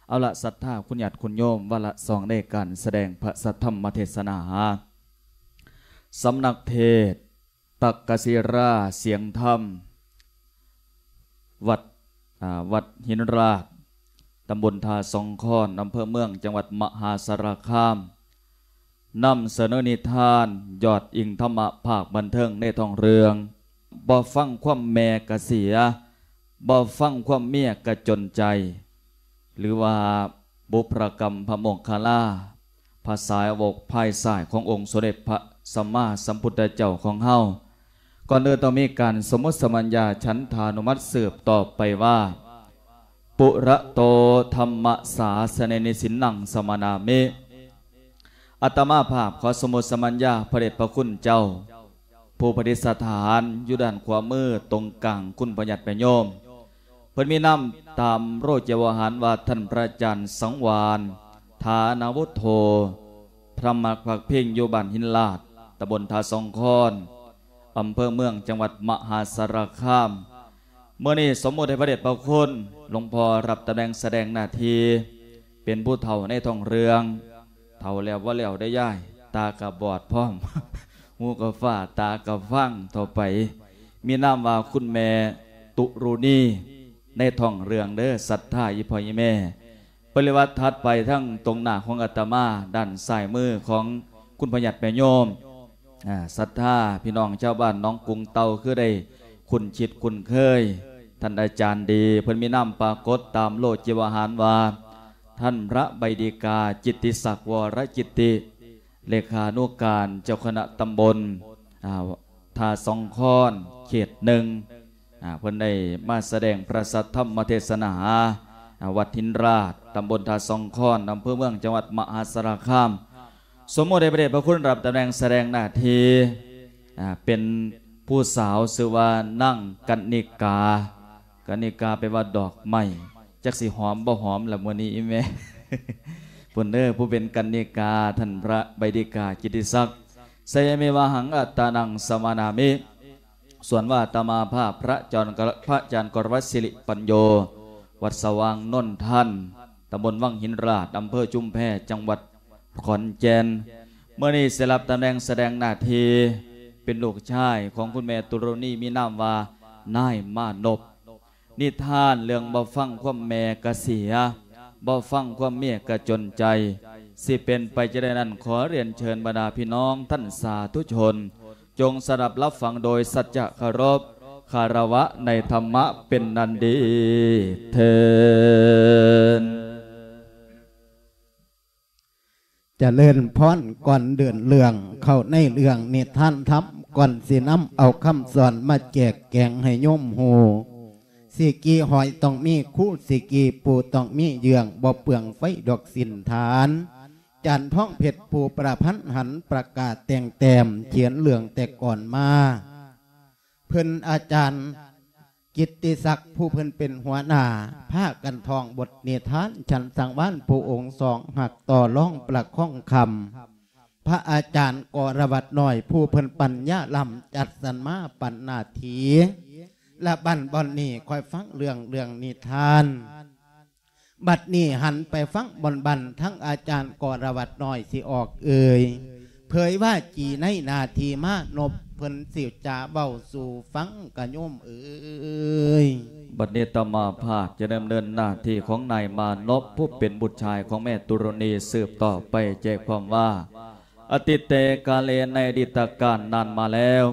ເອົາລະ ສັດທາຄຸນຍາດຄຸນໂຍມ, ວາລະສອງໃນການສະແດງພະສັດທຳມະເທດສະໜາ ສຳນັກເທດ ຕັກກະສິລາສຽງທຳ ວັດ ອາ ວັດຫີນລາດ ຕຳບົນທ່າສອງຄອນ ອຳເພີເມືອງ ຈັງຫວັດມະຫາສາລະຄາມ ນຳສະເໜີນິທານຍອດອີງທຳມະພາກບັນເທີງໃນທ້ອງເລື່ອງ ບໍ່ຟັງຄວາມແມ່ກະເສຍ ບໍ່ຟັງຄວາມເມຍກະຈົນໃຈ ຫຼືວ່າບຸບພະກຳພະໂມກຄະລາ ພະສາວົກພາຍຊ້າຍຂອງອົງສົມເດັດພະສຳມາສຳພຸດທະເຈົ້າຂອງເຮົາ. ກ່ອນອື່ນຕ້ອງມີການສົມມຸດສະມັນຍາ ສັນທານຸມັດ ສືບຕໍ່ໄປວ່າ ປຸລະໂຕ ທຳມະສາສະເນນິ ສິນນັງ ສະມະນາມິ. ອາດຕະມາພາບຂໍສົມມຸດສະມັນຍາພະເດດພະຄຸນເຈົ້າ ຜູ້ປະດິດສະຖານຢູ່ດ້ານຂວາມືຕົງກາງຄຸນພະຍາດແມ່ໂຍມ. ເພິ່ນມີນາມຕາມໂລກິວະຫານວ່າ ທ່ານພະອາຈານສັງວານ ຖານະວຸດໂທ ພະມະພັກພິງ ຢູ່ບ້ານຫີນລາດ ຕຳບົນທ່າສອງຄອນ ອຳເພີເມືອງ ຈັງຫວັດມະຫາສາລະຄາມ. ມື້ນີ້ສົມມຸດໃຫ້ພະເດດພະຄຸນ ຫຼວງພໍ່ຮັບຕຳແໜ່ງສະແດງໜ້າທີ່ ເປັນຜູ້ເຖົ້າໃນທ້ອງເລື່ອງ. ເຖົ້າແລ້ວບໍ່ແລ້ວເດ້ຍາຍ, ຕາກະບອດພ້ອມ, ຫູກະຟ້າ, ຕາກະຟາງເທົ່າໄປ. ມີນາມວ່າຄຸນແມ່ຕຸລຸນີ ໃນທ້ອງເລື່ອງເດີ ສັດທາອີ່ພໍ່ອີ່ແມ່. ປະລິວັດຖັດໄປທາງຕົງໜ້າຂອງອາດຕະມາ, ດ້ານຊ້າຍມືຂອງຄຸນພະຍາດແມ່ໂຍມ. ອາ ສັດທາພີ່ນ້ອງຊາວບ້ານໜອງກຸງເຕົ່າ ຄືໄດ້ຄຸ້ນຊິດຄຸ້ນເຄີຍ ທ່ານອາຈານດີ. ເພິ່ນມີນາມປາກົດຕາມໂລກິວະຫານວ່າ ທ່ານພະໃບດີກາ ຈິດຕິສັກ ວໍລະຈິດຕິ ເລຂານຸການເຈົ້າຄະນະຕຳບົນ ອາ ທ່າສອງຄອນ ເຂດໜຶ່ງ. ອາ ເພິ່ນໄດ້ມາສະແດງພະສັດທຳມະເທດສະໜາ ອາ ວັດຫີນລາດ ຕຳບົນທ່າສອງຄອນ ອຳເພີເມືອງ ຈັງຫວັດມະຫາສາລະຄາມ. ສົມມຸດໃຫ້ພະເດດພະຄຸນຮັບຕຳແໜ່ງສະແດງໜ້າທີ່ ອາ ເປັນຜູ້ສາວ ຊື່ວ່ານາງກັນນິກາ. ກັນນິກາແປວ່າດອກໄມ້. ຈັກຊິຫອມບໍ່ຫອມລະມື້ນີ້ອີ່ແມ່. ພຸ້ນເດີ ຜູ້ເປັນກັນນິກາ ທ່ານພະໃບດີກາ ຈິດຕິສັກ ໄຊຍະເມວະຫັງ ອັດຕານັງ ສະມະນາມິ. ສ່ວນວ່າອາດຕະມາພາບ ພະອາຈານ ພະອາຈານກໍລະວັດ ສິລິປັນໂຍ ວັດສະຫວ່າງນົນທັນ ຕຳບົນວັງຫີນລາດ ອຳເພີຊຸມແພ ຈັງຫວັດຂອນແກ່ນ. ມື້ນີ້ໄດ້ຮັບຕຳແໜ່ງສະແດງໜ້າທີ່ ເປັນລູກຊາຍຂອງຄຸນແມ່ຕຸລຸນີ ມີນາມວ່ານາຍມານົບ. ນິທານເລື່ອງບໍ່ຟັງຄວາມແມ່ກະເສຍ ບໍ່ຟັງຄວາມເມຍກະຈົນໃຈ ຊິເປັນໄປຈັ່ງໃດນັ້ນ ຂໍຮຽນເຊີນບັນດາພີ່ນ້ອງທ່ານສາທຸຊົນ ຈົ່ງສະດັບຮັບຟັງໂດຍສັດຈະເຄົາລົບຄາລະວະໃນທຳມະເປັນອັນດີເທີນ. ຈະເລີນພອນ. ກ່ອນເດີນເລື່ອງເຂົ້າໃນເລື່ອງນິທານທຳ, ກ່ອນຊິນຳເອົາຄຳສອນມາແຈກແຈງໃຫ້ໂຍມຮູ້, ຊິກີຫອຍຕ້ອງມີຄູ, ຊິກີປູຕ້ອງມີເຍືອງ, ບໍ່ເປືອງໄຟດອກສິນທານ. ຈານທອງເພັດຜູ້ປະພັນຫັນ ປະກາດແຕ່ງແຕ້ມ ຂຽນເລື່ອງແຕ່ກ່ອນມາ. ເພິ່ນອາຈານ ກິດຕິສັກ ຜູ້ເພິ່ນເປັນຫົວໜ້າ ພາກັນທ່ອງບົດນິທານ ສັນສັງວານ ຜູ້ອົງສອງຮັກຕໍ່ລອງປະຄອງຄຳ, ພະອາຈານກໍລະວັດນ້ອຍ ຜູ້ເພິ່ນປັນຍາລ້ຳ ຈັດສັນມາປັນໜ້າທີ່ ລະບັນບ່ອນນີ້ຄ່ອຍຟັງເລື່ອງ ເລື່ອງນິທານ. ບັດນີ້ຫັນໄປຟັງບ່ອນບັນ ທັງອາຈານກໍລະວັດນ້ອຍຊິອອກເອີ່ຍ ເຜີຍວ່າຈີໃນໜ້າທີ່ມານົບ ເພິ່ນຊິຈາເວົ້າສູ່ຟັງກະໂຍມເອີຍ. ບັດນີ້ອາດຕະມາພາບຈະດຳເນີນໜ້າທີ່ຂອງນາຍມານົບ ຜູ້ເປັນບຸດຊາຍຂອງແມ່ຕຸລຸນີ ສືບຕໍ່ໄປໃຈຄວາມວ່າ ອະຕິເຕກາເລ ໃນອະດີດຕະການນານມາແລ້ວ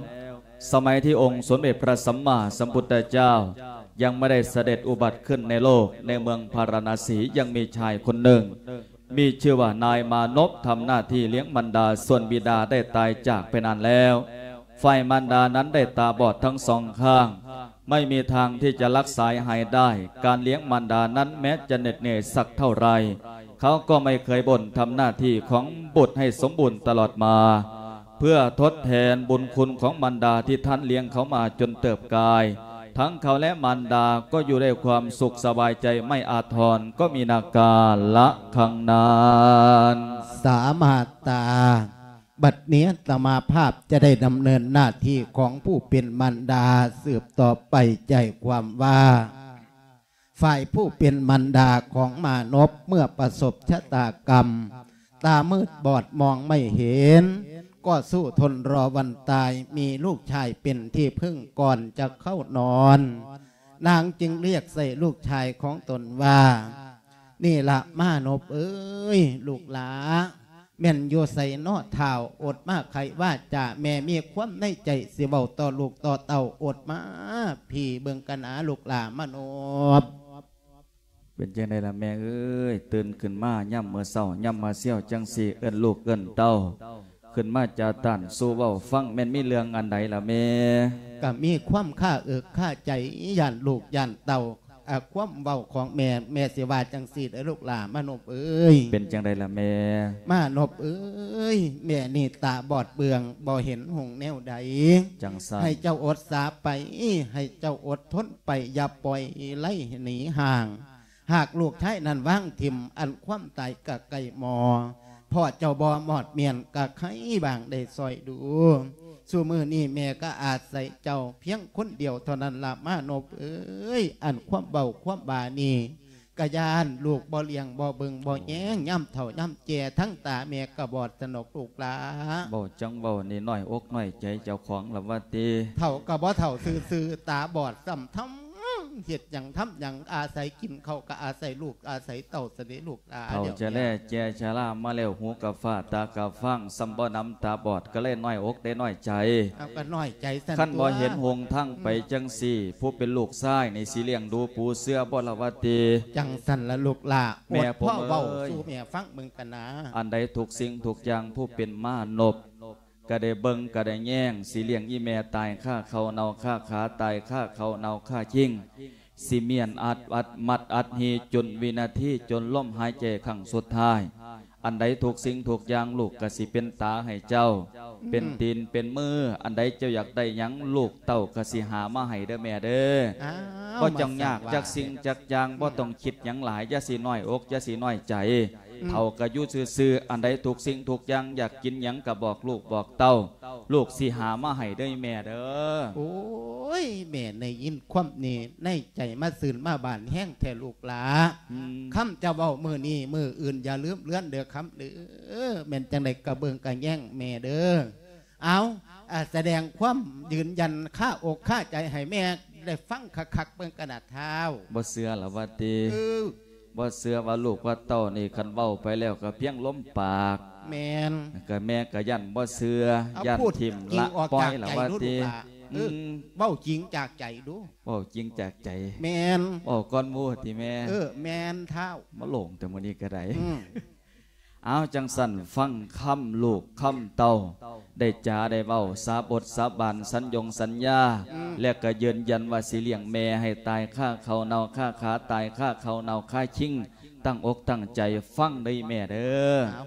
ສະໄໝທີ່ອົງສົມເດັດພະສຳມາສຳພຸດທະເຈົ້າຍັງບໍ່ໄດ້ສະເດັດອຸບັດຂຶ້ນໃນໂລກ ໃນເມືອງພາລານະສີ ຍັງມີຊາຍຄົນໜຶ່ງ ມີຊື່ວ່ານາຍມານົບ ທຳໜ້າທີ່ລ້ຽງມານດາ ສ່ວນບິດາໄດ້ຕາຍຈາກໄປນານແລ້ວ. ຝ່າຍມານດານັ້ນໄດ້ຕາບອດທັງສອງຂ້າງ ໄມ່ມີທາງທີ່ຈະລັກສາຍຫາຍໄດ້. ການລ້ຽງມານດານັ້ນແມ້ຈະເໜັດເໜື່ອຍສັກເທົ່າໃດ ເຂົາກໍໄມ່ເຄີຍບົ່ນ ທຳໜ້າທີ່ຂອງບຸດໃຫ້ສົມບູນຕະຫຼອດມາ ເພື່ອທົດແທນບຸນຄຸນຂອງມານດາທີ່ທ່ານລ້ຽງເຂົາມາຈົນເຕີບກາຍ. ທັງເຂົາແລະມານດາກໍຢູ່ດ້ວຍຄວາມສຸກສະບາຍໃຈ ໄມ່ອາດທອນ ກໍມີນາກາລະຄັງນັ້ນ. ສາມາດຕາ. ບັດນີ້ອາດຕະມາພາບຈະໄດ້ດຳເນີນໜ້າທີ່ຂອງຜູ້ເປັນມານດາສືບຕໍ່ໄປ ໃຈຄວາມວ່າ ຝ່າຍຜູ້ເປັນມານດາຂອງມານົບເມື່ອປະສົບຊະຕາກຳ ຕາມືດບອດມອງໄມ່ເຫັນ ກໍສູ້ທົນລໍວັນຕາຍ ມີລູກຊາຍເປັນທີ່ເພິ່ງກ່ອນຈະເຂົ້ານອນ. ນາງຈຶ່ງລຽກໃສ່ລູກຊາຍຂອງຕົນວ່າ ນີ້ລະມານົບເອີຍ ລູກຫຼາ ແມ່ນຢູ່ໃສນໍທ້າວ? ອົດມາໄຂວາຈາ ແມ່ມີຄວາມໃນໃຈຊິເວົ້າຕໍ່ລູກຕໍ່ເຕົ້າ ອົດມາພີ້ເບິ່ງກັນນາ ລູກຫຼາມານົບ. ເປັນຈັ່ງໃດລະແມ່ເອີຍ? ຕື່ນຂຶ້ນມາຍາມມື້ເຊົ້າ ຍາມມາຊຽວຈັ່ງຊີ້ ເອີ້ນລູກເອີ້ນເຕົ້າຂຶ້ນມາຈາຕານສູ່ເວົ້າຟັງ ແມ່ນມີເລື່ອງອັນໃດລະແມ່? ກະມີຄວາມຄາເອິກຄາໃຈ ຢ້ານລູກຢ້ານເຕົ້າ ອາ ຄວາມເວົ້າຂອງແມ່ ແມ່ຊິວ່າຈັ່ງຊີ້ເດີລູກຫຼາມານົບເອີຍ. ເປັນຈັ່ງໃດລະແມ່? ມານົບເອີຍ ແມ່ນີ້ຕາບອດເບືອງ ບໍ່ເຫັນຫົງແນວໃດ. ຈັ່ງຊັ້ນ ໃຫ້ເຈົ້າອົດສາໄປ ໃຫ້ເຈົ້າອົດທົນໄປ ຢ່າປ່ອຍໄລ່ໜີຫ່າງ. ຫາກລູກຊາຍນັ້ນວາງຖິ້ມ ອັນຄວາມຕາຍກະໃກ້ໝໍ. ພໍ່ເຈົ້າບໍ່ມອດມ້ຽນ ກະໃຄບາງໄດ້ຊ່ອຍດູ. ຊຸມື້ນີ້ແມ່ກະອາໄສເຈົ້າພຽງຄົນດຽວເທົ່ານັ້ນລະມານົບເອີຍ. ອັນຄວາມເວົ້າຄວາມວ່ານີ້ ກະຢ້ານລູກບໍ່ລ້ຽງບໍ່ເບິ່ງບໍ່ແຍງ ຍາມເຖົ້າຍາມແກ່ ທັງຕາແມ່ກະບອດຊະນົກລູກຫຼາ. ເວົ້າຈັ່ງເວົ້ານີ້ນ້ອຍອົກນ້ອຍໃຈເຈົ້າຂອງລະວ່າຕິ? ເຖົ້າກະບໍ່ເຖົ້າຊື່ໆ ຕາບອດຊ້ຳທຳ ເຮັດຫຍັງທຳຫຍັງ ອາໄສກິນເຂົ້າກະອາໄສລູກອາໄສເຕົ້າຊະເດລູກຫຼາ. ເຖົ້າຈະແລແຈຊະລາມາແລ້ວ ຫູກະຟ້າຕາກະຟາງ ຊ້ຳບໍ່ນຳຕາບອດ ກະເລີຍນ້ອຍອົກໄດ້ນ້ອຍໃຈ. ເອົາ ກະນ້ອຍໃຈຊັ້ນ ຄັນບໍ່ເຫັນຫົນທາງໄປຈັ່ງຊີ້ ຜູ້ເປັນລູກຊາຍນີ້ຊິລ້ຽງດູປູເສືອບໍ່ລະວ່າຕິ? ຈັ່ງຊັ້ນລະລູກຫຼາ. ແມ່ ອົດພໍເວົ້າສູ່ແມ່ຟັງເບິ່ງກັນນາ. ອັນໃດທຸກສິ່ງທຸກຢ່າງ ຜູ້ເປັນມານົບກະໄດ້ເບິ່ງກະໄດ້ແຍງ ຊິລ້ຽງອີ່ແມ່ຕາຍຄາເຂົ້າເນົ່າຄາຂາ ຕາຍຄາເຂົ້າເນົ່າຄາຄີງ ຊິມ້ຽນອັດ ອັດມັດອັດຮີ ຈົນວິນາທີ ຈົນລົມຫາຍໃຈຄັ້ງສຸດທ້າຍ. ອັນໃດທຸກສິ່ງທຸກຢ່າງ ລູກກະຊິເປັນຕາໃຫ້ເຈົ້າ ເປັນຕີນເປັນມື. ອັນໃດເຈົ້າຢາກໄດ້ຫຍັງ ລູກເຕົ້າກະຊິຫາມາໃຫ້ເດີແມ່ເດີ. ບໍ່ຕ້ອງຍາກຈັກສິ່ງຈັກຢ່າງ ບໍ່ຕ້ອງຄິດຫຍັງຫຼາຍ ຢ່າຊິນ້ອຍອົກ ຢ່າຊິນ້ອຍໃຈ. ເຖົ້າກະຢູ່ຊື່ໆ ອັນໃດທຸກສິ່ງທຸກຢ່າງ ຢາກກິນຫຍັງກະບອກລູກບອກເຕົ້າ ລູກຊິຫາມາໃຫ້ເດີແມ່ເດີ. ໂອ້ຍ ແມ່ໄດ້ຍິນຄວາມນີ້ ໃນໃຈມາຊື່ນມາບານແຮງແທ້ລູກຫຼາ. ຄຳຈະເວົ້າມື້ນີ້ມື້ອື່ນຢ່າລືມເລືອນເດີຄຳເດີ. ແມ່ນຈັ່ງໃດກະເບິ່ງກະແຍງແມ່ເດີ. ເອົາ ອາ ສະແດງຄວາມຢືນຢັນຄາອົກຄາໃຈໃຫ້ແມ່ໄດ້ຟັງຄັກໆເບິ່ງກັນນາທ້າວ. ບໍ່ເຊື່ອລະວ່າຕິ? ເອີ ບໍ່ເຊື່ອວ່າລູກວ່າເຕົ້ານີ້ ຄັນເວົ້າໄປແລ້ວກະພຽງລົມປາກ. ແມ່ນ. ກະແມ່ກະຢ້ານບໍ່ເຊື່ອ ຢ້ານຖິ້ມລະປ່ອຍລະວ່າຕິ? ເວົ້າຈິງຈາກໃຈດູ. ເວົ້າຈິງຈາກໃຈ. ແມ່ນ. ເວົ້າກ່ອນໝູ່ຕິແມ່? ເອີ ແມ່ນທ້າວ. ມາໂຫຼງແຕ່ມື້ນີ້ກະໄດ້. ເອົາ ຈັ່ງຊັ້ນ ຟັງຄຳລູກຄຳເຕົ້າ ໄດ້ຈາໄດ້ເວົ້າ ສາບົດສາບານ ສັນຢົງສັນຍາ ແລະກະຢືນຢັນວ່າຊິລ້ຽງແມ່ໃຫ້ຕາຍຄາເຂົ້າເນົ່າຄາຂາ ຕາຍຄາເຂົ້າເນົ່າຄາຄີງ ຕັ້ງອົກຕັ້ງໃຈຟັງເດີແມ່ເດີ.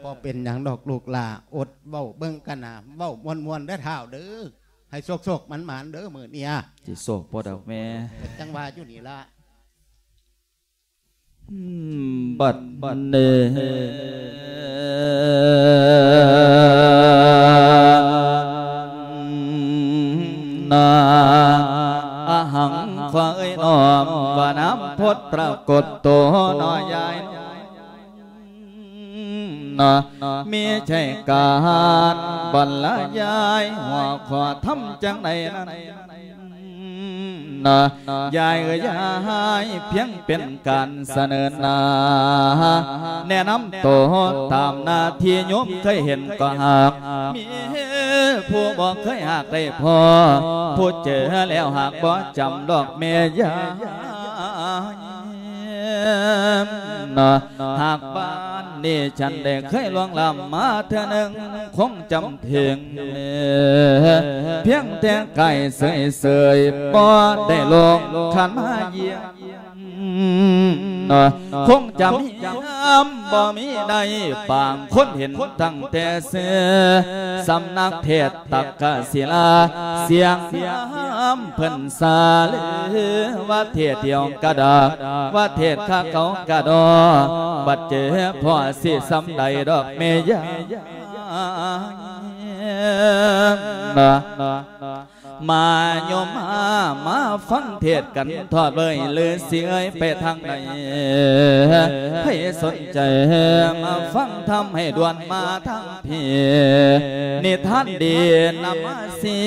ບໍ່ເປັນຫຍັງດອກລູກຫຼາ ອົດເວົ້າເບິ່ງກັນນາ ເວົ້າມ່ວນໆເດີທ້າວເດີ. ໃຫ້ໂຊກໆໝານໆເດີມື້ນີ້. ຊິໂຊກບໍ່ດອກແມ່? ຈັ່ງວ່າຢູ່ນີ້ລະ. ບັດນີ້ ອະຫັງ ຂໍເອີ່ຍນ້ອມວ່ານາມພຸດປາກົດໂຕເນາະຍາຍເນາະ. ມີໃຈການບັນລະຍາຍ ຫົວຂໍ້ທຳຈັ່ງໃດນັ້ນ ຍາຍເອີຍ ຍາຍພຽງເປັນການສະເໜີໜ້າ ແນະນຳໂຕຕາມໜ້າທີ່ໂຍມເຄີຍເຫັນກໍຫາກ ມີຜູ້ບໍ່ເຄີຍຫາກໄດ້ພໍ້ ຜູ້ເຈີແລ້ວຫາກບໍ່ຈຳດອກແມ່ຍາຍ. ຫາກບ້ານນີ້ ສັນໄດ້ເຄີຍລ່ວງລ້ຳມາເທື່ອໜຶ່ງ ຄົງຈຳເຖິງ ພຽງແຕ່ກາຍເສີຍໆ ບໍ່ໄດ້ລົງຂັນມາຢ້ຽມ ຄົງຈຳຮຽມບໍ່ມີໃດ ປາງຄົນເຫັນຕັ້ງແຕ່ເສືອ ສຳນັກເທດ ຕັກກະສິລາ ສຽງນາມເພິ່ນສາເລີ ວ່າເທດດຽວກະດາກ ວ່າເທດຄາເກົ່າກະດອ ບັດເຈີພໍ່ຊິສ່ຳໃດດອກແມ່ຍາຍ. ມາໂຍມມາ ມາຟັງເທດກັນທອດເວີຍ ຫຼືຊິເອີຍໄປທາງໃດ ໃຜສົນໃຈມາຟັງທຳໃຫ້ດ່ວນມາທາງພີ້ ນິທານດີນຳມາຊີ້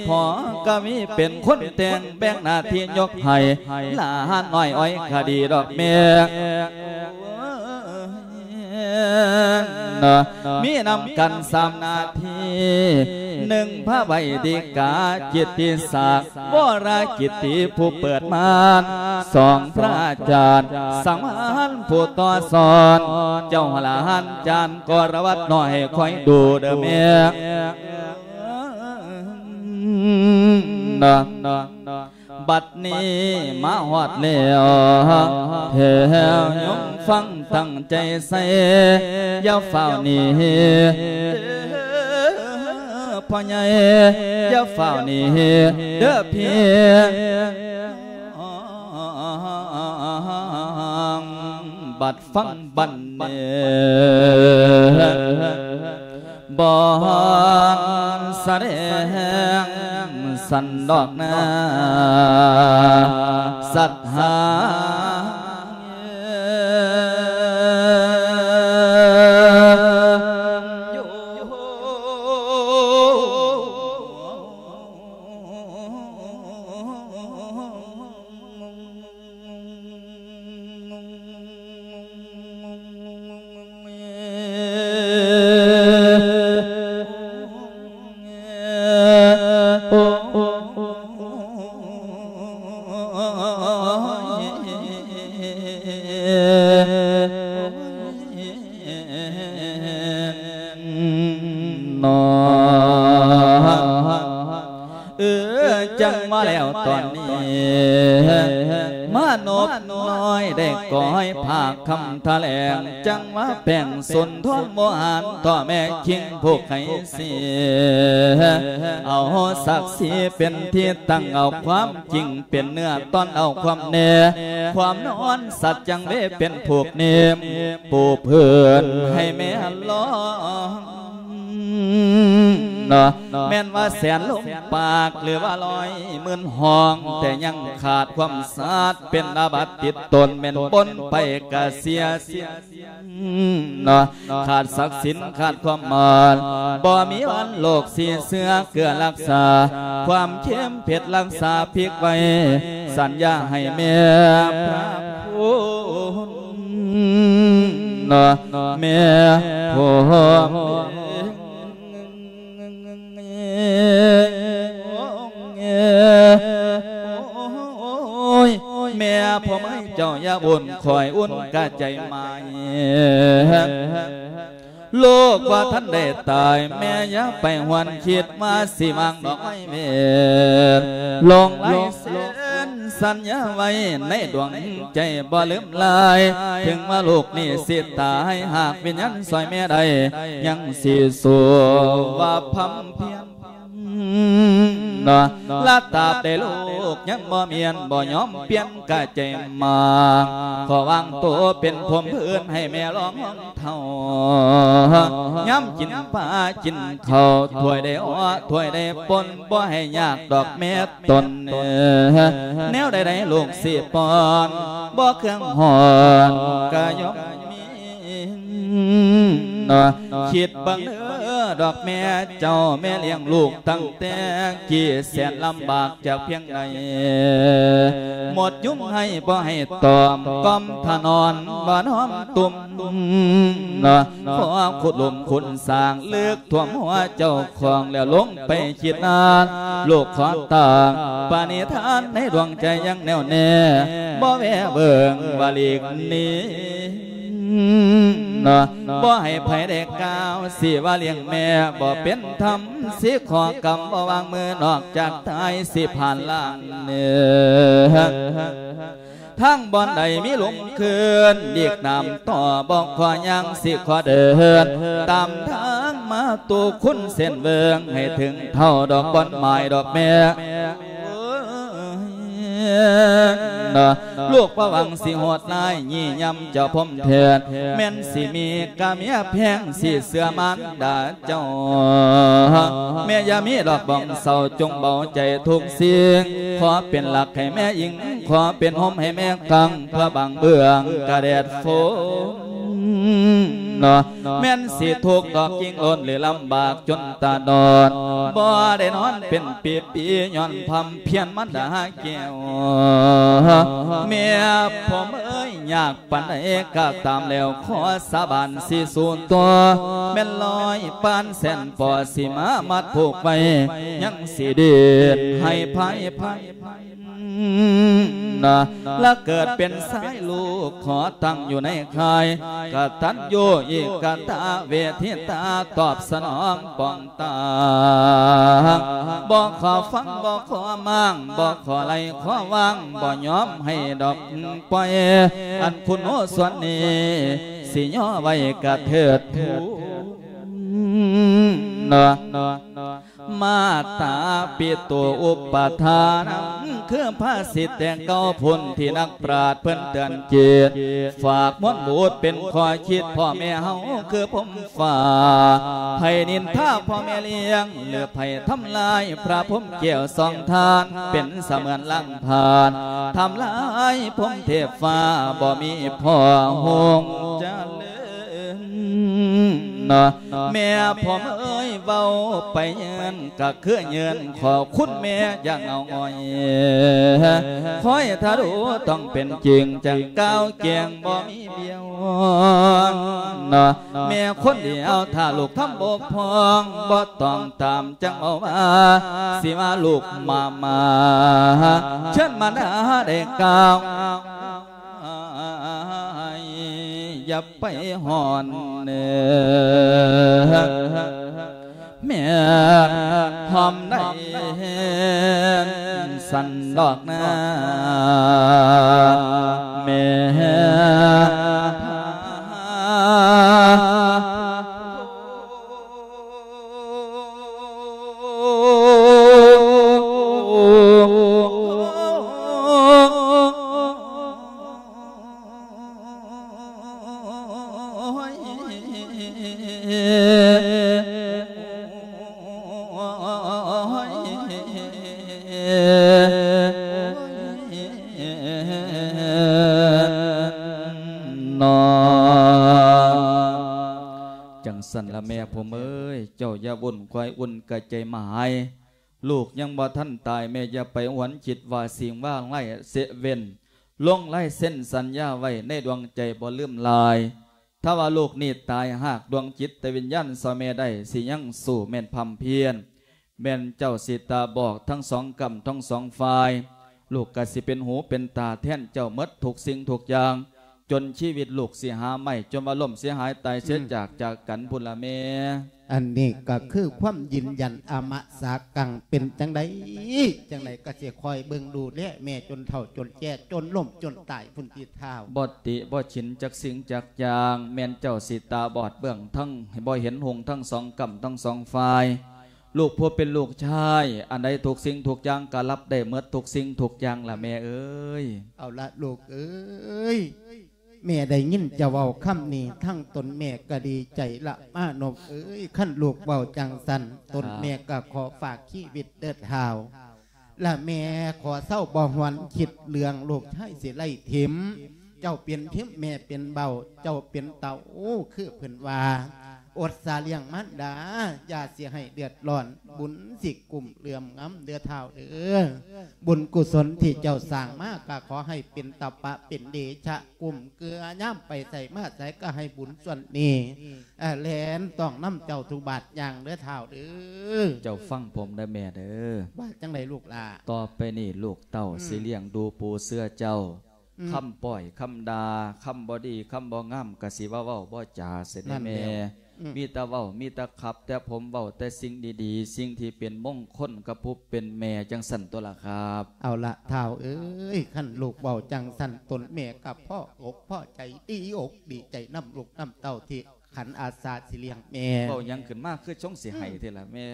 ພໍ່ກະວີເປັນຄົນແຕ່ງ ແບ່ງໜ້າທີ່ຍົກໃຫ້ຫຼານນ້ອຍອ້ອຍຄະດີດອກແມ່ ເນາະ ມີນຳກັນສາມໜ້າທີ່ ໜຶ່ງ ພະໄວດີກາ ກິດຕິສັກ ວໍລະກິດຕິ ຜູ້ເປີດມານ ສອງ ພະອາຈານ ສັງວານ ຜູ້ຕໍ່ສອນ ເຈົ້າຫຼານຈານ ກໍລະວັດນ້ອຍ ຄອຍດູເດີແມ່ ເນາະ. ບັດນີ້ມາຮອດແລ້ວ ແຖວໂຍມຟັງຕັ້ງໃຈໃສ່ ຢ່າຟ້າວໜີ ພໍ່ໃຫຍ່ ຢ່າຟ້າວໜີເດີພີ່ ບັດຟັງບັດນີ້ ບ່ອນສະແດງສັນດອກນາ ສັດຫາ ເນາະ ເອີ ຈັ່ງວ່າແລ້ວຕອນນີ້ ມະນົບນ້ອຍໄດ້ກ້ອຍພາກຄຳຖະແຫຼງ ຈັ່ງວ່າແປງສົນທອງບໍ່ຫານຕໍ່ແມ່ຄິງຜູ້ໄຄສີ ເອົາສັກສີເປັນທີ່ຕັ້ງ ເອົາຄວາມຈິງເປັນເນື້ອ ຕ້ອນເອົາຄວາມແນ່ ຄວາມນອນ ສັດຈັ່ງເວເປັນຜູກເນມ ປູພື້ນໃຫ້ແມ່ລອງ ເນາະ ແມ່ນວ່າແສນລົມປາກ ຫຼືວ່າຮ້ອຍໝື່ນຫ້ອງ ແຕ່ຍັງຂາດຄວາມສາດ ເປັນອາບັດຕິດຕົນ ແມ່ນປົນໄປກະເສຍສິ້ນ ເນາະ ຂາດສັກສິນ ຂາດຄວາມໝານ ບໍ່ມີວັນໂລກສີເຊື້ອເກືອລັກສາ ຄວາມເຄັມເຜັດລັກສາພິກໄວ້ ສັນຍາໃຫ້ແມ່ພະຄຸນ ເນາະ ແມ່ພົມ ໂອ້ຍ ແມ່ຜົມເອີຍ ເຈົ້າຢ່າວຸ່ນ ຂ້ອຍອຸ່ນກະໃຈໄໝ້ ລູກບໍ່ທັນໄດ້ຕາຍ ແມ່ຢ່າໄປຫວນຄິດວ່າຊິວາງດອກໄມ້ເວນ ລົງລາຍເຊັນສັນຍາໄວ້ໃນດວງໃຈ ບໍ່ລືມລາຍ ເຖິງວ່າລູກນີ້ຊິຕາຍ ຫາກວິນຍານຊ່ອຍແມ່ໄດ້ ຍັງຊິສູ້ວ່າພຳພຽນ ເນາະ ລະຕາບໃດລູກຍັງບໍ່ມ້ຽນ ບໍ່ຍອມປ່ຽນກະໃຈມາ ຂໍວາງໂຕເປັນຜົມພື້ນໃຫ້ແມ່ລອງເຖົ້າ ຍາມກິນປາກິນເຂົ້າ ຖ້ວຍໃດເອາະ ຖ້ວຍໃດປົນ ບໍ່ໃຫ້ຍາກດອກແມ່ຕົນ ແນວໃດໆລູກຊິປ້ອນ ບໍ່ເຄື່ອງຮ້ອນກະຍອມມີ ເນາະ ຄິດເບິ່ງເດີດອກແມ່ເຈົ້າ ແມ່ລ້ຽງລູກຕັ້ງແຕ່ກີ້ແສນລຳບາກຈາກພຽງໃດ ໝົດຍຸງໃຫ້ບໍ່ໃຫ້ຕອມ ກ່ອມຖະໜອນບໍ່ນ້ອມຕຸ້ມ ເນາະ ຂໍຂຸດຫຼຸມຂຸດສ້າງ ເລິກຖ້ວມຫົວເຈົ້າຂອງ ແລ້ວລົງໄປຄິດນານ ລູກຂໍຕາງປະນິທານໃນດວງໃຈຍັງແນ່ວແນ່ ບໍ່ແວເບິ່ງວ່າຫຼີກໜີ ເນາະ ບໍ່ໃຫ້ໃຜໄດ້ກ່າວ ຊິວ່າລ້ຽງແມ່ບໍ່ເປັນທຳ ຊິຂໍກຳບໍ່ວາງມື ນອກຈາກຕາຍຊິຜ່ານລ່າງເໜືອ ທາງບ່ອນໃດມີຫຼຸມຄືນ ຫຼີກນ້ຳຕໍ່ບໍ່ຂໍຍ່າງ ຊິຂໍເດີນຕາມທາງມາ ຕູ້ຄຸນເສັ້ນເວີງ ໃຫ້ເຖິງເທົ່າດອກບ່ອນໝາຍດອກແມ່ ນະ ລູກບໍ່ຫວັງຊິໂຫດຮ້າຍ ຢ້ຽມເຈົ້າພົມແທ້ ແມ່ນຊິມີກະເມຍແພງ ຊິເຊື່ອມານດາເຈົ້າ ແມ່ຢ່າມີດອກບອງເສົ້າ ຈົ່ງເບົາໃຈທຸກສິ່ງ ຂໍເປັນຫຼັກໃຫ້ແມ່ອີງ ຂໍເປັນຮົ່ມໃຫ້ແມ່ກາງ ເພື່ອບັງເບື້ອງກະແດດຝົນ ເນາະ ແມ່ນຊິທຸກດອກຈິງລົ້ນ ຫຼືລຳບາກຈົນຕາດອດ ບໍ່ໄດ້ນອນເປັນປີໆ ຍ້ອນພຳພຽນມານດາແກ້ວ ແມ່ຜົມເອີຍ ຍາກປານໃດກໍຕາມແລ້ວ ຂໍສາບານຊິສູ້ຕໍ່ ແມ່ນຮ້ອຍປານແສນປໍຊິມາມັດຜູກໄວ້ ຍັງຊິເດັດໃຫ້ພາຍ ນະ ລະເກີດເປັນຊາຍລູກ ຂໍຕັ້ງຢູ່ໃນຄ້າຍກະຕັນຍູເອກະຕະເວທິຕາ ຕອບສະໜອງປອງຕາງ ບໍ່ຂໍຟັງ ບໍ່ຂໍມ້າງ ບໍ່ຂໍໄລ່ຂໍວາງ ບໍ່ຍອມໃຫ້ດອກປ່ອຍ ອັນຄຸນໂອສ່ວນນີ້ ຊິຍໍໄວ້ກະເທີດທູນ ນະ ມາຕາປິໂຕອຸປະທານ ຄືພາສິດແຕ່ເກົ່າພຸ້ນ ທີ່ນັກປາດເພິ່ນເຕືອນຈິດ ຝາກມວນບຸດເປັນຂໍ້ຄິດ ພໍ່ແມ່ເຮົາຄືພົມຟ້າ ໃຜນິນທາພໍ່ແມ່ລ້ຽງ ຫຼືໃຜທຳລາຍພະພົມແກ້ວສອງທ່ານ ເປັນສະເໝືອນລ້າງຜານ ທຳລາຍພົມເທບຟ້າ ບໍ່ມີພໍ່ຮຸ່ງຈະເລີນ ເນາະ ແມ່ຜົມເອີຍ ເວົ້າໄປເງິນກະຄືເງິນ ຂໍຄຸນແມ່ຢ່າເຫງົາຫງອຍ ຄອຍຖ້າດູຕ້ອງເປັນຈິງ ຈັ່ງກ່າວແຈ້ງບໍ່ມີບຽວ ເນາະ ແມ່ຄົນດຽວ ຖ້າລູກທຳບົກຜ່ອງ ບໍ່ຕ້ອງຕາມ ຈັ່ງເວົ້າວ່າ ຊິວ່າລູກໝ້າໝາ ເຊີນມານາໄດ້ກ່າວ ຢ່າໄປຮ້ອນເນີ ແມ່ຫອມໄດ້ສັນດອກນາ ແມ່ ເນາະ ຈັ່ງຊັ້ນລະແມ່ຜົມເອີຍ ເຈົ້າຢ່າວຸ່ນຄວາຍອຸ່ນກະໃຈມາຫາຍ ລູກຍັງບໍ່ທັນຕາຍ ແມ່ຢ່າໄປຫວນຄິດວ່າສິ່ງວ່າຮ້າຍເສຍເວັ້ນ ລົງລາຍເຊັນສັນຍາໄວ້ໃນດວງໃຈບໍ່ລືມລາຍ ຖ້າວ່າລູກນີ້ຕາຍ ຮາກດວງຈິດຕະວິນຍານສອງແມ່ໄດ້ ຊິຍັງສູ້ແມ່ນພຳພຽນ ແມ່ນເຈົ້າຊິຕາບອດທັງສອງກ້ຳທັງສອງຝ່າຍ ລູກກະຊິເປັນຫູເປັນຕາແທນເຈົ້າໝົດທຸກສິ່ງທຸກຢ່າງ ຈົນຊີວິດລູກຊິຫາໄມ້ ຈົນວ່າລົ້ມເສຍຫາຍຕາຍເສຍ ອືມ ຈາກ ຈາກກັນພຸ້ນລະແມ່. ອັນນີ້ກໍຄືຄວາມຢືນຢັນອະມະສາກັງ ເປັນຈັ່ງໃດຈັ່ງໃດກໍຊິຄອຍເບິ່ງດູແລແມ່ຈົນເຖົ້າຈົນແກ່ ຈົນລົ້ມຈົນຕາຍພຸ້ນຕິທ້າວ. ບໍ່ຕິບໍ່ສິນຈັກສິ່ງຈັກຢ່າງ ແມ່ນເຈົ້າຊິຕາບອດເບື້ອງທັງ ໃຫ້ບໍ່ເຫັນຮຸ່ງທັງສອງກ້ຳທັງສອງຝ່າຍ ລູກຜູ້ເປັນລູກຊາຍ ອັນໃດທຸກສິ່ງທຸກຢ່າງກໍຮັບໄດ້ໝົດທຸກສິ່ງທຸກຢ່າງລະແມ່ເອີຍ. ເອົາລະລູກເອີຍ ແມ່ໄດ້ຍິນເຈົ້າເວົ້າຄຳນີ້ ທັງຕົນແມ່ກໍດີໃຈລະມານົບເອີຍ ຄັນລູກເວົ້າຈັ່ງຊັ້ນ ຕົນແມ່ກໍຂໍຝາກຊີວິດເດີທ້າວ ລະແມ່ຂໍເຊົາບໍ່ຫວນຄິດເລື່ອງລູກຊາຍຊິໄລ່ຖິ້ມ ເຈົ້າເປັນຖິ້ມແມ່ເປັນເບົາ ເຈົ້າເປັນເຕົ້າ ຄືເພິ່ນວ່າ ອົດສາລ້ຽງມານດາ ຢ່າຊິໃຫ້ເດືອດຮ້ອນ ບຸນຊິກຸ້ມເຫຼື້ອມງຳເດີທ້າວເດີ ບຸນກຸສົນທີ່ເຈົ້າສ້າງມາ ກໍຂໍໃຫ້ເປັນຕະປະເປັນເດຊະ ກຸ້ມເກື້ອຍາມໄປໃສມາໃສ ກໍໃຫ້ບຸນສ່ວນນີ້ ເອີ ແລ່ນຕ້ອງນຳເຈົ້າທຸກບາດຍ່າງເດີທ້າວເດີ. ເຈົ້າຟັງຜົມເດີແມ່ເດີ. ວ່າຈັ່ງໃດລູກຫຼ້າ? ຕໍ່ໄປນີ້ລູກເຕົ້າ ອືມ ຊິລ້ຽງດູປູເຊື່ອເຈົ້າ ອືມ ຄຳປ້ອຍຄຳດ່າ ຄຳບໍ່ດີຄຳບໍ່ງາມ ກະຊິວ່າເວົ້າບໍ່ຈາເສຍແນ່ແມ່. ອືມ ມີແຕ່ເວົ້າ ມີແຕ່ຂັບແຕ່ຜົມ ເວົ້າແຕ່ສິ່ງດີໆ ສິ່ງທີ່ເປັນມົງຄົນກັບຜູ້ເປັນແມ່ ຈັ່ງຊັ້ນຕົວະລະຄັບ. ເອົາລະທ້າວເອີຍ ຄັນລູກເວົ້າຈັ່ງຊັ້ນ ຕົນແມ່ກໍພໍອົກພໍໃຈ ດີອົກດີໃຈນຳລູກນຳເຕົ້າທີ່ ຂັนอาสาสิเลี้ยงแม่ เว้าหยังขึ้นมาคือจงสิไห้แท้ล่ะแม่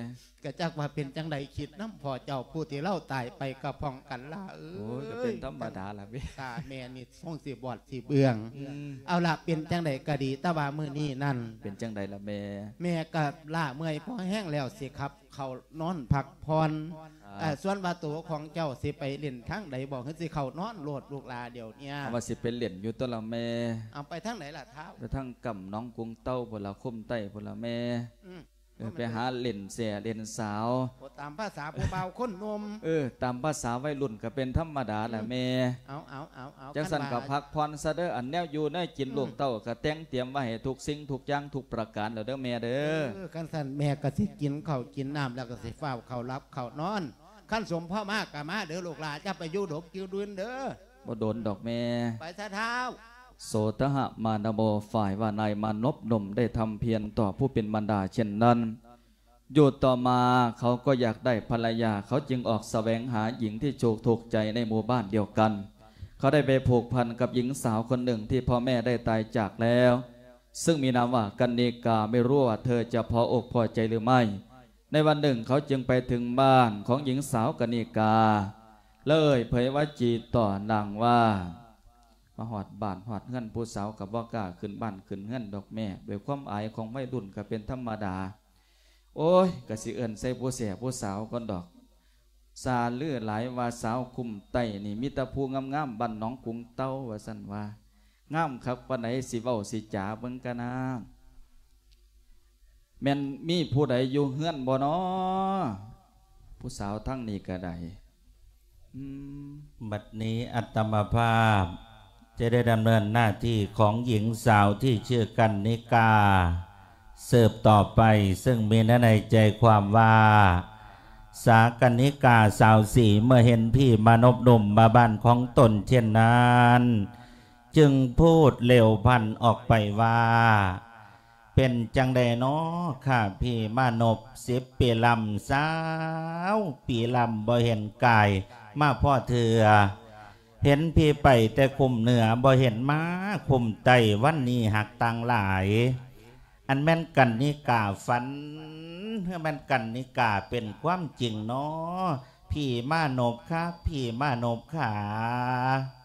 ก็จักว่าเป็นจั่งใด คิดนำพ่อเจ้าผู้ที่ลาวตายไปก็พ้องกันล่ะเอ้ย โอ้ย ก็เป็นธรรมดาล่ะแม่ ตาแม่นี่ทรงสิบอดสิเบือง อืม เอาล่ะ เป็นจั่งใดก็ดี แต่ว่ามื้อนี้นั่น เป็นจั่งใดล่ะแม่ แม่ก็ล้าเมื่อยพอแฮงแล้ว สิขับเข้านอนพักผ่อน ครับ เอ่อ ส่วนว่าตัวของเจ้าสิไปเล่นทางใดบ่ คือสิเข้านอนโลดลูกหล่าเดี๋ยวเนี้ย เอาว่าสิไปเล่นอยู่ตั๊วล่ะแม่ เอาไปทางไหนล่ะท้าว ไปทางกำหนองกุงเต้าพุ้นล่ะ คุ้มใต้พุ้นล่ะแม่ อืม เออ ไปหาเล่นแซ่เล่นสาว โอ้ ตามภาษาผู้บ่าวคนหนุ่ม เออ ตามภาษาวัยรุ่นก็เป็นธรรมดาล่ะแม่ เอา เอา เอา เอา จั่งซั้น คันว่า ก็พักผ่อนซะเด้อ อันแนวอยู่แนวกิน อืม ลูกเต้าก็แต่งเตรียมไว้ให้ทุกสิ่งทุกอย่างทุกประการแล้วเด้อแม่เด้อ เออ คันซั้นแม่ก็สิกินข้าวกินน้ำแล้วก็สิฟ้าวเข้าหลับเข้านอน คันสมพอมาก็มาเด้อลูกหล่า อย่าไปอยู่ดกอยู่ดื่นเด้อ บ่โดนดอกแม่ ไปซะท้าว โสตหะมานโว ฝ่ายว่านายมานพหนุ่มได้ทำเพียรต่อผู้เป็นมารดาเช่นนั้น อยู่ต่อมาเขาก็อยากได้ภรรยา เขาจึงออกแสวงหาหญิงที่ถูก ถูกใจในหมู่บ้านเดียวกัน เขาได้ไปผูกพันกับหญิงสาวคนหนึ่งที่พ่อแม่ได้ตายจากแล้ว ซึ่งมีนามว่ากนิกา ไม่รู้ว่าเธอจะพออกพอใจหรือไม่ ในวันหนึ่งเขาจึงไปถึงบ้านของหญิงสาวกนิกา และเอ่ยเผยวาจีต่อนางว่า มาฮอดบ้านฮอดเฮือนผู้สาวก็บ่กล้าขึ้นบ้านขึ้นเฮือนดอกแม่ ด้วยความอายของวัยรุ่นก็เป็นธรรมดา โอ๊ย ก็สิเอิ้นใส่ผู้แซ่ผู้สาวก่อนดอก ซาลือหลายว่าสาวคุ้มใต้นี่มีแต่ผู้งามๆ บ้านหนองกุงเต้า ว่าซั่นว่า งามคักปานใด สิเว้าสิจ๋าเบิ่งกะนา แม่นมีผู้ใดอยู่เฮือนบ่น้อ ผู้สาวทางนี้ก็ได้ อืม บัดนี้อาตมาภาพจะได้ดำเนินหน้าที่ของหญิงสาวที่ชื่อกนิกา สืบต่อไป ซึ่งมีเนื้อในใจความว่า สากนิกาสาวศรี เมื่อเห็นพี่มานพหนุ่มมาบ้านของตนเช่นนั้น จึงพูดเร็วพลันออกไปว่า เป็นจั่งใดน้อค่ะพี่มานพ สิบปีลำ สาวปีลำ บ่เห็นกายมาพ้อเทื่อ เห็นพี่ไปแต่คุ้มเหนือ บ่เห็นมาคุ้มใต้ วันนี้หากต่างหลาย อันแม่นกนิกาฝัน หรือแม่นกนิกาเป็นความจริงน้อ พี่มานพคะ พี่มานพขา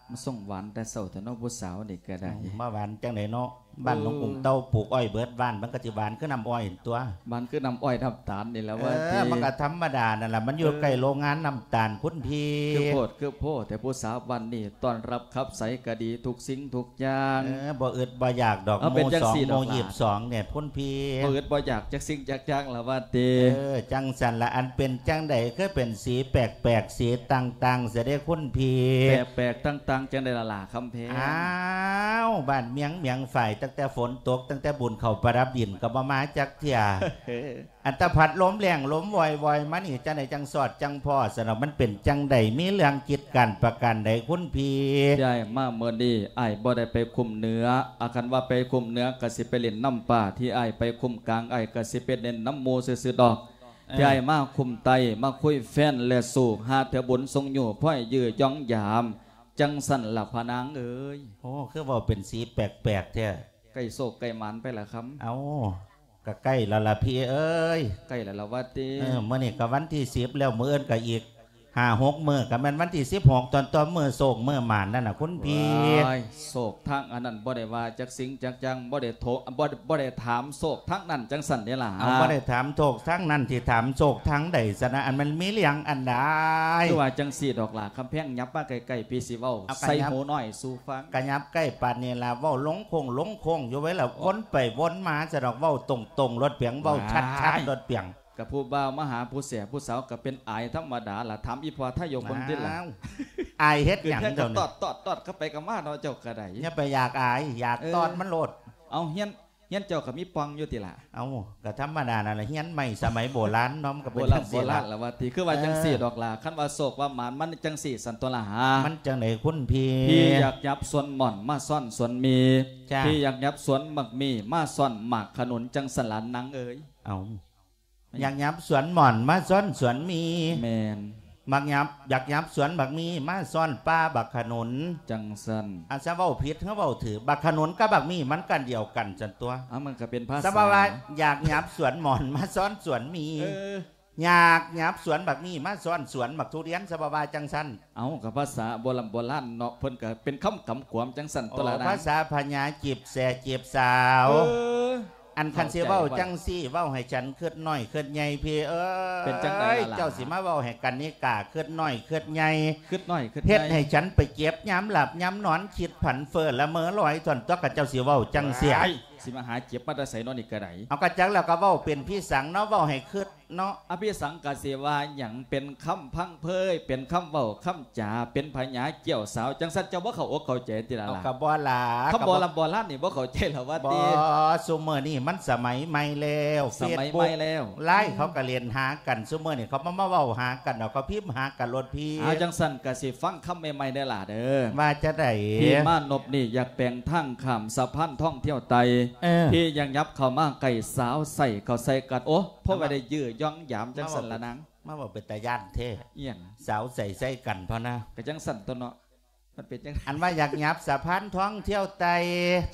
มาส่งหวานแต่เช้าแท้เนาะ ผู้สาวนี่ก็ได้ เอ้า มาหวานจั่งใดเนาะ บ้านหนองกุงเต้าปลูกอ้อยเบิดบ้าน มันก็สิหวานคือน้ำอ้อยตั๊ว หวานคือน้ำอ้อยน้ำตาลนี่แหละ เออ ว่าติ มันก็ธรรมดานั่นล่ะ มันอยู่ เออ ใกล้โรงงานน้ำตาลคุณพี่ คือโพด คือโพด แต่ผู้สาวบ้านนี้ต้อนรับคับใสก็ดีทุกสิ่งทุกอย่าง เออ บ่อึดบ่อยากดอก เอา หมู่ เป็นจั่ง สอง ซี้ดอก หมู่ ล่ะ ยี่สิบสอง เนี่ยคุณพี่ บ่อึดบ่อยากจักสิ่งจักอย่างล่ะว่าติ เออ จั่งซั่นล่ะ อันเป็นจั่งใดคือเป็นสีแปลกๆ สีต่างๆ เสียเด้คุณพี่ แปลกๆ ต่างๆ จั่งใดล่ะ ล่ะคำแพง อ้าว บ้านเมียง เมียงฝ่าย ตั้งแต่ฝนตก ตั้งแต่บุญเข้าประดับดินก็บ่มาจักเทื่อ อันตะพัดลมแรงลมวอยๆ มานี่ จั่งใดจั่งสอดจั่งพ้อ สนอก มันเป็นจั่งใด มีเรื่องกิจการประการใดคุณพี่ ที่อ้ายมามื้อนี้ อ้ายบ่ได้ไปคุ้มเหนือ อาคันว่าไปคุ้มเหนือก็สิไปเล่นน้ำป่า ที่อ้ายไปคุ้มกลาง อ้ายก็สิไปเล่นน้ำหมู่ซื่อๆ ดอก เออ ที่อ้ายมาคุ้มใต้ มาคุยแฟนและสู่ หาเทื่อบุญส่งอยู่ พ้อยยื้อย่องยาม จั่งซั่นล่ะพะนางเอ๋ย โอ้ คือเว้าเป็นสีแปลกๆ แท้ ใกล้โชคใกล้หมานไปล่ะคำ เอ้า ก็ใกล้แล้วล่ะพี่เอ้ย ใกล้แล้วล่ะว่าติ เออ มื้อนี้ก็วันที่สิบแล้ว มื้ออื่นก็อีกห้าหกมื้อ ก็แม่นวันที่สิบหก ตอนต่อมื้อโชคมื้อหมานนั่นน่ะคุณพี่ ว้าย โชคทางอันนั้นบ่ได้ว่าจักสิ่งจักอย่าง บ่ได้โท บ่ บ่ได้ถามโชคทางนั้นจั่งซั่นเด้ล่ะ เอา บ่ได้ถามโชคทางนั้น สิถามโชคทางใดซะนะ อันมันมีเรื่องอันใด คือว่าจั่งซี้ดอกล่ะ คำแพง ยับมาใกล้ๆ พี่สิเว้า เอา ก็ ใส่ ยับ หูน้อยสู่ฟัง ก็ยับใกล้ปานนี้ล่ะ เว้าลงโค้งลงโค้งอยู่ไว้ล่ะ วนไปวนมาซะดอก เว้าตรงๆ โลดเปียง เว้าชัดๆ โลดเปียง ก็ผู้บ่าวมาหาผู้แซ่ผู้สาวก็เป็นอายธรรมดาล่ะ ถามอีพ่อทายกเบิ่งติล่ะ อ้าว อายเฮ็ดหยัง เจ้าน่ะ ตอดๆๆ เข้าไปก็มาเนาะ เจ้าก็ได้ อย่าไปอยากอาย อยาก เออ ตอดมันโลด เอา เฮียน เฮียนเจ้าก็มีป่องอยู่ติล่ะ เอ้า ก็ธรรมดานั่นล่ะ เฮียนไม้สมัยโบราณเนาะ มันก็เป็นจั่งซี้ล่ะ โบราณล่ะว่าติ คือว่าจั่งซี้ดอกล่ะ เออ คันว่าโชคว่าหมานมันจั่งซี้ซั่นตั๊วล่ะหา มันจั่งใดคุณพี่ พี่อยากยับสวนหม่อนมาซ่อนสวนมี จ้ะ พี่อยากยับสวนหมากมีมาซ่อนหมากขนุน จั่งซั่นล่ะนางเอ๋ย เอ้า อยากยับสวนหม่อนมาซ่อนสวนมี แม่น ມັກຫຍັບ ຢາກຫຍັບສວນບັກມີ ມາຊ້ອນປ່າບັກຂະໜູນ ຈັ່ງຊັ້ນ. ອາດຈະເວົ້າຜິດ ຫຼື ເວົ້າຖືກ ບັກຂະໜູນກັບບັກມີມັນກັນດຽວກັນຊັ້ນຕົວະ. ເອົາ ມັນກໍເປັນພາສາ ສະບາຍວ່າ ຢາກຫຍັບສວນໝອນ ມາຊ້ອນສວນມີ ເອີ ຢາກຫຍັບສວນບັກມີ ມາຊ້ອນສວນບັກທຸລຽນ ສະບາຍວ່າຈັ່ງຊັ້ນ. ເອົາ ກໍພາສາໂບລຳໂບລານເນາະ ເພິ່ນກໍເປັນຄຳກຳກວມຈັ່ງຊັ້ນ ໂອ້ ຕົວະລະນາງ. ພາສາພະຍາຈີບແສ້ຈີບສາວ ເອີ ອັນຄັນຊິເວົ້າ ເຂົ້າໃຈ ຈັ່ງຊີ້ ເວົ້າໃຫ້ສັນຄຶດນ້ອຍຄຶດໃຫຍ່ພີ່ເອີຍ. ເປັນຈັ່ງໃດລະຫຼານ? ເຈົ້າຊິມາເວົ້າໃຫ້ກັນນິກາຄຶດນ້ອຍຄຶດໃຫຍ່ ຄຶດນ້ອຍຄຶດໃຫຍ່ ເຮັດໃຫ້ສັນໄປເຈັບຍາມຫຼັບຍາມນອນ ຄິດຝັນເຟີ້ລະເມີລອຍ ທ່ອນຕົວະ ຄັນເຈົ້າຊິເວົ້າຈັ່ງຊີ້. ວ້າຍ ຊິມາຫາເຈັບມາແຕ່ໃສເນາະນີ້ກໍໄດ້. ເອົາ ກະຈັກແລ້ວ ກໍເວົ້າເປັນພິສັງເນາະ ເວົ້າໃຫ້ຄຶດ ເນາະ. ອະພິສັງກະເສວາຫຍັງ ເປັນຄຳພັງເພີຍ ເປັນຄຳເວົ້າຄຳຈາ ເປັນພະຍາກ່ຽວສາວ ຈັ່ງຊັ້ນເຈົ້າບໍ່ເຂົ້າອົກເຂົ້າໃຈຕິລະ ເອົາ ລະ ກໍບໍ່ລະ ຄຳໂບລຳໂບລານນີ້ບໍ່ເຂົ້າໃຈລະວ່າຕິ. ບໍ່ ຊຸມື້ນີ້ມັນສະໄໝໃໝ່ແລ້ວ ສະໄໝໃໝ່ແລ້ວ ເຟສບຸກ ລາຍ ເຂົາກໍຫຼິ້ນຫາກັນ ຊຸມື້ນີ້ເຂົາມາ ມາເວົ້າຫາກັນ ເອົາ ເຂົາພິມຫາກັນໂລດພີ່. ເອົາ ຈັ່ງຊັ້ນກະຊິຟັງຄຳໃໝ່ໆເດີຫຼ້າເດີ. ວ່າຈັ່ງໃດ? ພີ່ມານົບນີ້ຢາກແປງທາງຂ້າມສະພານທອງທ່ຽວໄຕ ເອີ ພີ່ຢາກຫຍັບເຂົ້າມາໃກ້ສາວໃສ່ເຂົ້າໃສ່ກັນ ໂອ້ ພໍວ່າໄດ້ຢື້ຢອງຢາມຈັ່ງຊັ້ນລະນາງ. ມາເວົ້າເປັນຕາຢ້ານແທ້. ອີ່ຫຍັງ? ສາວໃສ່ໃສ່ກັນພໍນະ. ກໍຈັ່ງຊັ້ນຕົວະເນາະ ມັນເປັນຈັ່ງ ອັນວ່າຢາກຫຍັບສະພານທອງທ່ຽວໄຕ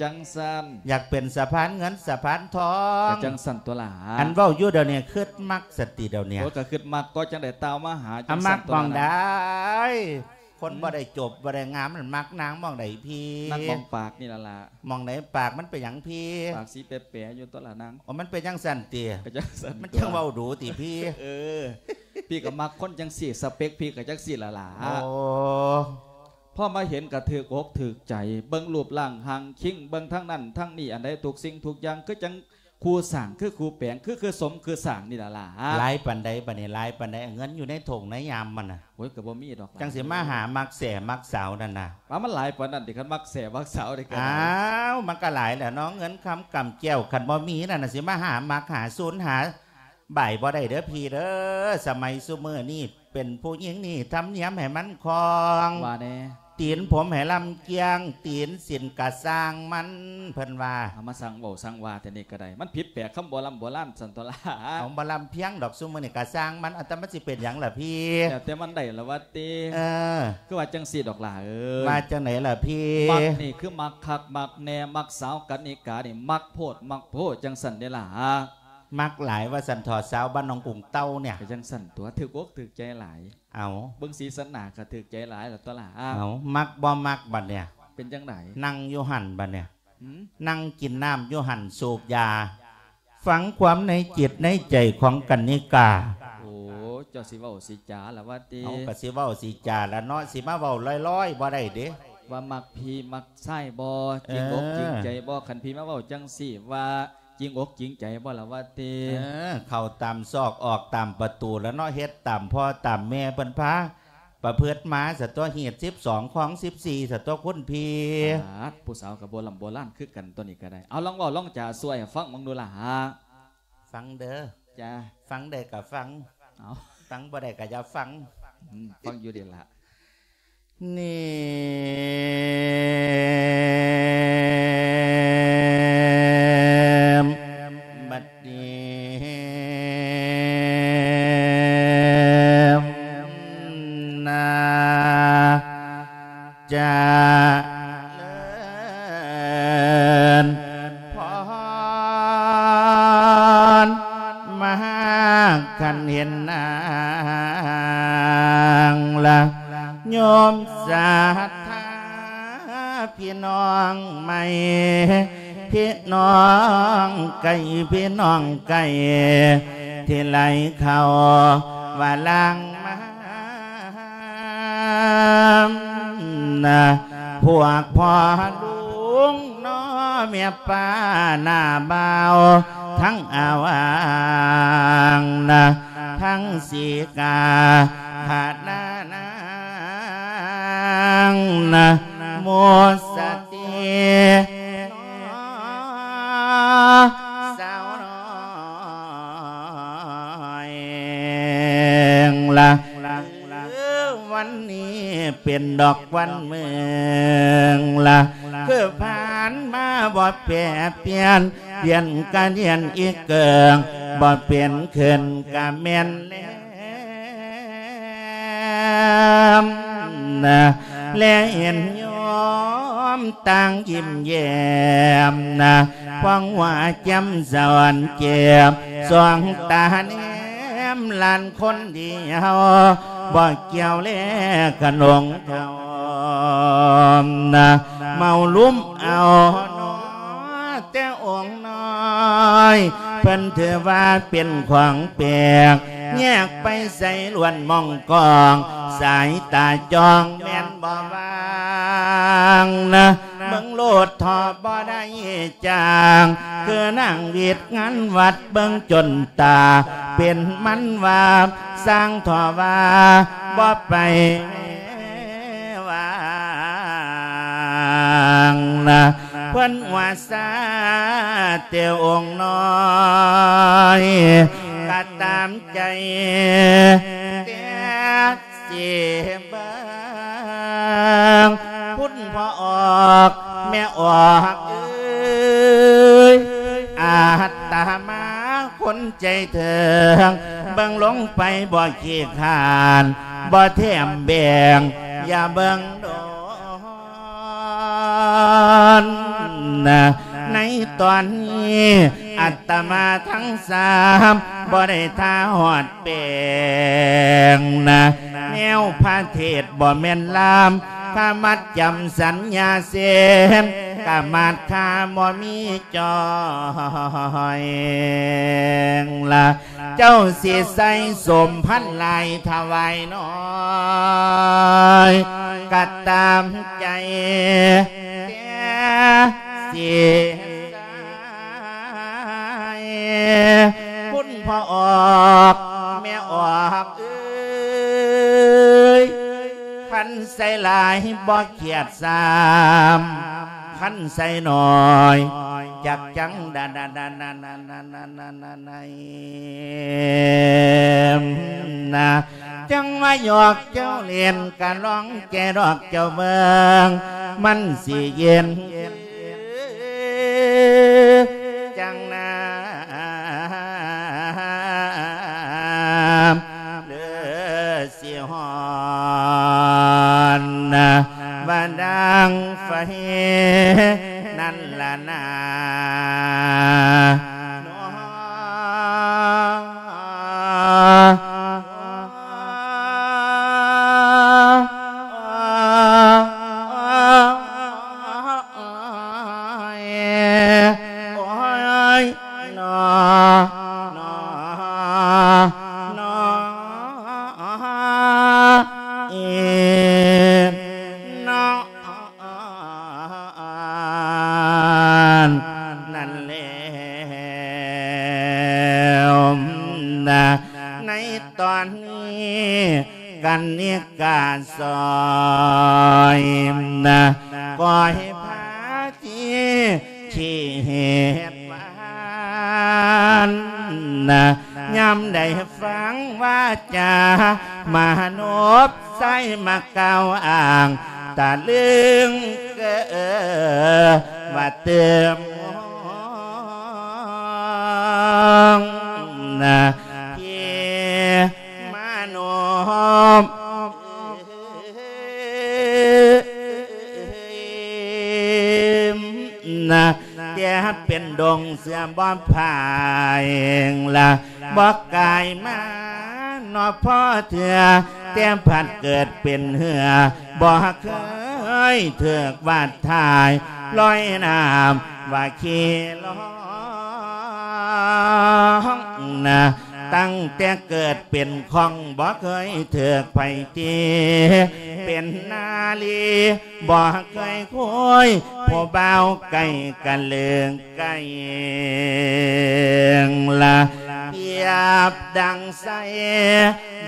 ຈັ່ງຊັ້ນ ຢາກເປັນສະພານເງິນສະພານທອງ ກໍຈັ່ງຊັ້ນຕົວະຫຼາ. ອັນເວົ້າຢູ່ດຽວນີ້ຄຶດມັກສະຕິດຽວນີ້. ໂອ້ ກໍຄຶດມັກກໍຈັ່ງໃດຕ່າວມາຫາ ອັນມັກໝ່ອງໃດ? ຄົນ ອືມ ບໍ່ໄດ້ຈົບບໍ່ໄດ້ງາມ ມັນມັກນາງໝ່ອງໃດພີ່? ມັກໝ່ອງປາກນີ້ລະລະ. ໝ່ອງໃດປາກ? ມັນເປັນຫຍັງພີ່? ປາກສີແປໆຢູ່ຕົວະລະນາງ. ອໍ ມັນເປັນຈັ່ງຊັ້ນຕິ? ກໍຈັ່ງຊັ້ນ ມັນຈັ່ງເວົ້າດູຕິພີ່? ເອີ ພີ່ກໍມັກຄົນຈັ່ງຊີ້ ສະເປັກພີ່ກໍຈັ່ງຊີ້ລະລະ. ໂອ້ ພໍມາເຫັນກໍຖືກອົກຖືກໃຈ ເບິ່ງຮູບຮ່າງຮ່າງຄິງ ເບິ່ງທາງນັ້ນທາງນີ້ ອັນໃດທຸກສິ່ງທຸກຢ່າງ ຄືຈັ່ງ ຄູ່ສ້າງຄືຄູ່ແປງ ຄື ຄືສົມຄືສ້າງນີ້ລະຫຼາ. ຫຼາຍປານໃດບາດນີ້? ຫຼາຍປານໃດ? ເງິນຢູ່ໃນຖົງໃນຍາມມັນນະ. ໂອ້ຍ ກໍບໍ່ມີດອກ. ຈັ່ງຊິມາຫາມັກແສ້ມັກສາວນັ້ນນະ. ວ່າມັນຫຼາຍປານນັ້ນຕິ? ຄັນມັກແສ້ມັກສາວນີ້ກໍ ອ້າວ ມັນກໍຫຼາຍແຫຼະເນາະ ເງິນຄຳກຳແກ້ວ ຄັນບໍ່ມີນັ້ນນະ ຊິມາຫາມັກຫາສູນຫາ ບາຍບໍ່ໄດ້ເດີພີ່ເດີ. ສະໄໝຊຸມື້ນີ້ເປັນຜູ້ຍິງນີ້ທຳນຽມໃຫ້ມັນຄ່ອງ ວ່າແດ່ ຕີນຜົມໃຫ້ລຳກຽງ ຕີນສິ້ນກະຊ່າງມັນ ເພິ່ນວ່າ. ເອົາ ມາຊ່າງເວົ້າຊ່າງວ່າແຕ່ນີ້ກໍໄດ້ ມັນຜິດແປກຄຳໂບລຳໂບລານຊັ້ນຕົວະລະ. ເອົາ ບໍ່ລຳພຽງດອກ ຊຸມື້ນີ້ກະຊ່າງມັນ ອັນຕະມັນຊິເປັນຫຍັງລະພີ່? ແລ້ວແຕ່ມັນໄດ້ລະວ່າຕິ. ເອີ ຄືວ່າຈັ່ງຊີ້ດອກຫຼ້າເອີຍ. ວ່າຈັ່ງໃດລະພີ່? ມັກນີ້ຄືມັກຄັກມັກແນ່ ມັກສາວກັນນິການີ້ ມັກໂພດມັກໂພ ຈັ່ງຊັ້ນເດ້ລະ. ມັກຫຼາຍວ່າຊັ້ນເຖາະ ສາວບ້ານໜອງກຸງເຕົ່າເນຍ. ກໍຈັ່ງຊັ້ນຕົວະ ຖືກອົກຖືກໃຈຫຼາຍ. ເອົາ ເບິ່ງສີສັນໜ້າກໍຖືກໃຈຫຼາຍລະຕົວະລະ. ເອົາ ມັກບໍ່ມັກບັດເນຍ? ເປັນຈັ່ງໃດ? ນັ່ງຢູ່ຫັ້ນບັດເນຍ. ຫືມ? ນັ່ງກິນນ້ຳຢູ່ຫັ້ນ ສູບຢາ ຟັງຄວາມໃນຈິດໃນໃຈຂອງກັນນິກາ. ໂອ້ ເຈົ້າຊິເວົ້າຊິຈາລະວ່າຕິ? ເອົາ ກໍຊິເວົ້າຊິຈາລະເນາະ ຊິມາເວົ້າລອຍໆບໍ່ໄດ້ເດ້. ວ່າມັກພີ່ມັກຊາຍບໍ່? ເອີ ຈິງອົກຈິງໃຈບໍ່? ຄັນພີ່ມາເວົ້າຈັ່ງຊີ້ ວ່າ ຈິງອົກຈິງໃຈບໍ່ລະວ່າຕິ? ເອີ ເຂົ້າຕາມຊອກອອກຕາມປະຕູລະເນາະ ເຮັດຕາມພໍ່ຕາມແມ່ເພິ່ນພາປະພຶດມາສະຕົວະ ຮີດສິບສອງຄອງສິບສີ່ສະຕົວະຄຸນພີ່. ປາດ ຜູ້ສາວກໍໂບລຳໂບລານຄືກັນຕົວະນີ້ກໍໄດ້. ເອົາ ລອງເວົ້າລອງຈາຊ່ວຍໃຫ້ຟັງເບິ່ງດູລະ. ຟັງເດີ. ຈ້າ. ຟັງໄດ້ກໍຟັງ. ເອົາ ຟັງບໍ່ໄດ້ກໍຢ່າຟັງ. ອືມ ຟັງຢູ່ເດລະ. ນີ້ ບັດນີ້ ນາ ຈະເລີນພອນ ມາຄັນເຫັນນາງລະ ໂຍມສັດທາ ພີ່ນ້ອງໃໝ່ ພີ່ນ້ອງໄກ ພີ່ນ້ອງໄກ ທີ່ໄຫຼເຂົ້າວ່າລ່າງມານະ ພວກພໍ່ລຸງ ນ້ອແມ່ປ້ານ້າບ່າວ ທັງອາວາງນະ ທັງສີກາພະນານາງນະ ໝູສະຕີ ສາວນ້ອຍລະ ເອີ ວັນນີ້ເປັນດອກວັນເມືອງລະ ຄືຜ່ານມາບໍ່ແປປ່ຽນ ປ່ຽນກະປ່ຽນອີກເກີງ ບໍ່ເປັນຂຶ້ນກະແມ່ນແລ້ ມນະ ແລເຫັນໂຍມຕ່າງຍິ້ມແຍ້ມນະ ພອງຫົວແຈ່ມສະຫວັນແຈ່ມ ສອງຕາແນມຫຼານຄົນດີເຮົາ ບໍ່ກ່ຽວແລຂະໜົງທອມນະ ເມົາລຸມເອົາເນາະ ແຕ່ອົງນ້ອຍ ເພິ່ນຖືວ່າເປັນຂອງແປກ ແຍກໄປໃສລ້ວນມອງກອງ ສາຍຕາຈ້ອງແມ່ນບໍ່ຫວ່າງນະ ເບິ່ງໂລດເຖາະບໍ່ໄດ້ຈ້າງ ຄືນາງວິດງານວັດເບິ່ງຈົນຕາ ເປັນມັນວ່າຊ່າງເຖາະວ່າບໍ່ໄປ ວາງນະ ເພິ່ນວ່າຊາແຕ່ອົງນ້ອຍ ກະຕາມໃຈແຕ່ຊິເບິ່ງ ຄຸນພໍ່ອອກແມ່ອອກເອີຍ ອາດຕະມາຄົນໃຈເຖິງ ເບິ່ງລົງໄປບໍ່ຂີ້ຄ້ານ ບໍ່ແຖມແບ່ງ ຢ່າເບິ່ງໂດນນະ ໃນຕອນນີ້ ອາດຕະມາທັງສາມ ບໍ່ໄດ້ທ່າຮອດແປງນະ ແນວພະເທດບໍ່ແມ່ນລາມ ຄາມັດຈຳສັນຍາເຊນ ກະມາດຄາບໍ່ມີຈ່ອຍ ລະ ເຈົ້າຊິໃສ່ສົມພັນຫຼາຍຖວາຍນ້ອຍ ກະຕາມໃຈແຕ່ຊິໃສ່ ຄຸນພໍ່ອອກແມ່ອອກເອີຍ ຄັນໃສ່ຫຼາຍບໍ່ຂຽດຊ້ຳ ຄັນໃສ່ໜ້ອຍຈັກຈັງດານານ ນະ ຈັ່ງວ່າຫຍອກເຈົ້າຫຼິ້ນ ກະລອງແຈດອກເຈົ້າເບິ່ງ ມັນຊິເຢັນຈັ່ງນ້ຳເຫຼືອຊິຮ້ອນນະ ວ່າດັ່ງໄຟນັ້ນລະນາ. ນັ້ນແລ້ວນະ ໃນຕອນນີ້ກັນນິກາຊ່ອຍນະ ກໍໃຫ້ພາທີ່ຂີ້ເຫດຫວານນະ ຍາມໃດຟັງວາຈາມະໂນບ ໃສ່ມາກ່າວອ້າງ ຕະລຶງເກີດວ່າຕື່ມນະ ທີ່ມະໂນບ ນະ ແຕ່ເປັນດົງເສືອບໍ່ພາຍລະ ບໍ່ກາຍມາເນາະພໍເທື່ອ ແຕ່ພັດເກີດເປັນເຮືອ ບໍ່ເຄີຍຖືກວາດຖ່າຍ ລອຍນ້ຳວ່າຂີ່ລ່ອງນະ ຕັ້ງແຕ່ເກີດເປັນຂ້ອງ ບໍ່ເຄີຍຖືກໃຜຕີ ເປັນນາລີ ບໍ່ເຄີຍຄຸຍ ຜູ້ບ່າວໄກ່ກະເລີງໄກ່ລະ ປຽບດັ່ງໃສ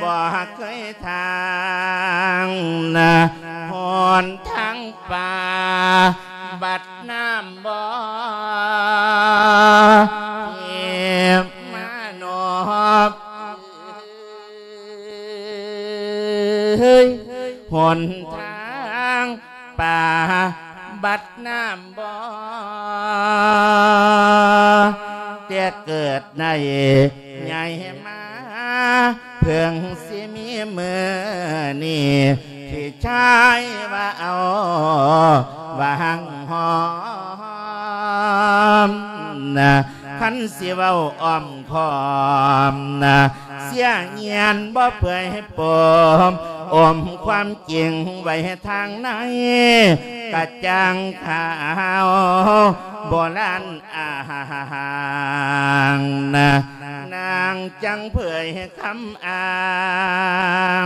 ບໍ່ເຄີຍທາງນະ ຫົນທາງປ່າ ບັດນ້ຳບໍ່ ທີ່ມະໂນບ ເຮີຍ ຫົນທາງປ່າ ບັດນ້ຳບໍ່ ແຕ່ເກີດໃນໃຫຍ່ມາ ເພິ່ງຊິມີມື້ນີ້ ພີ່ຊາຍວ່າເອົາຫວ່າງຫອມນະ ຄັນຊິເວົ້າອ້ອມຄ້ອມນະ ເສຍຍຽນບໍ່ເປື່ອຍປົມ ອົມຄວາມຈິງໄວ້ທາງໃນ ກະຈ່າງຂາວໂບລານ ອ້າງນະ ນາງຈັ່ງເຜີຍຄຳອ້າ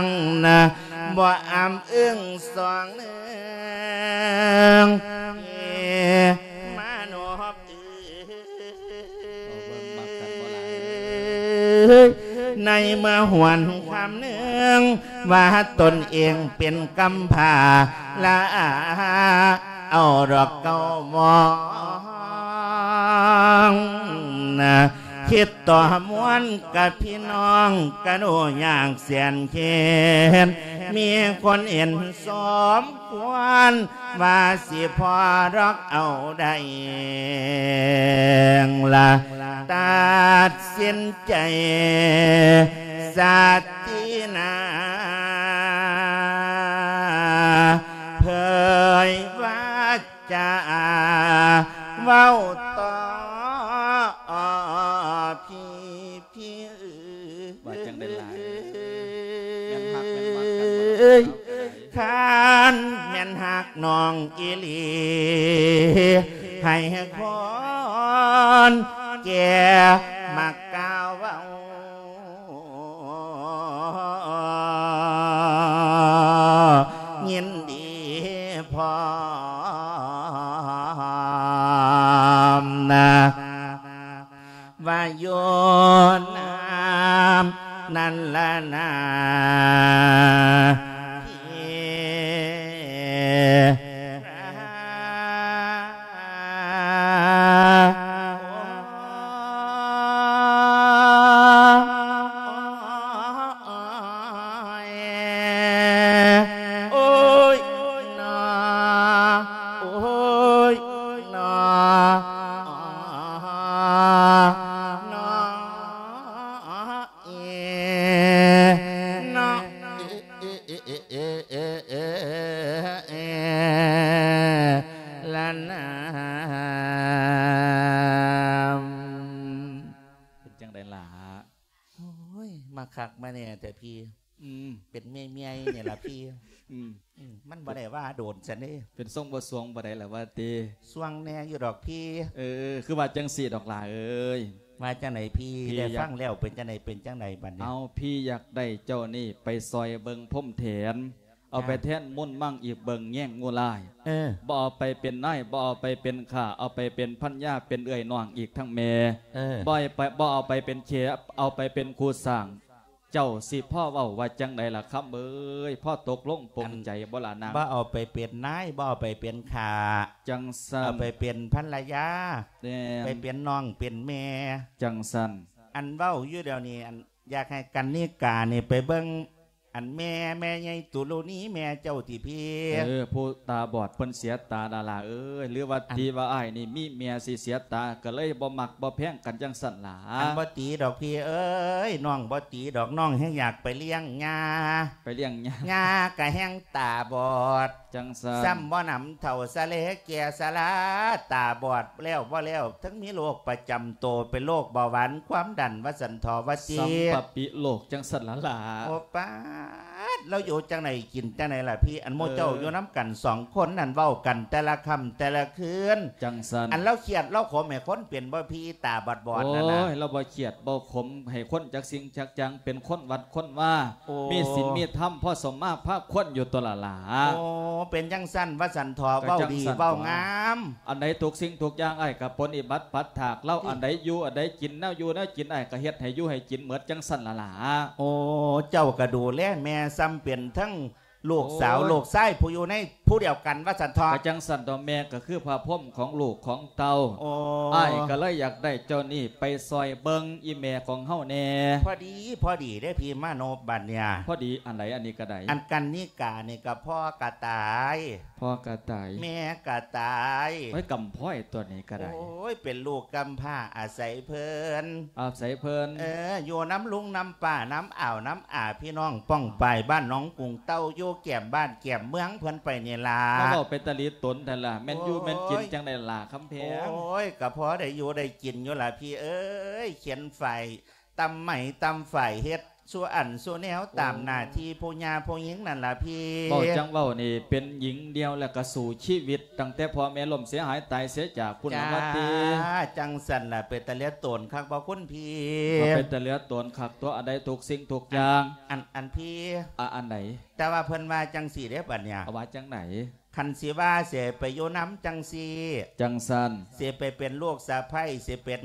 ງນະ ບໍ່ອຳອຶ້ງສອງເໜືອງ ມານອບເອີ ເວົ້າເບິ່ງມັກກັນບໍ່ຫຼາຍເອີຍ ໃນເມື່ອຫວນຄຳເໜຶ່ງ ວ່າຕົນເອງເປັນກຳພ້າ ລະອາເອົາດອກເກົ້າມອງນະ ຄິດຕໍ່ມວນກັບພີ່ນ້ອງ ກະໜູຍາກແສນເຂັນ ມີຄົນເຫັນສົມຄວນ ວ່າຊິພໍດອກເອົາໄດ້ລະ ຕັດສິນໃຈສັດຕິນາ ເຜີຍວາຈາເວົ້າຕໍ່ ພີ່ ພີ່ເອີຍ ວ່າຈັ່ງໃດລະ ແມ່ນຮັກແມ່ນມັກກັນບໍ່ລະ ຄັນແມ່ນຮັກນ້ອງອີ່ຫຼີ ໃຫ້ຄົນແກ່ມາກ່າວເວົ້າ ຍິນດີພ້ອມນະ ວ່າຢູ່ນຳນັ້ນລະນາ ພີ່ລາ ໂອ້ຍ ໂອ້ຍນາ ໂອ້ຍນາ ນາ ເອ ນາ ເອ ເອ ເອ ເອ ເອ ເອ ລະນາ ເປັນຈັ່ງໃດລະ? ໂອ້ຍ ມາຄັກມາແນ່ແທ້ພີ່. ອືມ ເປັນເມຍໆ ນີ້ລະພີ່. ອືມ ອືມ ມັນບໍ່ໄດ້ວ່າໂດນຊັ້ນເດ້. ເປັນຊົງບໍ່ສວງບໍ່ໄດ້ລະວ່າຕິ. ສວງແນ່ຢູ່ດອກພີ່. ເອີ ຄືວ່າຈັ່ງຊີ້ດອກຫຼ້າເອີຍ. ວ່າຈັ່ງໃດພີ່? ພີ່ ໄດ້ຟັງແລ້ວເປັນຈັ່ງໃດ ເປັນຈັ່ງໃດບັດນີ້? ເອົາ ພີ່ຢາກໄດ້ເຈົ້ານີ້ໄປຊ່ອຍເບິ່ງພົມແຖນ. ເອົາໄປແທນມົນມັງອີກເບິ່ງແຍງງູລາຍ. ເອີ ບໍ່ເອົາໄປເປັນນາຍ ບໍ່ເອົາໄປເປັນຂ້າ ເອົາໄປເປັນພັນຍາ ເປັນເອື້ອຍນ້ອງອີກທັງແມ່. ເອີ ບໍ່ໃຫ້ໄປ ບໍ່ເອົາໄປເປັນເຂຍ ເອົາໄປເປັນຄູ່ສ້າງ. ເຈົ້າຊິພໍເວົ້າວ່າຈັ່ງໃດລະຄຳເອີຍ? ພໍຕົກລົງປົງໃຈບໍ່ລະນາງ? ບໍ່ເອົາໄປເປັນນາຍ ບໍ່ເອົາໄປເປັນຂ້າ ຈັ່ງຊັ້ນ ເອົາໄປເປັນພັນລະຍາ. ແມ່ນ ໄປເປັນນ້ອງເປັນແມ່ ຈັ່ງຊັ້ນ. ອັນເວົ້າຢູ່ດຽວນີ້ ອັນ ຢາກໃຫ້ກັນນິການີ້ໄປເບິ່ງ ອັນແມ່ ແມ່ໃຫຍ່ຕຸລຸນີ ແມ່ເຈົ້າຕິພີ່? ເອີ ຜູ້ຕາບອດເພິ່ນເສຍຕາລະຫຼ້າເອີຍ. ຫຼືວ່າ ອັນ ຕີວ່າອ້າຍນີ້ມີແມ່ຊິເສຍຕາ ກະເລີຍບໍ່ມັກບໍ່ແພງກັນຈັ່ງຊັ້ນລະ? ອັນບໍ່ຕີດອກພີ່ເອີຍ ນ້ອງບໍ່ຕີດອກ ນ້ອງແຮ່ງຢາກໄປລ້ຽງຍ່າ. ໄປລ້ຽງຍ່າ ຍ່າກະແຮ່ງຕາບອດ. ຈັ່ງຊັ້ນ ຊ້ຳບໍ່ໜຳເຖົ້າຊະເລແກ່ຊະລາ ຕາບອດແລ້ວບໍ່ແລ້ວ ທັງມີໂລກປະຈຳໂຕ ເປັນໂລກເບົາຫວານຄວາມດັນວ່າຊັ້ນເຖາະວ່າຕິ. ສຳປະປິໂລກຈັ່ງຊັ້ນລະຫຼ້າ. ໂອປາດ ລາວຢູ່ຈັ່ງໃດກິນຈັ່ງໃດລະພີ່? ອັນໝູ່ເຈົ້າ ເອີ ຢູ່ນຳກັນສອງຄົນນັ້ນ ເວົ້າກັນແຕ່ລະຄ່ຳແຕ່ລະຄືນ. ຈັ່ງຊັ້ນ ອັນລາວຄຽດລາວຂົມໃຫ້ຄົນເປັນບໍ່ພີ່ ຕາບອດໆ ນັ້ນນະ? ໂອ້ຍ ລາວບໍ່ຄຽດບໍ່ຂົມໃຫ້ຄົນຈັກສິ່ງຈັກຢ່າງ ເປັນຄົນວັດຄົນວາ. ໂອ້ ມີສິນມີທຳ ພໍສົມມາພາຄວນຢູ່ຕົວລະຫຼ້າ. ໂອ້ ເປັນຈັ່ງຊັ້ນວ່າຊັ້ນເຖາະ. ເວົ້າດີເວົ້າງາມ. ອັນໃດທຸກສິ່ງທຸກຢ່າງອ້າຍກະປົນນິບັດປັດຖາກລາວ. ອືມ ອັນໃດຢູ່ອັນໃດກິນ ແນວຢູ່ແນວກິນອ້າຍກະເຮັດໃຫ້ຢູ່ໃຫ້ກິນໝົດຈັ່ງຊັ້ນລະຫຼ້າ. ໂອ້ ເຈົ້າກະດູແລແມ່ ຊ້ຳເປັນທັງລູກສາວ ໂອ້ຍ ລູກຊາຍຜູ້ຢູ່ໃນ ຜູ້ດຽວກັນວ່າຊັ້ນເຖາະ ກໍຈັ່ງຊັ້ນເຖາະ ແມ່ກໍຄືພະພົມຂອງລູກຂອງເຕົ້າ. ໂອ້ ອ້າຍກໍເລີຍຢາກໄດ້ເຈົ້ານີ້ໄປຊ່ອຍເບິ່ງອີ່ແມ່ຂອງເຮົາແດ່. ພໍດີ ພໍດີເດ້ພີ່ມານົບ ບັດເນີ້ຍ. ພໍດີອັນໃດ? ອັນນີ້ກໍໄດ້ ອັນກັນນິການີ້ກໍພໍ່ກໍຕາຍ ພໍ່ກໍຕາຍ ແມ່ກໍຕາຍ. ໂອ້ຍ ກຳພ້ອຍຕົວນີ້ກໍໄດ້. ໂອ້ຍ ເປັນລູກກຳພ້າອາໄສເພິ່ນ ອາໄສເພິ່ນ. ເອີ ຢູ່ນຳລຸງນຳປ້າ ນຳອາວນຳອາ ພີ່ນ້ອງປ້ອງປາຍ ບ້ານໜອງກຸງເຕົ້າ ຢູ່ແກ້ມບ້ານແກ້ມເມືອງເພິ່ນໄປນີ້ລະ. ມາເວົ້າເປັນຕາຫຼີຕົນແທ້ລະ ແມ່ນຢູ່ ໂອ້ຍ ແມ່ນກິນຈັ່ງໃດລະຄຳແພງ? ໂອ້ຍ ກໍພໍໄດ້ຢູ່ໄດ້ກິນຢູ່ລະພີ່ເອີຍ ຂຽນຝ້າຍ ຕຳໄມ້ຕຳຝ້າຍ ເຮັດສູ່ອັນສູ່ແນວຕາມໜ້າທີ່ຜູ້ຍ່າຜູ້ຍິງນັ້ນລະພີ່. ເວົ້າຈັ່ງເວົ້ານີ້ ເປັນຍິງດຽວແລ້ວກໍສູ້ຊີວິດ ຕັ້ງແຕ່ພໍ່ແມ່ລົ້ມເສຍຫາຍຕາຍເສຍຈາກພຸ້ນລະວ່າຕິ. ຈ້າ ຈັ່ງຊັ້ນລະ ເປັນຕາເຫຼືອໂຕນຄັກບໍ່ຄຸນພີ່? ເປັນຕາເຫຼືອໂຕນຄັກຕົວະ ອັນໃດທຸກສິ່ງທຸກຢ່າງ. ອັນ ອັນ ອັນພີ່ ອາ ອັນໃດ? ແຕ່ວ່າເພິ່ນວ່າຈັ່ງຊີ້ເດ້ບັດເນີ້ຍ. ເຂົາວ່າຈັ່ງໃດ? ຄັນຊິວ່າຊິໃຫ້ໄປຢູ່ນຳຈັ່ງຊີ້ ຈັ່ງຊັ້ນ ຊິໄປເປັນລູກສະໃພ້ ຊິເປັນ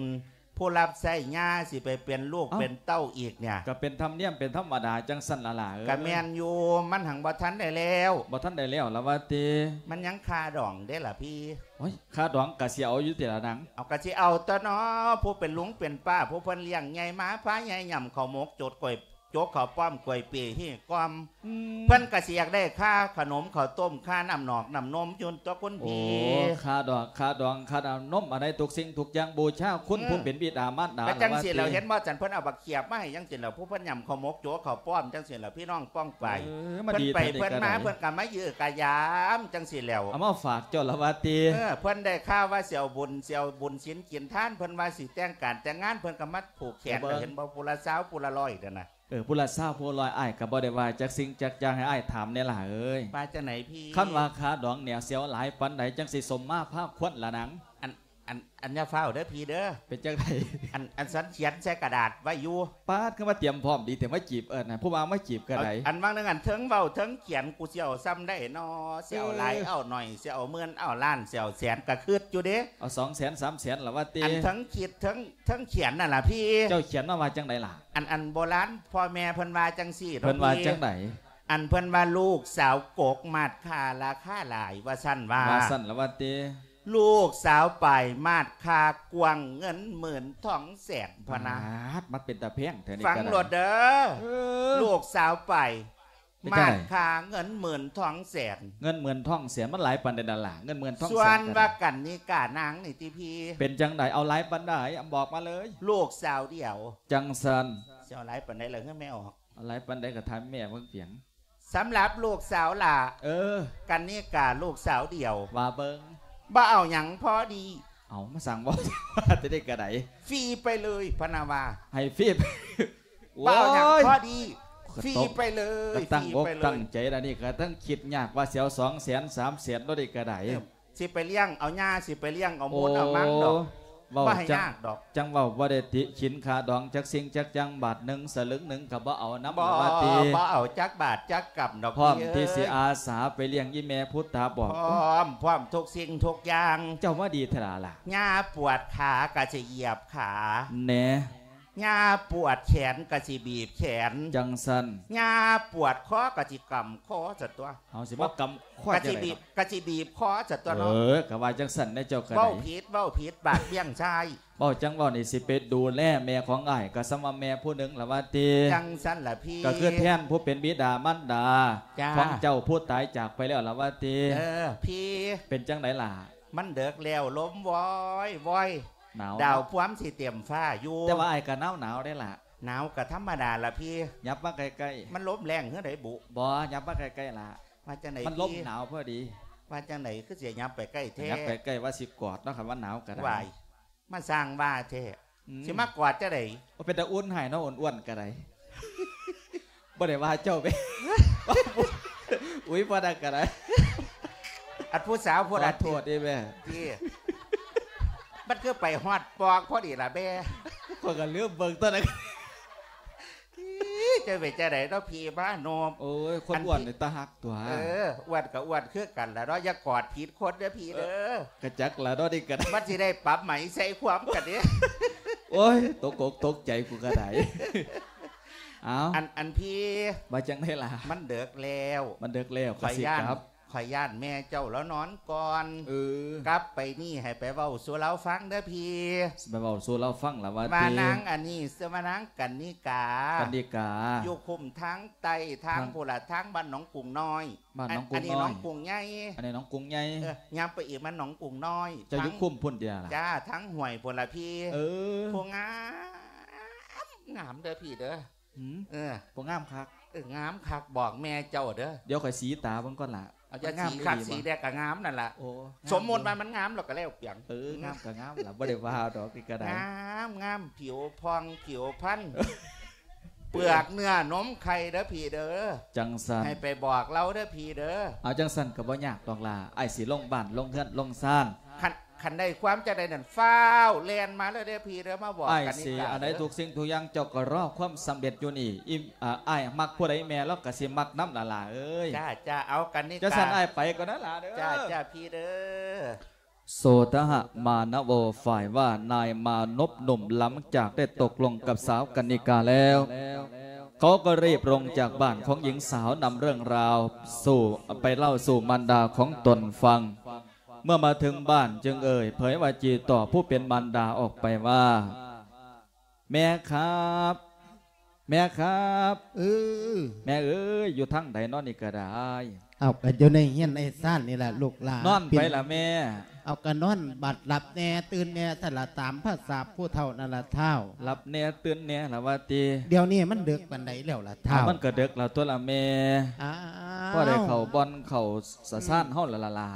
ຜູ້ຮັບໃຊ້ຍ່າ ຊິໄປເປັນລູກ ເອົ້າ ເປັນເຕົ້າອີກເນີ້ຍ ກໍເປັນທຳນຽມເປັນທຳມະດາຈັ່ງຊັ້ນລະຫຼ້າເອີຍ. ກໍແມ່ນຢູ່ ມັນຫັງບໍ່ທັນໄດ້ແລ້ວ ບໍ່ທັນໄດ້ແລ້ວລະວ່າຕິ. ມັນຍັງຄາດອງເດ້ລະພີ່. ໂອ້ຍ ຄາດອງກໍຊິເອົາຢູ່ຕິລະນາງ? ເອົາ ກໍຊິເອົາຕົວະເນາະ ຜູ້ເປັນລຸງເປັນປ້າ ຜູ້ເພິ່ນລ້ຽງໃຫຍ່ມາ ພາໃຫຍ່ຫຍ້ຳເຂົ້າໝົກ ຈົກກ້ອຍ ຈົກເຂົ້າປ້ອມ ກ້ວຍເປ ຮີ້ກ້ອມ ອືມ ເພິ່ນກໍຊິຢາກໄດ້ຄ່າຂະໜົມເຂົ້າຕົ້ມ ຄ່ານ້ຳໜອກນ້ຳນົມຢູ່ຕົວະຄຸນພີ່. ໂອ້ ຄາດອກ ຄາດອງ ຄານ້ຳນົມ ອັນໃດທຸກສິ່ງທຸກຢ່າງບູຊາຄຸນ ອືມ ຜູ້ເປັນບິດາມານດາ. ກໍຈັ່ງຊີ້ແຫຼ້ວ ລະວ່າຕິ ເຫັນບໍ່ ຈັ່ງເພິ່ນເອົາບັກຂຽບມາໃຫ້ຈັ່ງຊີ້ແຫຼ້ວ ຜູ້ເພິ່ນຫຍ້ຳເຂົ້າໝົກ ຈົກເຂົ້າປ້ອມຈັ່ງຊີ້ແຫຼ້ວ ພີ່ນ້ອງປ້ອງປາຍ. ເອີ ມາ ເພິ່ນໄປເພິ່ນມາ ເພິ່ນກໍມາເຢີກະຢາມຈັ່ງຊີ້ແຫຼ້ວ ເອົາມາຝາກເຈົ້າລະວ່າຕິ. ເອີ ເພິ່ນໄດ້ຂ່າວວ່າຊິເອົາບຸນ ຊິເອົາບຸນສິນກິນທານ ເພິ່ນວ່າຊິແຕ່ງການແຕ່ງງານ ເພິ່ນກໍມາ ຜູກແຂນ ເອີ ກໍເຫັນບໍ່ ຜູ້ລະຊາວ ຜູ້ລະຮ້ອຍນັ້ນນະ. ເອີ ຜູ້ລະຊາວຜູ້ລະຮ້ອຍ ອ້າຍກໍບໍ່ໄດ້ວ່າຈັກສິ່ງຈັກຢ່າງ ໃຫ້ອ້າຍຖາມແດ່ຫຼ້າເອີຍ. ວ່າຈັ່ງໃດພີ່? ຄັນວ່າຄາດອງແນວສຽວຫຼາຍປານໃດ ຈັ່ງຊິສົມມາພາຄວນລະນາງ? ອັນ ອັນ ອັນຢ່າຟ້າວເດີພີ່ເດີ. ເປັນຈັ່ງໃດ? ອັນ ອັນສັນຂຽນໃສ່ກະດາດໄວ້ຢູ່. ປາດ ຄືວ່າຕຽມພ້ອມດີແທ້ມາຈີບ ເອີ້ນ ຜູ້ບ່າວມາຈີບກໍໄດ້. ອັນ ອັນວ່າງໜຶ່ງ ອັນເທິງເວົ້າເທິງຂຽນ ກູຊິເອົາຊ່ຳໃດນໍ ຊິເອົາຫຼາຍ ເອີ ເອົາໜ້ອຍ ຊິເອົາໝື່ນ ເອົາລ້ານ ຊິເອົາແສນ ກໍຄຶດຢູ່ເດ. ເອົາສອງແສນ ສາມແສນລະວ່າຕິ. ອັນເທິງຄິດເທິງ ເທິງຂຽນນັ້ນລະພີ່. ເຈົ້າຂຽນມາວ່າຈັ່ງໃດລະ? ອັນ ອັນໂບລານພໍ່ແມ່ເພິ່ນວ່າຈັ່ງຊີ້ເນາະ. ເພິ່ນວ່າຈັ່ງໃດ? ອັນເພິ່ນວ່າລູກສາວກົກມາດຄາລາຄາຫຼາຍ ວ່າຊັ້ນວ່າ. ວ່າຊັ້ນລະວ່າຕິ. ລູກສາວປາຍມາດຄາກວ້າງເງິນໝື່ນທອງແສນພະນະ. ປາດ ມັນເປັນຕາແພງແທ້ນີ້. ຟັງໂລດເດີ. ເອີ ລູກສາວປາຍ ເປັນຈັ່ງໃດ? ມາດຄາເງິນໝື່ນທອງແສນ. ເງິນໝື່ນທອງແສນ ມັນຫຼາຍປານໃດນັ້ນລະ? ເງິນໝື່ນທອງແສນ. ສ່ວນວ່າກັນນິການາງນີ້ຕິພີ່. ເປັນຈັ່ງໃດ? ເອົາຫຼາຍປານໃດ? ບອກມາເລີຍ. ລູກສາວດຽວ. ຈັ່ງຊັ້ນ. ຊິເອົາຫຼາຍປານໃດລະເຮີແມ່ອອກ? ເອົາຫຼາຍປານໃດກໍຖາມແມ່ເບິ່ງເປີຍງ. ສຳລັບລູກສາວຫຼ້າ. ເອີ ກັນນິກາ ລູກສາວດຽວ. ວ່າເບິ່ງ. ບໍ່ເອົາຫຍັງ ພໍດີ. ເອົາ ມາສັ່ງເວົ້າ ຈະໄດ້ກະໄດ ຟຣີໄປເລີຍ ພະນະວ່າ. ໃຫ້ຟຣີ. ບໍ່ເອົາຫຍັງ ໂອ້ຍ ພໍດີ ຟຣີໄປເລີຍ. ກໍຕັ້ງອົກຕັ້ງໃຈລະນີ້ ກໍຕັ້ງຄິດຍາກວ່າຊິເອົາສອງແສນ ສາມແສນໂລດນີ້ກະໄດ. ເອີ ຊິໄປລ້ຽງເອົາຍ່າ ຊິໄປລ້ຽງເອົາມູນເອົາມັງດອກ. ເວົ້າ ບໍ່ໃຫ້ຍາກດອກ. ຈັ່ງເວົ້າ ບໍ່ໄດ້ຕິຂິນຄ່າດອງຈັກສິ່ງຈັກຢ່າງ ບາດໜຶ່ງສະລຶງໜຶ່ງກໍບໍ່ເອົານຳ. ບໍ່ ວ່າຕິ ບໍ່ເອົາຈັກບາດຈັກກຳດອກ. ພ້ອມທີ່ຊິອາສາໄປລ້ຽງອີ່ແມ່ພຸດຕາບອກ. ພ້ອມ ພ້ອມທຸກສິ່ງທຸກຢ່າງ. ເຈົ້າມາດີແທ້ລະ. ຍ່າປວດຂາກໍຊິຢຽບຂາແດ່. ຍ່າປວດແຂນກໍຊິບີບແຂນ. ຈັ່ງຊັ້ນ. ຍ່າປວດຄໍກໍຊິກຳຄໍຊະຕົວະ. ເຮົາຊິມາກຳຄໍ ກໍຊິບີບ ຈັ່ງໃດເນາະ? ກໍຊິບີບຄໍຊະຕົວະເນາະ. ເອີ ກໍວ່າຈັ່ງຊັ້ນແດ່ເຈົ້າກໍໄດ້. ເວົ້າຜິດ ເວົ້າຜິດ ບາດບ້ຽງຊາຍ. ເວົ້າຈັ່ງເວົ້ານີ້ ຊິໄປດູແລແມ່ຂອງອ້າຍ ກໍສ່ຳວ່າແມ່ຜູ້ໜຶ່ງລະວ່າຕິ. ຈັ່ງຊັ້ນລະພີ່. ກໍຄືແທນຜູ້ເປັນບິດາມານດາ ຈ້າ ຂອງເຈົ້າຜູ້ຕາຍຈາກໄປແລ້ວລະວ່າຕິ. ເອີ ພີ່. ເປັນຈັ່ງໃດລະ? ມັນເດິກແລ້ວ ລົມວອຍວອຍ ໜາວ ດາວພວມຊິເຕັມຟ້າຢູ່. ແຕ່ວ່າອ້າຍກໍໜາວໆເດ້ລະ. ໜາວກໍທຳມະດາລະພີ່. ຫຍັບມາໃກ້ໆ. ມັນລົມແຮງເຮືອໃດບຸ? ບໍ່ ຫຍັບມາໃກ້ໆລະ. ວ່າຈັ່ງໃດ? ມັນລົມໜາວພໍດີ. ວ່າຈັ່ງໃດ ຄືຊິຫຍັບໄປໃກ້ແທ້? ຫຍັບໄປໃກ້ວ່າຊິກອດເນາະ ຄັນວ່າໜາວກໍໄດ້. ວ້າຍ ມາສ້າງວ່າແທ້. ອືມ ຊິມາກອດຈັ່ງໃດ? ໂອ້ ເປັນຕາອຸ່ນໃຫ້ເນາະ ອ້ວນໆກໍໄດ້. ບໍ່ໄດ້ວ່າເຈົ້າເດ້. ອຸ້ຍ ບໍ່ໄດ້ກໍໄດ້. ອັນຜູ້ສາວຜູ້ນັ້ນ ຂໍໂທດເດ້ແມ່. ຕິ ມັນຄືໄປຮອດປອກພໍດີລະແມ່. ຂ້ອຍກໍລືມເບິ່ງຕົວນັ້ນ. ເຈົ້າເປັນຈັ່ງໃດເນາະພີ່ມານົບ? ໂອ້ຍ ຄົນອ້ວນນີ້ຕາຮັກຕົວະ. ເອີ ອ້ວນກໍອ້ວນຄືກັນລະເນາະ ຢ່າກອດຜິດຄົນເດີພີ່ເດີ. ກະຈັກລະເນາະ ນີ້ກໍໄດ້ ມັນຊິໄດ້ປັບໃໝໃສ່ຄວາມກັນເດ້. ໂອ້ຍ ຕົກອົກຕົກໃຈ ກູກໍໄດ້. ເອົາ ອັນ ອັນພີ່ ວ່າຈັ່ງໃດລະ? ມັນເດິກແລ້ວ ມັນເດິກແລ້ວ ຂ້ອຍຢ້ານ ກໍຊິກັບ. ຂ້ອຍຢ້ານແມ່ເຈົ້າລາວນອນກ່ອນ. ເອີ ກັບໄປນີ້ໃຫ້ໄປເວົ້າສູ່ລາວຟັງເດີພີ່. ຊິໄປເວົ້າສູ່ລາວຟັງລະວ່າຕິ ວ່ານາງອັນນີ້ຊື່ວ່ານາງກັນນິກາ ກັນນິກາ ຢູ່ຄຸ້ມທາງໃຕ້ທາງພຸ້ນລະ ທາງບ້ານໜອງກຸງນ້ອຍ. ບ້ານໜອງກຸງນ້ອຍ ອັນນີ້ໜອງກຸງໃຫຍ່ ອັນນີ້ໜອງກຸງໃຫຍ່. ເອີ ຍ່າງໄປອີກມັນໜອງກຸງນ້ອຍ. ເຈົ້າຢູ່ຄຸ້ມພຸ້ນຕິລະ? ຈ້າ ທາງຫ້ວຍພຸ້ນລະພີ່. ເອີ ຜູ້ງາມ ງາມເດີພີ່ເດີ. ຫືມ ເອີ ຜູ້ງາມຄັກ. ເອີ ງາມຄັກ ບອກແມ່ເຈົ້າເດີ. ດຽວຂ້ອຍສີຕາເບິ່ງກ່ອນລະ. ເອົາ ມັນງາມອີ່ຫຼີບໍ່? ສີຄັກສີແດ່ກໍງາມນັ້ນລະ. ໂອ້ ສົມມຸດວ່າມັນງາມແລ້ວກໍແລ້ວປຽງ. ເອີ ງາມກໍງາມລະ ບໍ່ໄດ້ວ່າດອກ ນີ້ກໍໄດ້. ງາມ ງາມ ຜິວຜ່ອງຜິວພັນ ເປືອກເນື້ອນົມໄຂ່ເດີພີ່ເດີ. ຈັ່ງຊັ້ນ ໃຫ້ໄປບອກລາວເດີພີ່ເດີ. ເອົາ ຈັ່ງຊັ້ນກໍບໍ່ຍາກດອກຫຼ້າ ອ້າຍຊິລົງບ້ານລົງເຮືອນລົງຊານ. ຄັນ ຄັນໄດ້ຄວາມຈັ່ງໃດນັ້ນ ຟ້າວແລ່ນມາເລີຍເດີພີ່ເດີ ມາບອກກັນນິກາເດີ. ອ້າຍຊິອັນໃດທຸກສິ່ງທຸກຢ່າງ ເຈົ້າກໍລໍຄວາມສຳເລັດຢູ່ນີ້. ອີ ອາ ອ້າຍມັກຜູ້ໃດແມ່ລາວກໍຊິມັກນຳລະຫຼ້າເອີຍ. ຈ້າ ຈ້າ ເອົາກັນນິກາ. ຈັ່ງຊັ້ນອ້າຍໄປກ່ອນນະຫຼ້າເດີ. ຈ້າ ຈ້າ ພີ່ເດີ. ໂສທະຫະມານະໂວ ຝ່າຍວ່ານາຍມານົບໜຸ່ມ ຫຼັງຈາກໄດ້ຕົກລົງກັບສາວກັນນິກາແລ້ວ ເຂົາກໍຣີບລົງຈາກບ້ານຂອງຍິງສາວ ນຳເລື່ອງລາວສູ່ ໄປເລົ່າສູ່ມານດາຂອງຕົນຟັງ. ເມື່ອມາເຖິງບ້ານຈຶ່ງເອີ່ຍເຜີຍວ່າຈີ່ຕໍ່ຜູ້ເປັນມານດາອອກໄປວ່າ ແມ່ຄັບ ແມ່ຄັບ. ເອີ ແມ່ເອີຍ ຢູ່ທາງໃດນໍນີ້ກໍໄດ້? ເອົາ ກໍຢູ່ໃນເຮືອນໃນຊານນີ້ລະລູກຫຼ້າ. ນອນໄປລະແມ່? ເອົາ ກໍນອນບັດຫຼັບແດ່ຕື່ນແດ່ຊັ້ນລະ ຕາມພາສາຜູ້ເຖົ້ານັ້ນລະທ້າວ. ຫຼັບແດ່ຕື່ນແດ່ລະວ່າຕິ? ດຽວນີ້ມັນເດິກປານໃດແລ້ວລະທ້າວ? ມັນກໍເດິກແລ້ວຕົວລະແມ່. ອ້າວ ພໍໄດ້ເຂົ້າບ່ອນເຂົ້າສະຊານເຮົາລະລະຫຼ້າ.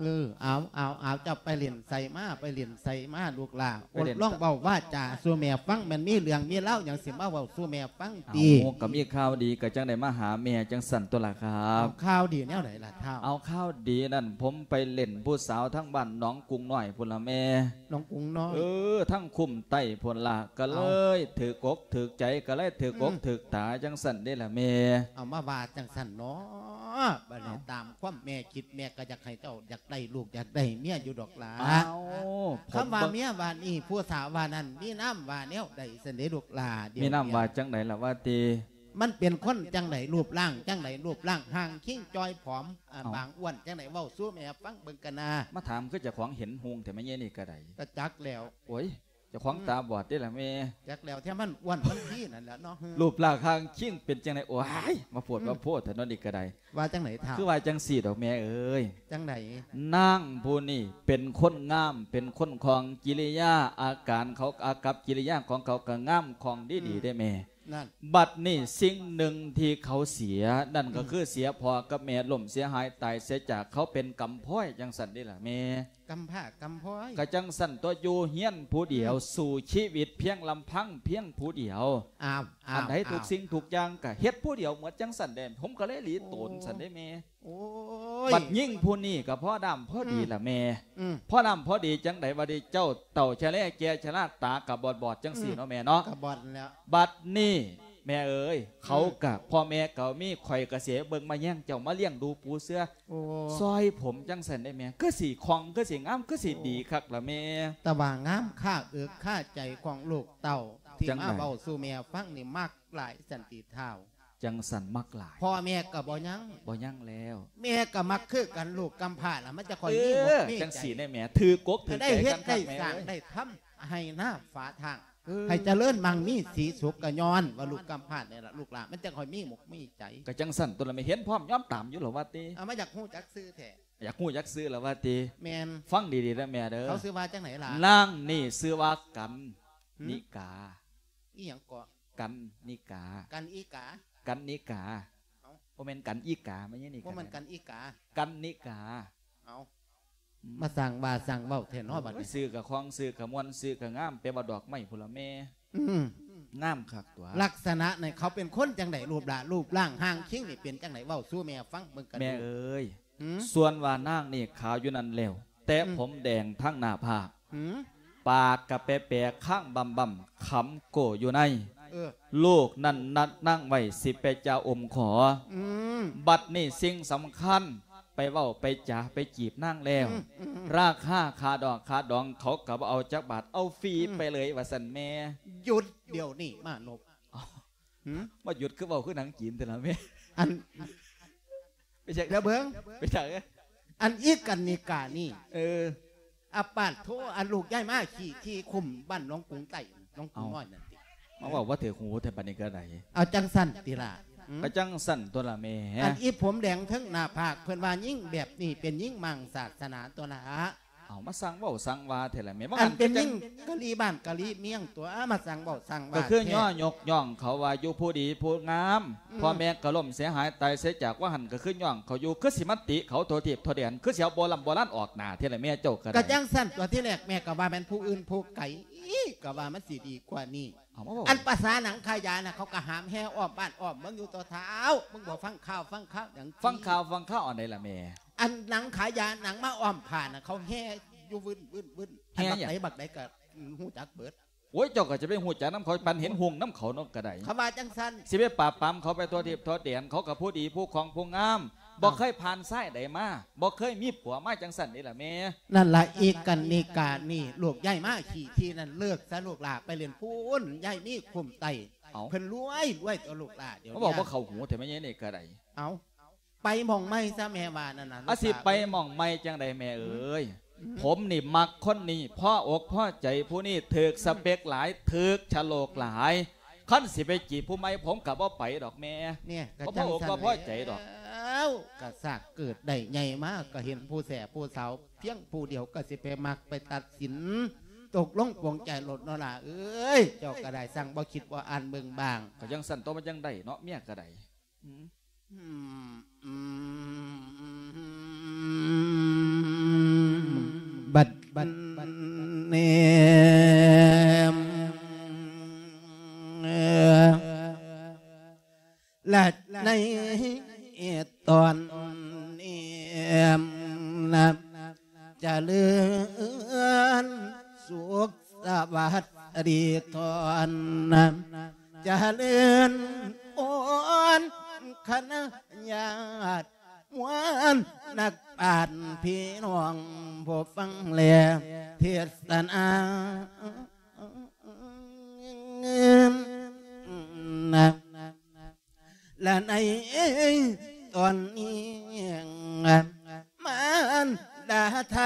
ເອີ ເອົາ ເອົາ ເອົາ ເຈົ້າໄປຫຼິ້ນໃສມາ ໄປຫຼິ້ນໃສມາລູກຫຼ້າ? ໄປຫຼິ້ນ ອົດລອງເວົ້າວາຈາສູ່ແມ່ຟັງ ແມ່ນມີເລື່ອງມີລາວຫຍັງຊິມາເວົ້າສູ່ແມ່ຟັງຕິ? ເອົາ ກໍມີຂ່າວດີ ກໍຈັ່ງໄດ້ມາຫາແມ່ຈັ່ງຊັ້ນຕົວລະຄັບ. ເອົາ ຂ່າວດີແນວໃດລະທ້າວ? ເອົາ ຂ່າວດີນັ້ນ ຜົມໄປຫຼິ້ນຜູ້ສາວທາງບ້ານໜອງກຸງນ້ອຍພຸ້ນລະແມ່. ໜອງກຸງນ້ອຍ? ເອີ ທາງຄຸ້ມໃຕ້ພຸ້ນລະ ກໍເລີຍຖືກອົກຖືກໃຈ ກໍເລີຍຖືກອົກຖືກຕາຈັ່ງຊັ້ນເດ້ລະແມ່. ເອົາ ມາວ່າຈັ່ງຊັ້ນເນາະ ບາດນີ້ ຕາມຄວາມແມ່ຄິດ ແມ່ກໍຢາກໃຫ້ເຈົ້າຢາກໄດ້ລູກຢາກໄດ້ເມຍຢູ່ດອກຫຼ້າ. ອ້າວ ຄຳວ່າເມຍວ່ານີ້ ຜູ້ສາວວ່ານັ້ນ ມີນາມວ່າແນວໃດຊັ້ນເດລູກຫຼ້າ? ມີນາມວ່າຈັ່ງໃດລະວ່າຕິ? ມັນເປັນຄົນຈັ່ງໃດ? ຮູບຮ່າງຈັ່ງໃດ? ຮູບຮ່າງຮ່າງຄີງຈ່ອຍຜອມ ບາງອ້ວນຈັ່ງໃດ? ເວົ້າສູ່ແມ່ຟັງເບິ່ງກະນາ. ມາຖາມຄືເຈົ້າຂອງເຫັນຮຸ່ງແທ້ແມ່ໃຫຍ່ນີ້ກະໄດ້. ກະຈັກແລ້ວ. ໂອ້ຍ ເຈົ້າຂອງຕາບອດເດ້ລະແມ່. ຈັກແລ້ວ ແທ້ມັນອ້ວນມັນພີນັ້ນແຫຼະເນາະ. ຮູບຮ່າງຮ່າງຄີງເປັນຈັ່ງໃດ? ໂອ້ຍ ມາໂພດມາໂພດແທ້ເນາະນີ້ກະໄດ້. ວ່າຈັ່ງໃດທ້າວ? ຄືວ່າຈັ່ງຊີ້ດອກແມ່ເອີຍ. ຈັ່ງໃດ? ນາງຜູ້ນີ້ເປັນຄົນງາມ ເປັນຄົນຄ່ອງ ກິລິຍາອາການເຂົາ ອາກັບກິລິຍາຂອງເຂົາກະງາມຄ່ອງດີໆເດ້ແມ່. ນັ້ນ ບັດນີ້ສິ່ງໜຶ່ງທີ່ເຂົາເສຍ ນັ້ນກໍຄືເສຍພໍ່ກັບແມ່ ລົ້ມເສຍຫາຍຕາຍເສຍຈາກ ເຂົາເປັນກຳພ້ອຍຈັ່ງຊັ້ນເດ້ລະແມ່. ກຳພ້າກຳພ້ອຍ? ກະຈັ່ງຊັ້ນຕົວະ ຢູ່ເຮືອນຜູ້ດຽວ ສູ້ຊີວິດພຽງລຳພັງພຽງຜູ້ດຽວ. ອ້າວ ອັນໃດທຸກສິ່ງທຸກຢ່າງກະເຮັດຜູ້ດຽວໝົດຈັ່ງຊັ້ນເດ້ ຜົມກໍເລີຍຫຼີໂຕນຊັ້ນເດ້ແມ່. ໂອ້ຍ ບັດຍິງຜູ້ນີ້ກໍພໍດຳພໍດີລະແມ່. ພໍດຳພໍດີຈັ່ງໃດວະເດ ເຈົ້າເຖົ້າຊະແລແກ່ຊະລາ ຕາກໍບອດໆຈັ່ງຊີ້ເນາະແມ່ເນາະ. ກໍບອດແລ້ວ. ບັດນີ້ແມ່ເອີຍ ເຂົາກະພໍ່ແມ່ກໍມີ ຂ້ອຍກະເສຍເບິ່ງມາແຍງເຈົ້າມາລ້ຽງດູປູເສືອ ໂອ້ ຊ່ອຍຜົມຈັ່ງຊັ້ນໄດ້ແມ່. ຄືຊິຄ່ອງ ຄືຊິງາມ ຄືຊິດີຄັກລະແມ່. ແຕ່ວ່າງາມຄາເອິກຄາໃຈຂອງລູກເຕົ້າ ທີ່ມາເວົ້າສູ່ແມ່ຟັງນີ້ ມັກຫຼາຍສັນຕິທ້າວ. ຈັ່ງຊັ້ນມັກຫຼາຍ. ພໍ່ແມ່ກໍບໍ່ຍັງ ບໍ່ຍັງແລ້ວ. ແມ່ກໍມັກຄືກັນ ລູກກຳພ້າລະ ມັນຈະຄ່ອຍມີໝົກມີໃຈ. ຈັ່ງຊີ້ແນ່ແມ່ ຖືກົກຖືກໃຈກັນຄັກແມ່ເອີຍ. ໄດ້ເຮັດໄດ້ສ້າງໄດ້ທຳ ໄຮ່ນາຝາທາງ ໃຫ້ຈະເລີນມັ່ງມີສີສຸກ ກໍຍ້ອນວ່າລູກກຳພ້ານີ້ລະ ລູກຫຼານມັນຈະຄ່ອຍມີໝົກມີໃຈ. ກໍຈັ່ງຊັ້ນຕົວະລະແມ່ ເຫັນພ້ອມຍອມຕາມຢູ່ລະວ່າຕິ. ເອົາ ມາຢາກຮູ້ຈັກຊື່ແທ້. ຢາກຮູ້ຈັກຊື່ລະວ່າຕິ. ແມ່ນ. ຟັງດີໆເດີແມ່ເດີ. ເຂົາຊື່ວ່າຈັ່ງໃດລະ? ນາງນີ້ຊື່ວ່າກັນນິກາ. ອີ່ຫຍັງເກາະ? ກັນນິກາ. ກັນອີກາ? ກັນນິກາ. ເອົ້າ ບໍ່ແມ່ນກັນອີກາ ແມ່ນຫຍັງນີ້? ບໍ່ແມ່ນກັນອີກາ ກັນນິກາ. ເອົ້າ ມາສ້າງວ່າສ້າງເວົ້າແທ້ເນາະບັດນີ້. ຊື່ກະຄ່ອງ ຊື່ກະມ່ວນ ຊື່ກະງາມ ແປວ່າດອກໄມ້ພຸ້ນລະແມ່. ອືມ ງາມຄັກຕົວະ. ລັກສະນະນີ້ເຂົາເປັນຄົນຈັ່ງໃດ? ຮູບລະ ຮູບຮ່າງຮ່າງຄີງນີ້ເປັນຈັ່ງໃດ? ເວົ້າສູ່ແມ່ຟັງເບິ່ງກະດູ. ແມ່ເອີຍ ສ່ວນວ່ານາງນີ້ຂາວຢູ່ນັ້ນແລ້ວ ແຕ່ຜົມແດງທັງໜ້າຜາກ ປາກກະແປໆ ຄາງບຳໆ ຄຳໂກ້ຢູ່ໃນ. ເອີ ລູກນັ້ນນັດນາງໄວ້ຊິໄປຈາອົມຂໍ. ບັດນີ້ສິ່ງສຳຄັນ ໄປເວົ້າໄປຈາໄປຈີບນາງແລ້ວ ລາຄາຄ່າດອກຄ່າດອງເຂົາກໍບໍ່ເອົາຈັກບາດ ເອົາຟຣີໄປເລີຍວ່າຊັ້ນແມ່. ຢຸດດຽວນີ້ມານົບ. ມາຢຸດ ຄືເວົ້າຄືໜັງຈີນແທ້ລະແມ່. ອັນ ໄປຈັກ ແລ້ວເບິ່ງ ໄປຈັກ ອັນອີກກັນນິການີ້ ເອີ ອາປາດໂທ ອັນລູກຍ້າຍມາຂີ່ທີ່ຄຸ້ມບ້ານໜອງກຸງໃຕ້ ໜອງກຸງ ເອົ້າ ນ້ອຍນັ້ນຕິ ມາເວົ້າບໍ່ຖືກຫູແທ້ ບັດນີ້ກໍໄດ້ ເອົາຈັ່ງຊັ້ນຕິລະ ຫືມ ກໍຈັ່ງຊັ້ນຕົວລະແມ່ ອັນອີຜົມແດງເທິງໜ້າຜາກ ເພິ່ນວ່າຍິງແບບນີ້ເປັນຍິງມັ່ງສາສະໜາຕົວລະ ເອົາ ມາສ້າງເວົ້າສ້າງວ່າແທ້ລະແມ່ ວ່າຫັ້ນ ອັນເປັນຍິງກະລີບ້ານກະລີເມືອງຕົວ ມາສ້າງເວົ້າສ້າງວ່າ ກໍຄື ແທ້ ຍໍຍົກຍ້ອງເຂົາວ່າຢູ່ຜູ້ດີຜູ້ງາມ ອືມ ພໍ່ແມ່ກໍລົ້ມເສຍຫາຍຕາຍເສຍຈາກ ວ່າຫັ້ນກໍຄືຍ້ອງເຂົາຢູ່ ຄືຊິມາຕິເຂົາທົ່ວທີບທົ່ວແດນ ຄືຊິເອົາໂບລຳໂບລານອອກໜ້າແທ້ລະແມ່ ເຈົ້າກໍໄດ້ ກໍຈັ່ງຊັ້ນຕົວະ ທີແລກແມ່ກໍວ່າແມ່ນຜູ້ອື່ນຜູ້ໄກ ກໍວ່າມັນຊິດີກວ່ານີ້ ເອົາມາເວົ້າ ອັນພາສາໜັງຂາຍຢານະ ເຂົາກໍຫາມແຫ່ອ້ອມບ້ານອ້ອມເມືອງຢູ່ຕົວະ ທ້າວ ມຶງບໍ່ຟັງຂ່າວ ຟັງຂ່າວຫຍັງ ຟັງຂ່າວ ຟັງຂ່າວອັນໃດລະແມ່ ອັນໜັງຂາຍຢາ ໜັງມາອ້ອມຜ້ານະ ເຂົາແຫ່ຢູ່ວື່ນໆໆ ແຫ່ຫຍັງ ອັນບັກໃດບັກໃດກໍຮູ້ຈັກເບິດ ໂອ້ຍ ເຈົ້າກໍຈະໄປຮູ້ຈັກນຳເຂົາ ປານເຫັນຮຸ່ງນຳເຂົາເນາະ ກໍໄດ້ ເຂົາວ່າຈັ່ງຊັ້ນ ຊິໄປປາບປາມເຂົາໄປທົ່ວທີບທົ່ວແດນ ເຂົາກໍຜູ້ດີຜູ້ຂອງຜູ້ງາມ ບໍ່ເຄີຍຜ່ານຊາຍໃດມາ ບໍ່ເຄີຍມີຜົວມາ ຈັ່ງຊັ້ນເດ້ລະແມ່ ນັ້ນລະ ອີກກັນນິການີ້ ລູກຍ້າຍມາຂີ່ທີ່ນັ້ນ ເລີກຊະລູກຫຼ້າ ໄປຫຼິ້ນພຸ້ນ ຍ້າຍມີຄຸ້ມໃຕ້ ເອົ້າ ເພິ່ນລວຍ ລວຍຕົວະລູກຫຼ້າ ດຽວມາເວົ້າບໍ່ເຂົ້າຫູແທ້ແມ່ໃຫຍ່ນີ້ກໍໄດ້ ເອົ້າ ໄປໝ່ອງໃໝ່ຊະແມ່ວ່ານັ້ນນະ ອາ ລູກຫຼ້າ ຊິໄປໝ່ອງໃໝ່ຈັ່ງໃດແມ່ເອີຍ ອືມ ຜົມນີ້ມັກຄົນນີ້ ພໍອົກພໍໃຈຜູ້ນີ້ ຖືກສະເປັກຫຼາຍ ອືມ ຖືກຊະໂລກຫຼາຍ ຄັນຊິໄປຈີບຜູ້ໃໝ່ ຜົມກໍບໍ່ໄປດອກແມ່ ເນຍ ກໍບໍ່ພໍອົກບໍ່ພໍໃຈດອກ ກໍສາກເກີດໄດ້ໃຫຍ່ມາ ກໍເຫັນຜູ້ແສຜູ້ສາວພຽງຜູ້ດຽວ ກໍຊິໄປມັກໄປຕັດສິນ ຕົກລົງປົງໃຈໂລດເນາະຫຼ້າເອີຍ ເຈົ້າກໍໄດ້ຊ່າງບໍ່ຄິດບໍ່ອ່ານເບິ່ງບາງ ກໍຈັ່ງຊັ້ນຕົວະ ມັນຈັ່ງໄດ້ເນາະ ເມຍກໍໄດ້ ອືມ ອືມ ບັດ ບັດ ບັດນີ້ ແລະໃນຕອນນີ້ນະ ຈະເລີນສຸກສະຫວັດດີທອນ ຈະເລີນພອນຄະນະຍາດ ມວນນັກປານພີ່ນ້ອງຜູ້ຟັງແລເທດສະນາ ນະ ລະໃນຕອນນີ້ ມານດາໄທ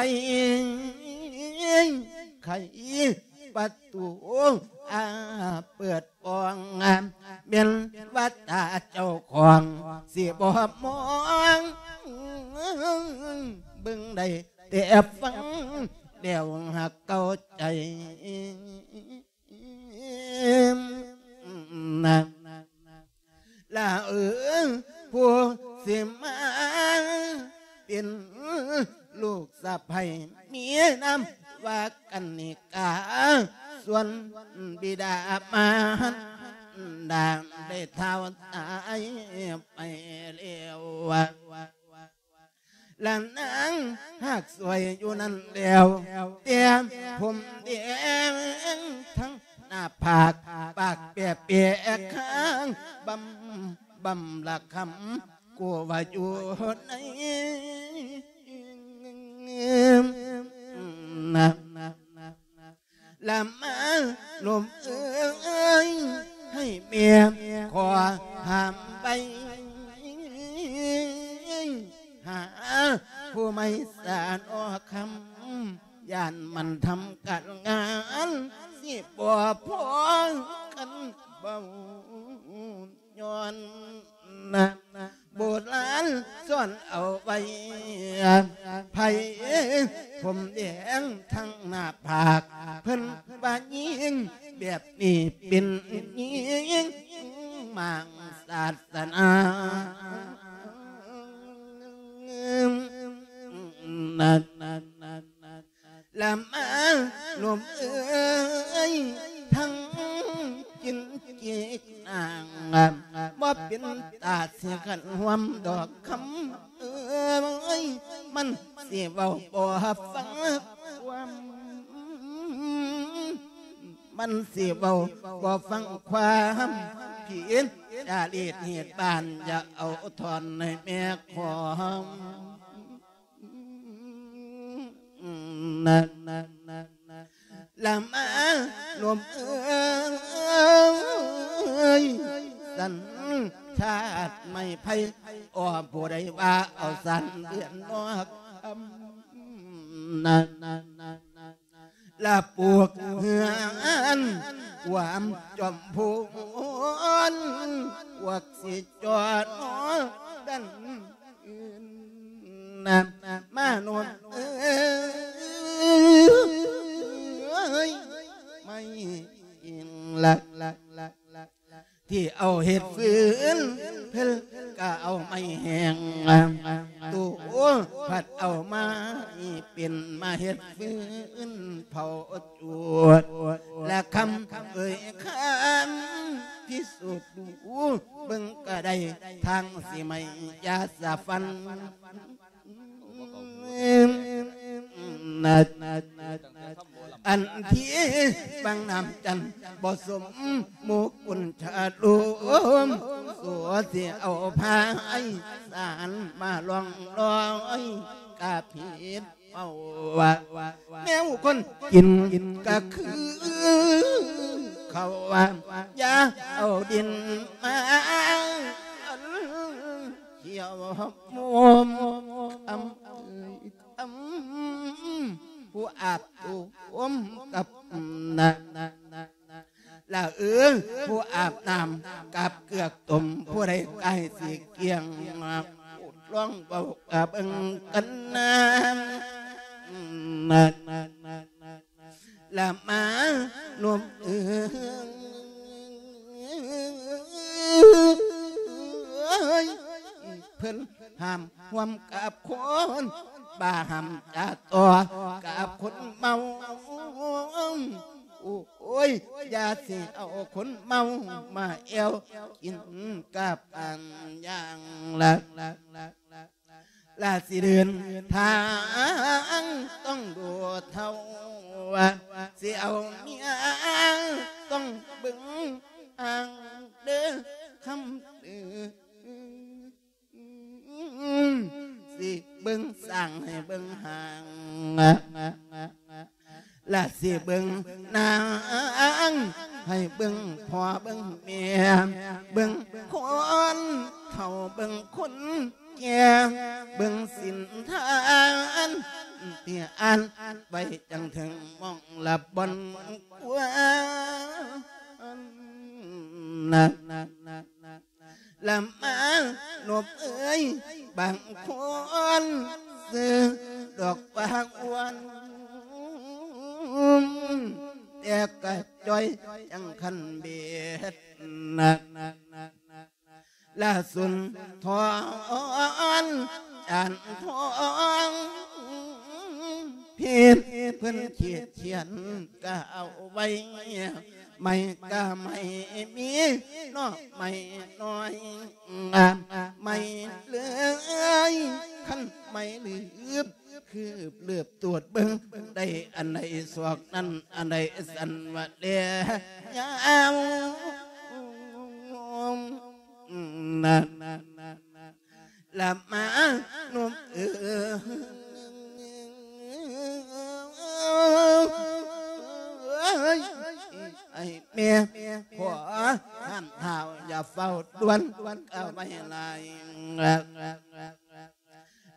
ໄຂປະຕູ ອາ ເປີດປ່ອງ ແມ່ນວ່າຕາເຈົ້າຂອງຊິບໍ່ມອງ ເບິ່ງໄດ້ແຕ່ຟັງແລ້ວຫາກເຂົ້າໃຈ ລະເອີຍ ຜູ້ຊິມາເປັນລູກສະໃພ້ ມີນາມວ່າກັນນິກາ ສ່ວນບິດາມານດາໄດ້ທ້າວຕາຍໄປແລ້ວ ລະນາງຫາກສວຍຢູ່ນັ້ນແລ້ວ ແຕ່ຜົມແດງທັງໜ້າຜາກ ປາກແປະແປະຄາງບຳ ບຳລະຄຳ ກູວ່າຢູ່ໃນ ນະ ລະມາລົມເອີຍ ໃຫ້ແມ່ຂໍຫ້າມໄວ້ ຫາຜູ້ໃໝ່ສານອຄຳ ຢ້ານມັນທຳການງານ ຊິບໍ່ພໍກັນເວົ້າ ຍ້ອນ ໂບລານສອນເອົາໄວ້ ໃຜຜົມແດງທັງໜ້າຜາກ ເພິ່ນວ່າຍິງແບບນີ້ເປັນຍິງມັ່ງສາສະໜາ ນະ ລະມາລົມເອີຍ ທັງກິນກີກນາງ ບໍ່ເປັນຕາຊິຂັນຮ່ວມດອກຄຳເອີຍ ມັນຊິເວົ້າບໍ່ຟັງຄວາມ ມັນຊິເວົ້າບໍ່ຟັງຄວາມຜິດ ຈາລີດເຫດບານ ຢ່າເອົາທ່ອນໃຫ້ແມ່ຂອງ ນະ ລະມາລົມເອີຍ ສັນ ທາດໄມ້ໄຜ່ ອອ ຜູ້ໃດວ່າເອົາສານເດືອນນອກອຳນາດ ລະປູກເຮືອນຄວາມຈອມພູນ ພວກຊິຈອດນອນດັນອື່ນນະ ມະນຸດເອີຍ ໄມ້ອີງລັກ ທີ່ເອົາເຮັດຟືນ ເພິ່ນກະເອົາໄມ້ແຫ້ງ ໂຕພັດເອົາໄມ້ເປັນມາເຮັດຟືນເຜົາຈູດ ລະຄຳເອີຍຄຳພິສູດດູ ເບິ່ງກະໄດ້ທາງຊິໄໝ້ຢາສະຟັນ ອັນທີ່ບາງນ້ຳຈັນບໍ່ສົມໝູ່ກຸນຈາລົມ ໂສຊິເອົາພາຍສານມາລ່ອງລອຍກະຜິດເປົ້າວ່າ ແມວຄົນກິນກະຄືເຂົາວ່າ ຢ່າເອົາດິນມາ ກ່ຽວໂຮມ ອຳເອີຍ ອຳ ຜູ້ອາບໂຕມກັບນະ ລະເອີ ຜູ້ອາບນ້ຳກັບເກືອກຕົ້ມ ຜູ້ໃດກາຍຊິກ້ຽງ ລອງເວົ້າກະເບິ່ງກັນນະ ລະມານົມເອີຍ ເພິ່ນຫ້າມຮ່ວມກັບຄົນ ບໍ່ຫ້າມຈະຕໍ່ກັບຄົນເມົາ ໂອ້ຍ ຢ່າຊິເອົາຄົນເມົາມາແອວກິນກັບອັນຢ່າງລະ ລະຊິເດີນທາງຕ້ອງດູເທົ່າ ຊິເອົາເມຍຕ້ອງເບິ່ງອ່າງເດີຄຳເດີ ຊິເບິ່ງສ້າງໃຫ້ເບິ່ງຫ້າງ ລະຊິເບິ່ງນາງໃຫ້ເບິ່ງພໍ່ເບິ່ງແມ່ ເບິ່ງຄົນເຖົ້າເບິ່ງຄົນ ແກ່ເບິ່ງສິນທານ ທີ່ອ່ານໄວ້ຈັ່ງເຖິງໝ່ອງລະບ່ອນຄວນ ລະມານົບເອີຍ ບາງຄົນຊື່ດອກວ່າອ້ວນ ແຕ່ກະຈ່ອຍຈັ່ງຄັນເບັດ ລະສຸນທອນ ຈານທອງ ເພັດເພິ່ນຂີດຂຽນກະເອົາໄວ້ ໄມ້ກະໄມ້ມີເນາະ ໄມ້ນ້ອຍ ໄມ້ເລີຍ ຄັນໄມ້ລືບ ຄືບເລີບຕວດເບິ່ງ ໄດ້ອັນໃດສອກນັ້ນ ອັນໃດສັນວະແລຍາວ ນັ້ນ ລະມານຸ່ມເອີຍ ໃຫ້ແມ່ຂໍຫ້າມທ້າວ ຢ່າເຝົ້າດ່ວນກະໄວ້ຫຼາຍ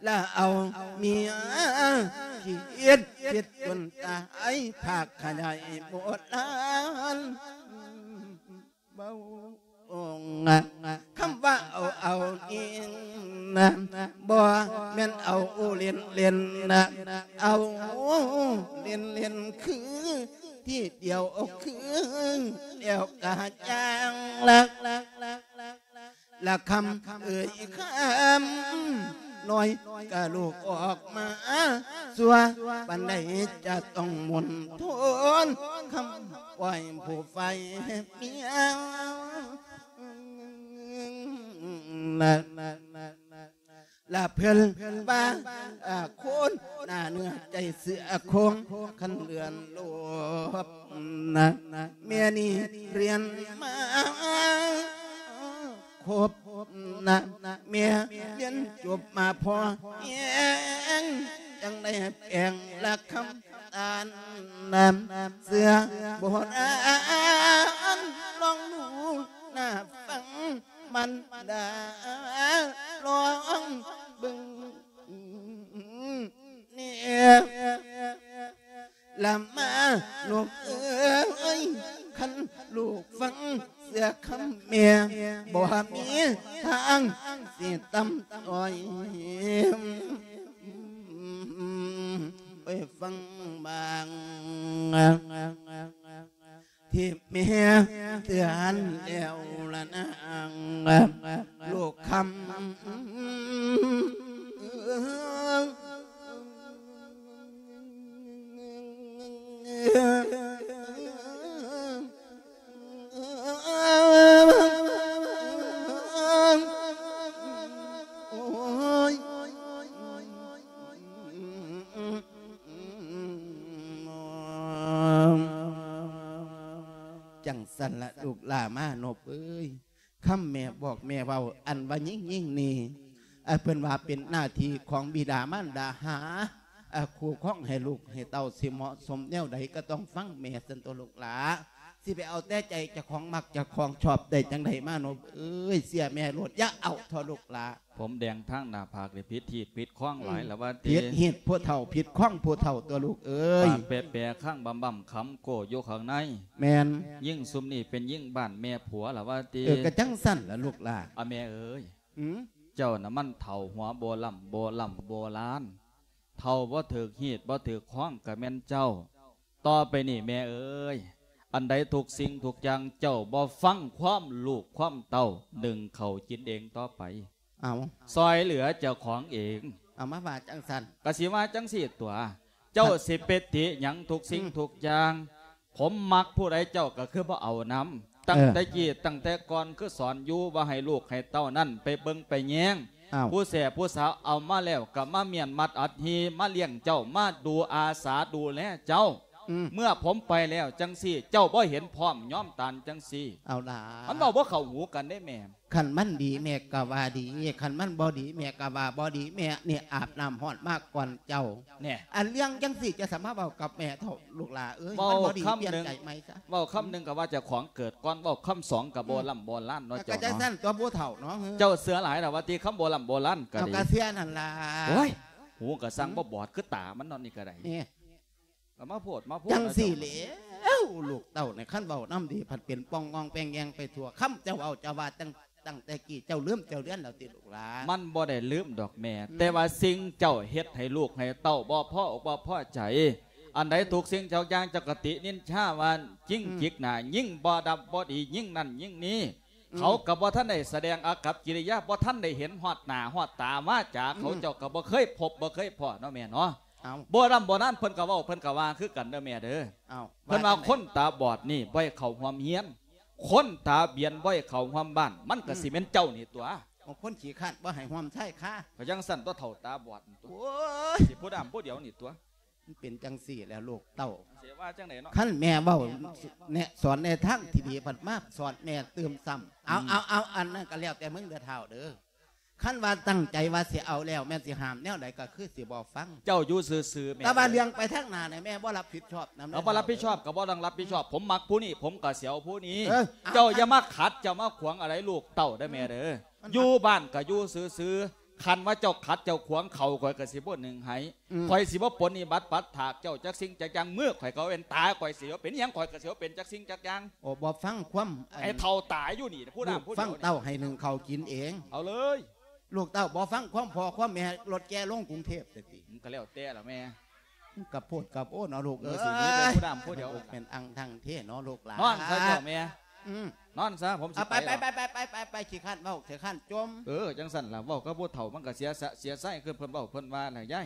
ລະເອົາເມຍຄິດຄິດຈົນຕາຍ ພາກຂະຫຍາຍໂບລານເວົ້າ ຄຳວ່າເອົາ ເອົານີ້ນະ ບໍ່ແມ່ນເອົາເຫຼັ້ນເຫຼັ້ນນະ ເອົາເຫຼັ້ນເຫຼັ້ນ ຄືທີ່ດຽວ ຄືແລ້ວກະຈາງລະ ລະຄຳເອີຍຄຳນ້ອຍກະລູກອອກມາ ຊົ່ວປານໃດຈະຕ້ອງມົນທົນ ຄຳອ້ອຍຜູ້ໄຟເມຍລະ ລະເພິ່ນວ່າ ອາ ຄົນໜ້າເນື້ອໃຈເສືອໂຄງ ຄັນເລື່ອນໂລບນະ ແມ່ນີ້ຮຽນມາຄົບນະ ແມ່ຮຽນຈົບມາພໍແຮງ ຈັ່ງໄດ້ແປງລະຄຳຕານນະ ເສືອໂບລານ ລອງດູໜ້າຟັງມັນ ລູກຟັງເຊື່ອຄຳແມ່ ບໍ່ມີທາງຊິຕ່ຳຕ້ອຍ ໄປຟັງບາງ ທີ່ແມ່ເຕືອນແລ້ວລະນາງ ລູກຄຳ. ໂອ້ຍ ຈັ່ງຊັ້ນລະລູກຫຼ້າມານົບເອີຍ. ຄຳແມ່ບອກແມ່ເວົ້າ ອັນວ່າຍິງຍິງນີ້ ເອີ ເພິ່ນວ່າເປັນໜ້າທີ່ຂອງບິດາມານດາຫາ ເອີ ຄູ່ຄອງໃຫ້ລູກໃຫ້ເຕົ້າ ຊິເໝາະສົມແນວໃດກໍຕ້ອງຟັງແມ່ຊັ້ນຕົວະລູກຫຼ້າ ຊິໄປເອົາແຕ່ໃຈເຈົ້າຂອງມັກເຈົ້າຂອງຊອບໄດ້ຈັ່ງໃດມານົບເອີຍ ເຊື່ອແມ່ໂລດ ຢ່າເອົາເຖາະລູກຫຼ້າ. ຜົມແດງທາງໜ້າຜາກນີ້ຜິດຮີດຜິດຄອງຫຼາຍ ອືມ ລະວ່າຕິ ຜິດຮີດຜູ້ເຖົ້າ ຜິດຄອງຜູ້ເຖົ້າຕົວະລູກເອີຍ ປາກແປະໆ ຄາງບຳໆ ຄຳໂກ້ຢູ່ຂ້າງໃນ ແມ່ນ ຍິງຊຸມນີ້ເປັນຍິງບ້ານແມ່ຜົວລະວ່າຕິ ເອີ ກະຈັ່ງຊັ້ນລະລູກຫຼ້າ ອາ ແມ່ເອີຍ ອືມ ເຈົ້ານະມັນເຖົ້າຫົວໂບລຳໂບລຳໂບລານ ເຖົ້າບໍ່ຖືກຮີດບໍ່ຖືກຄອງກະແມ່ນເຈົ້າ ຕໍ່ໄປນີ້ແມ່ເອີຍ ອັນໃດທຸກສິ່ງທຸກຢ່າງເຈົ້າບໍ່ຟັງຄວາມລູກຄວາມເຕົ້າ ໜຶ້ງເຂົ້າກິນເອງຕໍ່ໄປ ເອົາ ຊ່ອຍເຫຼືອເຈົ້າຂອງເອງ ເອົາ ມາວ່າຈັ່ງຊັ້ນ ກະຊິວ່າຈັ່ງຊີ້ຕົວະ ເຈົ້າ ອະ ຊິໄປຕິຫຍັງທຸກສິ່ງ ອືມ ທຸກຢ່າງ ຜົມມັກຜູ້ໃດເຈົ້າກໍຄືບໍ່ເອົານຳ ຕັ້ງ ເອີ ແຕ່ກີ້ຕັ້ງແຕ່ກ່ອນ ຄືສອນຢູ່ວ່າໃຫ້ລູກໃຫ້ເຕົ້ານັ້ນໄປເບິ່ງໄປແຍງ ອ້າວ ຜູ້ແສຜູ້ສາວເອົາມາແລ້ວກໍມາມ້ຽນມັດອັດຮີ ມາລ້ຽງເຈົ້າ ມາດູອາສາດູແລເຈົ້າ ອືມ ເມື່ອຜົມໄປແລ້ວຈັ່ງຊີ້ ເຈົ້າບໍ່ເຫັນພ້ອມຍອມຕານຈັ່ງຊີ້ ເອົາຫຼ້າ ມັນເວົ້າບໍ່ເຂົ້າຫູກັນເດ້ແມ່. ຄັນມັນດີແມ່ກໍວ່າດີ ຄັນມັນບໍ່ດີແມ່ກໍວ່າບໍ່ດີ ແມ່ນີ້ອາບນ້ຳຮ້ອນມາກ່ອນເຈົ້າ ແນ່ ອັນເລື່ອງຈັ່ງຊີ້ຈະສາມາດເວົ້າກັບແມ່ເຖົ້າລູກຫຼ້າເອີຍ ມັນບໍ່ດີ ປ່ຽນໃຈໃໝ່ຊະ ເວົ້າຄຳໜຶ່ງກໍວ່າເຈົ້າຂອງເກີດກ່ອນ ເວົ້າຄຳສອງກໍບໍ່ ອືມ ລ່ຳບໍ່ລ້ານເນາະ ເຈົ້າເນາະ ກະຈັ່ງຊັ້ນຕົວະຜູ້ເຖົ້າເນາະ ເຈົ້າເຊື່ອຫຼາຍລະວ່າຕິ ຄຳບໍ່ລ່ຳບໍ່ລ້ານກໍດີ ເອົາ ກະເຊື່ອນັ້ນລະ ໂອ້ຍ ຫູກໍຊ່າງ ອືມ ບໍ່ບອດຄືຕາມັນເນາະ ນີ້ກໍໄດ້ ນີ້ ກໍມາໂພດມາໂພດ ຈັ່ງຊີ້ແຫຼະ ເຈົ້າເນາະ ລູກເຕົ້ານີ້ ຄັນເວົ້ານຳດີພັດເປັນປ່ອງງອງແປງແຍງໄປທົ່ວ ຄຳເຈົ້າເວົ້າເຈົ້າວ່າຕັ້ງ ຕັ້ງແຕ່ກີ້ ເຈົ້າລືມເຈົ້າເລືອນແລ້ວຕິລູກຫຼ້າ? ມັນບໍ່ໄດ້ລືມດອກແມ່ ອືມ ແຕ່ວ່າສິ່ງເຈົ້າເຮັດໃຫ້ລູກໃຫ້ເຕົ້າບໍ່ພໍອົກບໍ່ພໍໃຈ ອັນໃດທຸກສິ່ງທຸກຢ່າງເຈົ້າກໍຕິນິນທາວ່າຍິງ ອືມ ຈິກໜ້າ ຍິງບໍ່ດັບບໍ່ດີ ຍິງນັ້ນຍິງນີ້ ອືມ ເຂົາກໍບໍ່ທັນໄດ້ສະແດງອາກັບກິລິຍາ ບໍ່ທັນໄດ້ເຫັນຮອດໜ້າຮອດຕາວາຈາເຂົາ ອືມ ເຈົ້າກໍບໍ່ເຄີຍພົບບໍ່ເຄີຍພໍ້ເນາະແມ່ເນາະ. ເອົ້າ ໂບລຳໂບລານເພິ່ນກໍເວົ້າ ເພິ່ນກໍວ່າຄືກັນເດີແມ່ເດີ. ເອົ້າ ເພິ່ນວ່າ ວ່າຈັ່ງໃດ? ຄົນຕາບອດນີ້ບໍ່ໃຫ້ເຂົ້າຮ່ວມເຮືອນ ຄົນຕາບຽນບໍ່ໃຫ້ເຂົ້າຮ່ວມບ້ານ ມັນກໍ ອືມ ຊິແມ່ນເຈົ້ານີ້ຕົວະ. ເອົາ ຄົນຂີ້ຄ້ານບໍ່ໃຫ້ຮ່ວມຊາຍຄາ ກໍຈັ່ງຊັ້ນຕົວະ ເຖົ້າຕາບອດນີ້ຕົວະ. ໂອ້ຍ ຊິຜູ້ດຳຜູ້ດຽວນີ້ຕົວະ. ມັນເປັນຈັ່ງຊີ້ແຫຼະລູກເຕົ້າ ຊິວ່າຈັ່ງໃດເນາະ? ຄັນແມ່ເວົ້າແນະສອນແນະທາງທີ່ດີ ພັດມາສອນແມ່ຕື່ມຊ້ຳ. ເອົາ ອືມ ເອົາ ເອົາ ອັນນັ້ນກໍແລ້ວແຕ່ມຶງເດີທ້າວເດີ. ຄັນວ່າຕັ້ງໃຈວ່າຊິເອົາແລ້ວ ແມ່ນຊິຫ້າມແນວໃດກໍຄືຊິບໍ່ຟັງ. ເຈົ້າຢູ່ຊື່ໆແມ່ ແຕ່ວ່າເລື່ອງໄປທາງໜ້ານີ້ແມ່ບໍ່ຮັບຜິດຊອບນຳ. ເອົາ ບໍ່ຮັບຜິດຊອບກໍບໍ່ຕ້ອງຮັບຜິດຊອບ. ອືມ ຜົມມັກຜູ້ນີ້ ຜົມກໍຊິເອົາຜູ້ນີ້. ເອີ ເຈົ້າຢ່າມາຂັດ ເຈົ້າມາຂວາງອະໄລລູກເຕົ້າເດີແມ່ເດີ. ອືມ ຢູ່ບ້ານກໍຢູ່ຊື່ໆ ຄັນວ່າເຈົ້າຂັດເຈົ້າຂວາງເຂົາ ຂ້ອຍກໍຊິບໍ່ໜຶ້ງໃຫ້. ອືມ ຂ້ອຍຊິບໍ່ປົນນິບັດປັດຖາກເຈົ້າຈັກສິ່ງຈັກຢ່າງ. ມືຂ້ອຍກໍເປັນ ຕາຂ້ອຍຊິເປັນຫຍັງ ຂ້ອຍກໍຊິເປັນຈັກສິ່ງຈັກຢ່າງ. ໂອ້ ບໍ່ຟັງຄວາມ ໄອ້ເຖົ້າຕາຍຢູ່ນີ້ ຜູ້ນຳຜູ້ດຽວ ເຕົ້າໃຫ້ໜຶ້ງເຂົ້າກິນເອງ. ເອົາເລີຍ ລູກເຕົ້າບໍ່ຟັງຄວາມພໍ່ຄວາມແມ່ ລົດແກ່ລົງກຸງເທບຊະຕິ. ມັນກໍແລ້ວແຕ່ລະແມ່. ມັນກະໂພດກະໂພດເນາະລູກເອີຍ. ເອີ ຊິມີແຕ່ຜູ້ດຳຜູ້ດຽວ ແມ່ນອັງທັງເທເນາະລູກຫຼານ. ນອນຊະເຈົ້າແມ່. ອືມ ນອນຊະ ຜົມຊິໄປ. ໄປ ໄປ ໄປ ຂີ້ຄ້ານເວົ້າ ຂີ້ຄ້ານຈົ່ມ. ເອີ ຈັ່ງຊັ້ນລະ ເວົ້າກັບຜູ້ເຖົ້າມັນກະເສຍສະ ເສຍໄຊ ຄືເພິ່ນເວົ້າເພິ່ນວ່ານະຍາຍ.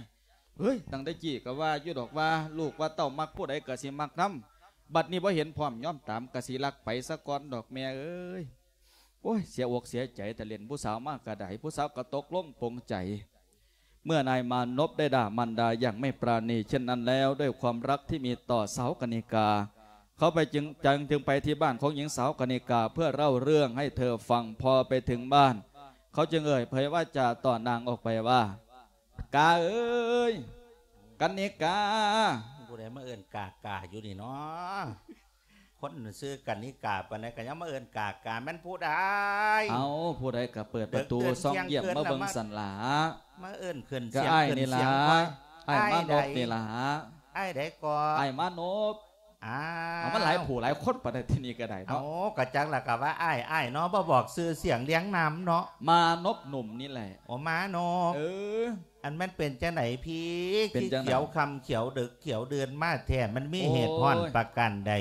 ເຮີ້ຍ ຕັ້ງແຕ່ກີ້ກະວ່າຢູ່ດອກວ່າ ລູກວ່າເຕົ້າມັກຜູ້ໃດກະຊິມັກນຳ. ບັດນີ້ບໍ່ເຫັນພ້ອມຍອມຕາມ ກະຊິລັກໄປສາກ່ອນດອກແມ່ເອີຍ. ໂອ້ຍ ເສຍອົກເສຍໃຈ ແຕ່ເຫຼັ້ນຜູ້ສາວມາກະໄດ້ ຜູ້ສາວກະຕົກລົງປົງໃຈ. ເມື່ອນາຍมานพได้ด่ามารดาอย่างไม่ปราณีเช่นนั้นแล้ว ด้วยความรักที่มีต่อสาวกนิกา เขาไปจึง จึง จึงไปที่บ้านของหญิงสาวกนิกาเพื่อเล่าเรื่องให้เธอฟัง พอไปถึงบ้าน เขาจึงเอ่ยเผยวาจาต่อนางออกไปว่า กาเอ๋ย กนิกา ผู้ใดมาเอิ้นกากาอยู่นี่เนาะ คนชื่อกนิกาปานใดก็ยังมาเอิ้นกากา แม่นผู้ใด เอ้า ผู้ใดก็เปิดประตูส่องเยี่ยมมาเบิ่งสั่นล่ะ มาเอิ้นขึ้นเสียงขึ้นเสียง ก็อ้ายนี่ล่ะ อ้ายมานพนี่ล่ะ อ้ายใดก่อ อ้ายมานพ ອ້າວ ເອົາ ມັນຫຼາຍຜູ້ຫຼາຍຄົນປານໃດ ທີ່ນີ້ກໍໄດ້ເນາະ. ເອົາ ກໍຈັກລະ ກໍວ່າອ້າຍ ອ້າຍເນາະ ບໍ່ບອກຊື່ສຽງລຽງນາມເນາະ. ມານົບໜຸ່ມນີ້ແຫຼະ. ໂອ ມານົບ. ເອີ ອັນມັນເປັນຈັ່ງໃດພີ່? ເປັນຈັ່ງໃດ? ຂຽວຄ່ຳຂຽວດຶກຂຽວເດືອນມາແທ້ ມັນມີ ໂອ້ຍ ເຫດຮ້ອນປະການໃດ?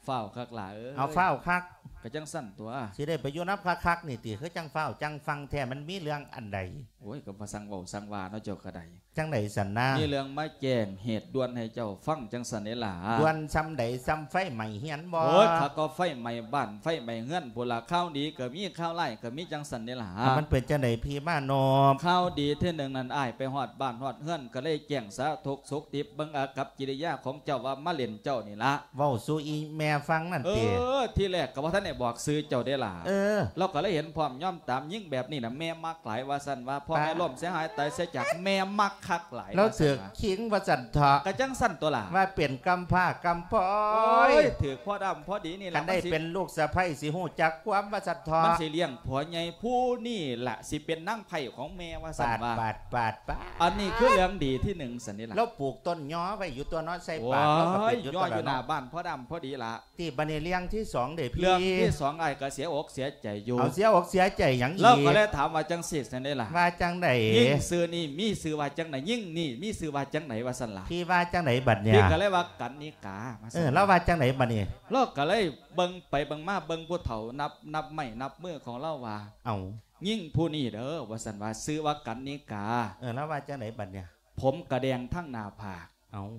ຟ້າວຄັກຫຼາຍເອີຍ. ເອົາ ຟ້າວຄັກ ກໍຈັ່ງຊັ້ນຕົວະ ຊິໄດ້ໄປຢູ່ນຳຄັກໆນີ້ຕິ ຄືຈັ່ງຟ້າວຈັ່ງຟັ່ງແທ້ ມັນມີເລື່ອງອັນໃດ? ໂອ້ຍ ກໍມາສັ່ງເວົ້າສັ່ງວ່າເນາະ ເຈົ້າກໍໄດ້. ຈັ່ງໃດຊັ້ນນາ? ມີເລື່ອງມາແຈ້ງເຫດດ່ວນໃຫ້ເຈົ້າຟັງຈັ່ງຊັ້ນເດລະ. ດ່ວນສ່ຳໃດ? ສ່ຳໄຟໄໝ້ເຮືອນບໍ? ໂອ້ຍ ຄັກກວ່າໄຟໄໝ້ບ້ານໄຟໄໝ້ເຮືອນພຸ້ນລະ. ຂ່າວດີກໍມີ ຂ່າວຮ້າຍກໍມີ ຈັ່ງຊັ້ນເດລະ. ມັນເປັນຈັ່ງໃດພີ່ມານົບ? ຂ່າວດີທີໜຶ່ງນັ້ນ ອ້າຍໄປຮອດບ້ານຮອດເຮືອນ ກໍເລີຍແຈ້ງສາທຸກສຸກດິບ ເບິ່ງອາກັບກິລິຍາຂອງເຈົ້າວ່າມາຫຼິ້ນເຈົ້ານີ້ລະ. ເວົ້າສູ່ອີ່ແມ່ຟັງນັ້ນຕິ? ເອີ ທີແລກກໍບໍ່ທັນໄດ້ບອກຊື່ເຈົ້າເດລະ. ເອີ ລາວກໍເລີຍເຫັນພ້ອມຍອມຕາມ. ຍິງແບບນີ້ນະແມ່ມັກຫຼາຍວ່າຊັ້ນວ່າ ພໍ່ແມ່ ປະ ລົ້ມເສຍຫາຍຕາຍເສຍຈາກ ແມ່ມັກຄັກຫຼາຍ ລາວຖືກ ວ່າຊັ້ນວ່າ ຄີງວ່າຊັ້ນເຖາະ. ກໍຈັ່ງຊັ້ນຕົວະລະ ວ່າເປັນກຳພ້າກຳພ້ອຍ. ໂອ້ຍ ຖືກພໍດຳພໍດີນີ້ລະ. ຄັນໄດ້ ມັນຊິ ເປັນລູກສະໃພ້ ຊິຮູ້ຈັກຄວາມວ່າຊັ້ນເຖາະ. ມັນຊິລ້ຽງຜົວໃຫຍ່ຜູ້ນີ້ລະ ຊິເປັນນາງໃພ້ຂອງແມ່ວ່າຊັ້ນວ່າ. ປາດ ປາດ ປາດ ປາດ. ອັນນີ້ຄືເລື່ອງດີທີໜຶ່ງຊັ້ນນີ້ລະ. ລາວປູກຕົ້ນຍໍໄວ້ຢູ່ຕົວະເນາະ ໃສ່ປາກ ໂອ້ຍ ລາວກໍເປັນຢູ່ ຍໍຢູ່ໜ້າບ້ານ ພໍດຳພໍດີລະ. ຕິ ບັດນີ້ເລື່ອງທີສອງເດພີ່? ເລື່ອງທີສອງ ອ້າຍກໍເສຍອົກເສຍໃຈຢູ່. ເອົາ ເສຍອົກເສຍໃຈຫຍັງອີກ? ລາວກໍເລີຍຖາມວ່າຈັ່ງຊີ້ຊັ້ນເດລະ. ວ່າຈັ່ງໃດ? ຍິງຊື່ນີ້ມີຊື່ວ່າຈັ່ງໃດ? ຍິງນີ້ມີຊື່ວ່າຈັ່ງໃດ? ວ່າຊັ້ນລະ. ພີ່ວ່າຈັ່ງໃດບັດນີ້? ພີ່ກໍເລີຍວ່າກັນນິກາ ວ່າຊັ້ນ. ເອີ ລາວວ່າຈັ່ງໃດບັດນີ້? ລາວກໍເລີຍເບິ່ງໄປເບິ່ງມາ ເບິ່ງຜູ້ເຖົ້າ ນັບ ນັບໄມ້ນັບມືຂອງລາວວ່າ ເອົາ ຍິງຜູ້ນີ້ເດີ ວ່າຊັ້ນວ່າ ຊື່ວ່າກັນນິກາ. ເອີ ລາວວ່າຈັ່ງໃດບັດນີ້? ຜົມກະແດງທັງໜ້າຜາກ ເອົາ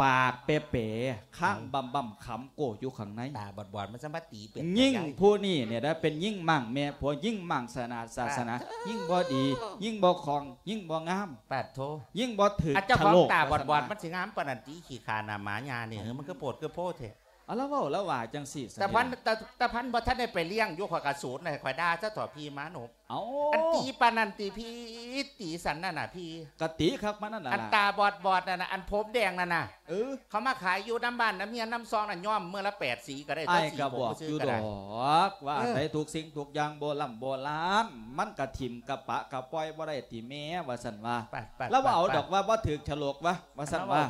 ປາກເປເປ ຄາງ ເອົ້າ ບຳໆ ຂຳໂກ້ຢູ່ຂ້າງໃນ. ຕາບອດໆ ມັນສາມາດຕີເປັນ ຍິງຜູ້ນີ້ນີ້ນະ ເປັນຍິງມ້າງແມ່ຜົວ ຍິງມ້າງສະໜາດສາສະໜາ ປາດໂທ ຍິງບໍ່ດີ ຍິງບໍ່ຄ່ອງ ຍິງບໍ່ງາມ ປາດໂທ ຍິງບໍ່ຖືກ ອາ ເຈົ້າຂອງຕາບອດໆ ສະໂລກ ວ່າຊັ້ນວ່າ ມັນຊິງາມປານນັ້ນຕິ ຂີ້ຂ້າໜ້າໝາຫຍ້ານີ້ ເອີ ມັນຄືໂພດຄືໂພແທ້. ເອົາ ລາວເວົ້າ ລາວວ່າຈັ່ງຊີ້ ຕາພັນ ຕາ ຕາພັນບໍ່ທັນໄດ້ໄປລ້ຽງຢູ່ ຂ້ອຍກະສູນໃຫ້ ຂ້ອຍດ່າຊະເຖາະ ພີ່ມານົບ. ເອົ້າ ອັນຕີປານນັ້ນຕິພີ່? ຕີສັນນັ້ນນະພີ່? ກະຕີຄັກປານນັ້ນລະ ອັນຕາບອດໆນັ້ນນະ ອັນຜົມແດງນັ້ນນະ. ເອີ ເຂົາມາຂາຍຢູ່ນຳບ້ານນຳເຮືອນນຳຊ່ອງນັ້ນ ຍ້ອມມື້ລະແປດສີກໍໄດ້ ອ້າຍກໍບອກຢູ່ດອກວ່າ ເອີ ອັນໃດທຸກສິ່ງທຸກຢ່າງໂບລຳໂບລານ ມັນກະຖິ້ມກະປະກະປ່ອຍບໍ່ໄດ້ຕິແມ່ ວ່າຊັ້ນວ່າ. ລາວວ່າເອົາດອກວ່າ ບໍ່ຖືກສະໂລກວ່າ ວ່າຊັ້ນວ່າ.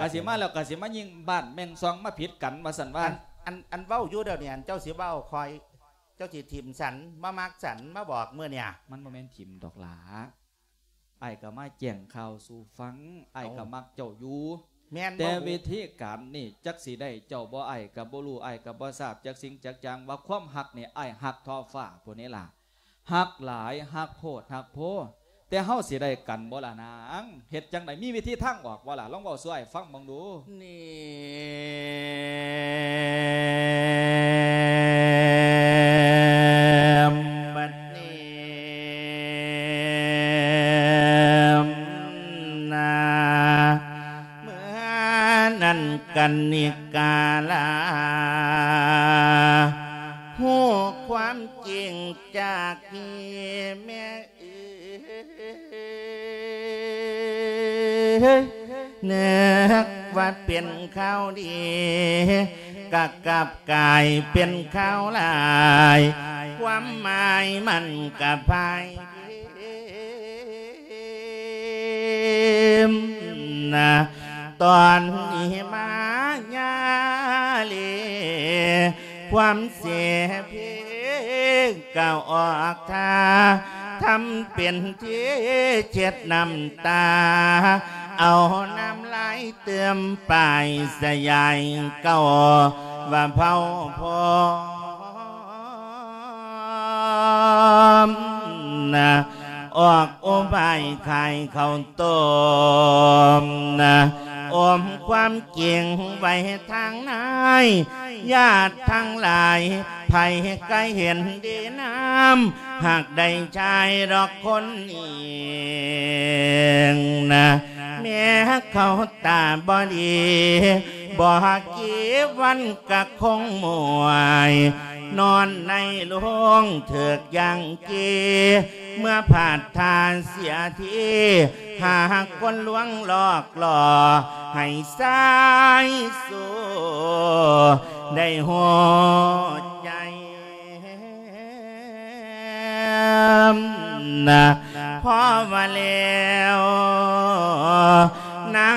ກະຊິມາແລ້ວກະຊິມາຍິງບ້ານແມ່ນຊ່ອງມາຜິດກັນ ວ່າຊັ້ນວ່າ. ອັນ ອັນ ອັນເວົ້າຢູ່ດຽວນີ້ ອັນເຈົ້າຊິເວົ້າຂ້ອຍ ເຈົ້າຊິຖິ້ມສັນ ມາມັກສັນ ມາບອກມື້ນີ້. ມັນບໍ່ແມ່ນຖິ້ມດອກຫຼ້າ ອ້າຍກໍມາແຈ້ງຂ່າວສູ່ຟັງ ອ້າຍກໍມັກເຈົ້າຢູ່. ແມ່ນ ແຕ່ວິທີການນີ້ຈັກຊິໄດ້ເຈົ້າບໍ່ ອ້າຍກໍບໍ່ຮູ້ ອ້າຍກໍບໍ່ຊາບຈັກສິ່ງຈັກຢ່າງ ວ່າຄວາມຮັກນີ້ ອ້າຍຮັກທໍ່ຟ້າພຸ້ນນີ້ລະ ຮັກຫຼາຍ ຮັກໂພດຮັກໂພ. ແຕ່ເຮົາຊິໄດ້ກັນບໍ່ລະນາງ? ເຮັດຈັ່ງໃດ? ມີວິທີທາງອອກບໍ່ລະ? ລອງເວົ້າສູ່ອ້າຍຟັງເບິ່ງດູ. ນີ້ ບັດນີ້ນະ ເມື່ອນັ້ນກັນນິກາລາ ຮູ້ຄວາມຈິງຈາກທີ່ແມ່ ເອີຍ ນຶກວ່າເປັນຂ່າວດີ ກະກັບກາຍເປັນຂ່າວຮ້າຍ ຄວາມໝາຍມັນກະພ່າຍນະ ຕອນນີ້ມາຍາເລ ຄວາມເສເພກໍອອກທ່າ ທຳເປັນທີ່ເຊັດນ້ຳຕາ ເອົານ້ຳລາຍເຕີມປາຍສະຫຍາຍເກົ່າວ່າເຜົາພ້ອມນະ ອອກອຸບາຍຂາຍເຂົ້າຕົ້ມນະ ອົມຄວາມຈິງໄວ້ທາງໃນ ຍາດທັງຫຼາຍ ໃຜກໍເຫັນດີນຳ ຫາກໄດ້ຊາຍດອກຄົນນີ້ນະ ແມ່ເຂົາຕາບໍ່ດີ ບໍ່ກີ່ວັນກະຄົງໝວຍ ນອນໃນໂລງຖືກຢ່າງກີ່ ເມື່ອພາດທ່າເສຍທີ ຫາຄົນລວງຫຼອກຫຼໍ່ ໃຫ້ຊາຍຊູໄດ້ຫົວໃຈນະ ພໍວ່າແລ້ວນາງ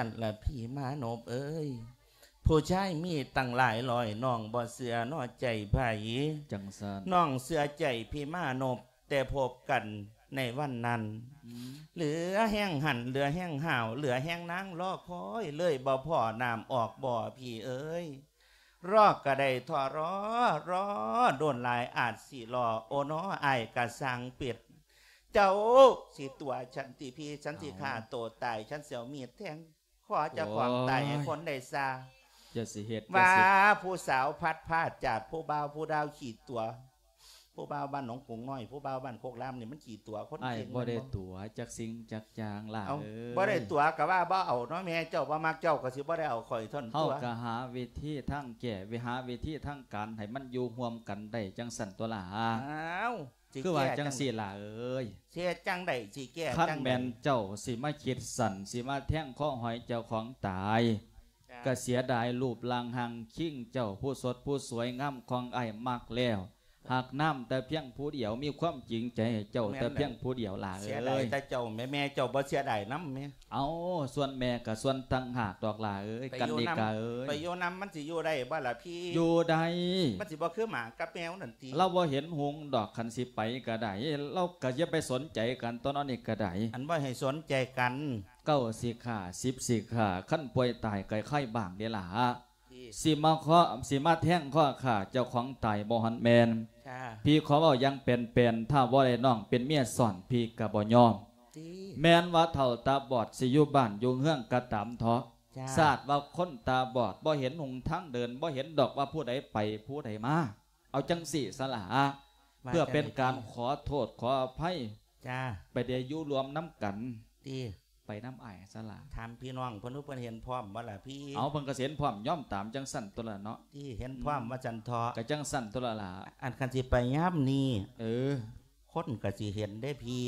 ນັ້ນລະພີ່ມານົບເອີຍ ຜູ້ຊາຍມີຕັ້ງຫຼາຍຮ້ອຍ ນ້ອງບໍ່ເຊື່ອເນາະໃຈໃຜ. ຈັ່ງຊັ້ນ ນ້ອງເຊື່ອໃຈພີ່ມານົບ ແຕ່ພົບກັນໃນວັນນັ້ນ ອືມ ເຫຼືອແຮງຫັນ ເຫຼືອແຮງຫາວ ເຫຼືອແຮງນາງລໍຄອຍ ເລີຍບໍ່ພໍ້ນ້ຳອອກບໍ່ພີ່ເອີຍ. ລໍກະໄດ້ທໍ້ລໍ ລໍດົນຫຼາຍອາດຊິລໍ ໂອນໍອ້າຍກະຊ່າງເປັດ ເຈົ້າຊິຕົວະສັນຕິພີ່ ສັນຊິຂ້າໂຕຕາຍ ສັນຊິເອົາມີດແທງຄໍເຈົ້າຂອງຕາຍໃຫ້ຄົນໄດ້ຊາ ຢ່າຊິເຮັດ ວ່າຜູ້ສາວພັດພາດຈາກຜູ້ບ່າວ ຜູ້ດາວຂີ້ຕົວະ ຜູ້ບ່າວບ້ານໜອງກົງນ້ອຍ ຜູ້ບ່າວບ້ານໂຄກລາມນີ້ມັນຂີ້ຕົວະຄົນ ອ້າຍ ເກັ່ງ ບໍ່ໄດ້ ແມ່ນບໍ່? ຕົວະຈັກສິ່ງຈັກຢ່າງຫຼາຍ ເອົ້າ ເອີຍ ບໍ່ໄດ້ຕົວະກະວ່າບໍ່ເອົາເນາະ ແມ່ເຈົ້າບໍ່ມັກເຈົ້າກະຊິບໍ່ໄດ້ເອົາຂ້ອຍທ່ອນ ເຮົາ ຕົວະ ກະຫາວິທີທາງແກ້ ຫາວິທີທາງການໃຫ້ມັນຢູ່ຮ່ວມກັນໄດ້ຈັ່ງຊັ້ນຕົວະຫຼາ. ອ້າວ ຊິ ຄືວ່າ ແກ້ ຈັ່ງຊີ້ຫຼາເອີຍ ຊິເຮັດຈັ່ງໃດ ຊິແກ້ ຄັນ ຈັ່ງໃດ ແມ່ນເຈົ້າຊິມາຄິດສັ້ນ ຊິມາແທງຄໍຫອຍເຈົ້າຂອງຕາຍ ກະເສຍດາຍຮູບຮ່າງຮ່າງຄິງເຈົ້າ ຜູ້ສົດຜູ້ສວຍງາມຂອງອ້າຍມັກແລ້ວ ຮັກນຳແຕ່ພຽງຜູ້ດຽວ ມີຄວາມຈິງໃຈໃຫ້ເຈົ້າແຕ່ພຽງຜູ້ດຽວຫຼາເອີຍ ເສຍດາຍແຕ່ເຈົ້າແມ່ ແມ່ເຈົ້າບໍ່ເສຍດາຍນຳແມ່? ເອົ້າ ສ່ວນແມ່ກະສ່ວນຕ່າງຫາກດອກຫຼາເອີຍ ກັນນິກາເອີຍ ໄປຢູ່ນຳມັນຊິຢູ່ໄດ້ບໍ່ລະພີ່? ຢູ່ໄດ້ ມັນຊິບໍ່ຄືໝາກັບແມວນັ້ນຕິ? ລາວບໍ່ເຫັນຮຸ່ງດອກ ຄັນຊິໄປກະໄດ້ ລາວກະຢ່າໄປສົນໃຈກັນ ຕອນນີ້ກະໄດ້ ອັນບໍ່ໃຫ້ສົນໃຈກັນ ເກົ້າຊິຂ້າ ສິບຊິຂ້າ ຄັນປ່ວຍຕາຍກະໄຄບ້າງເດ້ຫຼາ ຊິມາເຄາະ ຊິມາແທງຄໍຂ້າເຈົ້າຂອງຕາຍບໍ່ທັນແມ່ນ. ພີ່ຂໍເວົ້າຢ່າງແປນໆ ຖ້າບໍ່ໄດ້ນ້ອງເປັນເມຍຊ້ອນ ພີ່ກະບໍ່ຍອມ ແມ່ນວ່າເຖົ້າຕາບອດຊິຢູ່ບ້ານຢູ່ເຮືອນກະຕາມເທາະ ຊາດວ່າຄົນຕາບອດ ບໍ່ເຫັນຫົນທາງເດີນ ບໍ່ເຫັນດອກວ່າຜູ້ໃດໄປຜູ້ໃດມາ ເອົາຈັ່ງຊີ້ສະຫຼາ ເພື່ອເປັນການຂໍໂທດຂໍອະໄພ ໄປໄດ້ຢູ່ຮ່ວມນຳກັນ ໄປນຳອ້າຍສະຫຼາ ຖາມພີ່ນ້ອງເພິ່ນ ເພິ່ນເຫັນພ້ອມບໍ່ລະພີ່? ເອົາ ເພິ່ນກະຊິເຫັນພ້ອມ ຍອມຕາມຈັ່ງຊັ້ນຕົວະລະເນາະ ຕິເຫັນພ້ອມວ່າຊັ້ນເທາະ ກະຈັ່ງຊັ້ນຕົວະລະລະ ອັນຄັນຊິໄປຍາມນີ້ ເອີ ຄົນກະຊິເຫັນເດ້ພີ່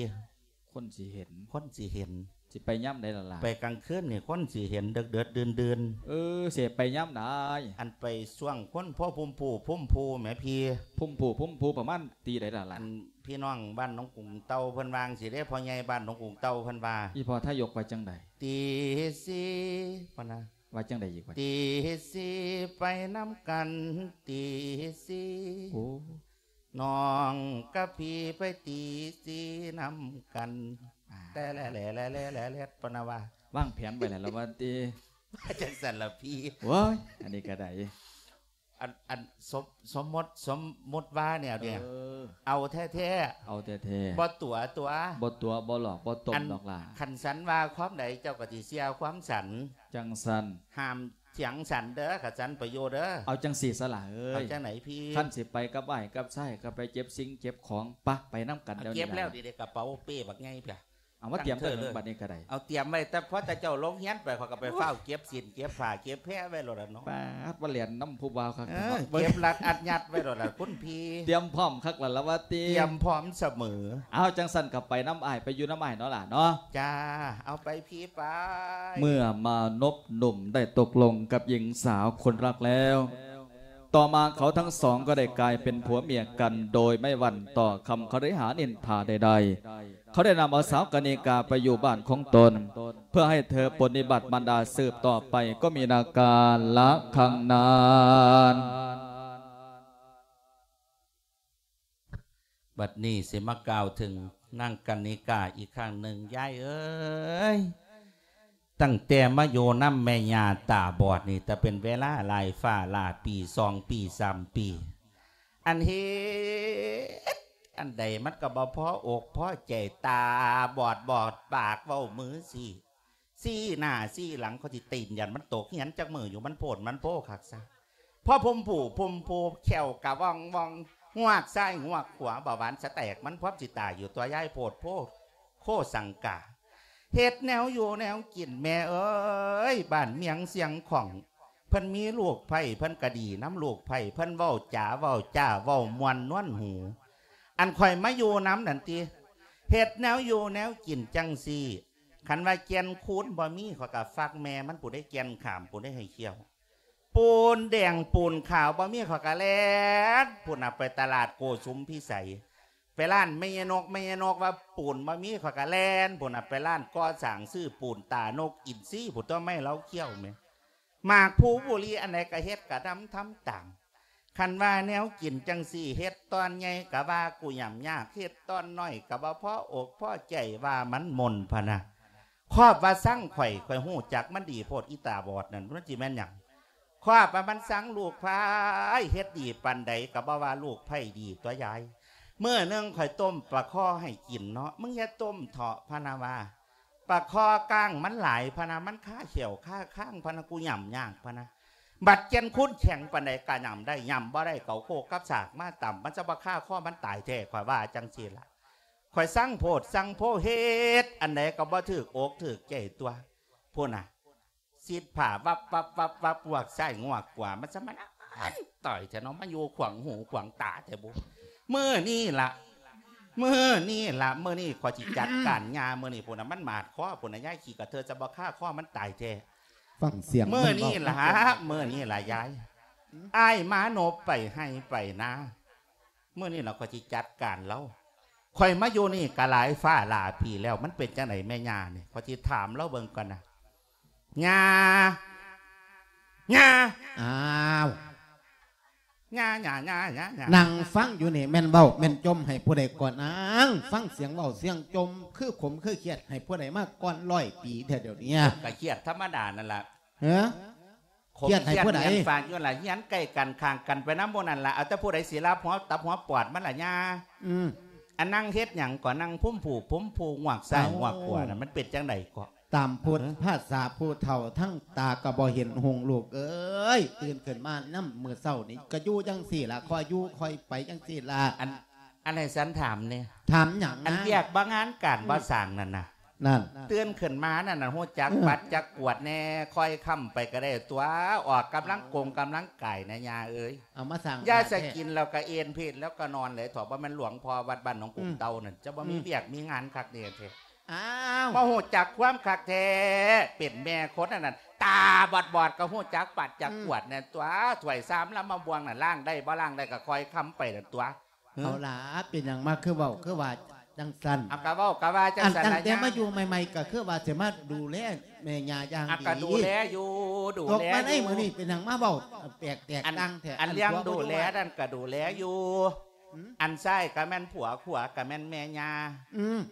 ຄົນຊິເຫັນ ຄົນຊິເຫັນ ຊິໄປຍາມໃດລະລະ? ໄປກາງຄືນນີ້ຄົນຊິເຫັນເດິກໆ ດື່ນໆ ເອີ ຊິໄປຍາມໃດ? ອັນໄປຊ່ວງຄົນພໍພຸ້ມພູພຸ້ມພູແໝ່ພີ່ ພຸ້ມພູພຸ້ມພູປະມານຕີໃດລະລະ? ອັນ ພີ່ນ້ອງບ້ານໜອງກຸງເຕົ່າເພິ່ນວ່າຈັ່ງຊີ້ເດ້ ພໍ່ໃຫຍ່ບ້ານໜອງກຸງເຕົ່າເພິ່ນວ່າ ອີ່ພໍ່ທາຍົກວ່າຈັ່ງໃດ? ຕີສີ່ ເພິ່ນວ່າ ວ່າຈັ່ງໃດອີກວະ? ຕີສີ່ໄປນຳກັນ ຕີສີ່ ໂອ້ ນ້ອງກັບພີ່ໄປຕີສີ່ນຳກັນ ແຕ່ແຫຼະແຫຼະແຫຼະແຫຼະແຫຼະ ເພິ່ນວ່າ ວາງແຜນໄວ້ແລ້ວລະວ່າຕິ ວ່າຈັ່ງຊັ້ນລະພີ່ ໂອ້ຍ ອັນນີ້ກະໄດ້ ອັນ ອັນ ສົມ ສົມມຸດ ສົມມຸດວ່າແນວເດ ເອີ ເອົາແທ້ໆ ເອົາແທ້ໆ ບໍ່ຕົວະຕົວະ ບໍ່ຕົວະ ບໍ່ຫຼອກ ບໍ່ຕົ້ມດອກຫຼ້າ ຄັນສັນວ່າຄວາມໃດ ເຈົ້າກະຊິເຊື່ອຄວາມສັນ ຈັ່ງຊັ້ນ ຫ້າມຖຽງສັນເດີ ຄັນສັນໄປຢູ່ເດີ ເອົາຈັ່ງຊີ້ສະຫຼາເອີຍ ເອົາຈັ່ງໃດພີ່? ຄັນຊິໄປກັບອ້າຍກັບຊາຍ ກະໄປເກັບສິ່ງເກັບຂອງ ປະ ໄປນຳກັນດຽວນີ້ ເກັບແລ້ວ ດຽວນີ້ ກະເປົາເປ້ບັກໃຫຍ່ເພີ້ນ ເອົາມາຕຽມໄວ້ເລີຍ ບັດນີ້ກະໄດ້ ເອົາຕຽມໄວ້ ແຕ່ພໍແຕ່ເຈົ້າລົງຮຽນໄປ ຂ້ອຍກະໄປຟ້າວເກັບສິ້ນເກັບຜ້າເກັບແພໄວ້ໂລດລະເນາະ ປາດ ມາແລ່ນນຳຜູ້ບ່າວຄັກ ເອີ ເນາະ ເກັບລັດອັດຍັດໄວ້ໂລດລະຄຸນພີ່ ຕຽມພ້ອມຄັກລະລະວ່າຕິ ຕຽມພ້ອມສະເໝີ ເອົາ ຈັ່ງຊັ້ນກະໄປນຳອ້າຍ ໄປຢູ່ນຳອ້າຍເນາະຫຼ້າເນາະ ຈ້າ ເອົາໄປພີ່ໄປ ເມື່ອມານົບໜຸ່ມໄດ້ຕົກລົງກັບຍິງສາວຄົນຮັກແລ້ວ ຕໍ່ມາເຂົາທັງສອງກໍໄດ້ກາຍເປັນຜົວເມຍກັນ ໂດຍໄມ່ຫວັ່ນຕໍ່ຄຳຄະລິຫານິນທາໃດໆ ເຂົາໄດ້ນຳເອົາສາວກະນິກາໄປຢູ່ບ້ານຂອງຕົນ ເພື່ອໃຫ້ເທີປົນນິບັດມານດາສືບຕໍ່ໄປ ກໍມີນາການລະຄັ້ງນັ້ນ. ບັດນີ້ຊິມາກ່າວເຖິງນາງກະນິກາອີກຄັ້ງໜຶ່ງ ຍາຍເອີຍ ຕັ້ງແຕ່ມາຢູ່ນຳແມ່ຍ່າຕາບອດນີ້ ແຕ່ເປັນເວລາຫຼາຍຟ້າຫຼາຍປີ ສອງປີ ສາມປີ ອັນເຮັດອັນໃດມັນກະບໍ່ພໍອົກພໍໃຈ ຕາບອດບອດປາກ ເວົ້າມືຊີ້ ຊີ້ໜ້າຊີ້ຫຼັງ ຂ້ອຍຊິຕີນຢັນມັນຕົກຮຽນຈັກມື້ຢູ່ ມັນໂພດມັນໂພຄັກຊະ ພໍພຸ້ມພູ່ພຸ້ມພູ ແຂ້ວກະວ່ອງໆ ງວກຊ້າຍງວກຂວາ ເບົາຫວານສະແຕກ ມັນພ້ອມຊິຕາຍຢູ່ຕົວະ ຍາຍໂພດໂພ ໂຄສັງກາ ເຮັດແນວຢູ່ແນວກິນແມ່ເອີຍ ບ້ານມຽງຊຽງຂອງ ເພິ່ນມີລູກໃພ້ ເພິ່ນກະດີນຳລູກໃພ້ ເພິ່ນເວົ້າຈາເວົ້າຈ້າ ເວົ້າມ່ວນນວນຫູ ອັນຂ້ອຍມາຢູ່ນຳນັ້ນຕິ ເຮັດແນວຢູ່ແນວກິນຈັ່ງຊີ້ ຄັນວ່າແກ່ນຄູນບໍ່ມີ ຂ້ອຍກະຝາກແມ່ມັນ ຜູ້ໃດແກ່ນຂາມ ຜູ້ໃດໃຫ້ຂ້ຽວ ປູນແດງປູນຂາວບໍ່ມີ ຂ້ອຍກະແລ່ນພຸ້ນນະ ໄປຕະຫຼາດໂກສຸມພິໄສ ໄປຮ້ານແມ່ຍານົກ ແມ່ຍານົກວ່າປູນບໍ່ມີ ຂ້ອຍກໍແລ່ນພຸ້ນນະ ໄປຮ້ານກໍ່ສ້າງຊື້ປູນຕານົກອິນຊີພຸ້ນຕົວະ ມາໃຫ້ລາວຄ້ຽວແໝ່. ໝາກພູບຸລີອັນໃດກໍເຮັດກະນຳທຳຕາມ. ຄັນວ່າແນວກິນຈັ່ງຊີ້ ເຮັດຕອນໃຫຍ່ກໍວ່າກູຫຍ້ຳຍາກ ເຮັດຕອນນ້ອຍກໍບໍ່ພໍອົກພໍໃຈ ວ່າມັນມົນພະນະ. ຄອບວ່າຊັງຂ້ອຍ ຂ້ອຍຮູ້ຈັກມັນດີໂພດ ອີຕາບອດນັ້ນ ມັນຊິແມ່ນຫຍັງ? ຄອບວ່າມັນຊັງລູກໃຜ ເຮັດດີປານໃດກໍບໍ່ວ່າລູກໃຜດີຕົວະຍາຍ. ມື້ໜຶ່ງຂ້ອຍຕົ້ມປາຄໍ່ໃຫ້ກິນເນາະ ມຶງຢ່າຕົ້ມເທາະ ພະນະວ່າ ປາຄໍ່ກ້າງມັນຫຼາຍພະນະ ມັນຄາແຂ້ວຄາຄາງພະນະ ກູຫຍ້ຳຍາກພະນະ. ບັດແກ່ນຄູນແຂງປານໃດກະຫຍ້ຳໄດ້ ຫຍ້ຳບໍ່ໄດ້ ເອົາໂຄກກັບສາກມາຕຳ ມັນຈະບໍ່ຄາຄໍ່ມັນຕາຍແທ້ ຂ້ອຍວ່າຈັ່ງຊີ້ລະ. ຂ້ອຍຊັງໂພດຊັງໂພ ເຮັດອັນໃດກໍບໍ່ຖືກອົກຖືກໃຈຕົວະ ພຸ້ນນະ. ຊິດຜ້າວັບໆໆໆ ງວກຊ້າຍງວກຂວາ ມັນສະມານຕາຍແທ້ເນາະ ມາຢູ່ຂວາງຫູຂວາງຕາແທ້ບຸ. ມື້ນີ້ລະ ມື້ນີ້ລະ ມື້ນີ້ຂ້ອຍຊິຈັດການຍ່າ ມື້ນີ້ພຸ້ນນະ ມັນໝາດຄໍ່ພຸ້ນນະ ຍາຍຂີ້ກະເທີດ ຈະບໍ່ຄາຄໍ່ມັນຕາຍແທ້. ຟັງສຽງ ມື້ນີ້ລະ ມື້ນີ້ລະຍາຍ ອ້າຍມານົບໄປໄຮ່ໄປນາ ມື້ນີ້ລະຂ້ອຍຊິຈັດການລາວ. ຂ້ອຍມາຢູ່ນີ້ກະຫຼາຍຟ້າຫຼາຍປີແລ້ວ ມັນເປັນຈັ່ງໃດແມ່ຍ່ານີ້ ຂ້ອຍຊິຖາມລາວເບິ່ງກ່ອນນະ. ຍ່າ ຍ່າ ອ້າວ ຍ່າ ຍ່າ ຍ່າ ຍ່າ ຍ່າ ນັ່ງຟັງຢູ່ນີ້ແມ່ນເວົ້າແມ່ນຈົ່ມໃຫ້ຜູ້ໃດກ່ອນ? ອ້າງ ຟັງສຽງເວົ້າສຽງຈົ່ມຄືຂົມຄືຄຽດໃຫ້ຜູ້ໃດມາກ່ອນຮ້ອຍປີແທ້ດຽວນີ້? ກໍຄຽດທຳມະດານັ້ນລະ. ເອີ ຄຽດໃຫ້ຜູ້ໃດ? ຄຽດຫຍັງຝາກຢູ່ລະ ເຮືອນໃກ້ກັນຂ້າງກັນໄປນຳໝູ່ນັ້ນລະ ເອົາແຕ່ຜູ້ໃດຊິລາບຫົວຕັບຫົວປອດມັນລະຍ່າ. ອືມ ອັນນັ່ງເຮັດຫຍັງກໍນັ່ງພຸ້ມຜູພຸ້ມຜູ ງວກຊ້າຍງວກຂວານັ້ນ ມັນເປັນຈັ່ງໃດເກາະ? ຕາມພຸດພາສາຜູ້ເຖົ້າ ທັງຕາກໍບໍ່ເຫັນຮຸ່ງ ລູກເອີຍ ຕື່ນຂຶ້ນມານຳມື້ເຊົ້ານີ້ກໍຢູ່ຈັ່ງຊີ້ລະ ຄ່ອຍຢູ່ຄ່ອຍໄປຈັ່ງຊີ້ລະ. ອັນ ອັນໃຫ້ສັນຖາມແດ່ ຖາມຫຍັງ? ອັນວຽກບໍ່ງານການບໍ່ສ້າງນັ້ນນະ ນັ້ນ ຕື່ນຂຶ້ນມານັ້ນນະ ຮູ້ຈັກປັດຈັກກວາດແດ່ ຄ່ອຍຄ້ຳໄປກໍໄດ້ຕົວະ ອອກກຳລັງກົງກຳລັງກາຍນະຍ່າເອີຍ. ເອົາມາສ້າງ ຢ່າສະກິນແລ້ວກໍເອນເພດແລ້ວກໍນອນເລີຍເຖາະ ບໍ່ແມ່ນຫຼວງພໍ່ວັດບ້ານໜອງກຸງເຕົ່ານັ້ນ ຈະບໍ່ມີວຽກມີງານຄັກແດ່ແທ້. ອ້າວ ບໍ່ຮູ້ຈັກຄວາມຄັກແທ້ ເປັນແມ່ຄົນອັນນັ້ນ ຕາບອດໆ ກໍຮູ້ຈັກປັດຈັກກວາດແດ່ຕົວະ ຖ້ວຍຊາມລຳມະບວງນັ້ນ ລ້າງໄດ້ບໍ່ລ້າງໄດ້ກໍຄ່ອຍຄ້ຳໄປນັ້ນຕົວະ. ເອົາລະ ເປັນຫຍັງມາຄືເວົ້າຄືວ່າຈັ່ງຊັ້ນ? ເອົາ ກະເວົ້າກະວ່າຈັ່ງຊັ້ນລະ ຕັ້ງແຕ່ມາຢູ່ໃໝ່ໆ ກໍຄືວ່າຊິມາດູແລແມ່ຍ່າຢ່າງດີ ກໍດູແລຢູ່ ດູແລຢູ່. ຕົກມາໃນມື້ນີ້ເປັນຫຍັງມາເວົ້າແປກແຕກຕ່າງແທ້? ອັນເລື່ອງດູແລນັ້ນກໍດູແລຢູ່ ອັນຊ້າຍກໍແມ່ນຜົວ ຂວາກໍແມ່ນແມ່ຍ່າ.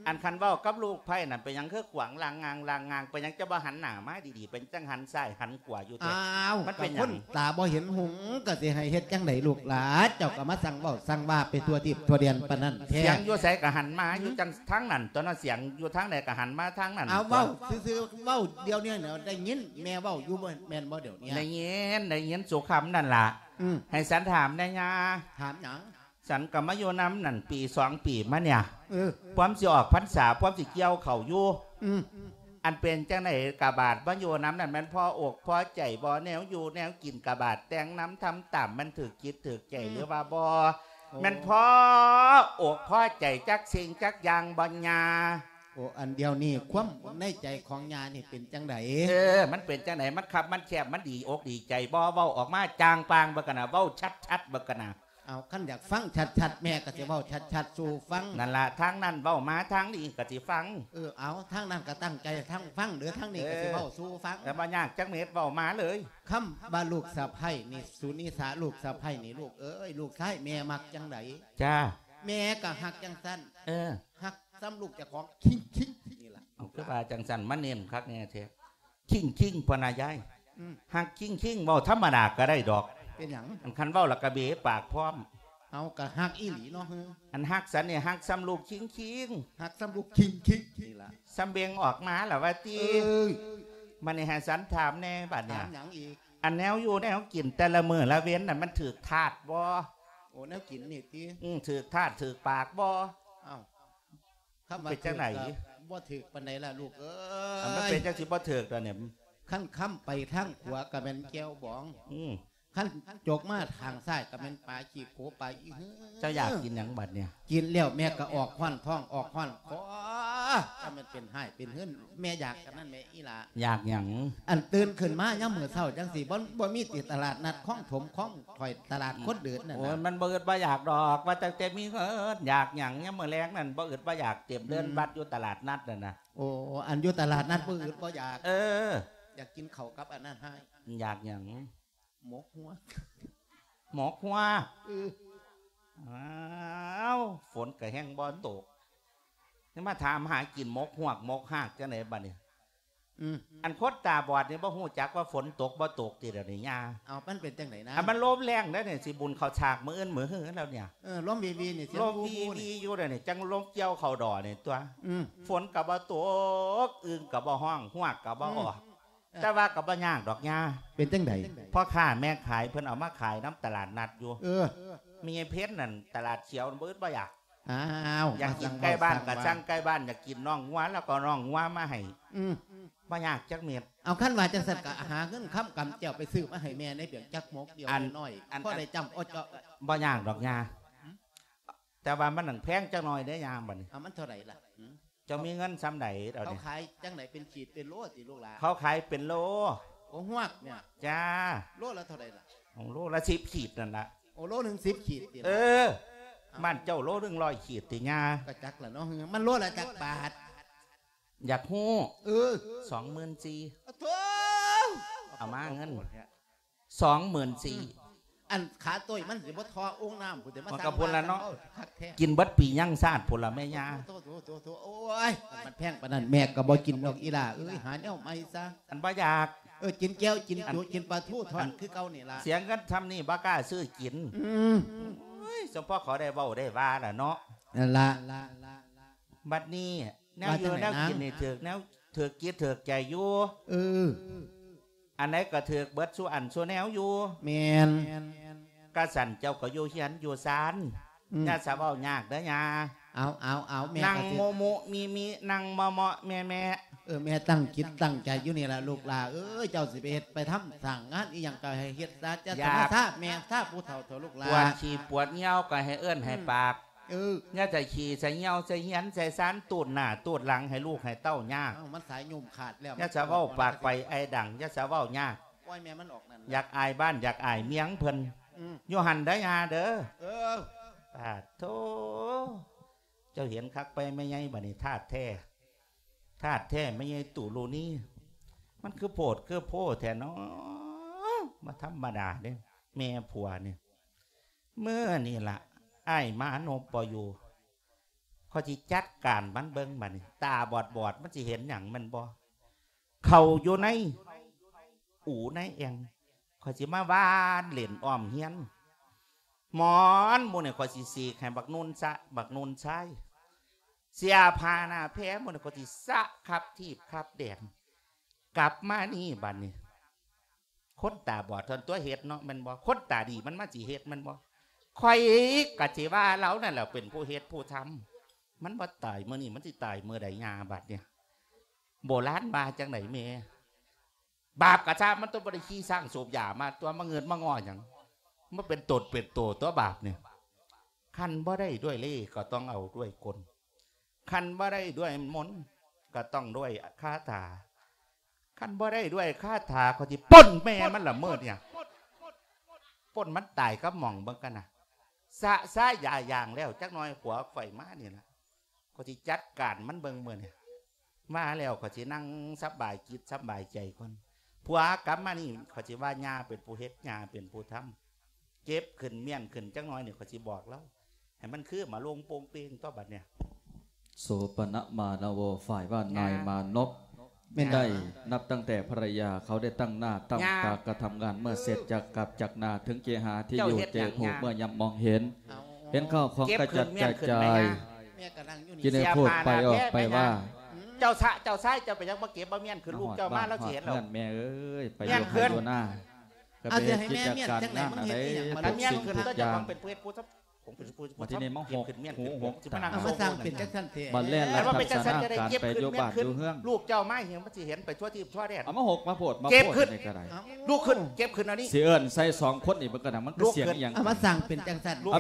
ອັນຄັນເວົ້າກັບລູກໃພ້ນັ້ນ ເປັນຫຍັງຄືຂວາງລ່າງງາງລ່າງງາງ ເປັນຫຍັງຈະບໍ່ຫັນໜ້າມາດີໆ ເປັນຈັ່ງຫັນຊ້າຍຫັນຂວາຢູ່ແທ້? ອ້າວ ມັນເປັນຫຍັງ? ຕາບໍ່ເຫັນຫຸງ ກໍຊິໃຫ້ເຮັດຈັ່ງໃດລູກຫຼານ? ເຈົ້າກໍມາສັ່ງເວົ້າສັ່ງວ່າໄປທົ່ວທິບທົ່ວແດນປານນັ້ນແທ້ ສຽງຢູ່ໃສກໍຫັນມາຢູ່ຈັ່ງທາງນັ້ນຕົວະເນາະ ສຽງຢູ່ທາງໃດກໍຫັນມາທາງນັ້ນ. ເອົາ ເວົ້າຊື່ໆ ເວົ້າດຽວນີ້ໄດ້ຍິນແມ່ເວົ້າຢູ່ບໍ່ ແມ່ນບໍ່ດຽວນີ້? ໄດ້ຍິນ ໄດ້ຍິນສູ່ຄຳນັ້ນລະ. ໃຫ້ສັນຖາມແດ່ຍ່າ. ຖາມຫຍັງ? ສັນກໍມາຢູ່ນຳນັ້ນປີສອງປີມາເນີ້ຍ ເອີ ພວມຊິອອກພັນສາ ພວມຊິກ່ຽວເຂົ້າຢູ່. ອືມ ອັນເປັນຈັ່ງໃດກະບາດມາຢູ່ນຳນັ້ນ ແມ່ນພໍອົກພໍໃຈບໍ່? ແນວຢູ່ແນວກິນກະບາດແຕ່ງນຳທຳຕາມ ມັນຖືກຈິດຖືກໃຈ ອືມ ຫຼືວ່າບໍ່? ໂອ້ ແມ່ນພໍອົກພໍໃຈຈັກສິ່ງຈັກຢ່າງບໍ່ຍ່າ? ໂອ້ ອັນດຽວນີ້ຄວາມໃນໃຈຂອງຍ່ານີ້ເປັນຈັ່ງໃດ? ເອີ ມັນເປັນຈັ່ງໃດ? ມັນຄັບມັນແຄບ ມັນດີອົກດີໃຈບໍ່? ເວົ້າອອກມາຈ່າງປ່າງເບິ່ງກັນນະ ເວົ້າຊັດໆເບິ່ງກັນນະ. ເອົາ ຄັນຢາກຟັງຊັດໆ ແມ່ກໍຊິເວົ້າຊັດໆສູ່ຟັງ. ນັ້ນລະ ທາງນັ້ນເວົ້າມາ ທາງນີ້ກໍຊິຟັງ. ເອີ ເອົາ ທາງນັ້ນກໍຕັ້ງໃຈທາງຟັງເດີ ທາງນີ້ກໍຊິເວົ້າສູ່ຟັງ. ແຕ່ບໍ່ຍາກຈັກເມັດ ເວົ້າມາເລີຍ. ຄຳວ່າລູກສະໃພ້ນີ້ ສຸນິສາ ລູກສະໃພ້ນີ້ ລູກເອີຍ ລູກຊາຍແມ່ມັກຈັ່ງໃດ? ຈ້າ ແມ່ກໍຮັກຈັ່ງຊັ້ນ. ເອີ ຮັກສ່ຳລູກເຈົ້າຂອງຄິງໆ ນີ້ລະ. ເອົາ ຄືວ່າຈັ່ງຊັ້ນ ມາເນັ້ນຄັກແນ່ແທ້. ຄິງໆ ພະນະຍາຍ. ອືມ ຮັກຄິງໆ ເວົ້າທຳມະດາກໍໄດ້ດອກ. ເປັນຫຍັງ? ອັນຄັນເວົ້າແລ້ວກໍເບປາກພ້ອມ. ເອົາ ກໍຮັກອີ່ຫຼີເນາະ. ອັນຮັກສັນນີ້ ຮັກສ່ຳລູກຄິງໆ ຮັກສ່ຳລູກຄິງໆ ນີ້ລະ. ສ່ຳເບັງອອກມາລະວ່າຕິ. ເອີຍ ບັດນີ້ໃຫ້ສັນຖາມແດ່ບັດນີ້. ຖາມຫຍັງອີກ? ອັນແນວຢູ່ແນວກິນແຕ່ລະມື້ລະເວັນນັ້ນ ມັນຖືກທາດບໍ່? ໂອ້ ແນວກິນນີ້ຕິ? ອືມ ຖືກທາດຖືກປາກບໍ່? ເອົ້າ ຄຳວ່າ ເປັນຈັ່ງໃດ? ຖືກກໍບໍ່ຖືກປານໃດລະລູກເອີຍ. ອັນມັນເປັນຈັ່ງຊິບໍ່ຖືກດອກນີ້? ຄັນຄຳໄປທາງຂວາກໍແມ່ນແຈ່ວບອງ. ອືມ ຄັນຈົກມາທາງຊ້າຍກໍແມ່ນປາຂີ້ໂຄປາອີຫື. ເຈົ້າຢາກກິນຫຍັງບັດນີ້? ກິນແລ້ວແມ່ກໍອອກຮ້ອນທ້ອງ ອອກຮ້ອນຄໍ. ອ້າ ຖ້າມັນເປັນຮ້າຍເປັນເຮືອນ ແມ່ຢາກອັນນັ້ນແມ່ອີ່ຫຼ້າ. ຢາກຫຍັງ? ອັນຕື່ນຂຶ້ນມາຍາມມື້ເຊົ້າຈັ່ງຊີ້ ບໍ່ ບໍ່ມີຕິຕະຫຼາດນັດຄອງຖົມ ຄອງຖ້ອຍ ຕະຫຼາດຄົນເດີນນັ້ນ ໂອ້ຍ ນະ? ມັນບໍ່ອຶດບໍ່ຢາກດອກ ວ່າຕັ້ງແຕ່ມີເງິນ ຢາກຫຍັງຍາມມື້ແລງນັ້ນ ບໍ່ອຶດບໍ່ຢາກ ເຕັມເດີ່ນ ອືມ ວັດຢູ່ຕະຫຼາດນັດນັ້ນນະ. ໂອ້ ອັນຢູ່ຕະຫຼາດນັດບໍ່ອຶດບໍ່ຢາກ. ເອີ ຢາກກິນເຂົ້າກັບອັນນັ້ນຮ້າຍ. ຢາກຫຍັງ? ໝົກຮວກ. ໝົກຮວກ? ເອີ. ອ້າວ ຝົນກະແຮ່ງບໍ່ຕົກ ຍັງມາຖາມຫາກິນໝົກຮວກໝົກຮາກຈັ່ງໃດບັດນີ້? ອືມ ອັນຄົນຕາບອດນີ້ບໍ່ຮູ້ຈັກວ່າຝົນຕົກບໍ່ຕົກຕິດຽວນີ້ຍ່າ? ເອົາ ມັນເປັນຈັ່ງໃດນະ? ອັນມັນລົມແຮງເດ້ນີ້ ຊິບຸນເຂົ້າສາກມື້ອື່ນມື້ຮືແລ້ວນີ້. ເອີ ລົມວີໆນີ້ ລົມວີໆຢູ່ເດ້ນີ້ ຈັ່ງລົມກ່ຽວເຂົ້າດໍນີ້ຕົວະ. ອືມ ຝົນກະບໍ່ຕົກ ອຶ່ງກະບໍ່ຮ້ອງ ຮວກກະບໍ່ອອກ. ອືມ ແຕ່ວ່າກໍບໍ່ຍາກດອກຍ່າ. ເປັນຈັ່ງໃດ? ພໍ່ຄ້າແມ່ຂາຍເພິ່ນເອົາມາຂາຍນຳຕະຫຼາດນັດຢູ່. ເອີ ແມ່ໃຫຍ່ເພັນນັ້ນ ຕະຫຼາດຂຽວບໍ່ອຶດບໍ່ຢາກ. ອ້າວ ຢາກກິນໄກ່ບ້ານກໍສັ່ງໄກ່ບ້ານ ຢາກກິນໜອງງົວ ແລ້ວກໍໜອງງົວມາໃຫ້. ອືມ ບໍ່ຍາກຈັກເມັດ. ເອົາ ຄັນວ່າຈັ່ງຊັ້ນກໍຫາເງິນຄຳກຳແກ້ວໄປຊື້ມາໃຫ້ແມ່ໃນເບຍງຈັກໝົກດຽວ ອັນ ນ້ອຍໆ ອັນ ພໍໄດ້ຈ້ຳອົດເຈາະ. ບໍ່ຍາກດອກຍ່າ ແຕ່ວ່າມັນໜັງແພງຈັກໜ່ອຍເດ້ຍ່າບັດນີ້. ເອົາ ມັນເທົ່າໃດລະ? ເຈົ້າມີເງິນສ່ຳໃດດຽວນີ້? ເຂົາຂາຍຈັ່ງໃດ ເປັນຂີດເປັນໂລຕິລູກຫຼານ? ເຂົາຂາຍເປັນໂລ. ໂອ້ ຮວກນີ້? ຈ້າ. ໂລລະເທົ່າໃດລະ? ໂລລະສິບຂີດນັ້ນລະ. ໂອ້ ໂລໜຶ່ງສິບຂີດຕິ? ເອີ. ບ້ານເຈົ້າໂລໜຶ່ງຮ້ອຍຂີດຕິຍ່າ? ກໍຈັກລະເນາະ ມັນໂລລະຈັກບາດ? ຢາກຮູ້. ເອີ ສອງໝື່ນສີ່. ໂອ້ໂທ້ ເອົາມາເງິນ ສອງໝື່ນສີ່. ອັນຂາໂຕ້ຍມັນຊິບໍ່ທໍ່ໂອ່ງນ້ຳພຸ້ນຕິ ມາ ມັນກໍພຸ້ນລະເນາະ ຄັກແທ້. ກິນເບິດປີຍັງຊາດພຸ້ນລະແມ່ຍ່າ. ໂອ້ຍ ມັນແພງປານນັ້ນ ແມ່ກໍບໍ່ກິນດອກອີ່ຫຼ້າເອີຍ ຫາແນວໃໝ່ຊະ. ອັນບໍ່ຢາກ. ເອີ ກິນແຈ່ວກິນຈຸ ກິນປາທູທອດຄືເກົ່ານີ້ລະ. ເສຍເງິນຊ່ຳນີ້ບໍ່ກ້າຊື້ກິນ. ອືມ ໂອ້ຍ ສົມພໍເຂົາໄດ້ເວົ້າໄດ້ວ່າລະເນາະ. ນັ້ນລະ ບັດນີ້ ແນວຢູ່ແນວກິນນີ້ຖືກແນວ ຖືກຈິດຖືກໃຈຢູ່. ເອີ ອັນໃດກໍຖືກເບິດສູ່ອັນສູ່ແນວຢູ່. ແມ່ນ. ກະຊັ້ນເຈົ້າກໍຢູ່ເຮືອນຢູ່ຊານ. ອືມ ຢ່າສະເວົ້າຍາກເດີຍ່າ. ເອົາ ເອົາ ເອົາ ແມ່ ນັ່ງ ກໍຊິ ໂມະໆ ມີໆ ນັ່ງເມາະໆ ແມ່ໆ. ເອີ ແມ່ຕັ້ງຈິດຕັ້ງໃຈຢູ່ນີ້ລະລູກຫຼ້າເອີຍ ເຈົ້າຊິໄປເຮັດໄປທຳສ້າງງານອີ່ຫຍັງກໍໃຫ້ເຮັດຊະ ຢ່າ ຢ່າ ສະມາຊາແມ່ຊາຜູ້ເຖົ້າເຖາະລູກຫຼ້າ. ປວດຂີ້ປວດຍ່ຽວກໍໃຫ້ເອີ້ນໃຫ້ປາກ. ອືມ ເອີ ຢ່າໃສ່ຂີ້ໃສ່ຍ່ຽວໃສ່ຮຽນໃສ່ຊານ ຕູດໜ້າຕູດຫຼັງໃຫ້ລູກໃຫ້ເຕົ້າຍາກ. ເອົ້າ ມັນສາຍໂຍມຂາດແລ້ວ. ຢ່າສະເວົ້າປາກໄປໄອດັງ ຢ່າສະເວົ້າຍາກ. ປ່ອຍແມ່ມັນອອກນັ້ນ ຢາກອາຍບ້ານຢາກອາຍເມືອງເພິ່ນ. ອືມ ຢູ່ຫັ້ນເດີຍ່າເດີ. ເອີ ປາດໂທ ເຈົ້າເຫັນຄັກໄປແມ່ໃຫຍ່ບັດນີ້ ທາດແທ້ ທາດແທ້ແມ່ໃຫຍ່ຕຸລຸນີ. ມັນຄືໂພດຄືໂພແທ້ເນາະ ບໍ່ທຳມະດາເດ້ ແມ່ຜົວນີ້. ມື້ນີ້ລະ ອ້າຍມານົບບໍ່ຢູ່ ຂ້ອຍຊິຈັດການມັນເບິ່ງບັດນີ້. ຕາບອດໆ ມັນຊິເຫັນຫຍັງແມ່ນບໍ່? ເຂົ້າຢູ່ໃນອູໃນແອ່ງ ຂ້ອຍຊິມາຫວ່ານຫຼິ້ນອ້ອມເຮືອນ. ໝອນໝູ່ນີ້ ຂ້ອຍຊິສີກໃຫ້ບັກນຸ່ນຊະ ບັກນຸ່ນຊາຍ. ເສຍຜ້າໜ້າແພໝູ່ນີ້ ຂ້ອຍຊິສະຂັບຖີບຂັບແດນ. ກັບມານີ້ບັດນີ້ ຄົນຕາບອດທ່ອນຕົວະເຮັດເນາະ ແມ່ນບໍ່? ຄົນຕາດີມັນມາຊິເຮັດແມ່ນບໍ່? ຂ້ອຍກໍຊິວ່າລາວນັ້ນແຫຼະເປັນຜູ້ເຮັດຜູ້ທຳ. ມັນບໍ່ຕາຍມື້ນີ້ ມັນຊິຕາຍມື້ໃດຍ່າບັດນີ້? ໂບລານວ່າຈັ່ງໃດແມ່? ບາບກະຊ້າ ມັນຕ້ອງບໍ່ໄດ້ຂີ່ຊ້າງສູບຢາມາຕົວະ ມາເງິດມາງໍຫຍັງ? ມາເປັນຕົນເປັນໂຕຕົວະບາບນີ້. ຄັນບໍ່ໄດ້ດ້ວຍເລ່ ກໍຕ້ອງເອົາດ້ວຍກົນ. ຄັນບໍ່ໄດ້ດ້ວຍມົນ ກໍຕ້ອງດ້ວຍຄາຖາ. ຄັນບໍ່ໄດ້ດ້ວຍຄາຖາ ຂ້ອຍຊິປົນແມ່ມັນລະມື້ນີ້ ປົນມັນຕາຍກັບໝອງເບິ່ງກັນນະ. ສະຊາຢາຢາງແລ້ວ ຈັກໜ່ອຍຜົວຂ້ອຍມານີ້ລະ ຂ້ອຍຊິຈັດການມັນເບິ່ງມື້ນີ້. ມາແລ້ວຂ້ອຍຊິນັ່ງສະບາຍຈິດສະບາຍໃຈກ່ອນ. ຜົວກັບມານີ້ ຂ້ອຍຊິວ່າຍ່າເປັນຜູ້ເຮັດ ຍ່າເປັນຜູ້ທຳ. ເກັບຂຶ້ນມ້ຽນຂຶ້ນຈັກໜ່ອຍນີ້ ຂ້ອຍຊິບອກລາວ ໃຫ້ມັນຄືມາລົງໂປ່ງເປ່ງຕົວະບັດນີ້. ໂສປະນະມານະໂວ ຝ່າຍບ້ານນາຍມານົບ ແມ່ນ ໄດ້ນັບຕັ້ງແຕ່ພະລະຍາເຂົາໄດ້ຕັ້ງໜ້າຕັ້ງຕາກະທຳງານ ເມື່ອເສັດຈາກກັບຈາກນາເຖິງເກຫາທີ່ຢູ່ເຈໂຮກ ເມື່ອຍາມມອງເຫັນ ເຫັນເຂົ້າຂອງກະຈັດກະຈາຍ ກິນໃຫ້ໂພດໄປອອກໄປວ່າ ເຈົ້າຊະ ເຈົ້າຊາຍ ເຈົ້າໄປຍັງບໍ່ເກັບບໍ່ມ້ຽນຂຶ້ນ ລູກເຈົ້າມາລາວຊິເຫັນແລ້ວ. ແມ່ເອີຍ ໄປຢູ່ໄຮ່ຢູ່ນາ ກໍໄປເຮັດກິດຈະການງານອັນໃດ ທຸກສິ່ງທຸກຢ່າງ ມາທີ່ນີ້ມາຫົກຫູຫົກຕາ ເອົາມາສ້າງເປັນຈັງຊັ້ນແທ້ ບັດແລ່ນລັດທັບສະນາການໄປຢູ່ບ້ານຢູ່ເຮືອນ ລູກເຈົ້າມາເຫັນ ມັນຊິເຫັນໄປທົ່ວທີບທົ່ວແດນ ເອົາມາຫົກມາໂພດມາໂພດນີ້ກໍໄດ້ ລຸກຂຶ້ນ ເກັບຂຶ້ນອັນນີ້ ຊິເອີ້ນໃສ່ສອງຄົນນີ້ ມັນກໍນະ ມັນຄືສຽງອີ່ຫຍັງ ເອົາມາສ້າງເປັນຈັ່ງຊັ້ນ ລຸກ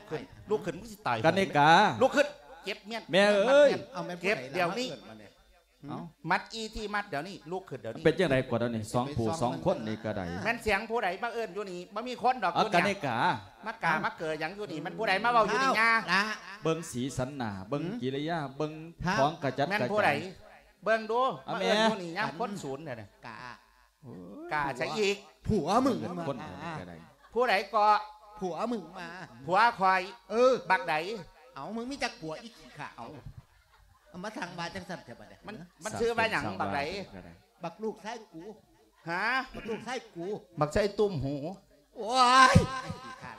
ຂຶ້ນ ລຸກຂຶ້ນ ມຶງຊິຕາຍ ກັນນີ້ກາ ລຸກຂຶ້ນ ເກັບມຽນ ແມ່ເອີຍ ມັດແມ່ນ ເອົາແມ່ນຜູ້ໃດລະ ເກັບດຽວນີ້ ມາເອີ້ນມານີ້ ຫຶ? ເອົ້າ ມັດອີ່ທີ່ມັດດຽວນີ້ ລຸກຂຶ້ນດຽວນີ້ ເປັນຈັ່ງໃດກວ່າດຽວນີ້ ສອງຜູ້ສອງຄົນນີ້ກໍໄດ້ ແມ່ນສຽງຜູ້ໃດມາເອີ້ນຢູ່ນີ້? ບໍ່ມີຄົນດອກ ເອົາ ຢູ່ ກະ ນີ້ ເນກາ ມາກາມາເກີຫຍັງຢູ່ນີ້? ມັນຜູ້ໃດມາເວົ້າຢູ່ນີ້ ຍາ ລະ ເບິ່ງສີສັນໜ້າ ເບິ່ງ ຫື? ກິລິຍາ ເບິ່ງ ທ້າວ ຂອງກະຈັດ ແມ່ນ ກະ ຜູ້ໃດ ຈາຍ ເບິ່ງດູ ມາ ເອີ ແມ່ ເອີ້ນຢູ່ນີ້ຍາມ ອາ ຄົນສູນເດ້ ກາ ໂອ້ຍ ກາຊະອີກ ຜົວ ຜົວມຶງ ເບິ່ງ ມາ ຄົນ ກາ ເອີ ກໍໄດ້ ຜູ້ໃດເກາະ? ຜົວມຶງມາ ຜົວຂ້ອຍ ເອີ ບັກໃດ? ເອົາ ມຶງມີຈັກຜົວ ອີຂີ້ຂ້າ ເອົາ ເອົາ ມາສັ່ງວ່າຈັ່ງຊັ້ນແທ້ບັດນີ້ ມັນ ມັນຊື່ວ່າຫຍັງ ບັກໃດ? ບັກລູກຊາຍກູ ຫາ ບັກລູກຊາຍກູ ບັກຊາຍຕຸ້ມຫູ ໂອ້ຍ ຂີ້ຂ້ານ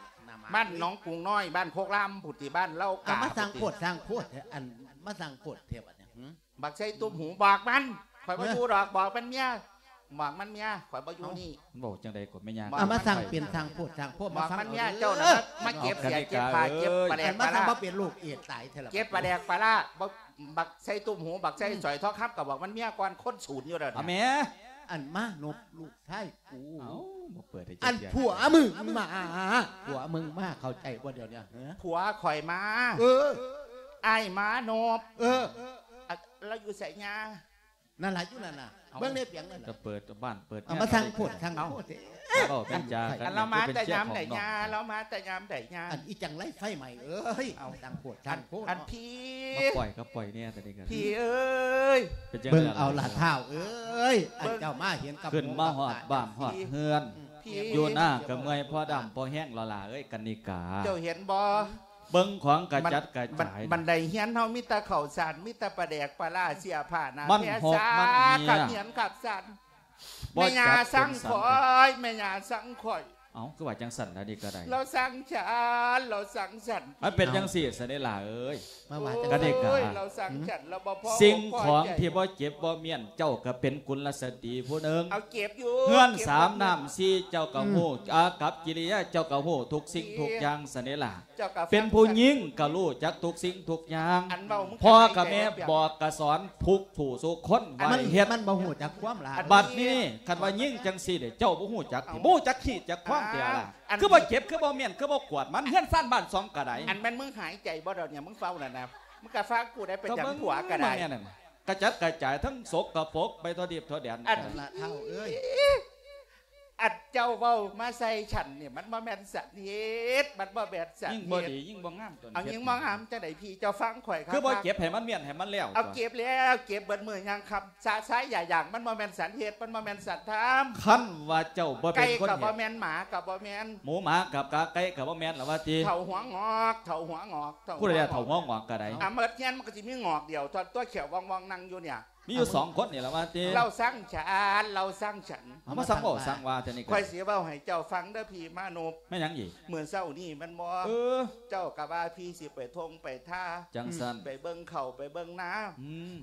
ບ້ານໜອງກຸງນ້ອຍ ບ້ານໂຄກລາມພຸ້ນຕິ ບ້ານເລົ່າກາ ເອົາ ມາສັ່ງໂພດ ພຸ້ນຕິ ສັ່ງໂພດແທ້ ອັນ ມາສັ່ງໂພດແທ້ບັດນີ້ ຫື? ບັກໄຊຕຸ້ມຫູ ບອກມັນ ຂ້ອຍບໍ່ຢູ່ດອກ ບອກມັນເມຍ ບອກມັນເມຍ ຂ້ອຍບໍ່ຢູ່ນີ້ ເອົ້າ ມັນເວົ້າຈັ່ງໃດກໍແມ່ຍ່າ ເອົາມາສ້າງເປັນສ້າງໂພດສ້າງໂພດ ບອກມັນເມຍ ເຈົ້ານະ ມາເກັບເສຍເກັບຜ້າເກັບປາແດກປາລາ ເຮັດມາສ້າງບໍ່ເປັນລູກເອດຕາຍແທ້ລະ ເກັບປາແດກປາລາ ບັກໄຊຕຸ້ມຫູ ບັກໄຊສອຍທອງຄຳ ກໍບອກມັນເມຍກ່ອນ ຄົນສູນຢູ່ແລ້ວ ເອົາແມ່ ອັນມານົບລູກຊາຍ ກູ ເອົ້າ ບໍ່ເປີດໃຫ້ ອັນຜົວມຶງມາ ຜົວມຶງມາ ເຂົ້າໃຈບໍ່ດຽວນີ້ ເອີ ຜົວຂ້ອຍມາ ເອີ ອ້າຍມານົບ ເອີ ລາວຢູ່ໃສຍ່າ? ນັ້ນລະ ຢູ່ນັ້ນລະ ເອົ້າ ເບິ່ງໃນປຽງນັ້ນລະ ກໍເປີດບ້ານເປີດ ເອົາມາສ້າງໂພດສ້າງໂພດ ເວົ້າເປັນຈາກັນ ອັນລາວມາແຕ່ຍາມໃດຍ່າ? ລາວມາແຕ່ຍາມໃດຍ່າ? ອັນອີ່ຈັ່ງໄລໄຟໄໝ້ເອີຍ ເອົ້າ ສ້າງໂພດສ້າງໂພດ ອັນ ເອົ້າ ພີ່ ມາປ່ອຍກໍປ່ອຍແດ່ ຕອນນີ້ກໍ ພີ່ເອີຍ ເບິ່ງເອົາລະທ້າວເອີຍ ອັນເຈົ້າມາເຫັນກັບ ຂຶ້ນມາຮອດບ້ານຮອດເຮືອນ ຢູ່ນາກໍເມື່ອຍ ພໍດຳພໍແຮງແລ້ວຫຼ້າເອີຍ ກັນນິກາ ເຈົ້າເຫັນບໍ່? ເບິ່ງຂອງກະຈັດກະຈາຍ ບັນໄດເຮືອນເຮົາມີແຕ່ເຂົ້າສານ ມີແຕ່ປາແດກປາລາ ເສື້ອຜ້າໜ້າແພສາ ມັນຫົກມັນເຫື່ອ ຄັບເຫືອນຄັບສານ ແມ່ຍ່າສັງຂ້ອຍ ແມ່ຍ່າສັງຂ້ອຍ ເອົ້າ ຄືວ່າຈັ່ງຊັ້ນລະ ນີ້ກໍໄດ້ ລາວສັງສັນ ລາວສັງສັນ ມັນເປັນຈັ່ງຊີ້ຊັ້ນເດ້ຫຼ້າເອີຍ ມາວ່າຈັງຊັ້ນ ກະເດກາ ລາວສັງສັນ ລາວບໍ່ພໍ ສິ່ງຂອງທີ່ບໍ່ເຈັບບໍ່ມ້ຽນ ເຈົ້າກໍເປັນກຸນລະສະຕີຜູ້ໜຶ່ງ ເອົາເກັບຢູ່ ເຮືອນສາມນ້ຳສີ່ ເຈົ້າກໍຮູ້ ອາກັບກິລິຍາ ເຈົ້າກໍຮູ້ທຸກສິ່ງທຸກຢ່າງຊັ້ນເດ້ຫຼ້າ ເປັນຜູ້ຍິງກໍຮູ້ຈັກທຸກສິ່ງທຸກຢ່າງ ພໍ່ກັບແມ່ບອກກະສອນທຸກຜູ້ທຸກຄົນວ່າໃຫ້ເຮັດ ມັນບໍ່ຮູ້ຈັກຄວາມຫຼາຍ ບັດນີ້ຄັນວ່າຍິງຈັ່ງຊີ້ເດ້ ເຈົ້າບໍ່ຮູ້ຈັກຕິ ບໍ່ຮູ້ຈັກຂີ້ຈັກຄວາງຕິລະ ຄືບໍ່ເຈັບ ຄືບໍ່ມ້ຽນ ຄືບໍ່ກວດມັນ ເຮືອນຊານບ້ານຊ່ອງກໍໄດ້ ອັນແມ່ນມຶງຫາຍໃຈບໍ່ດອກນີ້ ມຶງເຝົ້ານັ້ນນະ ມຶງກະຟັງກູໄດ້ ເປັນຫຍັງຜົວກໍໄດ້ ກະຈັດກະຈາຍທັງສົກກະປົກໄປທົ່ວທິບທົ່ວແດນ ອັນລະທ້າວເອີຍ ອັນເຈົ້າເວົ້າມາໃສ່ສັນນີ້ ມັນບໍ່ແມ່ນສັນເຮັດ ມັນບໍ່ແມ່ນສັນເຮັດ ຍິ່ງບໍ່ດີຍິ່ງບໍ່ງາມຕົວນີ້ ເອົາ ຍິ່ງບໍ່ງາມຈັ່ງໃດພີ່ ເຈົ້າຟັງຂ້ອຍ ຄືບໍ່ເກັບໃຫ້ມັນມ້ຽນໃຫ້ມັນແລ້ວ ເອົາ ເກັບແລ້ວ ເກັບເບິດມື້ຍັງຄ່ຳ ຊະຊາຍຢາຢາງ ມັນບໍ່ແມ່ນສັນເຮັດ ມັນບໍ່ແມ່ນສັນທຳ ຄັນວ່າເຈົ້າບໍ່ເປັນຄົນເຮັດ ໄກ່ກໍບໍ່ແມ່ນ ໝາກໍບໍ່ແມ່ນ ໝູໝາກັບກາໄກ່ກໍບໍ່ແມ່ນລະວ່າຕິ ເຖົ້າຫົວງອກ ເຖົ້າຫົວງອກ ຜູ້ໃດເຖົ້າຫົວງອກກໍໄດ້ ອາ ໝົດເຮືອນມັນກໍຊິມີງອກດຽວ ຕົວຂຽວວ່ອງໆ ນັ່ງຢູ່ນີ້ ມີຢູ່ສອງຄົນນີ້ລະວ່າຕິ ລາວສັງສັນ ລາວສັງສັນ ເອົາມາສັງເວົ້າສັງວ່າແຕ່ນີ້ ຂ້ອຍຊິເວົ້າໃຫ້ເຈົ້າຟັງເດີພີ່ມານົບ ແມ່ນຫຍັງອີກ ມື້ເຊົ້ານີ້ແມ່ນບໍ່ ເອີ ເຈົ້າກໍວ່າພີ່ຊິໄປທົ່ງໄປທ່າ ຈັ່ງຊັ້ນ ໄປເບິ່ງເຂົ້າໄປເບິ່ງນາ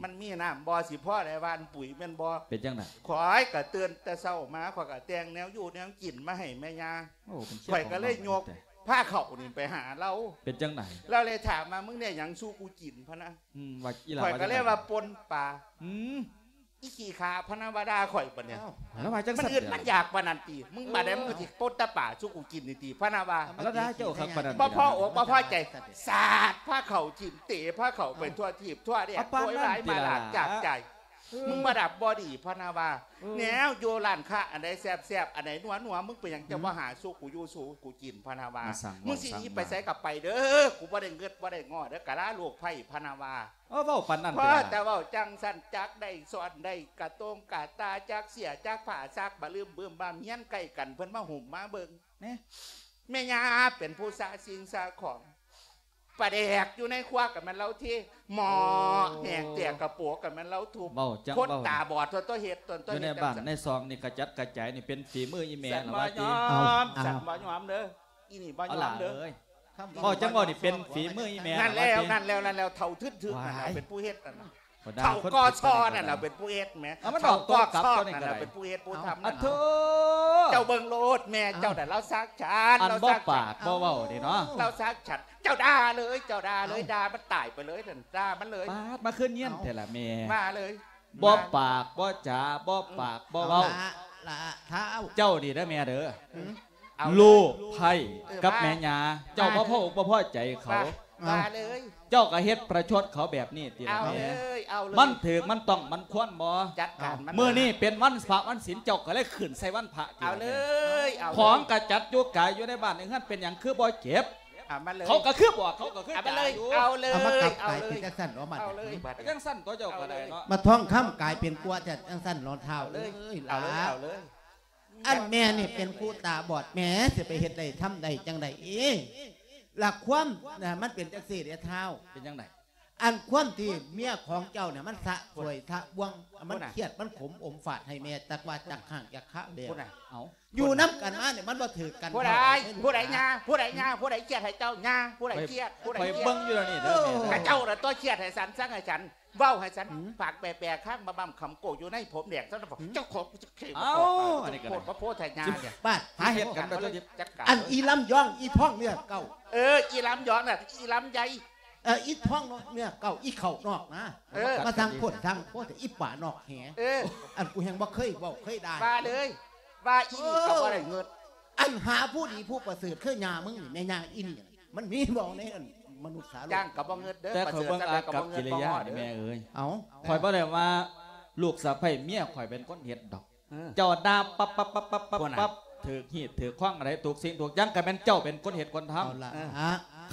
ມັນມີນ້ຳບໍ່ ຊິພໍໄດ້ຫວ່ານປຸ໋ຍແມ່ນບໍ່ ເປັນຈັ່ງໃດ ຂ້ອຍກໍຕື່ນແຕ່ເຊົ້າມາ ຂ້ອຍກໍແຕ່ງແນວຢູ່ແນວກິນມາໃຫ້ແມ່ຍ່າ ໂອ້ ເປັນເຊຍ ຂ້ອຍກໍເລີຍຍົກ ພາເຂົ້ານີ້ໄປຫາລາວ ເປັນຈັ່ງໃດ ລາວເລີຍຖາມວ່າ ມຶງໄດ້ຫຍັງສູ່ກູກິນ ພະນະ ອືມ ວ່າອີ່ຫຼ້າ ຂ້ອຍກໍເລີຍວ່າ ວ່າຈັ່ງໃດ ປົ່ນປາ ອືມ ອີຂີ້ຂ້າ ພະນະວ່າດ່າຂ້ອຍປານນີ້ ເອົ້າ ລາວວ່າຈັ່ງຊັ້ນ ມັນອຶດມັນຢາກປານນັ້ນຕິ ມຶງບາດໃດ ເອີ ມຶງກໍຊິປົ່ນແຕ່ປາສູ່ກູກິນນີ້ຕິ ພະນະວ່າ ລາວດ່າເຈົ້າຄັກປານນັ້ນ ບໍ່ພໍອົກບໍ່ພໍໃຈ ສາດພາເຂົ້າຖິ້ມ ເຕະພາເຂົ້າໄປທົ່ວທີບທົ່ວແດນ ໂວຍວາຍມາລາດຈາກໃຈ ເອີ ມຶງມາດັບບໍ່ດີ ພະນະວ່າ ເອີ ແນວຢູ່ຮ້ານຄ້າ ອັນໃດແຊບໆ ອັນໃດນົວໆ ມຶງເປັນຫຍັງຈະບໍ່ຫາສູ່ກູຢູ່ສູ່ກູກິນ ພະນະວ່າ ມາສັ່ງ ມຶງຊິໜີໄປໃສກໍໄປເດີ ກູບໍ່ໄດ້ເງິດບໍ່ໄດ້ງໍ້ເດີ ກະລາໂລກໄພ ພະນະວ່າ ເອີ ເວົ້າປານນັ້ນ ພໍແຕ່ເວົ້າຈັ່ງຊັ້ນ ຈັກໄດ້ຊ້ອນໄດ້ກະໂຕງກະຕາ ຈັກເສື້ອຈັກຜ້າ ຊັກບະລຶ້ມບຶ້ມບາມ ເຮືອນໃກ້ກັນ ເພິ່ນມາຫຸ້ມມາເບິ່ງ ແນ່ ແມ່ຍ່າເປັນຜູ້ຊະສິ່ງຊະຂອງ ປາແດກຢູ່ໃນຄົວກໍແມ່ນລາວເທ ໝໍ້ ໂອ້ ແຫກແຕກກະໂປກກໍແມ່ນລາວທຸບ ເວົ້າຈັ່ງ ຄົນ ເວົ້າຕາບອດຕົວະ ເຮັດຕົວະ ຢູ່ໃນບ້ານໃນຊ່ອງນີ້ກະຈັດກະຈາຍນີ້ເປັນຝີມືອີ່ແມ່ລະວ່າຕິ ສັນບໍ່ຍອມ ເອົາ ສັນບໍ່ຍອມເດີ ອີນີ້ບໍ່ຍອມເດີ ເວົ້າຈັ່ງເວົ້ານີ້ເປັນຝີມືອີ່ແມ່ ນັ້ນແລ້ວ ນັ້ນແລ້ວ ນັ້ນແລ້ວ ເຖົ້າທຶນໆ ນັ້ນແຫຼະເປັນຜູ້ເຮັດນັ້ນ ເຖົ້າກໍຊໍນັ້ນລະເປັນຜູ້ເຮັດແໝ ເຖົ້າກໍຊໍນັ້ນລະເປັນຜູ້ເຮັດຜູ້ທຳນັ້ນ ເຈົ້າເບິ່ງໂລດແມ່ເຈົ້ານະ ລາວສັກສັນ ອັນບໍ່ປາກບໍ່ເວົ້ານີ້ເນາະ ລາວສັກສັນ ເຈົ້າດ່າເລີຍ ເຈົ້າດ່າເລີຍ ດ່າມັນຕາຍໄປເລີຍນັ້ນ ດ່າມັນເລີຍ ປາດ ມາຄືນຽນແທ້ລະແມ່ ວ່າເລີຍ ບໍ່ປາກບໍ່ຈາ ບໍ່ປາກບໍ່ເວົ້າ ເຈົ້ານີ້ເດີແມ່ເດີ ລູກໃພ້ກັບແມ່ຍ່າ ເຈົ້າບໍ່ພໍອົກບໍ່ພໍໃຈເຂົາ ວ່າເລີຍ ເຈົ້າກໍເຮັດປະຊົດເຂົາແບບນີ້ຕິລະແມ່? ເອົາເລີຍ ເອົາເລີຍ ມັນຖືກ ມັນຕ້ອງ ມັນຄວນບໍ່? ຈັດການມັນ ມື້ນີ້ເປັນວັນພະວັນສິນ ເຈົ້າກໍເລີຍຂຶ້ນໃສ່ວັນພະຕິລະແມ່? ເອົາເລີຍ ເອົາເລີຍ ຂອງກະຈັດຢູ່ກາຍຢູ່ໃນບ້ານໃນເຮືອນ ເປັນຫຍັງຄືບໍ່ເກັບ? ເອົາມາເລີຍ ເຂົາກໍຄືບອກ ເຂົາກໍຄື ເອົາມາເລີຍ ຈ່າຍຢູ່ ເອົາເລີຍ ເອົາມາກັບກາຍ ເອົາເລີຍ ເປັນຈັ່ງຊັ້ນ ເອົາເລີຍ ເປັນຈັ່ງຊັ້ນຕົວະ ເຈົ້າກໍໄດ້ເນາະ ມາທ່ອງຄຳກາຍເປັນກົວແທ້ ຈັ່ງຊັ້ນເນາະທ້າວເອີຍ ເອົາເລີຍ ຫຼ້າ ເອົາເລີຍ ອັນແມ່ນີ້ເປັນຜູ້ຕາບອດ ແມ່ຊິໄປເຮັດໄດ້ທຳໄດ້ຈັ່ງໃດເອ? ລະຄວາມນະ ມັນເປັນຈັ່ງຊີ້ເດ້ທ້າວ ເປັນຈັ່ງໃດ? ອັນຄວາມທີ່ເມຍຂອງເຈົ້ານີ້ ມັນສະສວຍສະບວງ ມັນຄຽດ ມັນຂົມອົມຟາດໃຫ້ແມ່ ຈັກວ່າຈັກຮ້າງຈັກຄາແລ້ວ ເອົ້າ ຢູ່ນຳກັນມານີ້ ມັນບໍ່ຖືກກັນ ຜູ້ໃດ ເທົ່າໃດ ຜູ້ໃດຍາ ຜູ້ໃດຍາ ຜູ້ໃດຄຽດໃຫ້ເຈົ້າຍາ ຜູ້ໃດຄຽດ ຜູ້ໃດ ຂ້ອຍ ຂ້ອຍເບິ່ງຢູ່ແລ້ວນີ້ເດີແມ່ເດີ ເຈົ້າລະຕົວະຄຽດໃຫ້ສັນ ສັ່ງໃຫ້ສັນ ເວົ້າໃຫ້ສັນ ຫືມ ປາກແປະໆ ຄ້າງມາບຳຄຳໂກຢູ່ໃນຜົມແດງ ເຈົ້າຂອງ ເອົ້າ ອັນນີ້ກໍໄດ້ ໂພດພະໂພດໄທຍານີ້ ບາດ ຫາເຮັດກັນໄປຕົວະ ຈັດການ ອັນອີລຳຍອງ ອີທ້ອງເນື້ອເກົ່າ ເອີ ອີລຳຍອງນະ ອີລຳໃຫຍ່ ເອີ ອີທ້ອງເນື້ອເກົ່າ ອີເຂົ້ານອກນະ ເອີ ມາສ້າງໂພດສ້າງໂພດ ອີປານອກແຫ ເອີ ອັນກູແຮ່ງບໍ່ເຄີຍເວົ້າເຄີຍດ່າ ວ່າເລີຍ ວ່າອີນີ້ກໍບໍ່ໄດ້ເງິດ ເອີ ອັນຫາຜູ້ດີຜູ້ປະເສີດຄືຍ່າມຶງນີ້ ແມ່ຍ່າອີນີ້ ມັນມີບໍ່ໃນອັນມະນຸດສາໂລກ? ຈ້າງກໍບໍ່ເງິດເດີ ແຕ່ຂ້ອຍເບິ່ງອາກັບກິລິຍານີ້ແມ່ເອີຍ ເອົ້າ ຂ້ອຍບໍ່ໄດ້ວ່າລູກສະໃພ້ເມຍຂ້ອຍເປັນຄົນເຮັດດອກ ເອີ ເຈົ້າດ່າປັບໆໆໆ ຖືກຮີດຖືກຄອງ ອັນໃດທຸກສິ່ງທຸກຢ່າງ ກໍແມ່ນເຈົ້າເປັນຄົນເຮັດຄົນທຳ ເອົາລະ ເອີ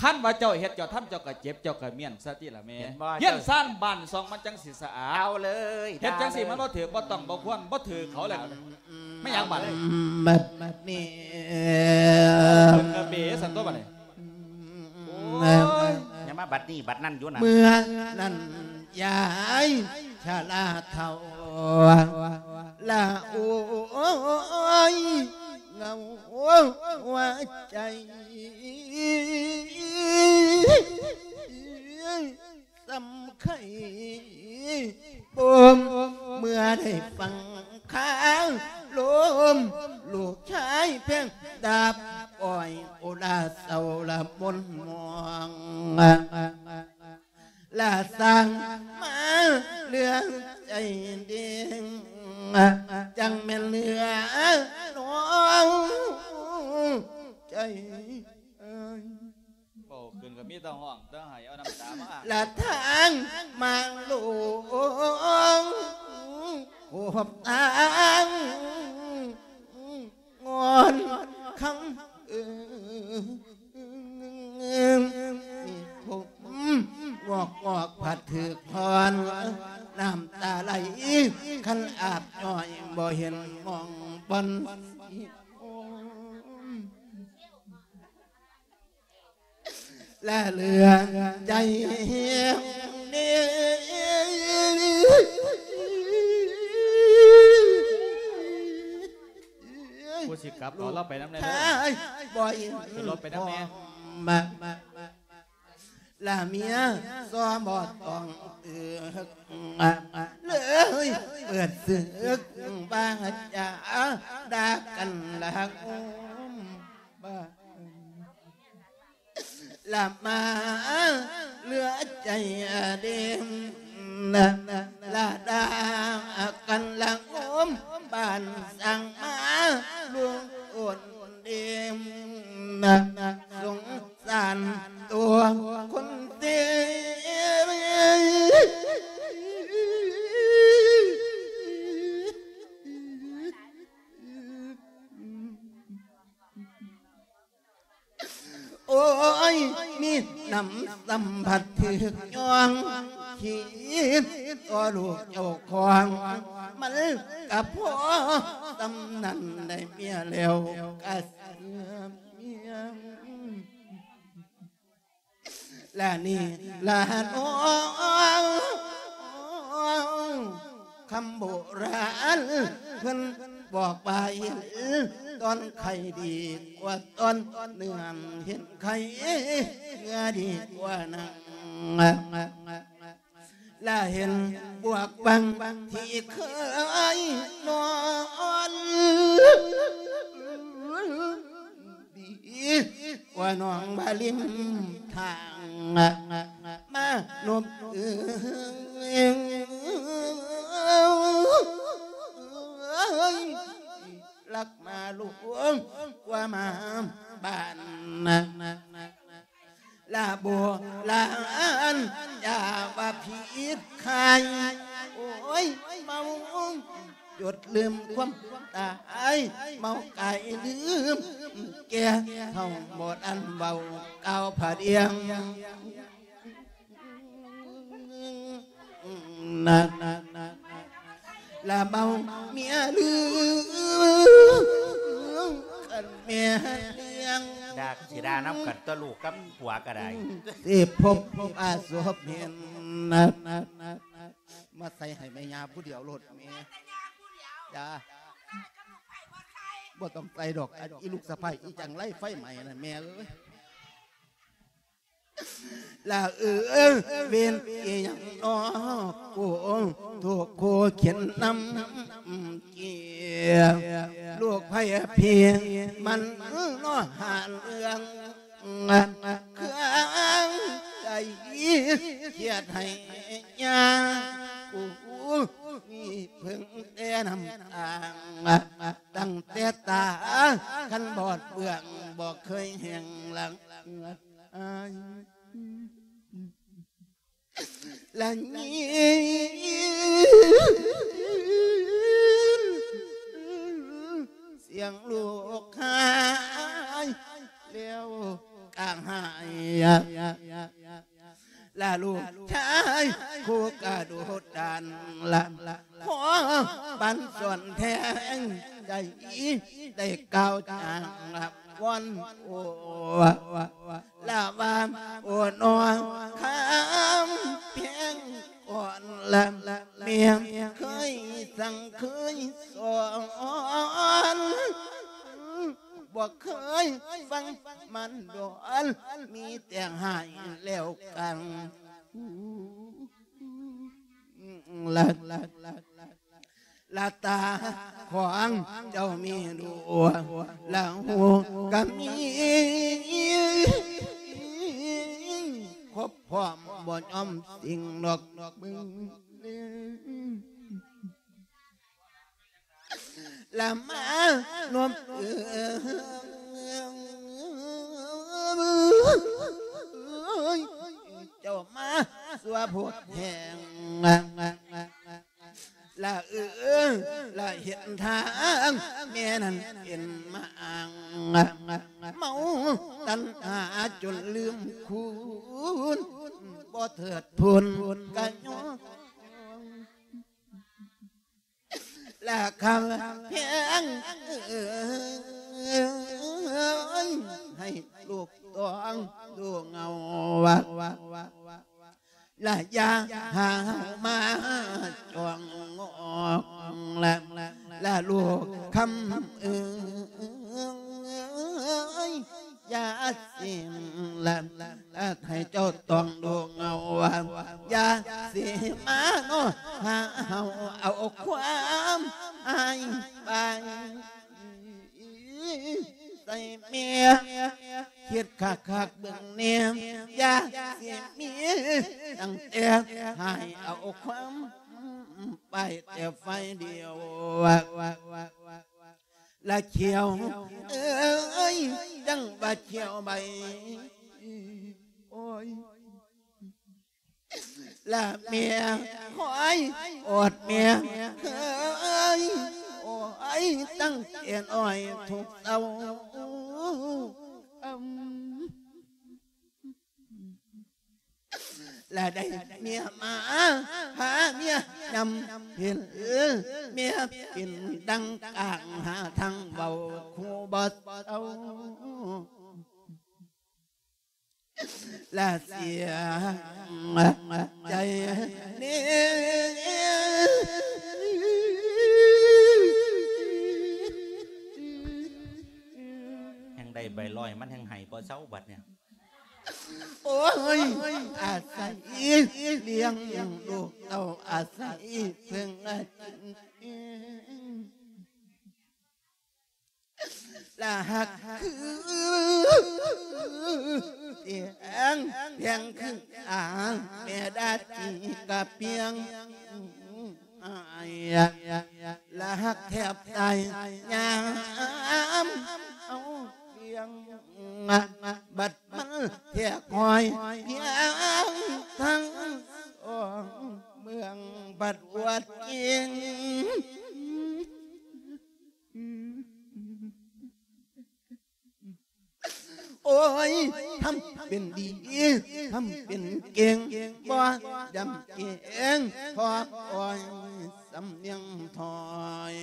ຄັນວ່າເຈົ້າເຮັດເຈົ້າທຳ ເຈົ້າກໍເຈັບ ເຈົ້າກໍມ້ຽນຊະຕິລະແມ່ ເຫັນບໍ່? ເຮືອນຊານບ້ານຊ່ອງມັນຈັ່ງຊິສະອາດ ເອົາເລີຍ ເຮັດຈັ່ງຊີ້ມັນບໍ່ຖືກ ບໍ່ຕ້ອງ ບໍ່ຄວນ ບໍ່ຖືກເຂົາແລ້ວ ແມ່ນຫຍັງບາດນີ້? ບັດ ບັດນີ້ ເພິ່ນກະເບຊັ້ນຕົວະບາດນີ້ ໂອ້ຍ ຢ່າມາບັດນີ້ບັດນັ້ນຢູ່ນະ ເມື່ອນັ້ນຍາຍຊະລາເຖົ້າ ລະໂອ້ຍ ເຫງົາຫົວໃຈ ສ່ຳໄຄບົ່ມ ເມື່ອໄດ້ຟັງຄາລົມ ລູກຊາຍແພງດາບອ້ອຍ ໂອລາເສົ້າລະມົນມອງ ລະສ້າງມາເຫຼືອໃຈເດ້ງ ຈັ່ງແມ່ນເຫຼືອນ້ອງໃຈ ເວົ້າຂຶ້ນກໍມີແຕ່ຮ້ອງແຕ່ໄຫ້ ເອົານ້ຳຕາມາອ້າງ ລະທາງມາຫຼວງ ພົບທາງງອນຄຳເອີ ມີຜົມງອກງອກພັດຖືກຖອນ ນ້ຳຕາໄຫຼຄັນອາບຍ້ອຍ ບໍ່ເຫັນໝ່ອງບ່ອນ ລະເຫຼືອໃຈແຮງເນ ຜູ້ຊິກັບເອົາລາວໄປນຳແດ່ເດີ ບໍ່ເຫັນ ຂຶ້ນລົດໄປນຳແດ່ ລະເມຍຊໍບໍ່ຕ້ອງຕຶກ ເລີຍເປີດສຶກ ບາດຈາດ່າກັນລະໂອມ ລະມາເຫຼືອໃຈເດມ ລະດາກັນລະໂອມ ບ້ານສ້າງມາລຸງໂອນເດມ ສົງສານຕົວຄົນເດມ. ໂອ້ຍ ມີນ້ຳສຳຜັດຖືກຍ້ອງ ຄິດຕໍ່ລູກເຈົ້າຂອງ ມັນກະພໍສ່ຳນັ້ນ ໄດ້ເມຍແລ້ວກະເຊື່ອເມຍ. ລະນີ້ລະນ້ອງ ຄຳໂບລານເພິ່ນບອກວ່າ ເຫັນຕອນໄຂ່ດີກວ່າຕອນເນື້ອ ເຫັນໄຂ່ເນື້ອດີກວ່າໜັງ ລະເຫັນບວກບັງທີ່ເຄີຍນອນ ດີກວ່ານ້ອງວ່າລິມທາງ ມານົບເອີຍ ລັກມາຫຼວງກວ່າມາບ້ານ. ລະໂບລານຢ່າວ່າຜິດໄຄ ໂອ້ຍ ເມົາຈົນລືມຄວາມຕາຍ ເມົາກາຍລືມແກ່ ເຖົ້າບໍ່ທັນເວົ້າກ່າວພະດຽງ ນະ ລະເມົາເມຍລືມກັນແມ່ລ້ຽງ ດ່າຊິດ່ານຳກັນຕົວະ ລູກກັບຜົວກໍໄດ້ ຊິພົບປະສົບເຫັນນະ ມາໃສ່ໃຫ້ແມ່ຍ່າຜູ້ດຽວໂລດແມ່ ຈ້າ ບໍ່ຕ້ອງໃສ່ດອກ ອັນອີລູກສະໃພ້ອີຈັງໄລໄຟໄໝ້ນັ້ນແມ່ເອີຍ. ລະເອີ ເວນອີຫຍັງນໍ ໂກໂທໂຄເຂັນນຳເກຍ ລູກໃຜພີມັນນໍ ຫາເລື່ອງເຄື່ອງໃຈ ຄຽດໃຫ້ຍາ ກູມີເພິ່ງແຕ່ນ້ຳຕາ ຕັ້ງແຕ່ຕາ ຄັນບອດເບື້ອງ ບໍ່ເຄີຍແຫ້ງຫຼັງ ລະຍິນສຽງລູກໄຫ້ ແລ້ວກະໄຫ້ ລະລູກຊາຍຄູ່ກະດູດດານ ລະພໍປັນສອນແທງໃຈ ໄດ້ກ່າວຈາງລະວອນໂອ ລະວ່າໂອນອ ຄຳແພງກ່ອນ ລະແມ່ເຄີຍສັ່ງເຄີຍສອນ ບໍ່ເຄີຍຟັງມັນດອນ ມີແຕ່ຮ້າຍແລ້ວກັນ ລະ ລະຕາຂອງເຈົ້າມີດ້ວຍ ລະຫູກະມີຄົບພ້ອມ ບໍ່ຍອມສິ້ງດອກເບິ່ງ ລະມານວມເອີ ເຈົ້າມາຊົ່ວໂພດແຮງ ລະເອີ ລະເຫັນທາງແມ່ນັ້ນເປັນມາອ້າງ ເມົາຕັນຫາຈົນລືມຄຸນ ບໍ່ເທີດທູນກະຍ້ອນ ລະຄຳແພງເອີຍ ໃຫ້ລູກຕ້ອງດູເງົາ ລະຢ່າຫາເຮົາມາຈ້ອງງອກ ລະ ລະລູກຄຳເອີຍ ຢ່າຊິ ລະ ລະໃຫ້ເຈົ້າຕ້ອງດູເງົາ ຢ່າຊິມານໍ ຫາເຮົາເອົາຄວາມອ້າຍໄປໃສ່ແມ່ ຄິດຄັກໆເບິ່ງແນ່ ຢ່າຊິມີຕັ້ງແຕ່ໃຫ້ເອົາຄວາມໄປແຕ່ຝ່າຍດຽວ ລະຂຽວເອີຍ ຈັ່ງວ່າຂຽວໃບ ໂອ້ຍ ລະແມ່ຄອຍອອດແມ່ເຄີຍ ໂອ້ຍ ຕັ້ງແຕ່ນ້ອຍທຸກເຊົ້າ ລະໄດ້ເມຍມາຫາເມຍນຳເຫັນ ເມຍເປັນດັ່ງກາງຫາທາງເວົ້າຄູ່ບໍ່ເຊົາ ລະເສຍໃຈເນ ແຮ່ງໄດ້ໃບຮ້ອຍ ມັນແຮ່ງໄຫ້ບໍ່ເຊົາບັດນີ້. ໂອ້ຍ ອາໄສລ້ຽງລູກເຕົ້າ ອາໄສເພິ່ງອາກິນເອງ ລະຮັກຄືແພງ ແພງຄືອາ ແມ່ດາຈີກະປຽງ ລະຮັກແທບຕາຍຍາມເອົາປ່ຽງ ບັດມັນແທກຫໍ ພຽງທັງສອງເມືອງບັດອວດເກັ່ງ. ໂອ້ຍ ທຳເປັນດີ ທຳເປັນເກັ່ງ ບໍ່ຢຳເກງ ຂໍອ້ອຍສຳນຽງຖອຍ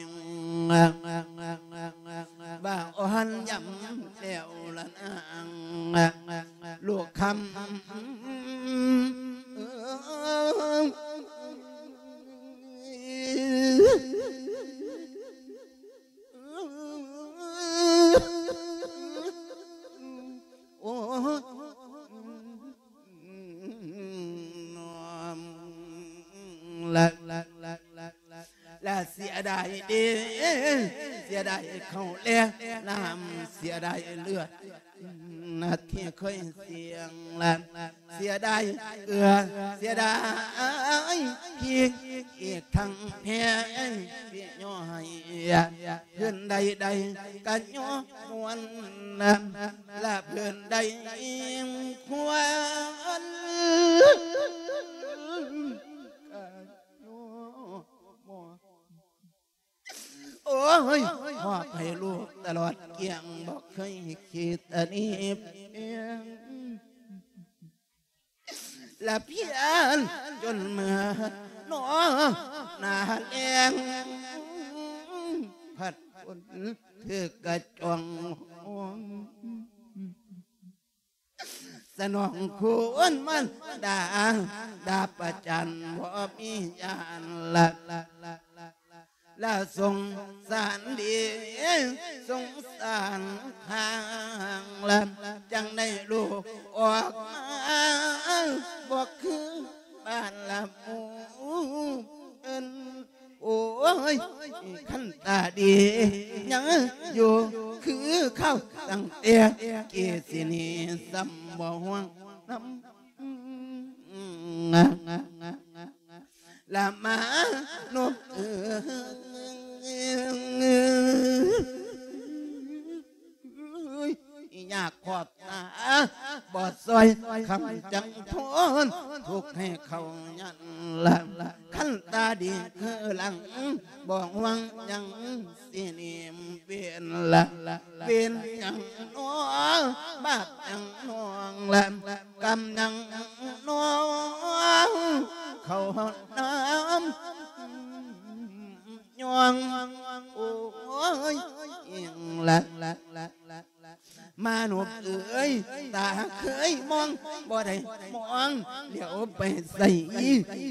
ວ່າອ່ອນຢຳແລ້ວລະນາງ ລູກຄຳ. ໂອ້ ລະ ລະ ລະ ລະ ລະເສຍດາຍເດ້ ເສຍດາຍເຂົ້າແລນ້ຳ ເສຍດາຍເລືອດ ນະທີ່ເຄີຍສ່ຽງລະ ເສຍດາຍເກືອ ເສຍດາຍພິກ ອີກທັງແພງພິຍ້ອຍ ພື້ນໃດໆກະຍ້ອນມ່ວນນະ ລະພື້ນໃດຄວນກະຍ້ອນມ່ວນ. ໂອ້ຍ ມອບໃຫ້ລູກຕະຫຼອດກ້ຽງ ບໍ່ເຄີຍຄິດອະນີບເອງ ລະພຽນຈົນເມື່ອນອນໜ້າແລງ ພັດຝົນຖືກກະຈ່ອງ ສະໜອງຄຸນມານດາ ດາປະຈັນບໍ່ມີຍານລະ ລະສົງສານເດ ສົງສານທາງລະ ຈັ່ງໄດ້ລູກອອກມາ ບໍ່ຄືບ້ານລະໝູ່ເອີ້ນ. ໂອ້ຍ ຄັນຕາດີຍັງຢູ່ຄືເກົ່າ ຕັ້ງແຕ່ກີ້ຊິໜີ ຊ້ຳບໍ່ຫ່ວງນຳ ລະມານົບເອີຍ ຍາກຂອບຕາບໍ່ຊ່ອຍ ຄຳຈັ່ງທົນທຸກໃຫ້ເຂົາຍັນລະ ຄັນຕາດີຄືຫຼັງ ບໍ່ຫວັງຫຍັງຊິໜີເວນລະ ເວນຫຍັງນໍ ບາບຫຍັງນ້ອງລະ ກຳຫຍັງນ້ອງ ເຂົ້ານຳ ຍ້ອງ ໂອ້ຍ ອີງລະ ມານົບເອີຍ ຕາເຄີຍມອງ ບໍ່ໄດ້ມອງ ຫຼຽວໄປໃສ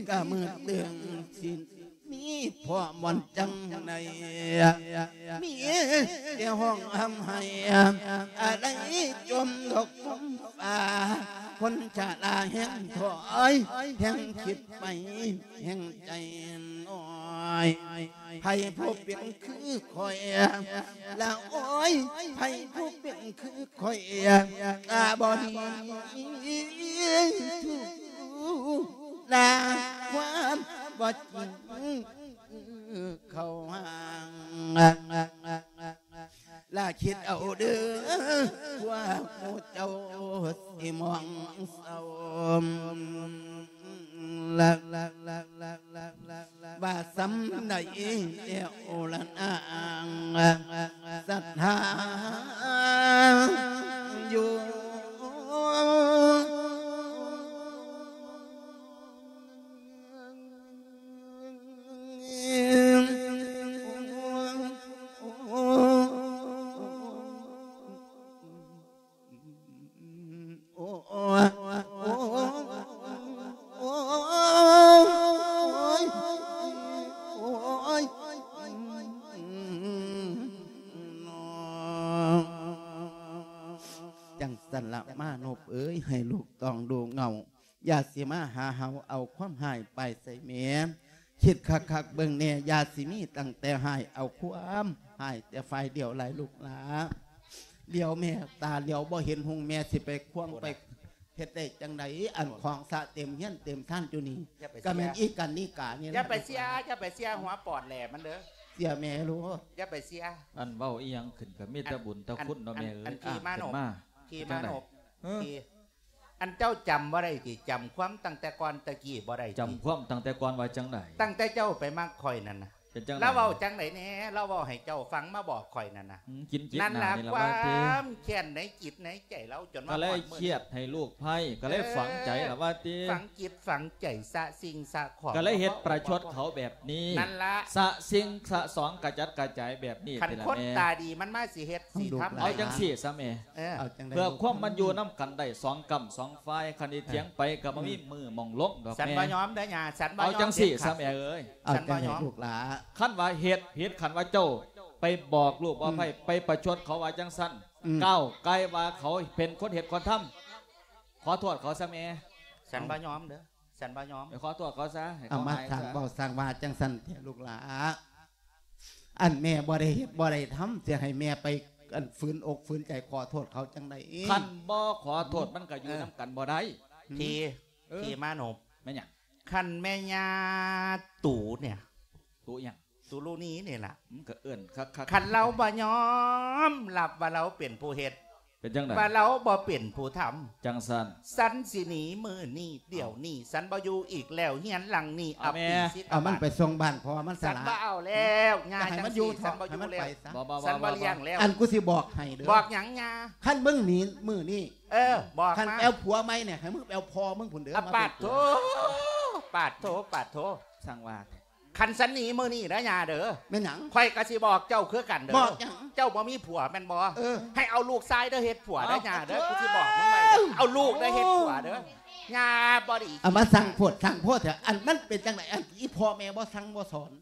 ກະມືດເຕີງ ຊິມີພໍ່ບ່ອນຈັ່ງໃດ ມີແຕ່ຮ້ອງຮ່ຳໄຫ້ ອາໄລຈົມດອກຈົມຟ້າ ຄົນຊະລາແຮ່ງຖອຍ ແຮ່ງຄິດໄປ ແຮ່ງໃຈນ້ອຍ ໃຜຜູ້ເປັນຄືຂ້ອຍລະໂອຍ ໃຜຜູ້ເປັນຄືຂ້ອຍ ຕາບໍ່ດີຖືກລາ ຄວາມບໍ່ຈິງເຂົ້າຫາ ລະຄິດເອົາເດີ ພວກໝູ່ເຈົ້າຊິມອງເສົ້າ ລະ ລະ ລະ ລະ ລະ ວ່າສ່ຳໃດແລ້ວລະນາງ ສັດທາຢູ່ ໂອ້ຍ ໂອ້ຍ ໂອ້ຍ ໂອ້ຍ ຈັ່ງຊັ້ນລະມານົບເອີຍ ໃຫ້ລູກຕ້ອງດູເຫງົາ ຢ່າຊິມາຫາເຮົາເອົາຄວາມຮ້າຍໄປໃສ່ແມ່ ຄິດຄັກໆເບິ່ງແດ່ ຢ່າຊິມີຕັ້ງແຕ່ຮ້າຍ ເອົາຄວາມຮ້າຍແຕ່ຝ່າຍດຽວຫຼາຍລູກຫຼາ ຫຼຽວແມ່ຕາຫຼຽວບໍ່ເຫັນຮຸ່ງ ແມ່ຊິໄປຄວາງໄປເຮັດໄດ້ຈັ່ງໃດ ອັນຂອງສະເຕັມເຮືອນເຕັມຊານຢູ່ນີ້ ກະແມ່ນອີການນິການີ້ ຢ່າໄປເສຍ ຢ່າໄປເສຍຫົວປອດແຫຼມັນເດີ ເສຍແມ່ລູກ ຢ່າໄປເສຍ ອັນເວົ້າອີ່ຫຍັງຂຶ້ນກະມີແຕ່ບຸນແຕ່ຄຸນເນາະແມ່ເອີຍ ທີ່ມານົບ ທີ່ມານົບ ທີ່ ອັນເຈົ້າຈຳບໍ່ໄດ້ຕິ? ຈຳຄວາມຕັ້ງແຕ່ກ່ອນຕະກີ້ບໍ່ໄດ້ຕິ? ຈຳຄວາມຕັ້ງແຕ່ກ່ອນວ່າຈັ່ງໃດ? ຕັ້ງແຕ່ເຈົ້າໄປມັກຂ້ອຍນັ້ນນະ ເປັນຈັ່ງໃດ? ລາວເວົ້າຈັ່ງໃດແດ່? ລາວເວົ້າໃຫ້ເຈົ້າຟັງ ມາບອກຂ້ອຍນັ້ນນະ. ອືມ ກິນຈິດ ນັ້ນລະ ໜ້ານີ້ລະວ່າຕິ? ຄວາມແຄ້ນໃນຈິດໃນໃຈລາວ ຈົນມາຮອດມື້ນີ້ ກໍເລີຍຄຽດໃຫ້ລູກໄພ ກໍເລີຍ ເອີ ຝັງໃຈລະວ່າຕິ? ຝັງຈິດຝັງໃຈ ສະສິ່ງສະຂອງ ກໍເລີຍເຮັດປະຊົດເຂົາແບບນີ້ ນັ້ນລະ ສະສິ່ງສະສອງ ກະຈັດກະຈາຍແບບນີ້. ຄັນຄົນຕາດີມັນມາຊິເຮັດ ຊິທຳ ເອົາຈັ່ງຊີ້ຊະແມ່ ເອີ ເພື່ອຄວາມມັນຢູ່ນຳກັນໄດ້ສອງກ້ຳສອງຝ່າຍ ຄັນຊິຖຽງໄປກໍບໍ່ມີມື້ໝ່ອງລົງດອກແມ່. ສັນບໍ່ຍອມເດີຍ່າ ສັນບໍ່ຍອມ. ເອົາຈັ່ງຊີ້ຊະແມ່ເອີຍ ສັນບໍ່ຍອມ ລູກຫຼ້າ. ຄັນວ່າເຮັດຜິດ ຄັນວ່າເຈົ້າໄປບອກລູກບໍ່ໄພ ໄປປະຊົດເຂົາວ່າຈັ່ງຊັ້ນ ອືມ ກ້າວໄກ່ວ່າເຂົາເປັນຄົນເຮັດຄົນທຳ ຂໍໂທດເຂົາຊະແມ່. ສັນບໍ່ຍອມເດີ ສັນບໍ່ຍອມ. ໄປຂໍໂທດເຂົາຊະ ໃຫ້ເຂົາຫາຍຊະ. ເອົາມາສ້າງເວົ້າສ້າງວ່າຈັ່ງຊັ້ນແທ້ລູກຫຼ້າ. ອັນແມ່ບໍ່ໄດ້ເຮັດບໍ່ໄດ້ທຳ ຊິໃຫ້ແມ່ໄປ ອັນ ຝືນອົກຝືນໃຈຂໍໂທດເຂົາຈັ່ງໃດ? ຄັນບໍ່ຂໍໂທດ ມັນກໍຢູ່ນຳກັນບໍ່ໄດ້. ເອີ ທີ່ ເອີ ທີ່ມານົບ ແມ່ນຫຍັງ? ຄັນແມ່ຍ່າຕູນີ້ ຕູຫຍັງ? ຕູລູນີ້ນີ້ລະ ມັນກໍເອີ້ນຄັກໆ. ຄັນລາວບໍ່ຍອມຮັບວ່າລາວເປັນຜູ້ເຮັດ ເປັນຈັ່ງໃດ? ວ່າລາວບໍ່ເປັນຜູ້ທຳ ຈັ່ງຊັ້ນ ສັນຊິໜີມື້ນີ້ດຽວນີ້. ເອົ້າ ສັນບໍ່ຢູ່ອີກແລ້ວ ເຮືອນຫຼັງນີ້ ເອົາແມ່ ອະປີສິດ ເອົາມັນໄປສົ່ງບ້ານ ເພາະວ່າມັນສະຫຼາດ. ສັນບໍ່ເອົາແລ້ວ ຍ່າ ຈັ່ງຊີ້ ສັນບໍ່ຢູ່ແລ້ວ ບໍ່ ບໍ່ ສັນບໍ່ລ້ຽງແລ້ວ. ອັນກູຊິບອກໃຫ້ເດີ. ບອກຫຍັງຍ່າ? ຄັນມຶງໜີມື້ນີ້ ເອີ ບອກມາ. ຄັນແອ່ວຜົວໃໝ່ນີ້ ໃຫ້ມຶງໄປເອົາພໍ່ມຶງພຸ້ນເດີ. ອະ ມາ ປາດໂທ ເປັນຜົວ ປາດໂທ ປາດໂທ ຊ່າງວ່າ ຄັນສັນໜີມື້ນີ້ເດີຍ່າເດີ. ແມ່ນຫຍັງ? ຂ້ອຍກໍຊິບອກເຈົ້າຄືກັນເດີ. ບອກຫຍັງ? ເຈົ້າບໍ່ມີຜົວແມ່ນບໍ່? ເອີ ໃຫ້ເອົາລູກຊາຍເດີເຮັດຜົວເດີ ເອົ້າ ຍ່າເດີ. ໂອ້ ກູຊິບອກມຶງໄວ້ເດີ ເອົາລູກເດີເຮັດຜົວເດີ. ໂອ້ ຍ່າບໍ່ດີ ເອົາມາສ້າງໂພດສ້າງໂພດແທ້. ອັນມັນເປັນຈັ່ງໃດ? ອັນອີ່ພໍ່ແມ່ບໍ່ສັ່ງບໍ່ສອນ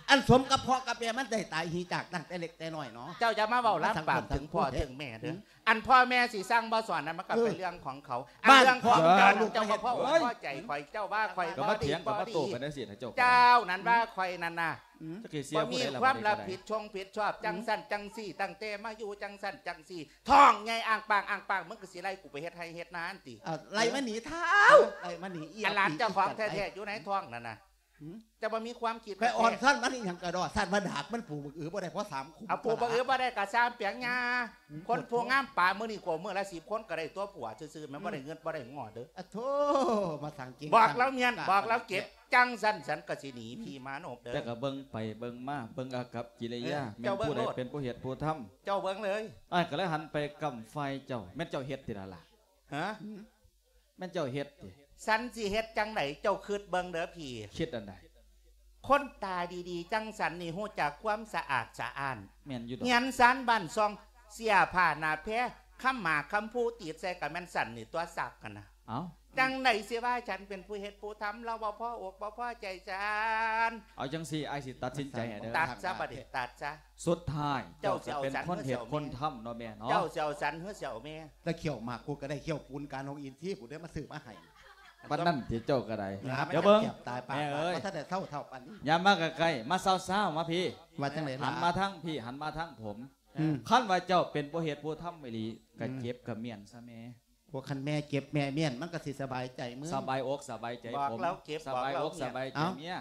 ອັນສົມກັບພໍ່ກັບແມ່ມັນໄດ້ຕາຍຫີຈາກຕັ້ງແຕ່ເລັກແຕ່ນ້ອຍເນາະ. ເຈົ້າຢ່າມາເວົ້າລາມປາກເຖິງພໍ່ເຖິງແມ່ເດີ. ອືມ ອັນພໍ່ແມ່ຊິສັ່ງບໍ່ສອນນັ້ນ ມັນກໍເປັນເລື່ອງຂອງເຂົາ. ເອີ ອັນເລື່ອງຂອງເຈົ້າ ເຈົ້າບໍ່ພໍອົກພໍໃຈຂ້ອຍ ເຈົ້າວ່າຂ້ອຍບໍ່ດີບໍ່ດີ ເຈົ້ານັ້ນວ່າຂ້ອຍນັ້ນນະ ອືມ ບໍ່ມີຄວາມຮັບຜິດຊອບ ຈັ່ງຊັ້ນຈັ່ງຊີ້ ຕັ້ງແຕ່ມາຢູ່ຈັ່ງຊັ້ນຈັ່ງຊີ້ ທ້ອງໃຫຍ່ອ້າງປາງອ້າງປາງ ມຶງກໍຊິໄລ່ກູໄປເຮັດໄຮ່ເຮັດນາຫັ້ນຕິ? ເອີ ໄລ່ມາໜີທ້າວ ໄລ່ມາໜີ. ອັນຫຼານເຈົ້າຂອງແທ້ໆຢູ່ໃນທ້ອງນັ້ນນະ ຫືມ ເຈົ້າບໍ່ມີຄວາມຄິດ ຂ້ອຍອ່ອນຊ້ອນມັນອີ່ຫຍັງກະດອກ ຊ້ອນວ່າດາກມັນປູກບັກອືບໍ່ໄດ້ພໍສາມຄຸ້ມ. ເອົາ ປູກບັກອືບໍ່ໄດ້ກະຊ່າງປຽງຍາ ຄົນຜູ້ງາມປານມື້ນີ້ກວ່າມື້ລະສິບຄົນກະໄດ້ຕົວຜົວຊື່ໆ ແມ່ນບໍ່ໄດ້ເງິນບໍ່ໄດ້ງໍເດີ. ອະໂທ ມາສ້າງເກັ່ງ ບອກລາວມ້ຽນ ບອກລາວເກັບ ຈັ່ງຊັ້ນສັນກະຊິໜີ ອືມ ພີ່ມານົບເດີ. ແຕ່ກະເບິ່ງໄປເບິ່ງມາ ເບິ່ງອາກັບກິລິຍາ ເອີ ແມ່ນຜູ້ໃດເປັນຜູ້ເຮັດຜູ້ທຳ ເຈົ້າເບິ່ງເລີຍ. ອ້າຍກະເລີຍຫັນໄປກ້ຳຝ່າຍເຈົ້າ ແມ່ນເຈົ້າເຮັດຕິລະລະ? ຫະ? ແມ່ນເຈົ້າເຮັດຕິ? ສັນຊິເຮັດຈັ່ງໃດ? ເຈົ້າຄິດເບິ່ງເດີພີ່. ຄິດອັນໃດ? ຄົນຕາດີໆ ຈັ່ງສັນນີ້ຮູ້ຈັກຄວາມສະອາດສະອ້ານ. ແມ່ນຢູ່ດອກ. ເຮືອນຊານບ້ານຊ່ອງ ເສື້ອຜ້າໜ້າແພ ຄຳໝາກຄຳພູຕິດໃສ່ກະແມ່ນສັນນີ້ຕົວະ ຊັກຫັ້ນນະ. ເອົ້າ ຈັ່ງໃດຊິວ່າສັນເປັນຜູ້ເຮັດຜູ້ທຳ ລາວບໍ່ພໍອົກບໍ່ພໍໃຈສັນ. ເອົາຈັ່ງຊີ້ ອ້າຍຊິຕັດສິນໃຈໃຫ້ເດີ. ຕັດຊະ ບັດນີ້ຕັດຊະ. ສຸດທ້າຍເຈົ້າຈະເປັນຄົນເຮັດຄົນທຳເນາະແມ່ເນາະ. ເຈົ້າຊິເອົາສັນ ຫຼື ຊິເອົາແມ່? ແຕ່ຂ້ຽວໝາກກູກະໄດ້ ຂ້ຽວປູນການຂອງອິນຊີ ກູໄດ້ມາຊື້ມາໃຫ້. ປານນັ້ນຕິເຈົ້າກະໄດ້. ດຽວເບິ່ງ ແມ່ເອີຍ ບໍ່ທັນໄດ້ເຖົ້າເທົ່າປານນີ້. ຢ່າມາໃກ້ໆ ມາຊາວໆ ມາພີ້. ວ່າຈັ່ງໃດລະ? ຫັນມາທາງພີ້ ຫັນມາທາງຜົມ. ອືມ ຄັນວ່າເຈົ້າເປັນຜູ້ເຮັດຜູ້ທຳອີ່ຫຼີ ກະ ອືມ ເຈັບກະມ້ຽນຊະແມ່. ພວກຄັນແມ່ເຈັບແມ່ມ້ຽນ ມັນກະຊິສະບາຍໃຈມຶງ ສະບາຍອົກສະບາຍໃຈຜົມ ບອກລາວເຈັບ ສະບາຍອົກສະບາຍໃຈເມຍ.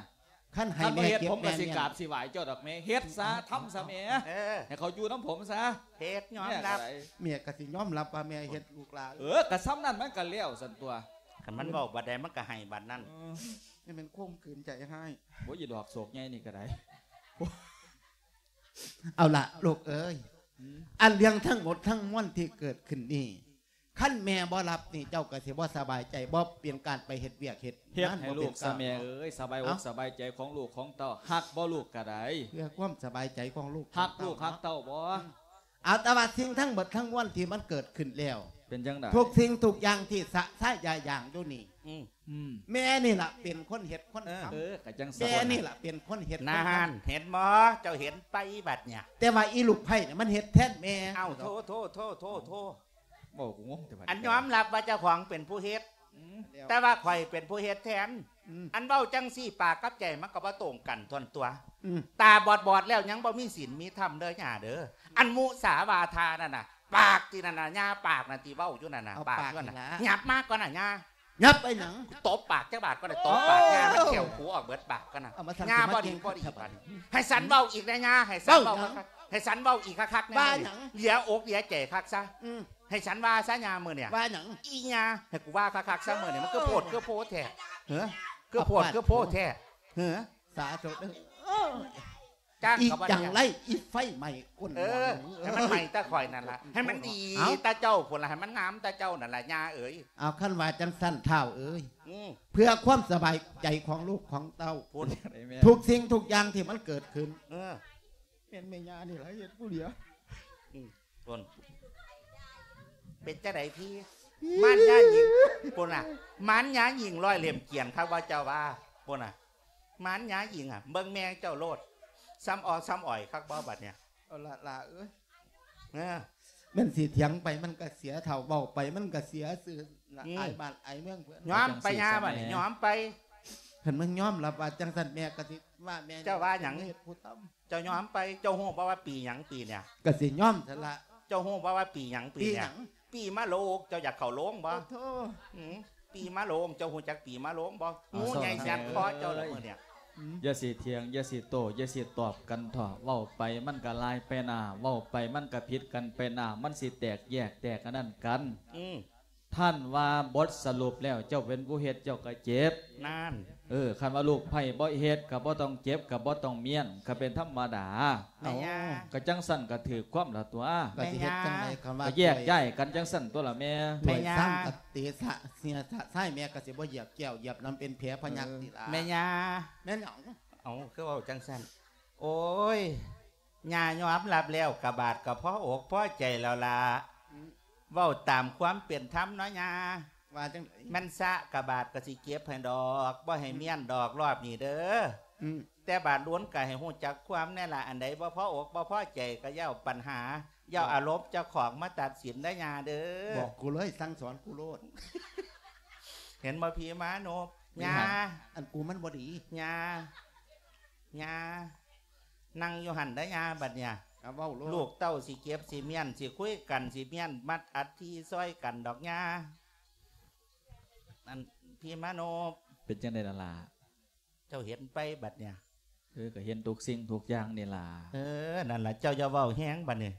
ເອົ້າ ຄັນໃຫ້ແມ່ເຈັບ ຜົມກະຊິກາບຊິໄຫວ້ເຈົ້າດອກແມ່. ເຮັດຊະ ທຳຊະແມ່. ເອີ ໃຫ້ເຂົາຢູ່ນຳຜົມຊະ. ເຮັດຍອມຮັບ ແມ່ກະຊິຍອມຮັບວ່າແມ່ເຮັດລູກຫຼານ. ເອີ ກະຊ່ຳນັ້ນມັນກະແລ້ວຊັ້ນຕົວະ. ຄັນມັນເວົ້າບັດໃດມັນກະໄຫ້ບັດນັ້ນ. ເອີ ນີ້ແມ່ນຂົ່ມຂືນໃຈຮ້າຍ. ໂອ້ຍ ອີດອກໂສກໃຫຍ່ນີ້ກະໄດ້. ເອົາລະລູກເອີຍ ອືມ ອັນເລື່ອງທັງໝົດທັງມວນທີ່ເກີດຂຶ້ນນີ້ ຄັນແມ່ບໍ່ຮັບນີ້ ເຈົ້າກະຊິບໍ່ສະບາຍໃຈ ບໍ່ເປັນການໄປເຮັດວຽກເຮັດງານ. ເຮັດໃຫ້ລູກຊະແມ່ເອີຍ ສະບາຍອົກສະບາຍໃຈຂອງລູກຂອງເຕົ້າ. ຮັກບໍ່ລູກກະໄດ້? ເພື່ອຄວາມສະບາຍໃຈຂອງລູກຂອງເຕົ້າ. ຮັກລູກຮັກເຕົ້າບໍ່? ອືມ ເອົາ ແຕ່ວ່າສິ່ງທັງໝົດທັງມວນທີ່ມັນເກີດຂຶ້ນແລ້ວ ເປັນຈັ່ງໃດ? ທຸກສິ່ງທຸກຢ່າງທີ່ສະຊາຍາຫຍາງຢູ່ນີ້ ອືມ ອືມ ແມ່ນີ້ລະເປັນຄົນເຮັດຄົນທຳ. ເອີ ກະຈັ່ງຊັ້ນ ແມ່ນີ້ລະເປັນຄົນເຮັດຄົນທຳ. ນັ້ນ ເຫັນບໍ່? ເຈົ້າເຫັນໄປບັດເນີ້ຍ. ແຕ່ວ່າອີລູກໃພ້ນະ ມັນເຮັດແທນແມ່. ເອົ້າ ໂທ ໂທ ໂທ ໂທ ໂທ ເວົ້າກູງົງແຕ່ບັດ. ອັນຍອມຮັບວ່າເຈົ້າຂອງເປັນຜູ້ເຮັດ ອືມ ແຕ່ວ່າຂ້ອຍເປັນຜູ້ເຮັດແທນ. ອືມ ອັນເວົ້າຈັ່ງຊີ້ ປາກກັບໃຈມັນກະບໍ່ຕົງກັນທ່ອນຕົວະ. ອືມ ຕາບອດໆແລ້ວຍັງບໍ່ມີສິນມີທຳເດີຍ່າເດີ. ອັນມຸສາວາທານັ້ນນະ ປາກຕິນັ້ນນະ ຍ່າປາກນັ້ນຕິເວົ້າຢູ່ນັ້ນນະ ປາກນັ້ນນະ. ຫຍັບມາກ່ອນນະຍ່າ. ຫຍັບໄປຫຍັງ? ຕົບປາກຈັກບາດກ່ອນນະ. ຕົບປາກຍ່າ ມັນແຂ້ວຂູອອກເບິດປາກກ່ອນນະ. ຍ່າບໍ່ດີບໍ່ດີບາດນີ້. ໃຫ້ສັນເວົ້າອີກນະຍ່າ ໃຫ້ສັນເວົ້າ ເວົ້າຫຍັງ? ໃຫ້ສັນເວົ້າອີກຄັກໆແນ່. ວ່າຫຍັງ? ເຫຼືອອົກເຫຼືອໃຈຄັກຊະ. ອືມ ໃຫ້ສັນວ່າຊະຍາມື້ນີ້. ວ່າຫຍັງ? ອີຫຍັງ? ໃຫ້ກູວ່າຄັກໆຊະມື້ນີ້. ມັນຄືໂພດຄືໂພແທ້. ເອີ ຄືໂພດຄືໂພແທ້. ເອີ ສາທຸເດີ. ຈ້າງ ອີ ກະບໍ່ ຈັ່ງ ໄລ ອີໄຟໄໝ້ກົ້ນ. ເອີ ໃຫ້ມັນໄໝ້ແຕ່ຂ້ອຍນັ້ນລະ ໃຫ້ມັນດີ ເອົ້າ ແຕ່ເຈົ້າພຸ້ນລະ ໃຫ້ມັນງາມແຕ່ເຈົ້ານັ້ນລະ ຍ່າເອີຍ. ເອົາ ຄັນວ່າຈັ່ງຊັ້ນທ້າວເອີຍ ອືມ ເພື່ອຄວາມສະບາຍໃຈຂອງລູກຂອງເຕົ້າ ພຸ້ນ ທຸກສິ່ງທຸກຢ່າງທີ່ມັນເກີດຂຶ້ນ ເອີ ແມ່ນແມ່ຍ່ານີ້ລະເຮັດຜູ້ດຽວ. ອືມ ພຸ້ນ ເປັນຈັ່ງໃດພີ້? ມານຍາຍິງ ພຸ້ນນະ ມານຍາຍິງຮ້ອຍເຫຼັ້ມກຽນຄັກວ່າເຈົ້າວ່າ ພຸ້ນນະ. ມານຍາຍິງ ອະ ເບິ່ງແມ່ເຈົ້າໂລດ ຊ້ຳອໍຊ້ຳອໍຍຄັກບໍ່ບັດນີ້? ເອົາລະຫຼ້າເອີຍ ເອີ ແມ່ນຊິຖຽງໄປມັນກະເສຍເຖົ້າ ເວົ້າໄປມັນກະເສຍຊື່ ອືມ ອາຍບ້ານອາຍເມືອງເພິ່ນ. ຍອມໄປຍ່າບັດນີ້ ຍອມໄປ. ຄັນມັນຍອມລະວ່າຈັ່ງຊັ້ນ ແມ່ກະຊິວ່າແມ່ ເຈົ້າວ່າຫຍັງ? ເຮັດຜູ້ຕ່ຳ. ເຈົ້າຍອມໄປ. ເຈົ້າຮູ້ບໍ່ວ່າປີຫຍັງປີເນີ້ຍ? ກະຊິຍອມຊັ້ນລະ. ເຈົ້າຮູ້ບໍ່ວ່າປີຫຍັງປີເນີ້ຍ? ປີຫຍັງ? ປີມະໂລງ. ເຈົ້າຢາກເຂົ້າໂລງບໍ່? ໂອ້ໂທ ອືມ ປີມະໂລງ. ເຈົ້າຮູ້ຈັກປີມະໂລງບໍ່? ງູໃຫຍ່ແສບຄໍເຈົ້າລະມື້ເນີ້ຍ. ອືມ ຢ່າຊິຖຽງ ຢ່າຊິໂຕ້ ຢ່າຊິຕອບກັນເຖາະ. ເວົ້າໄປມັນກະລາຍໄປໜ້າ ເວົ້າໄປມັນກະຜິດກັນໄປໜ້າ ມັນຊິແຕກແຍກແຕກອັນນັ້ນກັນ. ອືມ ທ່ານວ່າບົດສະຫຼຸບແລ້ວ ເຈົ້າເປັນຜູ້ເຮັດ ເຈົ້າກະເຈັບ. ນັ້ນ ເອີ ຄັນວ່າລູກໃພ້ບໍ່ເຮັດ ກະບໍ່ຕ້ອງເຈັບ ກະບໍ່ຕ້ອງມ້ຽນ ກະເປັນທຳມະດາ. ແມ່ຍ່າ ເອົ້າ ກະຈັ່ງຊັ້ນກະຖືກຄວາມລະຕົວະ. ກະຊິເຮັດຈັ່ງໃດ ແມ່ຍ່າ ຄັນວ່າ ກະແຍກຍ້າຍກັນຈັ່ງຊັ້ນຕົວະລະແມ່. ແມ່ຍ່າ ຖ້ວຍຊາມກະເຕະສະເສຍສະຊາຍ ແມ່ກະຊິບໍ່ຢຽບແກ້ວຢຽບນ້ຳ ເປັນແຜພະຍັກ ເອີ ຕິລະ. ແມ່ຍ່າ ແມ່ນຫຍັງ? ເອົ້າ ຄືເວົ້າຈັ່ງຊັ້ນ? ໂອ້ຍ ຍ່າຍອມຮັບແລ້ວ ກະບາດກະພໍອົກພໍໃຈແລ້ວລະ. ອືມ ເວົ້າຕາມຄວາມເປັນທຳເນາະຍ່າ. ວ່າຈັ່ງໃດ? ແມ່ນຊະກະບາດກະຊິເກັບໃຫ້ດອກ ບໍ່ໃຫ້ ອືມ ມ້ຽນດອກລອບນີ້ເດີ. ອືມ ແຕ່ບາດລຸນກະໃຫ້ຮູ້ຈັກຄວາມແນ່ລະ ອັນໃດບໍ່ພໍອົກບໍ່ພໍໃຈກະຢ່າເອົາປັນຫາ ຢ່າເອົາອາລົມເຈົ້າຂອງມາຕັດສິນເດີຍ່າເດີ. ບອກກູເລີຍ ສັ່ງສອນກູໂລດ. ເຫັນບໍ່ພີ່ມານົບ? ມີຫຍັງ? ຍ່າ ອັນກູມັນບໍ່ດີ. ຍ່າ ຍ່າ ນັ່ງຢູ່ຫັ້ນເດີຍ່າ ບັດເນີ້ຍ ກະເວົ້າໂລດ. ລູກເຕົ້າຊິເກັບ ຊິມ້ຽນ ຊິຄຸຍກັນ ຊິມ້ຽນມັດອັດທີຊ່ອຍກັນດອກຍ່າ. ອັນ ພີ່ມານົບ ເປັນຈັ່ງໃດລະຫຼ້າ? ເຈົ້າເຫັນໄປບັດເນີ້ຍ? ເອີ ກະເຫັນທຸກສິ່ງທຸກຢ່າງນີ້ລະ. ເອີ ນັ້ນລະ ເຈົ້າຢ່າເວົ້າແຮງບັດນີ້.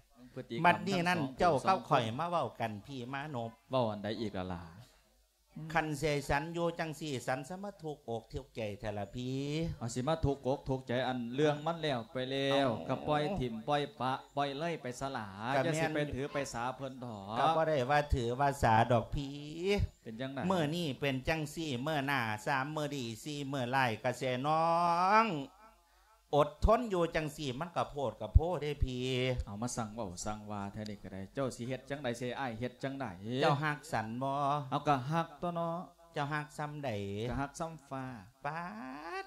ບັດນີ້ນັ້ນ ເຈົ້າກັບຂ້ອຍມາເວົ້າກັນ ພີ່ມານົບ. ເວົ້າອັນໃດອີກລະຫຼ້າ? ຄັນຊິໃຫ້ສັນຢູ່ຈັ່ງຊີ້ ສັນສະມາທຸກອົກທຸກໃຈແທ້ລະພີ່. ເອົາ ຊິມາທຸກອົກທຸກໃຈ ອັນເລື່ອງມັນແລ້ວໄປແລ້ວ ເອົ້າ ກະປ່ອຍຖິ້ມປ່ອຍປະ ປ່ອຍເລີຍໄປຊະຫຼ້າ. ກະແມ່ນ ຢ່າຊິໄປຖືໄປສາເພິ່ນເຖາະ. ກະບໍ່ໄດ້ວ່າຖືວ່າສາດອກພີ່. ເປັນຈັ່ງໃດ? ມື້ນີ້ເປັນຈັ່ງຊີ້ ມື້ໜ້າ ສາມມື້ດີ ສີ່ມື້ຮ້າຍ ກະແຊນ້ອງ ອົດທົນຢູ່ຈັ່ງຊີ້ ມັນກະໂພດກະໂພເດ້ພີ່. ເອົາ ມາສັ່ງເວົ້າສັ່ງວ່າແທ້ນີ້ກະໄດ້. ເຈົ້າຊິເຮັດຈັ່ງໃດ ຊິໃຫ້ອ້າຍເຮັດຈັ່ງໃດ? ເຈົ້າຮັກສັນບໍ່? ເອົາ ກະຮັກຕົວະເນາະ. ເຈົ້າຮັກສ່ຳໃດ? ກະຮັກສ່ຳຟ້າ. ປາດ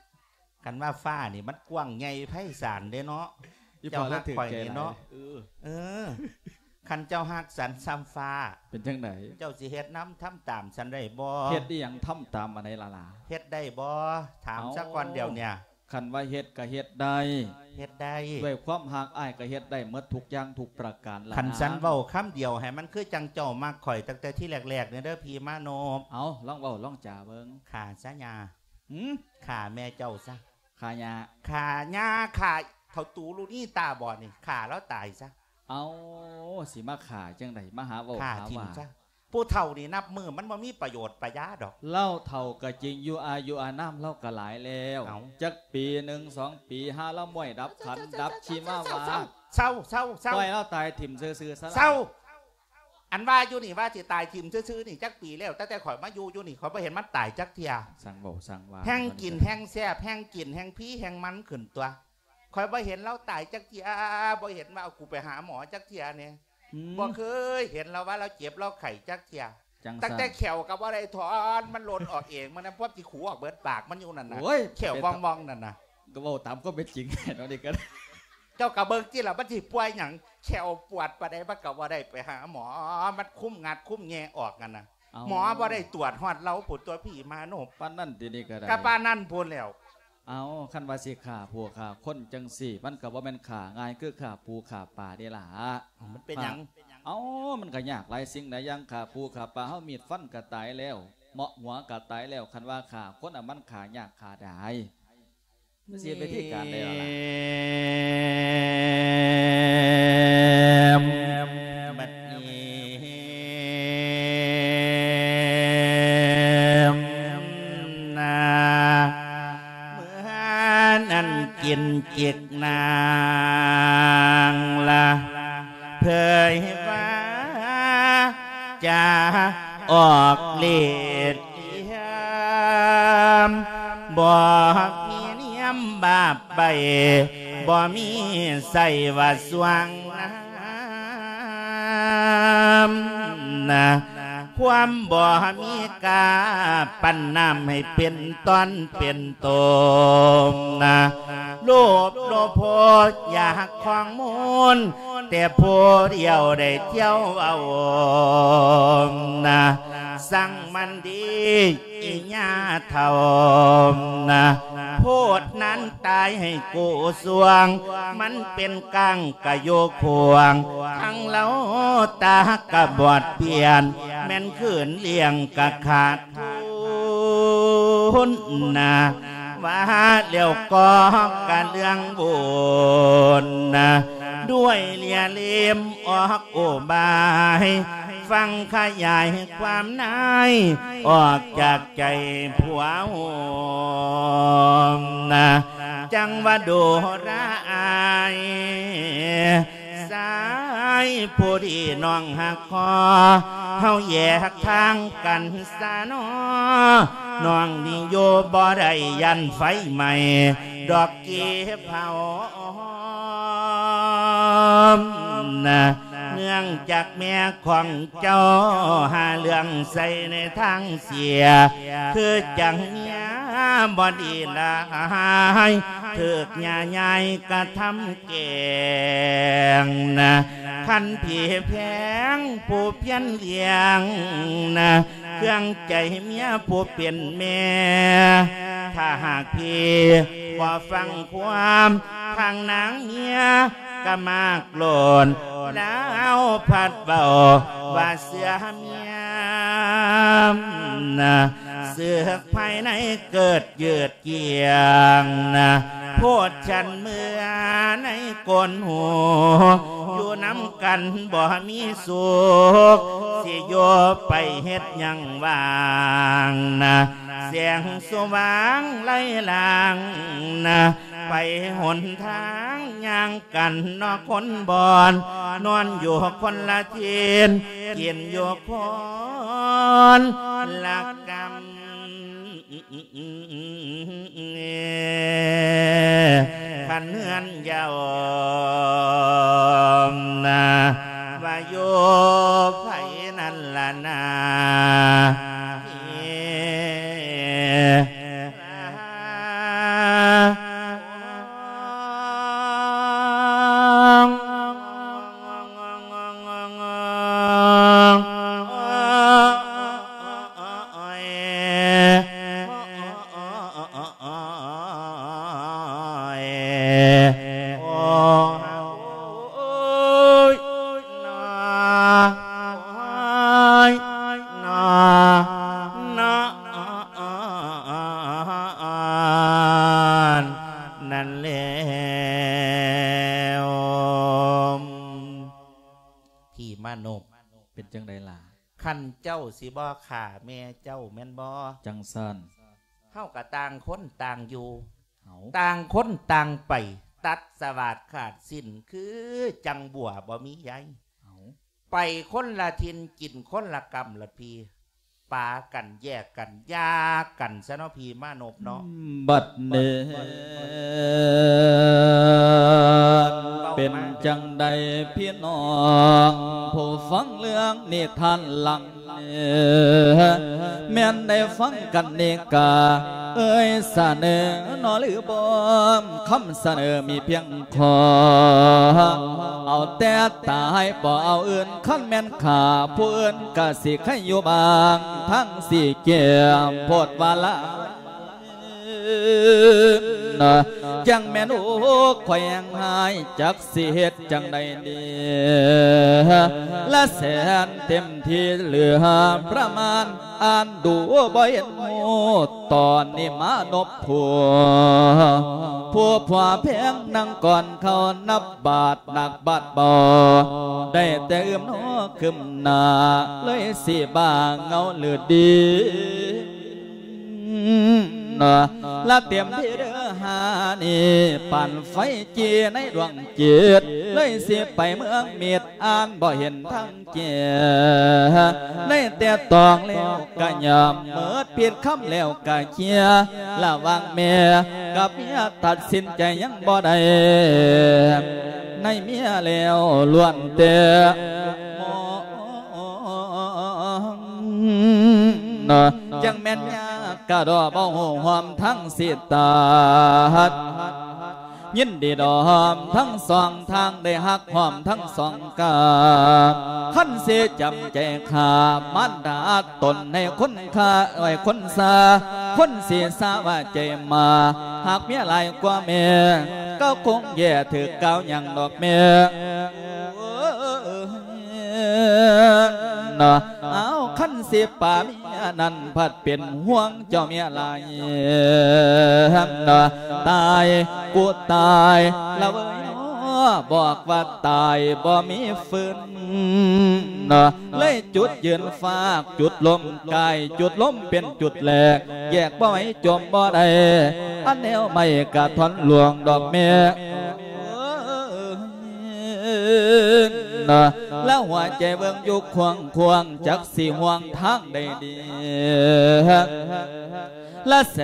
ຄັນວ່າຟ້ານີ້ມັນກວ້າງໃຫຍ່ໄພສານເດ້ເນາະ. ອີ່ພໍ່ລະຖືກແກ່ຫຼາຍ. ເຈົ້າຮັກຂ້ອຍນີ້ເນາະ. ເອີ ເອີ ຄັນເຈົ້າຮັກສັນສ່ຳຟ້າ ເປັນຈັ່ງໃດ? ເຈົ້າຊິເຮັດນຳທຳຕາມສັນໄດ້ບໍ່? ເຮັດອີ່ຫຍັງ ທຳຕາມອັນໃດລະຫຼ້າ? ເຮັດໄດ້ບໍ່? ຖາມຊະກ່ອນດຽວເນີ້ຍ. ເອົ້າ ຄັນວ່າເຮັດກະເຮັດໄດ້. ເຮັດໄດ້. ດ້ວຍຄວາມຮັກອ້າຍກະເຮັດໄດ້ໝົດທຸກຢ່າງທຸກປະການລະ. ຄັນສັນເວົ້າຄຳດຽວໃຫ້ມັນຄືຈັ່ງເຈົ້າມັກຂ້ອຍຕັ້ງແຕ່ທີແລກໆນີ້ເດີ ພີ່ມານົບ. ເອົາ ລອງເວົ້າລອງຈາເບິ່ງ. ຂ້າຊະຍ່າ. ຫື? ຂ້າແມ່ເຈົ້າຊະ. ຂ້າຍ່າ. ຂ້າຍ່າ ຂ້າເຖົ້າຕູລຸນີ້ຕາບອດນີ້ ຂ້າລາວຕາຍຊະ. ເອົາ ຊິມາຂ້າຈັ່ງໃດ? ມາຫາເວົ້າ ຂ້າ ຫາວ່າ ຖິ້ມຊະ. ຜູ້ເຖົ້ານີ້ນັບມື້ມັນບໍ່ມີປະໂຫຍດປະຢາດອກ. ລາວເຖົ້າກະຈິງຢູ່ ອາຍຸອານາມລາວກະຫຼາຍແລ້ວ. ເອົ້າ ຈັກປີໜຶ່ງສອງປີ ຫາລາວມ້ອຍດັບຂັນດັບຊີມາວ່າ. ເຊົາ ເຊົາ ເຊົາ ເຊົາ ປ່ອຍລາວຕາຍຖິ້ມຊື່ໆຊະ. ເຊົາ ອັນວ່າຢູ່ນີ້ວ່າຊິຕາຍຖິ້ມຊື່ໆນີ້ຈັກປີແລ້ວ ຕັ້ງແຕ່ຂ້ອຍມາຢູ່ຢູ່ນີ້ ຂ້ອຍບໍ່ເຫັນມັນຕາຍຈັກເທື່ອ. ຊ່າງເວົ້າຊ່າງວ່າ. ແຮ່ງກິນແຮ່ງແຊບ ແຮ່ງກິນແຮ່ງພີແຮ່ງມັນຂຶ້ນຕົວະ. ຂ້ອຍບໍ່ເຫັນລາວຕາຍຈັກເທື່ອ ບໍ່ເຫັນວ່າເອົາກູໄປຫາໝໍຈັກເທື່ອແນ່. ອືມ ບໍ່ເຄີຍເຫັນລາວວ່າລາວເຈັບລາວໄຂ້ຈັກເທື່ອ. ຈັ່ງຊັ້ນ ຕັ້ງແຕ່ແຂ້ວກະບໍ່ໄດ້ຖອນ ມັນຫຼົ່ນອອກເອງ. ມື້ນັ້ນພວກຊິຂູອອກເບິດປາກມັນຢູ່ນັ້ນນະ. ໂອ້ຍ ແຂ້ວວ່ອງໆນັ້ນນະ. ກະເວົ້າຕາມຄວາມເປັນຈິງເນາະ ນີ້ກະ ເຈົ້າກະເບິ່ງຕິລະ ມັນຊິປ່ວຍຫຍັງ? ແຂ້ວປວດປານໃດມັນກະບໍ່ໄດ້ໄປຫາໝໍ ມັນຄຸມງັດຄຸມແຍ່ອອກຫັ້ນນະ. ເອົ້າ ໝໍບໍ່ໄດ້ຕວດຮອດລາວພຸ້ນຕົວະ ພີ່ມານົບ. ປານນັ້ນຕິ ນີ້ກະໄດ້. ກະປານນັ້ນພຸ້ນແລ້ວ. ເອົາ ຄັນວ່າຊິຂ້າຜູ້ຂ້າຄົນຈັ່ງຊີ້ ມັນກະບໍ່ແມ່ນຂ້າງ່າຍຄືຂ້າປູຂ້າປາເດ້ລະ. ມັນເປັນຫຍັງ? ເອົ້າ ມັນກະຍາກຫຼາຍສິ່ງຫຼາຍຢ່າງ. ຂ້າປູຂ້າປາເຮົາ ມີດຟັນກະຕາຍແລ້ວ ເໝາະຫົວກະຕາຍແລ້ວ ຄັນວ່າຂ້າຄົນ ອະ ມັນຂ້າຍາກຂ້າດາຍ. ມັນຊິເຮັດວິທີການໃດລະລະ? ບັດນີ້ ປັນຈິກນາງລະ ເຜີຍວ່າຈະອອກເລດ ບໍ່ມີນຽມບາບໃບ ບໍ່ມີໃຊ້ວ່າສວງນາມນະ ຄວາມບໍ່ມີກາ ປັນນ້ຳໃຫ້ເປັນຕອນເປັນໂຕນະ ໂລບໂລໂພ ຢາກຂອງມູນ ແຕ່ຜູ້ດຽວໄດ້ທ່ຽວເອົານະ ສັງມັນດີອີ່ຍ່າເຖົ້ານະ ໂພດນັ້ນຕາຍໃຫ້ກູສວງ ມັນເປັນກ້າງກະໂຍຂວາງ ທັງເລົາຕາກະບອດປຽນ ແມ່ນຄືນລ້ຽງກະຂາດ ທຸນນະ ວ່າແລ້ວກໍກະເລື່ອງບຸນນະ ດ້ວຍເລ່ຍເລມອອກອຸບາຍ ຟັງຂະຫຍາຍຄວາມນາຍ ອອກຈາກໃຈຜົວໂຮມນະ ຈັ່ງວ່າໂດລະອາຍ ຊາຍຜູ້ດີນ້ອງຮັກຂໍ ເຮົາແຍກທາງກັນຊະນໍ ນ້ອງນີ້ຢູ່ບໍ່ໄດ້ຢ້ານໄຟໄໝ້ ດອກເກັບເຜົານະ ເນື່ອງຈາກແມ່ຂອງເຈົ້າ ຫາເລື່ອງໃສ່ໃນທາງເສຍ ຄືຈັ່ງເມຍບໍ່ດີຫຼາຍ ຖືກຍ່າຍາຍກະທຳ ແກງນະ ຄັນພີ່ແພງຜູ້ພຽນລ້ຽງນະ ເຄື່ອງໃຈເມຍຜູ້ເປັນແມ່ ຖ້າຫາກພີ່ບໍ່ຟັງຄວາມ ທາງນາງເມຍກະມາກໂລນ ລາວພັດເວົ້າວ່າເຊື່ອເມຍນະ ເຊືອກພາຍໃນເກີດ ຢືດກຽງນະ ໂພດສັນເມືອໃນກົ້ນຫູ ຢູ່ນຳກັນບໍ່ມີສຸກ ຊິຢູ່ໄປເຮັດຫຍັງວ່າງນະ ແສງສະຫວ່າງໄລ່ລາງນະ ໄປຫົນທາງຍ່າງກັນເນາະຄົນບ່ອນ ນອນຢູ່ຄົນລະຖິ່ນ ກິນຢູ່ຄົນລະກຳ ຄັນເຮືອນເຍົານະ ວ່າຢູ່ໃຜນັ້ນລະນາ ນັ້ນແລ້ວ ພີ່ມານົບ ເປັນຈັ່ງໃດລະ? ຄັນເຈົ້າຊິບໍ່ຂ້າແມ່ເຈົ້າແມ່ນບໍ່? ຈັ່ງຊັ້ນ ເຮົາກະຕ່າງຄົນຕ່າງຢູ່ ເອົ້າ ຕ່າງຄົນຕ່າງໄປ ຕັດສະຫວາດຂາດສິ້ນ ຄືຈັ່ງບົວບໍ່ມີໃຍ ເອົ້າ ໄປຄົນລະຖິ່ນ ກິນຄົນລະກຳລະພີ ປາກັນແຍກກັນ ຢ່າກັນຊະເນາະ ພີ່ມານົບເນາະ ບັດນີ້ ເປັນຈັ່ງໃດພີ່ນ້ອງ ຜູ້ຟັງເລື່ອງນິທານຫຼັງ ແມ່ນໄດ້ຟັງກັນນີ້ກະເອີຍສະເໜີເນາະ ຫຼືບໍ່ ຄຳສະເໜີມີພຽງຂໍ ເອົາແຕ່ຕາຍບໍ່ເອົາອື່ນ ຄັນແມ່ນຂ້າຜູ້ອື່ນກະຊິໄຄຢູ່ບ້າງ ທັງຊິແກ້ມໂພດວ່າລະ ຈັ່ງແມ່ນໂອກຂ້ອຍແຮງຮ້າຍ ຈັກຊິເຮັດຈັ່ງໃດດີ ລະແສນເຕັມທີ່ເຫຼືອປະມານ ອ່ານດູບໍ່ເຫັນຮູ້ ຕອນນີ້ມານົບຜົວ ຜູ້ຜົວແພງນັ່ງກ່ອນເຂົ້າ ນັບບາດໜັກບາດເບົາ ໄດ້ແຕ່ອຶ້ມໜໍຄຶ້ມໜ້າ ເລີຍຊິບ້າເຫງົາຫຼືດີ ລະເຕັມທີ່ເດີ ນີ້ ປານໄຟຈີ່ໃນດວງຈິດ ເລີຍຊິໄປເມືອງມິດ ອ່ານບໍ່ເຫັນທາງແຈ້ງ ໄດ້ແຕ່ຕອງແລ້ວກະຍອມ ໝົດຜິດຄຳແລ້ວກະເຄຍ ລະຫວ່າງແມ່ກັບເມຍ ຕັດສິນໃຈຍັງບໍ່ໄດ້ ໃນເມຍແລ້ວລ້ວນແຕ່ມອງ ເນາະ ຈັ່ງແມ່ນຍາກກະດໍ ບໍ່ຮູ້ຮ່ວມທາງຊິຕັດ ຍິນດີດອມທັງສອງທາງ ໄດ້ຮັກຮ່ວມທັງສອງກາຍ ຄັນຊິຈຳໃຈຂ້າມານດາຕົນໃຫ້ຄົນຂ້າ ໃຫ້ຄົນຊາ ຄົນຊິຊາວ່າໃຈໝາ ຫາກເມຍຫຼາຍກວ່າແມ່ ກໍຄົງແຍ່ຖືກກ່າວຫຍັງດອກແມ່ ເນາະ ເອົາ ຄັນຊິປາເມຍນັ້ນ ພັດເປັນຫ່ວງເຈົ້າເມຍຫຼາຍ ເນາະ ຕາຍ ກູຕາຍລະເວີຍເນາະ ບອກວ່າຕາຍບໍ່ມີຟື້ນ ເນາະ ເລີຍຈຸດຢືນຟາກ ຈຸດລົມກາຍ ຈຸດລົມເປັນຈຸດແລກ ແຍກບໍ່ໄຫວ ຈົມບໍ່ໄດ້ ອັນແນວໄມ້ກະທ່ອນຫຼວງດອກແມ່ ເນາະ ລະຫົວໃຈເບິ່ງຢູ່ຂວາງໆ ຈັກຊິຫ່ວງທາງໃດດີ ລະແສ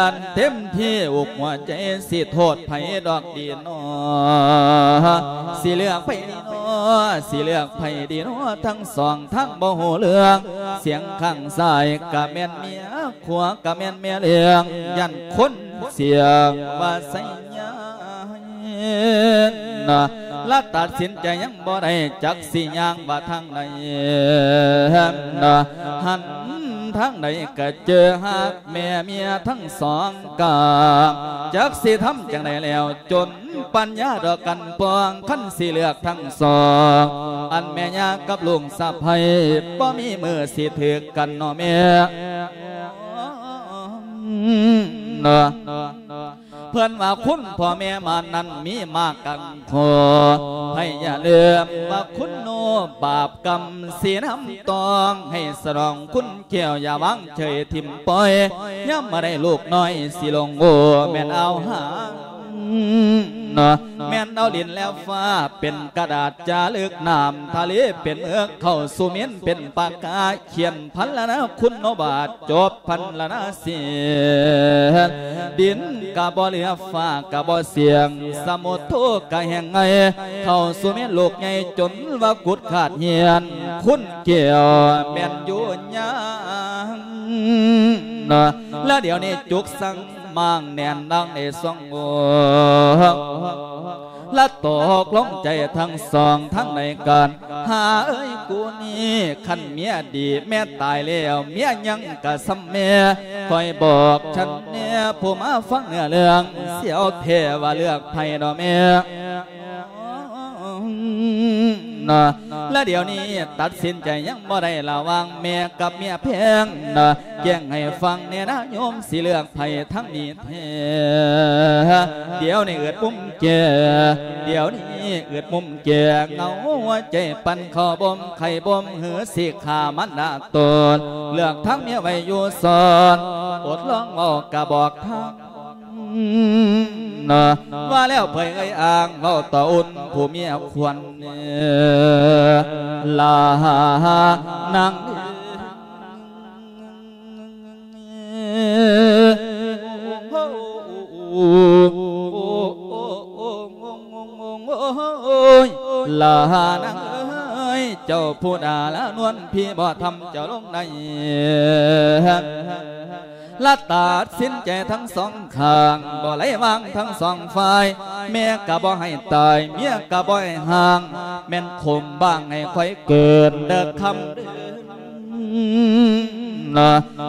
ນເຕັມທີ່ ອົກຫົວໃຈຊິໂທດໃຜດອກດີນໍ ຊິເລືອກໃຜດີນໍ ຊິເລືອກໃຜດີນໍ ທັງສອງທາງບໍ່ຮູ້ເລື່ອງ ສຽງຂ້າງຊ້າຍກະແມ່ນເມຍ ຂວາກະແມ່ນແມ່ລ້ຽງ ຢ້ານຄົນສຽງວ່າໄຊຍາ ນະ ລະຕັດສິນໃຈຍັງບໍ່ໄດ້ ຈັກຊິຍ່າງວ່າທາງໃດ ນະ ຫັນທາງໃດກະເຈີຮັກແມ່ເມຍທັງສອງກາຍ ຈັກຊິທຳຈັ່ງໃດແລ້ວ ຈົນປັນຍາດອກກັນປອງ ຄັນຊິເລືອກທັງສອງ ອັນແມ່ຍ່າກັບລູກສະໃພ້ ບໍ່ມີມື້ຊິຖືກກັນເນາະແມ່ ເນາະ ເພິ່ນວ່າຄຸນພໍ່ແມ່ມານັ້ນມີມາກັນ ຂໍໃຫ້ຢ່າລືມວ່າຄຸນໂນບາບກຳສີນ້ຳຕອງ ໃຫ້ສະໜອງຄຸນແກ້ວ ຢ່າວາງເສີຍຖິ້ມປ່ອຍ ຍາມມາໄດ້ລູກນ້ອຍຊິຫຼົງໂງ່ ແມ່ນເອົາຫາງ ເນາະ ແມ່ນເອົາດິນແລະຟ້າເປັນກະດາດຈາລຶກ ນ້ຳທະເລເປັນເມືອກ ເຂົ້າສູ່ເມັນເປັນປາກາ ຂຽນພັນລະນາ ຄຸນໂນບາດ ຈົບພັນລະນາເສນ ດິນກະບໍ່ເຫຼືອ ຟ້າກະບໍ່ສຽງ ສະໝຸດໂທກະແຫ້ງໄງ ເຂົ້າສູ່ເມັນລູກໃຫຍ່ ຈົນວ່າກຸດຂາດຫຽນ ຄຸນແກ້ວແມ່ນຢູ່ຍາງ ເນາະ ລະດຽວນີ້ຈຸກສັງ ມ້າງແໜ້ນດັງໃນສອງໂອກ ລະຕົກລົງໃຈທັງສອງທັງໃນການ ຫາເອີຍກູນີ້ ຄັນເມຍດີແມ່ຕາຍແລ້ວ ເມຍຍັງກະສ່ຳແມ່ ຂ້ອຍບອກສັນແນ່ ຜູ້ມາຟັງເນື້ອເລື່ອງ ຊິເອົາແທ້ວ່າເລືອກໃຜເນາະແມ່ ນະ ລະດຽວນີ້ຕັດສິນໃຈຍັງບໍ່ໄດ້ ລະຫວ່າງແມ່ກັບເມຍແພງນະ ແຈ້ງໃຫ້ຟັງແນ່ນະໂຍມ ຊິເລືອກໃຜທັງນີ້ແທ້ ດຽວນີ້ອຶດມຸມແຈ ດຽວນີ້ອຶດມຸມແຈ ເຫງົາຫົວໃຈປັ່ນເຂົ້າບົ່ມໄຂ່ບົ່ມ ຫຼືຊິຂ້າມັນດາຕົນ ເລືອກທາງເມຍໄວ້ຢູ່ສອນ ອົດລອງເວົ້າກະບອກທາງ ນະ ວ່າແລ້ວເຜີຍເອີ່ຍອ້າງ ເວົ້າຕໍ່ອຸ່ນຜູ້ເມຍຄວັນ ລານາງ ໂອ້ຍ ລານາງເອີຍ ເຈົ້າຜູ້ດາລານວນ ພີ່ບໍ່ທຳເຈົ້າລົງໄດ້ ລະຕັດສິນໃຈທັງສອງຂ້າງ ບໍ່ໄດ້ວາງທັງສອງຝ່າຍ ແມ່ກະບໍ່ໃຫ້ຕາຍ ເມຍກະບໍ່ໃຫ້ຫ່າງ ແມ່ນຂຸມບ້າງໃຫ້ຂ້ອຍເກີດເດີຄຳເດີ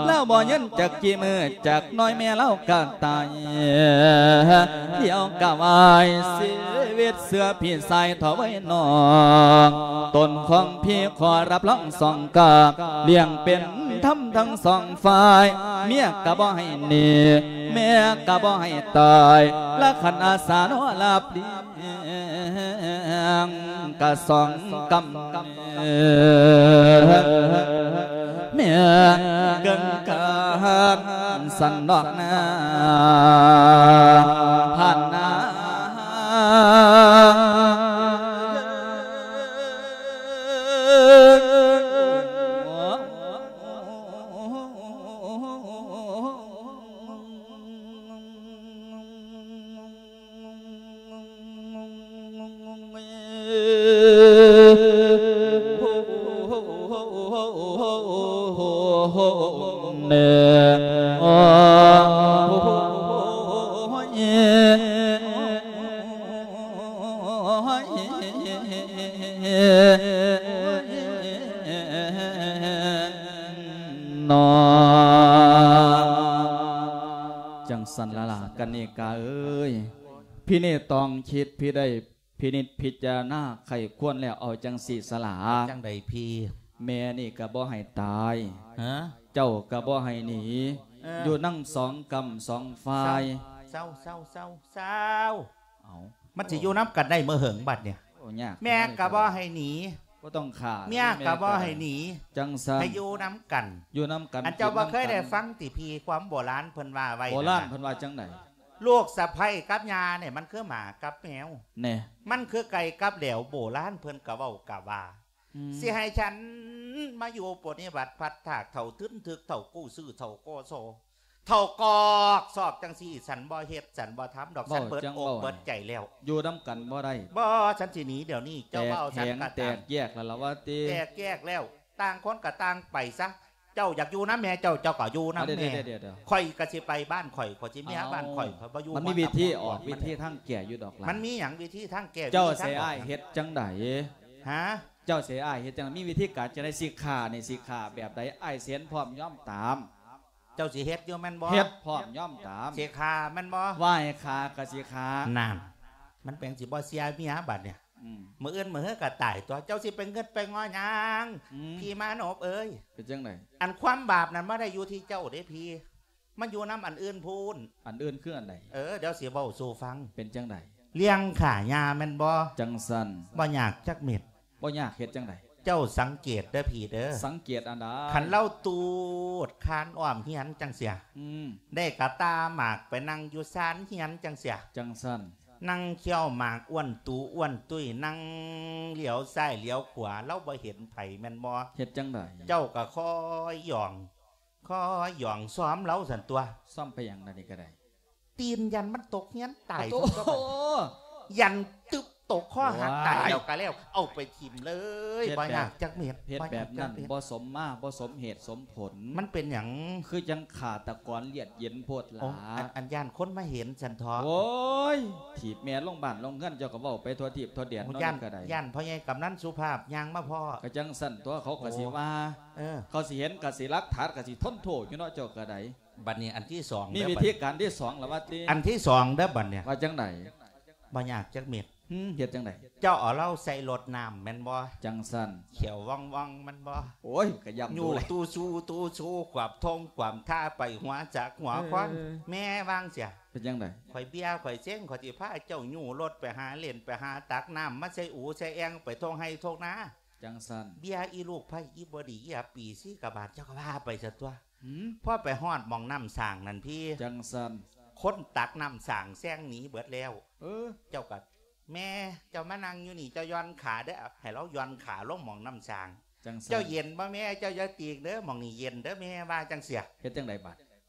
ລາວບໍ່ຍືນຈັກກີ່ມື້ ຈັກໜ້ອຍແມ່ລາວກະຕາຍ ດຽວກະວາຍຊີວິດເຊື່ອພີ່ຊາຍເຖົ້າເອີຍ ນ້ອງ ຕົນຂອງພີ່ຂໍຮັບຮອງສອງກາບ ລ້ຽງເປັນທຳທັງສອງຝ່າຍ ເມຍກະບໍ່ໃຫ້ໜີ ແມ່ກະບໍ່ໃຫ້ຕາຍ ລະຄັນອາສາເນາະ ຮັບລ້ຽງກະສອງກຳ ແມ່ນເກີນການສັນດອກນາ ນອ ຈັ່ງຊັ້ນລະລະ ກະນິກາເອີຍ, ພິນິດຕອງຄິດ ພິໄດ້ພິນິດພິຈາລະນາໄຂ້ຄວນແລ້ວ ເອົາຈັ່ງຊີ້ສະລະ. ຈັ່ງໃດພີ່? ແມ່ນີ້ກະບໍ່ໃຫ້ຕາຍ, ຮະ? ເຈົ້າກະບໍ່ໃຫ້ໜີ, ເອີ ຢູ່ນຳສອງກ້ຳສອງຝ່າຍ. ເຊົາ ເຊົາ ເຊົາ ເຊົາ ເຊົາ. ເອົ້າ ມັນຊິຢູ່ນຳກັນໄດ້ເມື່ອເຫິງບັດນີ້? ໂອ້ ຍາກ ແມ່ກະບໍ່ໃຫ້ໜີ, ບໍ່ຕ້ອງຂ້າ, ເມຍກະບໍ່ໃຫ້ໜີ, ຈັ່ງຊັ້ນ ໃຫ້ຢູ່ນຳກັນ ຢູ່ນຳກັນ. ອັນເຈົ້າບໍ່ເຄີຍໄດ້ຟັງຕິພີ່ ຄວາມໂບລານເພິ່ນວ່າໄວ້? ໂບລານເພິ່ນວ່າຈັ່ງໃດ? ລູກສະໃພ້ກັບຍ່ານີ້ ມັນຄືໝາກັບແມວ ແນ່ ມັນຄືໄກ່ກັບແຫຼວ. ໂບລານເພິ່ນກະເວົ້າກະວ່າ ອືມ ຊິໃຫ້ສັນມາຢູ່ປົວນິບັດພັດທາກ ເຖົ້າທຶນທຶກ ເຖົ້າກູ້ຊື້ ເຖົ້າກໍຊໍ ເຖົ້າກອກຊອກຈັ່ງຊີ້ ສັນບໍ່ເຮັດ ສັນບໍ່ທຳດອກ. ສັນເບິດອົກເບິດໃຈແລ້ວ. ຢູ່ນຳກັນບໍ່ໄດ້. ບໍ່, ສັນຊິໜີດຽວນີ້. ເຈົ້າເວົ້າສັນກະຕາມ. ແຕກແຍກແລ້ວລະວ່າຕິ? ແຕກແຍກແລ້ວ, ຕ່າງຄົນກະຕ່າງໄປຊະ. ເຈົ້າຢາກຢູ່ນຳແມ່ເຈົ້າ ເຈົ້າກະຢູ່ນຳແມ່. ຂ້ອຍກະຊິໄປບ້ານຂ້ອຍ, ຂ້ອຍຊິເມຍບ້ານຂ້ອຍ, ຂ້ອຍບໍ່ຢູ່. ມັນມີວິທີອອກ, ວິທີທາງແກ້ຢູ່ດອກຫຼານ. ມັນມີຫຍັງວິທີທາງແກ້? ເຈົ້າໃສ່ອ້າຍເຮັດຈັ່ງໃດ? ຮະ? ເຈົ້າໃສ່ອ້າຍເຮັດຈັ່ງໃດ? ມີວິທີການຈັ່ງໃດ? ຊິຂ້ານີ້ ຊິຂ້າແບບໃດ? ອ້າຍຊິເຫັນພ້ອມຍອມຕາມ. ເຈົ້າຊິເຮັດຢູ່ແມ່ນບໍ່? ເຮັດພ້ອມຍອມຕາມ. ຊິຂ້າແມ່ນບໍ່? ວ່າໃຫ້ຂ້າກະຊິຂ້າ. ນັ້ນ ມັນເປັນຊິບໍ່ເຊື່ອເມຍບັດນີ້. ອືມ ມື້ອື່ນມື້ຮືກະຕາຍຕົວະ. ເຈົ້າຊິໄປງຶດໄປງໍຫຍັງ? ອືມ ພີ່ມານົບເອີຍ. ເປັນຈັ່ງໃດ? ອັນຄວາມບາບນັ້ນບໍ່ໄດ້ຢູ່ທີ່ເຈົ້າເດ້ພີ່, ມັນຢູ່ນຳອັນອື່ນພຸ້ນ. ອັນອື່ນຄືອັນໃດ? ເອີ ດຽວຊິເວົ້າສູ່ຟັງ. ເປັນຈັ່ງໃດ? ລ້ຽງຂ້າຍ່າແມ່ນບໍ່? ຈັ່ງຊັ້ນ ບໍ່ຍາກຈັກເມັດ. ບໍ່ຍາກ. ເຮັດຈັ່ງໃດ? ເຈົ້າສັງເກດເດີພີ່ເດີ. ສັງເກດອັນໃດ? ຄັນລາວຕູດຄານອ້ອມເຮືອນຈັ່ງຊີ້ ອືມ ໄດ້ກະຕ່າໝາກໄປນັ່ງຢູ່ຊານເຮືອນຈັ່ງຊີ້ ຈັ່ງຊັ້ນ ນັ່ງຄ້ຽວໝາກອ້ວນຕູອ້ວນຕຸ້ຍ ນັ່ງຫຼຽວຊ້າຍຫຼຽວຂວາ ລາວບໍ່ເຫັນໃຜແມ່ນບໍ່? ເຮັດຈັ່ງໃດ? ເຈົ້າກະຄອຍຢອງ ຄອຍຢອງຊອມລາວຊັ້ນຕົວະ. ຊອມໄປຫຍັງລະນີ້ກະໄດ້? ຕີນຢ້ານມັນຕົກເຮືອນຕາຍ. ໂອ້ໂຫ ຢ້ານຕຶບຕົກຄໍຫັກຕາຍແລ້ວກະແລ້ວ. ເອົາໄປຖິ້ມເລີຍ. ບໍ່ຍາກຈັກເມັດ. ເຮັດແບບນັ້ນບໍ່ສົມມາ ບໍ່ສົມເຫດສົມຜົນ. ມັນເປັນຫຍັງ? ຄືຈັ່ງຂ້າຕະກອນລຽດເຢັນໂພດຫຼາ. ອັນ ອັນຢ້ານຄົນມາເຫັນຊັ້ນເທາະ. ໂອ້ຍ ຖີບແມ່ລົງບ້ານລົງເຮືອນ ເຈົ້າກະເວົ້າໄປທົ່ວທີບທົ່ວແດນເນາະ. ຢ້ານ ຢ້ານພໍ່ໃຫຍ່ກຳນັນສຸພາບຍ່າງມາພໍ້. ກະຈັ່ງຊັ້ນຕົວະ ເຂົາກະຊິວ່າ. ເອີ ເຂົາຊິເຫັນກະຊິຫຼັກຖານກະຊິທົນໂທດຢູ່ເນາະ ເຈົ້າກະໄດ້. ບັດນີ້ອັນທີສອງ ມີວິທີການທີສອງລະວ່າຕິ? ອັນທີສອງເດີບັດນີ້. ວ່າຈັ່ງໃດ? ບໍ່ຍາກຈັກເມັດ. ຫືມ ເຮັດຈັ່ງໃດ? ເຈົ້າເອົາລາວໃສ່ລົດນ້ຳແມ່ນບໍ່? ຈັ່ງຊັ້ນ ຂຽວວ່ອງໆແມ່ນບໍ່? ໂອ້ຍ ກະຢ້ຳດູ ຢູ່ ຕູຊູ ຕູຊູ ຂວາມທົ່ງຂວາມທ່າ ໄປຫົວຈັກຫົວຄອນ. ເອີ ແມ່ວ່າຈັ່ງຊີ້. ເປັນຈັ່ງໃດ? ຂ້ອຍເບຍ ຂ້ອຍເຊັງ ຂ້ອຍຊິພາເຈົ້າຍູ້ລົດໄປຫາເຫຼັ້ນ ໄປຫາຕັກນ້ຳມາໃສ່ອູໃສ່ແອ່ງ ໄປທົ່ງໄຮ່ທົ່ງນາ. ຈັ່ງຊັ້ນ ເບຍອີລູກໃພ້ ອີບໍ່ດີ ອີອັບປີ ສີກະບາດ ເຈົ້າກະວ່າໄປຊະຕົວະ. ຫືມ ພໍໄປຮອດໝ່ອງນ້ຳສ້າງນັ້ນພີ່ ຈັ່ງຊັ້ນ ຄົນຕັກນ້ຳສ້າງແຊງໜີເບິດແລ້ວ. ເອີ ເຈົ້າກະ ແມ່ ເຈົ້າມານັ່ງຢູ່ນີ້ ເຈົ້າຢ່ອນຂາເດີ. ໃຫ້ລາວຢ່ອນຂາລົງໝ່ອງນ້ຳສ້າງ. ຈັ່ງຊັ້ນ ເຈົ້າເຢັນບໍ່ແມ່? ເຈົ້າຢ່າຕີກເດີ ໝ່ອງນີ້ເຢັນເດີແມ່ ວ່າຈັ່ງຊີ້. ເຮັດຈັ່ງໃດບາດ?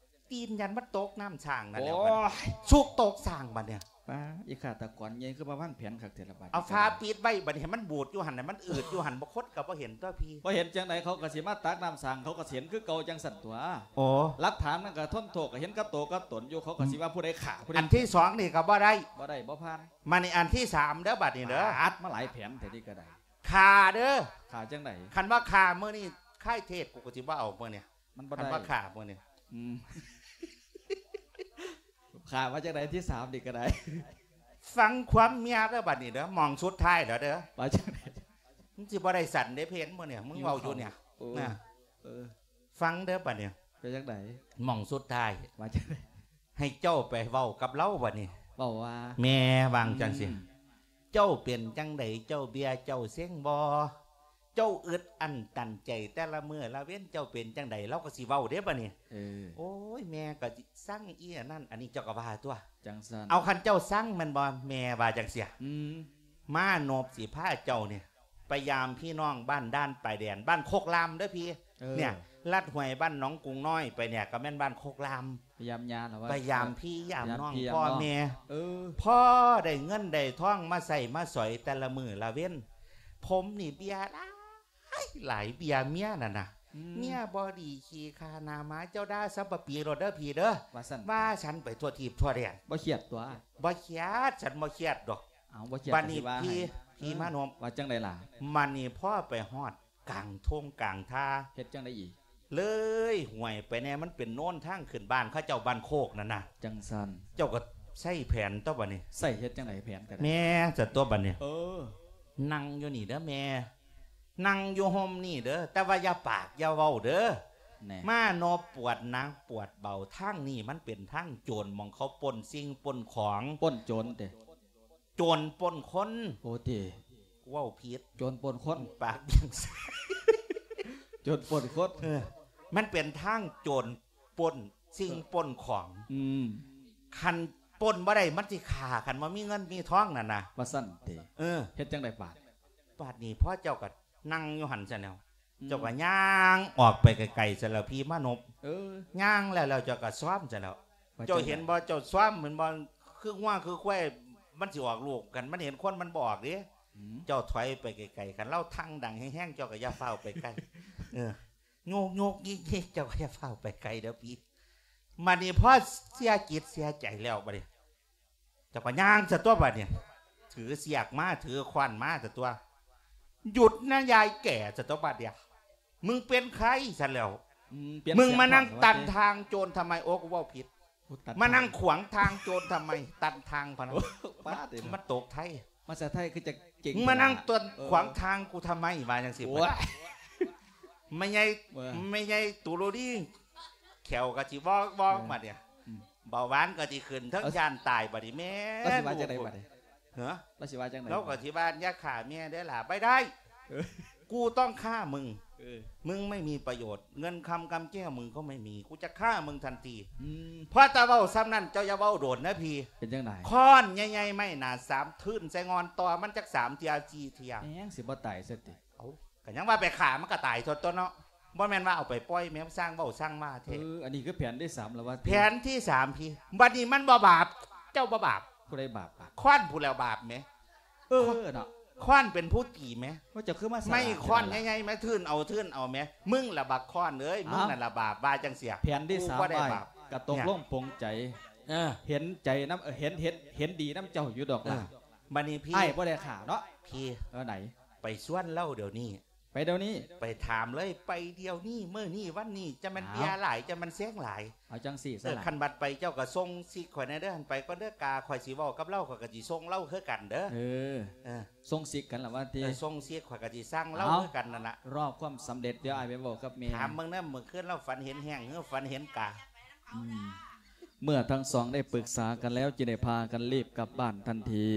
ຕີນຢ້ານມັນຕົກນ້ຳສ້າງນັ້ນແຫຼະ. ໂອ້ຍ ສຸກຕົກສ້າງບາດນີ້. ປ້າ ອີຂ້າຕະກອນໃຫຍ່ ຄືມາວາງແຜນຄັກແທ້ລະບາດ. ເອົາຝາປິດໄວ້ບາດນີ້ ໃຫ້ມັນບູດຢູ່ຫັ້ນ ໃຫ້ມັນອືດຢູ່ຫັ້ນ ບໍ່ຄົນກະບໍ່ເຫັນຕົວະພີ່. ບໍ່ເຫັນຈັ່ງໃດ ເຂົາກະຊິມາຕັກນ້ຳສ້າງ ເຂົາກະຊິເຫັນຄືເກົ່າຈັ່ງຊັ້ນຕົວະ. ໂອ້ ຫຼັກຖານມັນກະທົນໂທດ ກະເຫັນກັບໂຕກັບຕົນຢູ່ ເຂົາກະຊິວ່າຜູ້ໃດຂ້າ ຜູ້ໃດ. ອັນທີສອງນີ້ກະບໍ່ໄດ້ ບໍ່ໄດ້ ບໍ່ຜ່ານ. ມານີ້ອັນທີສາມເດີບາດນີ້ເດີ. ປາດ ມາຫຼາຍແຜນແທ້ນີ້ກະໄດ້. ຂ້າເດີ. ຂ້າຈັ່ງໃດ? ຄັນວ່າຂ້າມື້ນີ້ ຄາຍເທດ ກູກະຊິບໍ່ເອົາມື້ນີ້. ມັນບໍ່ໄດ້ ຄັນວ່າຂ້າມື້ນີ້. ອືມ ຂ້າວ່າຈັ່ງໃດ? ທີສາມນີ້ກະໄດ້. ຟັງຄວາມເມຍເດີບາດນີ້ເດີ ໝ່ອງສຸດທ້າຍແລ້ວເດີ. ວ່າຈັ່ງໃດ? ມັນຊິບໍ່ໄດ້ສັນເດ້ເພນມື້ນີ້ ມຶງເວົ້າຢູ່ນີ້. ໂອ້ ນະ ເອີ ເອີ ຟັງເດີບາດນີ້. ເປັນຈັ່ງໃດ? ໝ່ອງສຸດທ້າຍ. ວ່າຈັ່ງໃດ? ໃຫ້ເຈົ້າໄປເວົ້າກັບລາວບາດນີ້. ເວົ້າວ່າ? ແມ່ວ່າຈັ່ງຊີ້. ອືມ ເຈົ້າເປັນຈັ່ງໃດ? ເຈົ້າເບຍ ເຈົ້າເຊັງບໍ່? ເຈົ້າອຶດອັ້ນຕັນໃຈແຕ່ລະມື້ລະເວັນ ເຈົ້າເປັນຈັ່ງໃດ? ລາວກະຊິເວົ້າເດ້ບາດນີ້. ເອີ ໂອ້ຍ ແມ່ກະຊິຊັງອີອັນນັ້ນອັນນີ້ ເຈົ້າກະວ່າຕົວະ. ຈັ່ງຊັ້ນ ເອົາ ຄັນເຈົ້າຊັງແມ່ນບໍ່? ແມ່ວ່າຈັ່ງຊີ້. ອືມ ມານົບຊິພາເຈົ້ານີ້ ໄປຢາມພີ່ນ້ອງບ້ານດ່ານປາຍແດນ ບ້ານໂຄກລາມເດີພີ່. ເອີ ເນຍ ລັດຫ້ວຍບ້ານໜອງກຸງນ້ອຍໄປເນຍ ກະແມ່ນບ້ານໂຄກລາມ. ໄປຢາມຍ່າລະວ່າ ໄປຢາມພີ່ຢາມນ້ອງ ພໍ່ແມ່. ເອີ ພໍໄດ້ເງິນໄດ້ທອງມາໃຊ້ມາສອຍແຕ່ລະມື້ລະເວັນ ຜົມນີ້ເບຍຫຼາຍ ອ້າຍ ຫຼາຍເບຍເມຍນັ້ນນະ ອືມ ເມຍບໍ່ດີຂີ້ຂ້າໜ້າໝາ ເຈົ້າດ່າສັບປະປີໂລດເດີພີ່ເດີ ວ່າຊັ້ນ ວ່າຊັ້ນໄປທົ່ວທີບທົ່ວແດນ ບໍ່ຄຽດຕົວະ ບໍ່ຄຽດ ສັນບໍ່ຄຽດດອກ ເອົາ ບໍ່ຄຽດ ບາດນີ້ ກໍຊິວ່າ ພີ່ ໃຫ້ ພີ່ມານົບ ເອີ ວ່າຈັ່ງໃດລະ? ບາດນີ້ພໍໄປຮອດກາງທົ່ງກາງທ່າ ເຮັດຈັ່ງໃດອີກ? ເລີຍຫ້ວຍໄປແດ່ ມັນເປັນໂນນທາງຂຶ້ນບ້ານເຂົາເຈົ້າ ບ້ານໂຄກນັ້ນນະ ຈັ່ງຊັ້ນ ເຈົ້າກໍໃຊ້ແຜນຕົວະບາດນີ້ ໃຊ້ເຮັດຈັ່ງໃດແຜນກໍໄດ້ ແມ່ ຊັ້ນຕົວະບາດນີ້ ເອີ ນັ່ງຢູ່ນີ້ເດີແມ່ ນັ່ງຢູ່ຮົ່ມນີ້ເດີ ແຕ່ວ່າຢ່າປາກຢ່າເວົ້າເດີ ແນ່ ມານໍປວດໜັກປວດເບົາ ທາງນີ້ມັນເປັນທາງໂຈນ ໝ່ອງເຂົາປຸ້ນສິ່ງປຸ້ນຂອງ ປຸ້ນໂຈນເຕະ ໂຈນປຸ້ນຄົນ ໂອເຕ ເວົ້າຜິດ ໂຈນປຸ້ນຄົນ ປາກບຽງ ໂຈນປຸ້ນຄົນ ເອີ ມັນເປັນທາງໂຈນປຸ້ນສິ່ງ ເອີ ປຸ້ນຂອງ ອືມ ຄັນປຸ້ນບໍ່ໄດ້ມັນຊິຂ້າ ຄັນບໍ່ມີເງິນມີທອງນັ້ນນະ ວ່າຊັ້ນເຕະ ເອີ ເຮັດຈັ່ງໃດບາດ? ບາດນີ້ພໍເຈົ້າກໍນັ່ງຢູ່ຫັ້ນຊັ້ນແລ້ວ ອືມ ເຈົ້າກໍຍ່າງອອກໄປໄກໆຊັ້ນແລ້ວ ພີ່ມານົບ ເອີ ຍ່າງແລ້ວໆ ເຈົ້າກໍຊອມຊັ້ນແລ້ວ ວ່າ ເຈົ້າເຫັນບໍ່ ເຈົ້າຊອມແມ່ນບໍ່ ຄືງົວຄືຄວາຍ ມັນຊິອອກລູກ ຄັນມັນເຫັນຄົນມັນບໍ່ອອກເດ້ ອືມ ເຈົ້າຖອຍໄປໄກໆ ຄັນລາວທັ່ງດັງແຮງໆ ເຈົ້າກໍຢ່າຟ້າວໄປໃກ້ ເອີ ໂຍກໆຍິກໆ ເຈົ້າກໍຢ່າຟ້າວໄປໄກເດີພີ່ ບາດນີ້ພໍເສຍຈິດເສຍໃຈແລ້ວ ບາດນີ້ ເຈົ້າກໍຍ່າງຊະຕົວະບາດນີ້ ຖືສຽກມາ ຖືຄ້ອນມາຊະຕົວະ ຢຸດນະຍາຍແກ່ ຊະຕົວະບາດນີ້ ມຶງເປັນໃຜຊັ້ນແລ້ວ ອືມ ປ່ຽນ ມຶງມານັ່ງຕັນທາງໂຈນທຳໄມ? ໂອ້ ກູເວົ້າຜິດ ໂອ້ ຕັນທາງ ມານັ່ງຂວາງທາງໂຈນທຳໄມ? ຕັນທາງພະນະ ໂອ້ ປາດເດ ມັນຕົກໄທ ພາສາໄທຄືຈະເກັ່ງ ມານັ່ງ ເອີ ຂວາງທາງກູທຳໄມ? ວ່າຈັ່ງຊີ້ ໂອ້ຍ ແມ່ໃຫຍ່ ເອີ ແມ່ໃຫຍ່ຕູໂລລີ ແຂ້ວກໍຊິວອກໆ ເອີ ມາເດ ອືມ ເບົາຫວານກໍຊິຂຶ້ນ ເທິງ ເອີ ຢ້ານຕາຍບາດນີ້ແມ່ ລາວຊິວ່າຈັ່ງໃດບາດນີ້? ຮະ? ລາວຊິວ່າຈັ່ງໃດ? ລາວກໍຊິວ່າ ຢ່າຂ້າແມ່ເດີຫຼ້າ ໄປໄດ້ ເອີ ກູຕ້ອງຂ້າມຶງ ເອີ ມຶງໄມ່ມີປະໂຫຍດ ເງິນຄຳກຳແກ້ວມຶງກໍໄມ່ມີ ກູຈະຂ້າມຶງທັນທີ ອືມ ພໍແຕ່ເວົ້າສ່ຳນັ້ນ ເຈົ້າຢ່າເວົ້າໂດນເດີພີ່ ເປັນຈັ່ງໃດ? ຄ້ອນໃຫຍ່ໆ ໄມ້ໜາສາມ ທຶນໃສ່ງ່ອນຕໍ່ມັນຈັກສາມເທື່ອສີ່ເທື່ອ ແມ່ງຊິບໍ່ຕາຍຊະຕິ? ເອົ້າ ກໍຍັງວ່າໄປຂ້າມັນກໍຕາຍໂທດຕົວະເນາະ ບໍ່ແມ່ນວ່າເອົາໄປປ່ອຍແມ່ ຊ່າງເວົ້າຊ່າງວ່າແທ້ ເອີ ອັນນີ້ຄືແຜນທີສາມແລ້ວວ່າຕິ? ແຜນທີສາມພີ້ ບັດນີ້ມັນບໍ່ບາບ ເຈົ້າບໍ່ບາບ ຜູ້ໃດບາບບາດ? ຄ້ອນຜູ້ແລ້ວບາບແໝ ເອີ ເນາະ ຄ້ອນເປັນຜູ້ຕີແໝ ວ່າເຈົ້າຄືມາສະຫຼາດ ໄມ້ຄ້ອນໃຫຍ່ໆ ມາທຶນເອົາທຶນເອົາແໝ ມຶງລະບັກຄ້ອນເອີຍ ມຶງນັ້ນລະບາບ ວ່າຈັ່ງຊີ້ ແຜນທີສາມ ກູບໍ່ໄດ້ບາບ ກໍຕົກລົງ ເອີ ປົງໃຈ ເອີ ເຫັນໃຈນຳ ເອີ ເຫັນ ເຫັນ ເຫັນດີນຳເຈົ້າຢູ່ດອກ ເອີ ລະ ບັດນີ້ພີ້ ອ້າຍບໍ່ໄດ້ຂ້າເນາະ ພີ້ ເອີ ໄດ ໄປຊວນລາວດຽວນີ້ ໄປດຽວນີ້ ໄປຖາມເລີຍ ໄປດຽວນີ້ ມື້ນີ້ ວັນນີ້ ຈະແມ່ນເບຍຫຼາຍ ຈະແມ່ນແຊງຫຼາຍ ເອົາຈັ່ງຊີ້ຊະ ເອີ ລະ ຄັນບັດໄປເຈົ້າກໍສົ່ງຊິກຂ້ອຍແດ່ເດີ ຫັ້ນໄປກ່ອນເດີ ກາຂ້ອຍຊິເວົ້າກັບລາວ ຂ້ອຍກໍຊິສົ່ງລາວຄືກັນເດີ ເອີ ເອີ ສົ່ງຊິກກັນລະວ່າຕິ ເອີ ສົ່ງຊິກ ຂ້ອຍກໍຊິສັ່ງລາວຄືກັນນັ້ນລະ ລໍຄວາມສຳເລັດ ດຽວອ້າຍໄປເວົ້າກັບແມ່ ຖາມເບິ່ງນຳ ມື້ຄືນລາວຝັນເຫັນແຮງ ຫຼື ຝັນເຫັນກາ ອືມ ເມື່ອທັງສອງໄດ້ປຶກສາກັນແລ້ວ ຈຶ່ງໄດ້ພາກັນລີບກັບບ້ານທັນທີ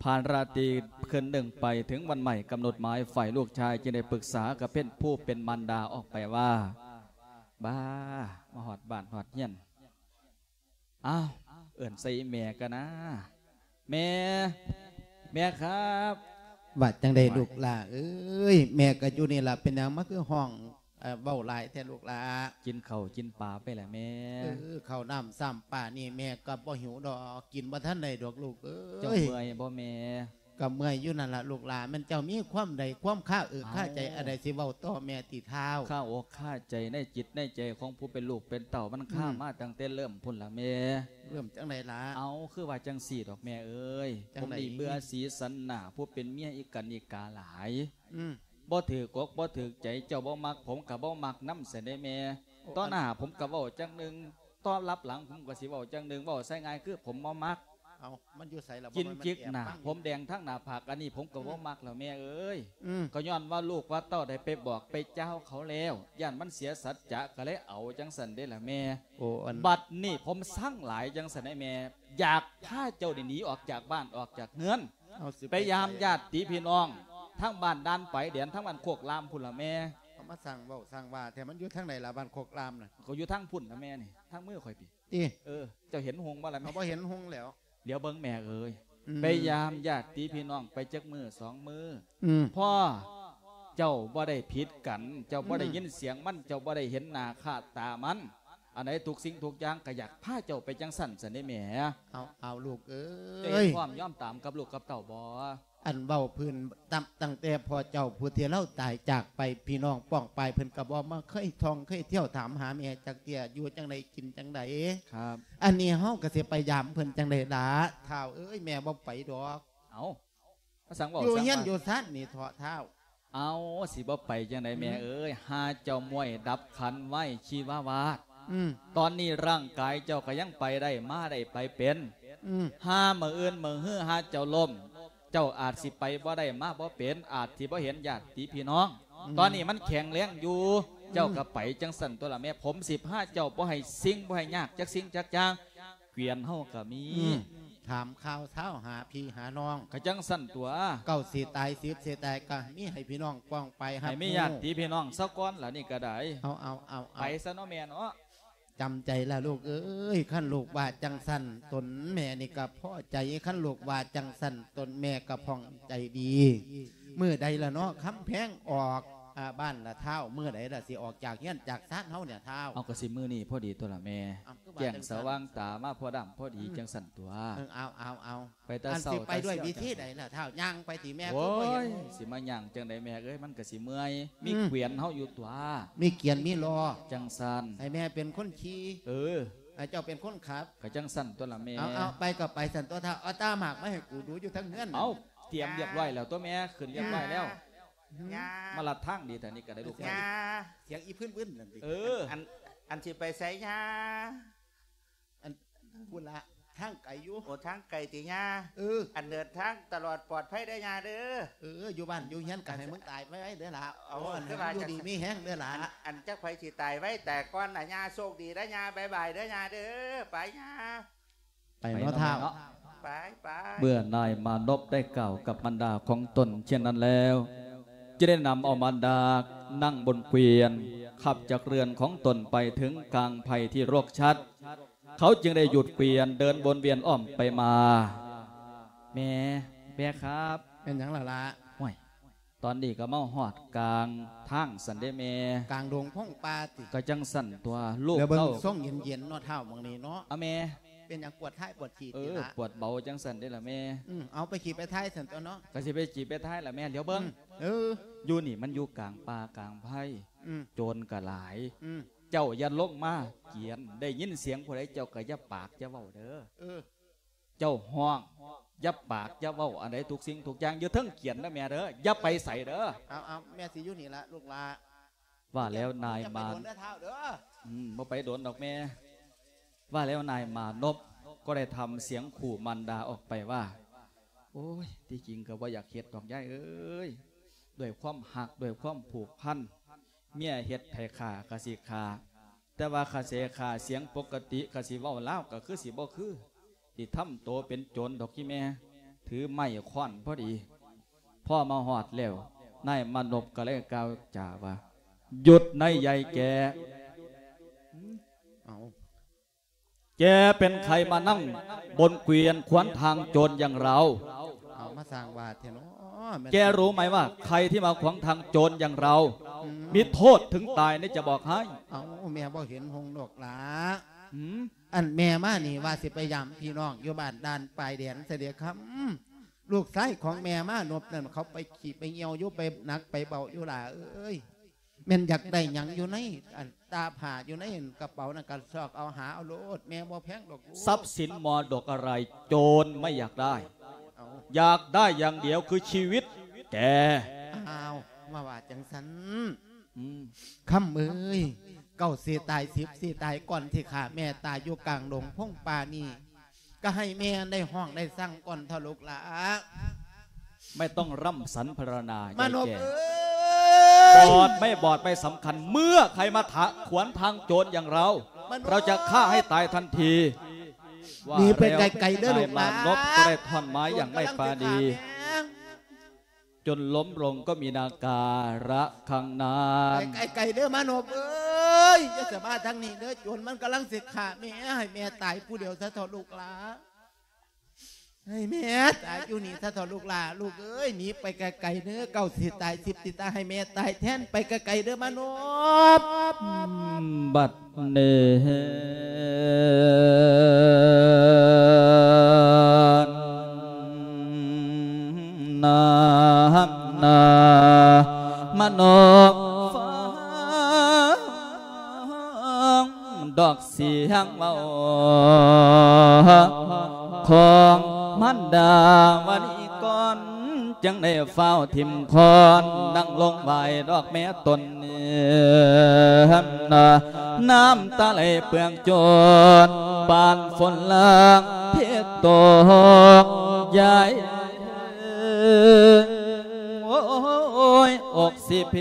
ຜ່ານລາຕີຄືນໜຶ່ງໄປ ເຖິງວັນໝາຍກຳນົດໝາຍ ຝ່າຍລູກຊາຍຈຶ່ງໄດ້ປຶກສາກັບເປັນຜູ້ເປັນມານດາອອກໄປວ່າ ບ້າ ມາຮອດບ້ານຮອດເຮືອນ ອ້າວ ເອີ້ນໃສ່ອີ່ແມ່ກະນາ ແມ່ ແມ່ຄັບ ວ່າຈັ່ງໃດລູກຫຼ້າເອີຍ ແມ່ກໍຢູ່ນີ້ລະ ເປັນຫຍັງມາຄືຮ້ອງ ເອີ ເວົ້າຫຼາຍແທ້ລູກຫຼ້າ ກິນເຂົ້າກິນປາໄປລະແມ່ ເອີ ເຂົ້ານ້ຳຊ້ຳປານີ້ແມ່ກໍບໍ່ຫິວດອກ ກິນບໍ່ທັນໄດ້ດອກລູກເອີຍ ເຈົ້າເມື່ອຍບໍ່ແມ່ ກໍເມື່ອຍຢູ່ນັ້ນລະລູກຫຼ້າ ແມ່ນເຈົ້າມີຄວາມໃດຄວາມຄາເອິກຄາໃຈອັນໃດ ຊິເວົ້າຕໍ່ແມ່ຕິທ້າວ ຄາອົກຄາໃຈໃນຈິດໃນໃຈຂອງຜູ້ເປັນລູກເປັນເຕົ້າ ມັນຄາມາຕັ້ງແຕ່ເລີ່ມພຸ້ນລະແມ່ ເລີ່ມຈັ່ງໃດລະ ເອົ້າ ຄືວ່າຈັ່ງຊີ້ດອກແມ່ເອີຍ ຈັ່ງໃດ ຜົມນີ້ເບື່ອສີສັນໜ້າ ຜູ້ເປັນເມຍອີ່ກັນອີ່ກາຫຼາຍ ອືມ ບໍ່ຖືກອົກບໍ່ຖືກໃຈ ເຈົ້າບໍ່ມັກ ຜົມກໍບໍ່ມັກນຳຊັ້ນເດ້ແມ່ ໂອ້ ຕໍ່ໜ້າ ອັນ ຜົມກໍເວົ້າຈັ່ງໜຶ່ງ ຕໍ່ລັບຫຼັງ ຜົມກໍຊິເວົ້າຈັ່ງໜຶ່ງ ເວົ້າໃສ່ງ່າຍຄືຜົມບໍ່ມັກ ເອົ້າ ມັນຢູ່ໃສລະ ກິນຈິກໜ້າ ຜົມແດງທັງໜ້າຜາກ ອັນນີ້ຜົມກໍບໍ່ມັກແລ້ວແມ່ເອີຍ ອືມ ກໍຍ້ອນວ່າລູກວ່າເຕົ້າໄດ້ໄປບອກໄປຈາວເຂົາແລ້ວ ຢ້ານມັນເສຍສັດຈະ ກໍເລີຍເອົາຈັ່ງຊັ້ນເດ້ລະແມ່ ໂອ້ ອັນ ບັດນີ້ຜົມຊັງຫຼາຍຈັ່ງຊັ້ນເດ້ແມ່ ຢາກພາເຈົ້ານີ້ໜີອອກຈາກບ້ານອອກຈາກເຮືອນ ເອົາ ໄປຢາມຍາດຕິພີ່ນ້ອງ ທາງບ້ານດ່ານປາຍແດນ ທາງບ້ານໂຄກລາມພຸ້ນລະແມ່ ເອົາ ມາສ້າງເວົ້າສ້າງວ່າແທ້ ມັນຢູ່ທາງໃດລະ ບ້ານໂຄກລາມນະ ກໍຢູ່ທາງພຸ້ນລະແມ່ນີ້ ທາງມືຂ້ອຍພີ້ ຕິ ເອີ ເຈົ້າເຫັນຮຸ່ງບໍ່ລະແມ່ ເຮົາບໍ່ເຫັນຮຸ່ງແລ້ວ ຫຼຽວເບິ່ງແມ່ເອີຍ ອືມ ໄປຢາມຍາດຕິພີ່ນ້ອງໄປຈັກມື້ສອງມື້ ອືມ ພໍເຈົ້າບໍ່ໄດ້ຜິດກັນ ເຈົ້າບໍ່ໄດ້ ອືມ ຍິນສຽງມັນ ເຈົ້າບໍ່ໄດ້ເຫັນໜ້າຄ່າຕາມັນ ອັນໃດທຸກສິ່ງທຸກຢ່າງກໍຢາກພາເຈົ້າໄປຈັ່ງຊັ້ນຊັ້ນເດ້ແມ່ ເອົາ ເອົາ ລູກເອີຍ ເຈົ້າເຫັນພ້ອມຍອມຕາມກັບລູກກັບເຕົ້າບໍ່? ອັນເວົ້າພື້ນຕັ້ງ ຕັ້ງແຕ່ພໍ່ເຈົ້າຜູ້ທີ່ລາວຕາຍຈາກໄປ ພີ່ນ້ອງປ້ອງປາຍເພິ່ນກໍບໍ່ມາເຄີຍທ່ອງເຄີຍທ່ຽວຖາມຫາແມ່ຈັກເທື່ອ ຢູ່ຈັ່ງໃດກິນຈັ່ງໃດ. ອັນນີ້ເຮົາກໍຊິໄປຢາມເພິ່ນຈັ່ງໃດລະ ທ້າວເອີຍ ແມ່ບໍ່ໄປດອກ. ເອົ້າ ມາສັ່ງເວົ້າ ຢູ່ເຮືອນຢູ່ຊານນີ້ເຖາະທ້າວ. ເອົ້າ ຊິບໍ່ໄປຈັ່ງໃດແມ່ເອີຍ ຫາເຈົ້າມ້ວຍດັບຂັນໄວຊີວາວາດ. ຕອນນີ້ຮ່າງກາຍເຈົ້າກໍຍັງໄປໄດ້ມາໄດ້ໄປເປັນ. ຫາມື້ອື່ນມື້ຮືຫາເຈົ້າລົ້ມ ເຈົ້າອາດຊິໄປບໍ່ໄດ້ມາບໍ່ເປັນ ອາດຊິບໍ່ເຫັນຍາດຕິພີ່ນ້ອງ. ຕອນນີ້ມັນແຂງແຮງຢູ່ ເຈົ້າກໍໄປຈັ່ງຊັ້ນຕົວລະແມ່. ຜົມຊິພາເຈົ້າບໍ່ໃຫ້ສິ່ງ ບໍ່ໃຫ້ຍາກຈັກສິ່ງຈັກຢ່າງ. ເກວຽນເຮົາກໍມີ ຖາມຂ່າວຊາວຫາພີ່ຫານ້ອງ ກໍຈັ່ງຊັ້ນຕົວະ. ເກົ້າຊິຕາຍ ສິບຊິຕາຍ ກໍມີໃຫ້ພີ່ນ້ອງປ້ອງປາຍຮັບຮູ້ ໃຫ້ມີຍາດຕິພີ່ນ້ອງຊະກ່ອນລະ ນີ້ກໍໄດ້. ເອົາ ເອົາ ເອົາ ໄປຊະເນາະແມ່ເນາະ. ຈຳໃຈລະລູກເອີຍ ຄັນລູກວ່າຈັ່ງຊັ້ນ ຕົນແມ່ນີ້ກໍພໍໃຈ ຄັນລູກວ່າຈັ່ງຊັ້ນ ຕົນແມ່ກໍຜ່ອງໃຈດີ. ມື້ໃດລະເນາະ ຄຳແພງອອກ ອາ ບ້ານລະທ້າວ ມື້ໃດລະຊິອອກຈາກເຮືອນຈາກຊານເຮົານີ້ທ້າວ? ເອົາ ກໍຊິມື້ນີ້ພໍດີຕົວລະແມ່ ແຈ້ງສະຫວ່າງຕາມາພໍດຳພໍດີຈັ່ງຊັ້ນຕົວະ. ເອີ ເອົາ ເອົາ ເອົາ ໄປແຕ່ເຊົ້າ ຊິໄປດ້ວຍວິທີໃດລະທ້າວ? ຍ່າງໄປຕິແມ່? ໂອ້ຍ ຄືບໍ່ເຫັນ ຊິມາຍ່າງຈັ່ງໃດແມ່ເອີຍ ມັນກໍຊິເມື່ອຍ. ມີເກວຽນເຮົາຢູ່ຕົວະ ມີເກວຽນມີລໍ້ ຈັ່ງຊັ້ນ ໃຫ້ແມ່ເປັນຄົນຂີ່. ເອີ ໃຫ້ເຈົ້າເປັນຄົນຂັບ ກໍຈັ່ງຊັ້ນຕົວລະແມ່. ເອົາ ເອົາ ໄປກໍໄປຊັ້ນຕົວະທ້າວ. ເອົາຕາໝາກມາໃຫ້ກູດູຢູ່ທາງເຮືອນ. ເອົາ ຕຽມຮຽບຮ້ອຍແລ້ວຕົວະແມ່ ຂຶ້ນຮຽບຮ້ອຍແລ້ວ. ຍ່າ ມາລັດທາງດີແທ້ນີ້ກໍໄດ້ລູກ. ຍ່າ ສຽງອີ່ພຶ້ນໆນັ້ນຕິ. ເອີ ອັນ ອັນຊິໄປໃສຍ່າ? ອັນ ພຸ້ນລະ ທາງໄກຢູ່. ໂອ້ ທາງໄກຕິຍ່າ? ເອີ ອັນເດີນທາງຕະຫຼອດປອດໄພເດີຍ່າເດີ. ເອີ ຢູ່ບ້ານຢູ່ເຮືອນກໍໃຫ້ມຶງຕາຍໄວໆເດີຫຼ້າ. ເອົາ ເອົາ ຢູ່ດີມີແຮງເດີຫຼ້າ. ອັນ ອັນຈັກໃຜຊິຕາຍໄວແຕ່ກ່ອນລະຍ່າ. ໂຊກດີເດີຍ່າ ບາຍບາຍເດີຍ່າເດີ. ໄປຍ່າ ໄປເນາະທ້າວ. ໄປ ໄປ. ເມື່ອນາຍມານົບໄດ້ກ່າວກັບມານດາຂອງຕົນເຊັ່ນນັ້ນແລ້ວ ຈຶ່ງໄດ້ນຳເອົາມານດານັ່ງບົນເກວຽນ ຂັບຈາກເຮືອນຂອງຕົນໄປເຖິງກາງໄພທີ່ໂລກຊັດ. ເຂົາຈຶ່ງໄດ້ຢຸດເກວຽນເດີນວົນວຽນອ້ອມໄປມາ. ແມ່ ແມ່ຄັບ. ແມ່ນຫຍັງລະຫຼ້າ? ໂອ້ຍ ຕອນນີ້ກໍມາຮອດກາງທາງຊັ້ນເດ້ແມ່. ກາງດົງພົງປ່າຕິ? ກໍຈັ່ງຊັ້ນຕົວະລູກ. ແລ້ວເບິ່ງ ເອົາ ຊົງເຢັນໆເນາະທ້າວໝ່ອງນີ້ເນາະ. ອາແມ່ ເປັນຫຍັງ ປວດທ້າຍປວດຂີ້ຕິລະ? ເອີ ປວດເບົາຈັ່ງຊັ້ນເດ້ລະແມ່. ອືມ ເອົາໄປຂີ່ໄປຖ່າຍຊັ້ນຕົວະເນາະ. ກໍຊິໄປຂີ່ໄປຖ່າຍລະແມ່. ຫຼຽວເບິ່ງ ອືມ ເອີ ຢູ່ນີ້ມັນຢູ່ກາງປ່າກາງໄພ. ອືມ ໂຈນກໍຫຼາຍ. ອືມ ເຈົ້າຢ່າລົງມາກຽນ ໄດ້ຍິນສຽງຜູ້ໃດເຈົ້າກໍຢ່າປາກຢ່າເວົ້າເດີ. ເອີ ເຈົ້າຮ້ອງ ຢ່າປາກຢ່າເວົ້າ ອັນໃດທຸກສິ່ງທຸກຢ່າງຢູ່ເທິງກຽນເດີແມ່ເດີ ຢ່າໄປໃສເດີ. ເອົາ ເອົາ ແມ່ຊິຢູ່ນີ້ລະລູກຫຼ້າ. ວ່າແລ້ວນາຍມາ ອືມ ບໍ່ໄປດົນດອກແມ່. ວ່າແລ້ວນາຍມານົບກໍໄດ້ທຳສຽງຂູ່ມານດາອອກໄປວ່າ ໂອ້ຍ ທີ່ຈິງກໍບໍ່ຢາກເຮັດດອກຍາຍເອີຍ ດ້ວຍຄວາມຮັກ ດ້ວຍຄວາມຜູກພັນ ເມຍເຮັດໃຫ້ຂ້າກໍຊິຂ້າ ແຕ່ວ່າຂ້າເສຂ້າສຽງປົກກະຕິ ຂ້າຊິເວົ້າລາວກໍຄືຊິບໍ່ຄື ຊິທຳໂຕເປັນໂຈນດອກອີ່ແມ່. ຖືໄມ້ຄ້ອນພໍດີ ພໍມາຮອດແລ້ວ ນາຍມານົບກໍເລີຍກ່າວຈາວ່າ ຢຸດນາຍໃຫຍ່ແກ. ເອົາ ແกเป็นใครมานั่งบนเกวียนขวางทางโจรอย่างเรา? ເອົາ ມາສ້າງວາດແທ້ເນາະ. แกรู้ไหมว่าใครที่มาขวางทางโจรอย่างเรา มีโทษถึงตายนะ จะบอกให้. ເອົາ ແມ່ບໍ່ເຫັນຫົງດອກຫຼ້າ. ອັນແມ່ມານີ້ວ່າຊິໄປຢາມພີ່ນ້ອງຢູ່ບ້ານດ່ານປາຍແດນຊະເດຄຳ. ລູກຊາຍຂອງແມ່ມານົບນັ້ນ ເຂົາໄປຂີ້ໄປຍ່ຽວຢູ່ ໄປໜັກໄປເບົາຢູ່ຫຼ້າເອີຍ. ແມ່ນຢາກໄດ້ຫຍັງຢູ່ໃນອັນຕາຜ້າ ຢູ່ໃນອັນກະເປົານັ້ນ ກໍຊອກເອົາຫາເອົາໂລດ ແມ່ບໍ່ແພງດອກລູກ. ทรัพย์สินมรดกอะไรโจรไม่อยากได้ เอ้า อยากได้อย่างเดียวคือชีวิตแก. ອ້າວ ມາວ່າຈັ່ງຊັ້ນ. ອືມ ຄຳເອີຍ ເກົ້າຊິຕາຍ ສິບຊິຕາຍ ກ່ອນທີ່ຂ້າແມ່ຕາຍຢູ່ກາງດົງພົງປ່ານີ້ ກໍໃຫ້ແມ່ໄດ້ຮ້ອງໄດ້ສັງກ່ອນເຖາະລູກຫຼ້າ. ไม่ต้องร่ำสรรพรรณนา มานพเอ๋ย บอดไม่บอดไม่สำคัญ เมื่อใครมาขวางทางโจรอย่างเรา เราจะฆ่าให้ตายทันที. ว่าแล้วนายมานพก็ได้ท่อนไม้อย่างไม่ปราณี จนล้มลงก็มีนาการะครั้งนั้น. ໄກໆເດີມານົບເອີຍ ຢ່າສະມາທາງນີ້ເດີ ໂຈນມັນກຳລັງຊິຂ້າແມ່ ໃຫ້ແມ່ຕາຍຜູ້ດຽວຊະເຖາະລູກຫຼ້າ ໃຫ້ແມ່ຕາຍຢູ່ນີ້ຊະເຖາະລູກຫຼ້າ. ລູກເອີຍ ໜີໄປໄກໆເດີ ເກົ້າຊິຕາຍ ສິບຊິຕາຍ ໃຫ້ແມ່ຕາຍແທນ ໄປໄກໆເດີມານົບ. ບັດນີ້ນາ ອອກສຽງເວົ້າຂອງມານດາວະນີກ່ອນ ຈຶ່ງໄດ້ຟ້າວຖິ້ມຄອນ ນັ່ງລົງໄຫວ້ດອກແມ່ຕົນ ນ້ຳຕາໄຫຼເປືອກຈົນ ປານຝົນລາງເທຕົກຢາຍ ໂອ້ຍ ອົກຊິເພ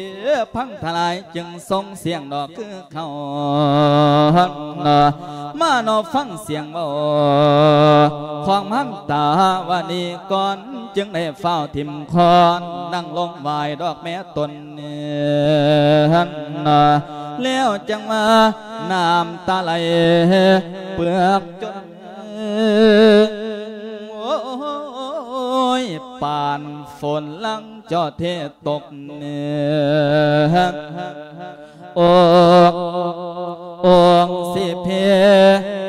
ພັງທະລາຍ ຈຶ່ງສົ່ງສຽງດອກຄືເຂົາ ມານອບຟັງສຽງເວົ້າຂອງມານຕາວະນີກ່ອນ ຈຶ່ງໄດ້ຟ້າວຖິ້ມຄອນ ນັ່ງລົງໄຫວ້ດອກແມ່ຕົນ ແລ້ວຈັ່ງວ່ານ້ຳຕາໄຫຼເປືອກຈົນ ໂອ້ຍ ປານຝົນລາງເຈາະເທຕົກ ອົກ ອົກຊິເພ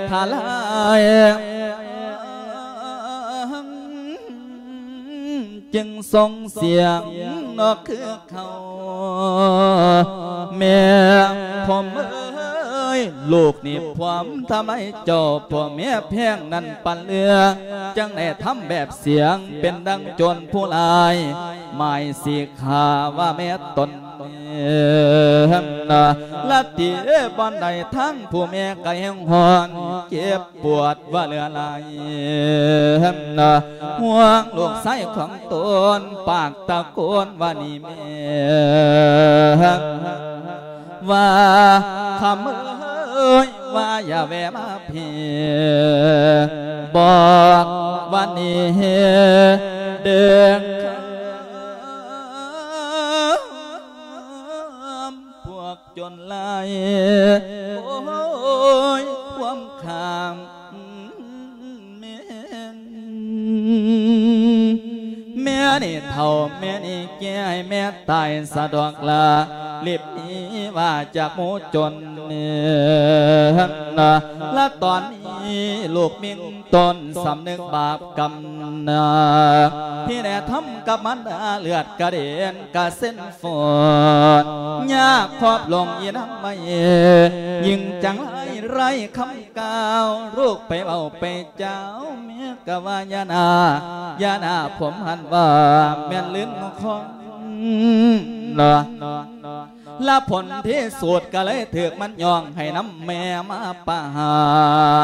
ທະລາຍ ຈຶ່ງສົ່ງສຽງນອກຄືເຂົາ ແມ່ຜົມເອີຍ ລູກນີ້ຜົມທຳໄມເຈົ້າ ຜົມແມ່ແພງນັ້ນປານເຫຼືອ ຈັ່ງໄດ້ທຳແບບສຽງ ເປັນດັ່ງໂຈນຜູ້ຮ້າຍ ໝາຍຊິຂ້າວ່າແມ່ຕົນ ລະຕິບ່ອນໃດທາງຜູ້ແມ່ກະແຮງຮ້ອນ ເຈັບປວດວ່າເຫຼືອຫຼາຍ ຫ່ວງລູກຊາຍຂອງຕົນ ປາກຕະໂກນວ່ານີ້ແມ່ ວ່າຄຳເອີຍ ວ່າຢ່າແວ່ມາພີ້ ບອກວ່ານີ້ເດີ ພວກຈົນຫຼາຍ ໂອ້ຍ ຄວາມຂ້າງ ແມ່ນ ແມ່ນີ້ເຖົ້າ ແມ່ນີ້ແກ່ ໃຫ້ແມ່ຕາຍສະດອກລະ ລີບໜີວ່າຈາກໝູ່ຈົນ ລະຕອນນີ້ລູກມິ່ງ ຕົນສຳນຶກບາບກຳນາກ ທີ່ໄດ້ທຳກັບມານດາ ເລືອດກະເດັນກະເຊັນຟອດ ຍາກຄອບລົງອີນາງໄວ້ ຍິ່ງຈັງໄຮ້ ໄຮ້ຄຳກ່າວ ລູກໄປເວົ້າໄປຈາວ ແມ່ກະວ່າຢ່າໜ້າ ຢ່າໜ້າ ຜົມຫັ້ນວ່າແມ່ນລື່ນຄອງ ລະຜົນທີ່ສຸດກະເລີຍຖືກມັນຍ້ອງໃຫ້ນຳແມ່ມາປະຫາ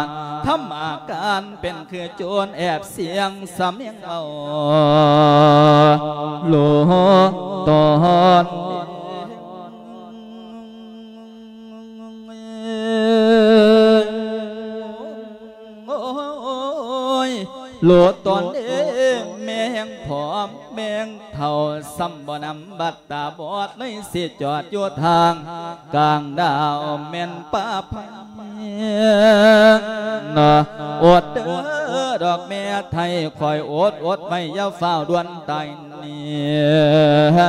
ນ ທຳອາການເປັນຄືໂຈນແອບສຽງສຳນຽງເວົ້າ ໂລຕອນ ໂອ້ຍ ໂລຕອນເດ້ ແມ່ແຮງຜອມ ແມ່ແຮງເຖົ້າ ຊ້ຳບໍ່ນຳບັດ ຕາບອດເລີຍຊິຈອດຢູ່ທາງກາງດາວ ແມ່ນປາໄພ ນະ ອົດເດີດອກແມ່ໄທ ຄອຍອົດ ອົດໄວ້ ຢ່າຟ້າວດ່ວນຕາຍນີ້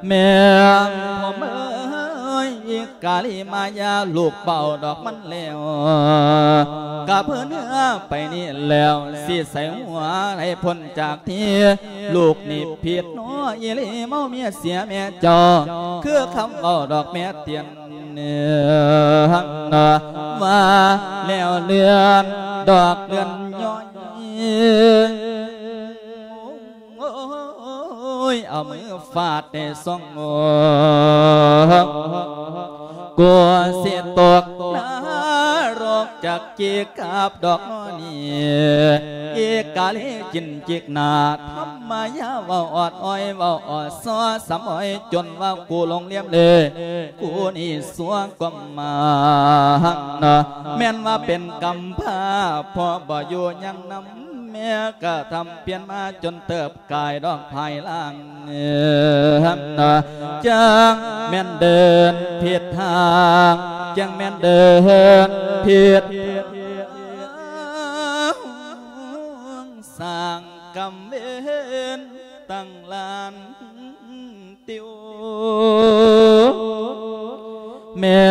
ແມ່ຜົມເອີຍ ກາລີມາຍາ ລູກເປົ່າດອກມັນແລ້ວ ກະເພີເໜືອໄປນີ້ແລ້ວ ຊິໃສ່ຫົວໃຫ້ພົ້ນຈາກທີ່ ລູກນີ້ຜິດໜໍ່ອີ່ຫຼີ ເມົາເມຍເສຍແມ່ເຈົ້າ ຄືຄຳເວົ້າດອກແມ່ຕຽນ ວ່າແລ້ວເລື່ອນດອກເລື່ອນຍ້ອຍ ໂອ້ຍ ເອົາມືຟາດໃນຊ່ອງ ໂອ້ ກົວຊິຕົກນະລົກຈັກ ຈີກັບດອກໜໍ່ນີ້ ອີກາລີຈິນຈິກໜ້າ ທຳມາຍາເວົ້າອອດອ້ອຍ ເວົ້າອອດຊໍ ສຳອ້ອຍຈົນວ່າກູຫຼົງລຽມເລ ກູນີ້ຊົ່ວກວ່າໝາ ແມ່ນວ່າເປັນກຳພ້າ ພໍ່ບໍ່ຢູ່ຍັງນຳ ແມ່ກະທຳປ່ຽນມາຈົນເຕີບ ກາຍດອກພາຍຫຼັງ ຈັ່ງແມ່ນເດີນຜິດທາງ ຈັ່ງແມ່ນເດີນຜິດ ສ້າງກຳເວນຕັ້ງລ້ານຕິວ ແມ່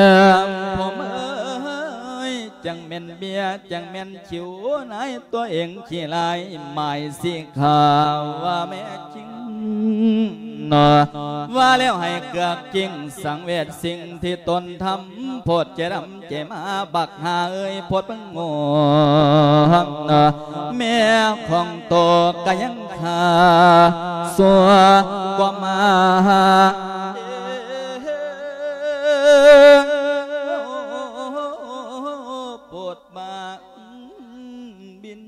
ຜົມເອີຍ ຈັ່ງແມ່ນເບຍ ຈັ່ງແມ່ນ ຂິວນາຍຕົວເອງຂີ້ລາຍ ໝາຍຊິຂ້າວ່າແມ່ຈິງ ນະ ວ່າແລ້ວໃຫ້ເກືອກກິ້ງສັງເວດ ສິ່ງທີ່ຕົນທຳ ໂພດໃຈດຳໃຈມາ ບັກຫ່າເອີຍ ໂພດເບິ່ງໂງ່ ແມ່ຂອງໂຕກະຍັງຂ້າ ຊົ່ວກວ່າມາ ໂພດມາ ບິນ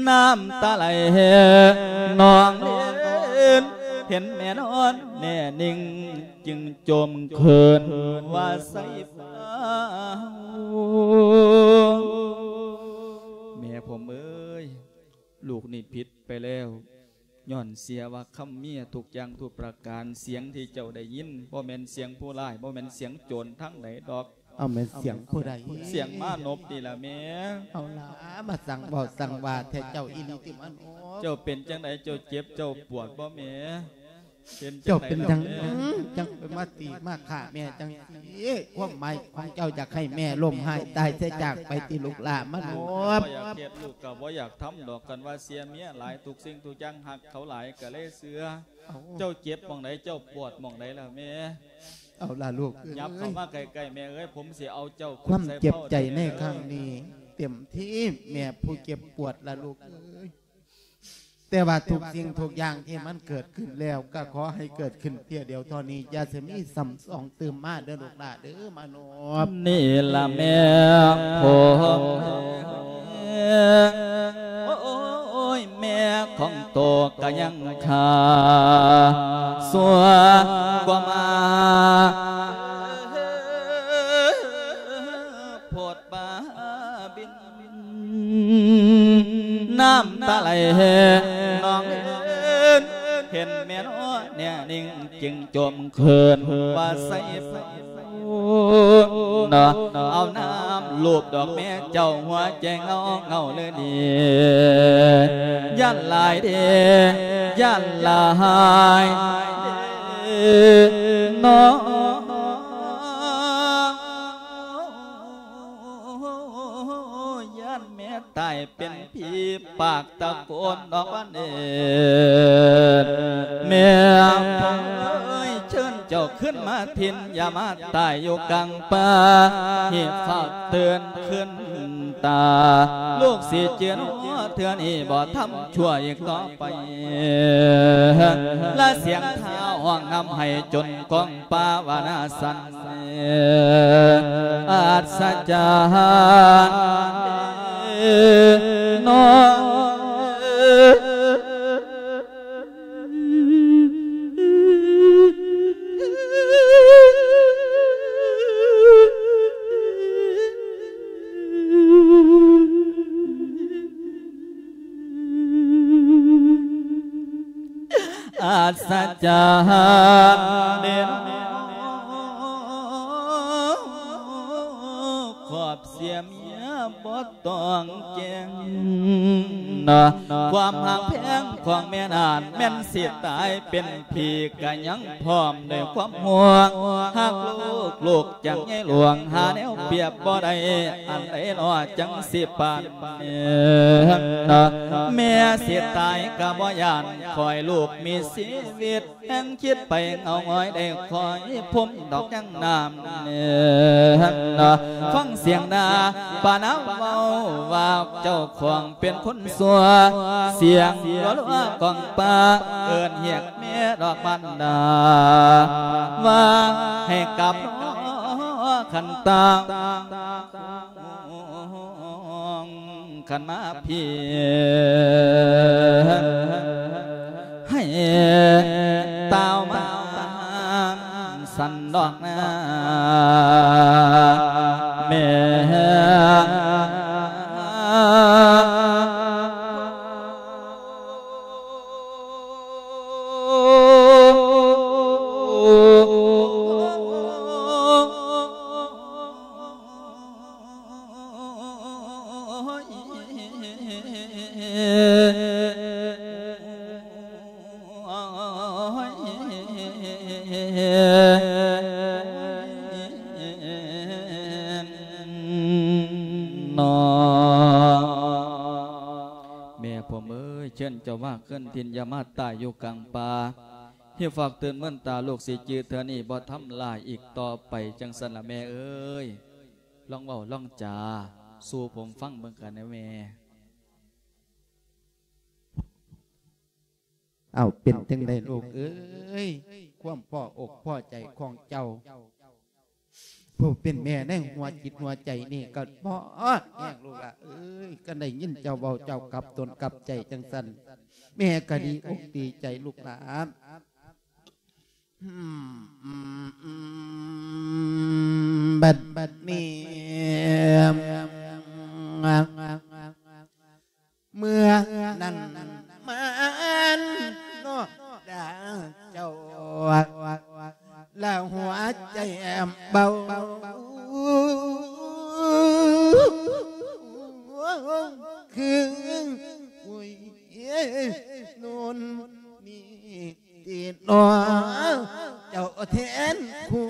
ນ້ຳຕາໄຫຼນອງເລນ ເຫັນແມ່ນອນແນ່ນິ່ງ ຈຶ່ງໂຈມເຂີນວ່າໃສ່ຟ້າ. ແມ່ຜົມເອີຍ ລູກນີ້ຜິດໄປແລ້ວ ຍ້ອນເສຍວ່າຄຳເມຍທຸກຢ່າງທຸກປະການ. ສຽງທີ່ເຈົ້າໄດ້ຍິນ ບໍ່ແມ່ນສຽງຜູ້ຮ້າຍ ບໍ່ແມ່ນສຽງໂຈນທາງໃດດອກ ເອົາແມ່ນສຽງຜູ້ໃດ? ສຽງມານົບນີ້ລະແມ່. ເອົາລະ ມາສັ່ງເວົ້າສັ່ງວ່າແທ້ ເຈົ້າອີ່ຫຼີຕິມານົບ? ເຈົ້າເປັນຈັ່ງໃດ? ເຈົ້າເຈັບເຈົ້າປວດບໍ່ແມ່? ເປັນຈັ່ງໃດລະແມ່? ເຈົ້າເປັນຫຍັງຈັ່ງໄປມາຕີມາຂ້າແມ່ຈັ່ງຊີ້? ຄວາມໝາຍຂອງເຈົ້າຢາກໃຫ້ແມ່ລົ້ມຫາຍຕາຍເສຍຈາກໄປຕິລູກຫຼ້າມານົບ? ບໍ່ຢາກເຮັດ ລູກກໍບໍ່ຢາກທຳດອກ. ຄັນວ່າເສຍເມຍຫຼາຍ ທຸກສິ່ງທຸກຢ່າງ ຮັກເຂົາຫຼາຍກໍເລີຍເຊື່ອ. ເຈົ້າເຈັບໝ່ອງໃດ? ເຈົ້າປວດໝ່ອງໃດລະແມ່? ເອົາລະລູກເອີຍ ຫຍັບເຂົ້າມາໃກ້ໆ ແມ່ເອີຍ ຜົມຊິເອົາເຈົ້າຂຶ້ນໃສ່ເພົາ. ຄວາມເຈັບໃຈໃນຄັ້ງນີ້ ເຕັມທີ່ແມ່ຜູ້ເຈັບປວດລະລູກເອີຍ. ແຕ່ວ່າທຸກສິ່ງທຸກຢ່າງທີ່ມັນເກີດຂຶ້ນແລ້ວ ກໍຂໍໃຫ້ເກີດຂຶ້ນເທື່ອດຽວເທົ່ານີ້ ຢ່າຊິມີຊ້ຳສອງຕື່ມມາເດີລູກຫຼ້າເດີ ມາໂນ. ນີ້ລະແມ່ຜົມ ໂອ້ຍ ແມ່ຂອງໂຕກະຍັງຂ້າ ຊົ່ວກວ່າມາ ໂພດບາບິນ ນ້ຳຕາໄຫຼນອງເອີນ ເຫັນແມ່ນອນແນ່ນິ່ງ ຈຶ່ງໂຈມເຂີນວ່າໃສ່ເນາະ. ເອົານ້ຳລູບດອກແມ່ເຈົ້າ ຫົວໃຈເຫງົາເຫງົາເລີຍດີ ຢ້ານຫຼາຍເດ້ ຢ້ານຫຼາຍເດ້ເນາະ. ຢ້ານແມ່ຕາຍເປັນຜີ ປາກຕະໂກນອອກວ່າເນີດ ແມ່ເອີຍ ເຊີນເຈົ້າຂຶ້ນມາຖິ່ນ ຢ່າມາຕາຍຢູ່ກາງປ່າ ໃຫ້ຟ້າເຕືອນຂຶ້ນຕາ ລູກຊິຈື່ເທື່ອນີ້ ບໍ່ທຳຊົ່ວອີກຕໍ່ໄປ ລະສຽງທ້າວຮ້ອງນຳໃຫ້ຈົນກອງ ປາວະນາສັນ ອັດສະຈັນເນາະ. ອັດສະຈັນເດເນາະ ຄວາມເສຍເມຍບໍ່ຕ້ອງແຈ້ງເນາະ ຄວາມຮັກແພງຂອງແມ່ນັ້ນ ແມ່ນຊິຕາຍເປັນຜີກະຍັງພ້ອມດ້ວຍຄວາມຫ່ວງຮັກລູກ ລູກ ຈັ່ງໃຫຍ່ຫຼວງ ຫາແນວປຽບບໍ່ໄດ້ ອັນໃດເນາະ ຈັ່ງຊິປານນີ້ ແມ່ຊິຕາຍກະບໍ່ຢ້ານ ຂໍໃຫ້ລູກມີຊີວິດ ແຮງຄິດໄປເຫງົາຫງອຍ ໄດ້ຂໍໃຫ້ພົມດອກຍັງນ້ຳນີ້ ຟັງສຽງນາປານາເວົ້າວ່າ ເຈົ້າຂອງເປັນຄົນຊົ່ວ ສຽງລັວໆກອງປາ ເອີ້ນຮຽກ ແມ່ດອກມານດາ ວ່າໃຫ້ກັບນອ ຄັນຕາ ຄັນມາພີ້ ໃຫ້ຕາວມາສັນດອກນາ ແມ່. ເຈົ້າມາຄືນຖິ່ນ ຢ່າມາຕາຍຢູ່ກາງປ່າ. ເຮັດຝາກເຕືອນເມີນຕາ ລູກຊິຈື່ເທື່ອນີ້ ບໍ່ທຳລາຍອີກຕໍ່ໄປ ຈັ່ງຊັ້ນລະແມ່ເອີຍ. ລອງເວົ້າລອງຈາສູ່ຜົມຟັງເບິ່ງກັນແດ່ແມ່. ເອົາ ເປັນຈັ່ງໃດລູກເອີຍ ຄວາມພໍອົກພໍໃຈຂອງເຈົ້າ? ຜູ້ເປັນແມ່ໃນຫົວຈິດຫົວໃຈນີ້ກໍບອດແຮງລູກຫຼ້າເອີຍ. ຄັນໄດ້ຍິນເຈົ້າເວົ້າ ເຈົ້າກັບຕົນກັບໃຈຈັ່ງຊັ້ນ ແມ່ກໍດີອົກດີໃຈລູກຫຼ້າ. ບັດ ບັດນີ້ ເມື່ອນັ້ນມານອກດາເຈົ້າ ລະຫົວໃຈເບົາ ຄື ໂອ້ຍ ໂນ້ນນີ້ ຕິໜໍ ເຈົ້າແທນຄຸ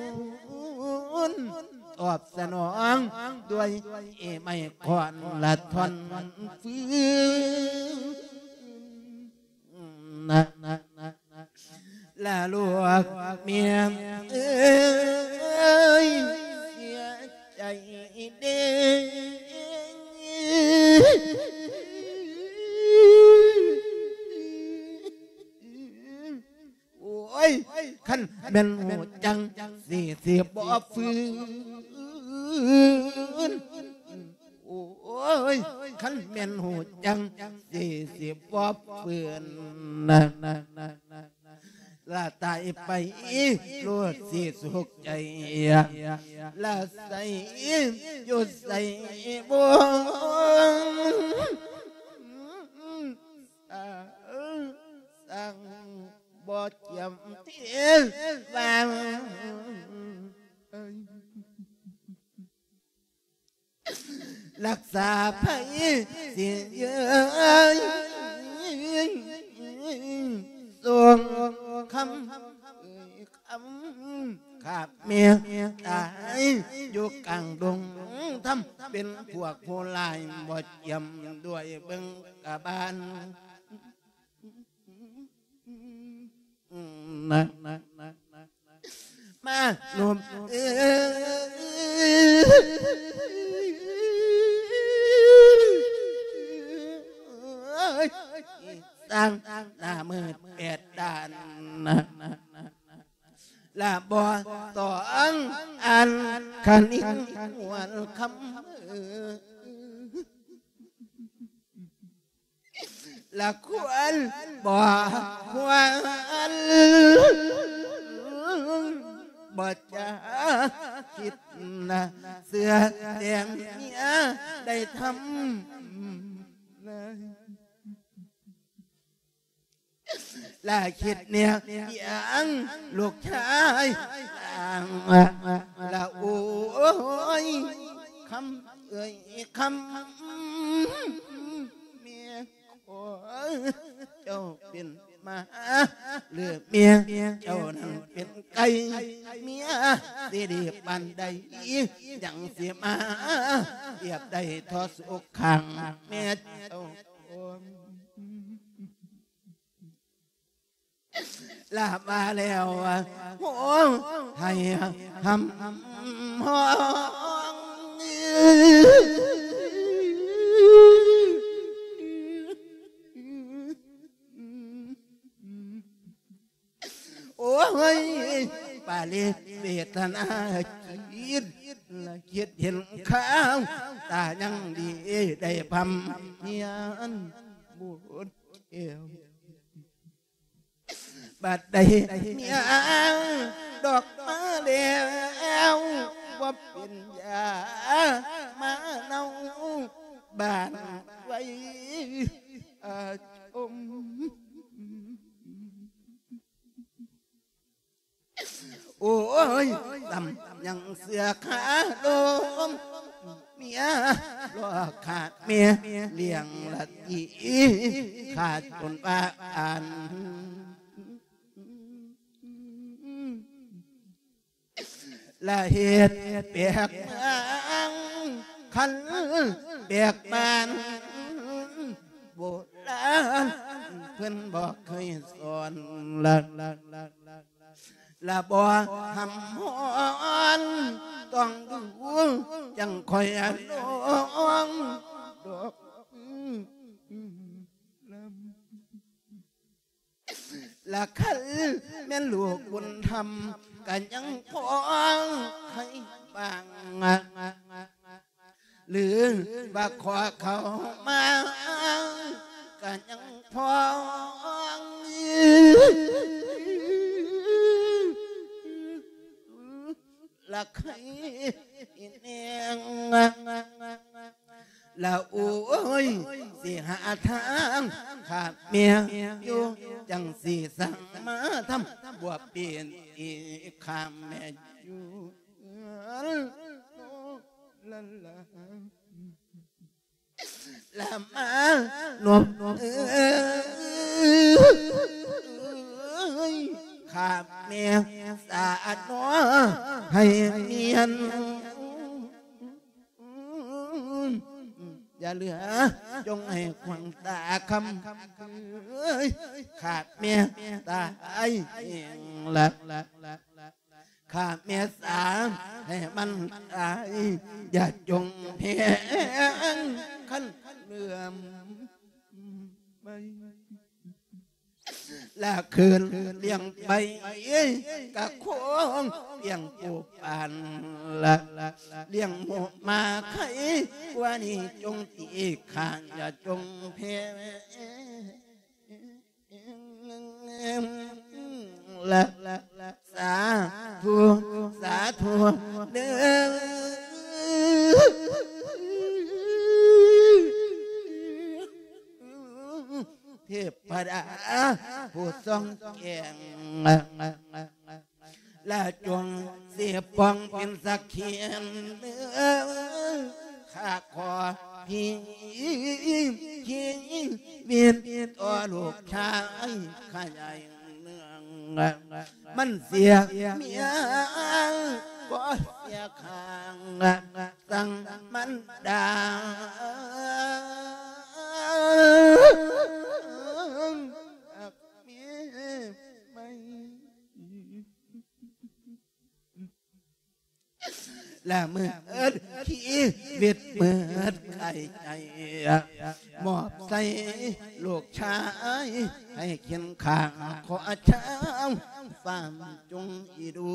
ນ ຕອບສະໜອງດ້ວຍໄມ້ຄ້ອນລະທ່ອນຟືນ ລະລູກເມຍເອີຍ ເສຍໃຈເດ້. ໂອ້ຍ ຄັນແມ່ນຮູ້ຈັກ ຊິ ຊິບໍ່ຟື້ນ. ໂອ້ຍ ຄັນແມ່ນຮູ້ຈັກ ຊິ ຊິບໍ່ຟື້ນ. ລະຕາຍໄປ ໂລດຊິສຸກໃຈ ລະໃສຢູ່ໃສບໍ່ ສັງ ບໍ່ຈຳເປັນວ່າ ລັກສາໄພຊິເຢີຍ ສົ່ງຄຳ ເອີຍຄຳ ຂ້າແມ່ຕາຍຢູ່ກາງດົງທຳ ເປັນພວກຜູ້ຮ້າຍບໍ່ຈຽມດ້ວຍເບິ່ງກະບານ. ມາໜຸ່ມເອີຍ ສ້າງໜ້າມືດແປດດ້ານ ລະບໍ່ຕ້ອງອ່ານຄະນິງຫວນຄຳ ລະຄວນບໍ່ຄວນ ບໍ່ຈະຄິດນະ ເຊື່ອແຕ່ເມຍໄດ້ທຳ ລະຄິດແນວຢ່າງລູກຊາຍ ລະໂອ້ຍ ຄຳເອີຍຄຳ ແມ່ຂໍເຈົ້າເປັນໝາ ຫຼືແມ່ເຈົ້ານັ້ນເປັນໄກ່ ເມຍຊິດີປານໃດ ຍັງຊິມາທຽບໄດ້ທໍ່ສຸກຂ້າງແມ່ເຈົ້າ. ລະມາແລ້ວ ໂອ້ ໃຫ້ຫຳຮ້ອງ ໂອ້ຍ ປາລິເວທະນາຈິດ ລະຄິດເຫັນຂ່າວ ຕາຍັງດີໄດ້ພຳຮຽນບົດແກ້ວ. ບັດໃດຍ່າງດອກມາແລ້ວ ບໍ່ເປັນຢາມາເນົ່າ ບ້ານໄວອາຊົມ. ໂອ້ຍ ຊ້ຳຍັງເຊື່ອຄາລົມ ເມຍລໍຂ້າແມ່ລ້ຽງລະຕີ ຂ້າຈົນວ່າອ່ານ ລະເຮັດແປກເມືອງ ຄັນແປກບ້ານ ໂບລານ ເພິ່ນບໍ່ເຄີຍສອນ ລະ ລະ ລະ ລະ ລະບໍ່ຫຳຮ້ອນ ຕ້ອງດູຈັ່ງຄ່ອຍລອງດອກ ລະຄັນແມ່ນລູກບຸນທຳ ກະຍັງພໍໃຫ້ບາງ ຫຼືວ່າຂໍເຂົ້າມາ ກະຍັງພໍລະໄຄແນງ ລະໂອ້ຍ ຊິຫາທາງຂ້າແມ່ຢູ່ ຈັ່ງຊິສ້າງມາທຳບົວເປັນອີກ ຂ້າແມ່ຢູ່ເຮືອນ ລະລະ ລະມານວບເອີຍ ຂ້າແມ່ສານອ ໃຫ້ນຽນ ຢ່າເຫຼືອຈົ່ງໃຫ້ຂວາງຕາຄຳ ຂ້າແມ່ຕາຍເອງລະ ຂ້າແມ່ສາໃຫ້ມັນຕາຍ ຢ່າຈົ່ງແພງຄັນເຫຼືອມໄປ ລະຄືນລ້ຽງໄປ ກະຄົງລ້ຽງປູປານ ລະລ້ຽງໝູໝາໄຂ່ ກວ່ານີ້ຈົ່ງຕີຂ້າ ຢ່າຈົ່ງແພງ ລະ ສາທຸ ສາທຸເດີ ເທບພະດາຜູ້ສ່ອງແຈ້ງ ລະຈົ່ງຊິປ້ອງເປັນສັກຂີເດີ ຂ້າຂໍພີຊີວິດຕໍ່ລູກຊາຍຂ້າໃຫຍ່ເມືອງ ມັນເສຍເມຍກໍເສຍຂ້າງ ສັ່ງມັນດາ ລະເມີດຊີວິດເມີດກາຍໃຈ ມອບໃສ່ລູກຊາຍໃຫ້ຂຽນຂ້າ ຂໍເຈົ້າຟ້າຈົ່ງອີດູ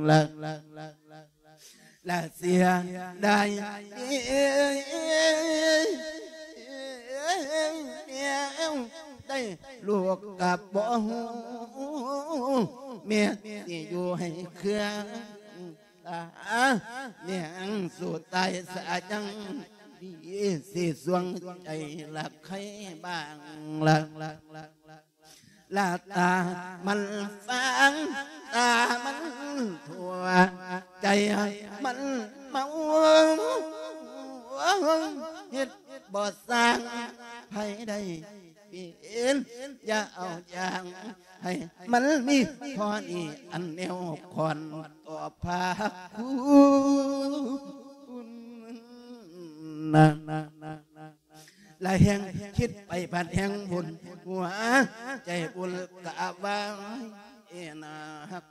ລະ ລະ ລະ ລະເສຍດາຍ ໄດ້ລູກກະບໍ່ຮູ້ ແມ່ຊິຢູ່ໃຫ້ເຄືອງຕາ ແມ່ງສູ້ຕາຍສາຍັງດີ ຊິສວງໃຈລະໄຄບາງ ລະ ລະ ລະ ລະ ລະຕາມັນຟາງ ຕາມັນທົ່ວ ໃຈມັນເມົາ ເຮັດບໍ່ສ້າງໃຜໄດ້ເປັນ ຢ່າເອົາຢ່າງໃຫ້ມັນມີ ພໍນີ້ອັນແນວຄອນຕໍ່ພາຄຸນນະ ລະແຮ່ງຄິດໄປພັດແຮ່ງວຸ່ນ ຫົວໃຈວຸ່ນກະວາຍເອນາຮັກ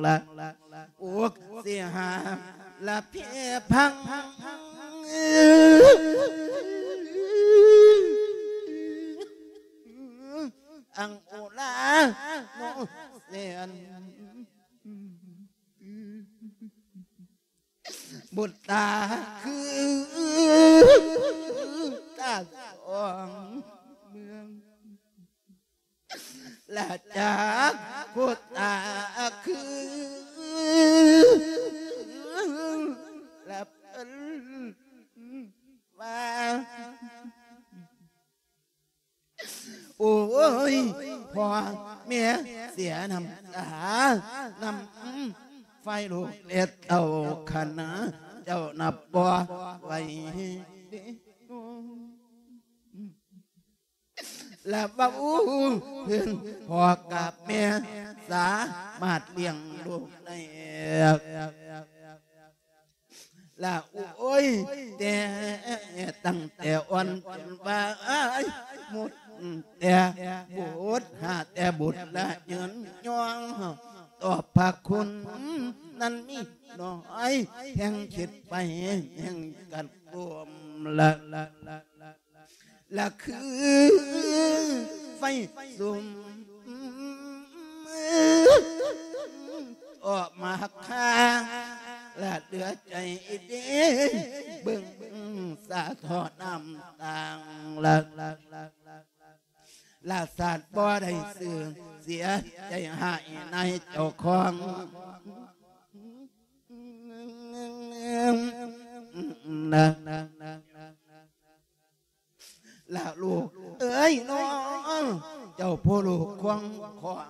ລະ ອົກເສຍຫາ ລະເພພັງ ອັງໂອລາໂນເຊນ ບຸດຕາຄືຕາສອງເມືອງ ລະຈາກໂຄດຕາຄືລະເພິ່ນວ່າ ໂອ້ຍ ພໍ່ແມ່ເສຍນ້ຳຕາ ນຳຝ່າຍລູກແລະເຕົ້າຄະນະ ເຈົ້ານັບບໍ່ໄຫວເດ ລະເວົ້າເພິ່ນ ພໍ່ກັບແມ່ສາມາດລ້ຽງລູກໄດ້ ລະໂອ້ຍ ແຕ່ຕັ້ງແຕ່ອ່ອນຈົນວ່າອ້າຍໝົດແຕ່ບຸດ ຫາແຕ່ບຸດລະຍືນຍ້ອງ ຕອບພະຄຸນນັ້ນມີໜ້ອຍ ແຮ່ງຄິດໄປແຮ່ງກັດກວມລະ ລະຄືໄຟສຸມອອກມາຄາ ລະເຫຼືອໃຈເດ້ ເບິ່ງສາທໍນ້ຳຕາງລະ ລະສາດບໍ່ໄດ້ຊື່ ເສຍໃຈຮ້າຍໃນເຈົ້າຂອງ ລະ ລະລູກເອີຍນ້ອງ ເຈົ້າຜູ້ລູກຂວາງຂອງ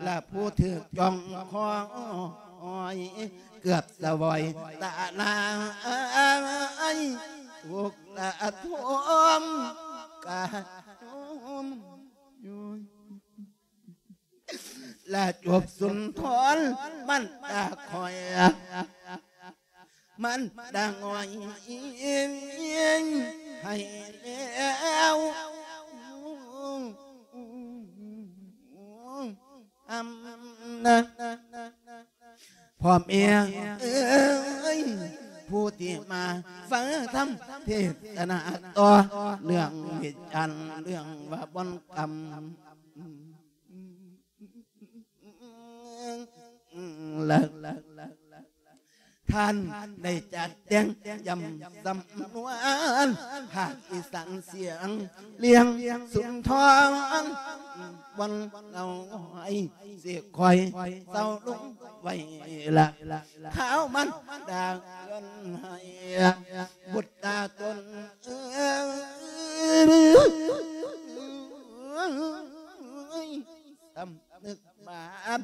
ລະຜູ້ຖືກຈ້ອງຄອຍ ເກືອບສະຫວອຍຕາລາຍ ທຸກລະທົມກະ ລະຈົບສຸນທອນ ມັນຕາຄອຍ ມັນຕາງອຍໃຫ້ແລ້ວ ອຳນາ ພໍ່ແມ່ເອີຍ ຜູ້ທີ່ມາຟັງທຳເທດສະນາຕໍ່ເລື່ອງເຫດການ ເລື່ອງວ່າບ່ອນກຳ ທ່ານໄດ້ຈັດແຕ່ງຢ້ຳສຳນວນ ພາກອີສານສຽງລຽງສຸນທອນ ວັນເອົາໄວ້ ຊິຄ່ອຍເຊົາລົງໄວ້ລະ ຂ່າວມັນດາເຮືອນໃຫ້ ບຸດຕາຕົນເອີຍ ສຳນຶກບາບ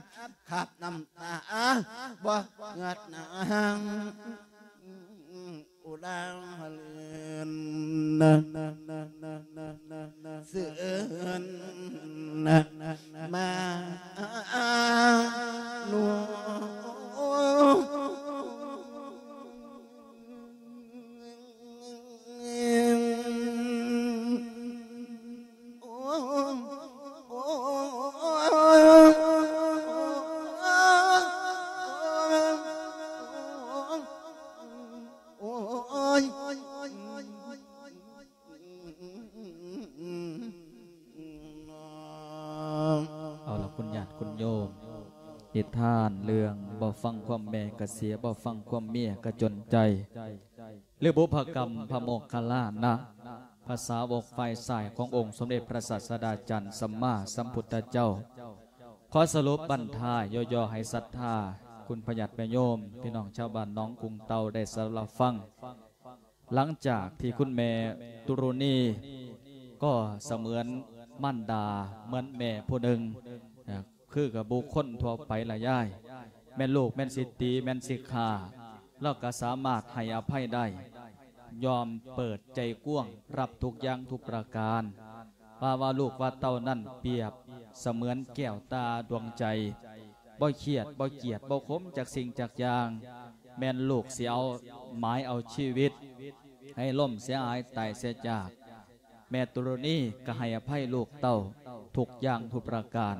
ຄາບນ້ຳຕາ ບໍ່ເຫືອດຫາງ ອຸລາເລີນ ເຊີນມາໂນ ເອົາລະ ຄຸນຍາດຄຸນໂຍມ ນິທານເລື່ອງບໍ່ຟັງຄວາມແມ່ກະເສຍ ບໍ່ຟັງຄວາມເມຍກະຈົນໃຈ ຫຼື ບຸບພະກຳພະໂມກຄະລານະ ພະສາວົກຝ່າຍຊ້າຍຂອງອົງສົມເດັດພະສາສະດາຈານສຳມາສຳພຸດທະເຈົ້າ. ຂໍສະຫຼຸບບັນທາຍຍໍ່ໆໃຫ້ສັດທາ ຄຸນພະຍາດແມ່ໂຍມ ພີ່ນ້ອງຊາວບ້ານໜອງກຸງເຕົ່າໄດ້ສະດັບຮັບຟັງ. ຫຼັງຈາກທີ່ຄຸນແມ່ຕຸລຸນີ ກໍສະເໝືອນມານດາ ເໝືອນແມ່ຜູ້ໜຶ່ງ ເອີ ຄືກັບບຸກຄົນທົ່ວໄປລະຍາຍ ແມ່ນລູກແມ່ນຊິຕີ ແມ່ນຊິຂ້າ ລາວກໍສາມາດໃຫ້ອະໄພໄດ້ ຍອມເປີດໃຈກວ້າງຮັບທຸກຢ່າງທຸກປະການ. ວ່າ ວ່າລູກວ່າເຕົ້ານັ້ນປຽບສະເໝືອນແກ້ວຕາດວງໃຈ ບໍ່ຄຽດ ບໍ່ກຽດ ບໍ່ຂົມຈັກສິ່ງຈັກຢ່າງ ແມ່ນລູກຊິເອົາໝາຍເອົາຊີວິດ ໃຫ້ລົ້ມເສຍຫາຍຕາຍເສຍຈາກ. ແມ່ຕຸລຸນີກໍໃຫ້ອະໄພລູກເຕົ້າທຸກຢ່າງທຸກປະການ.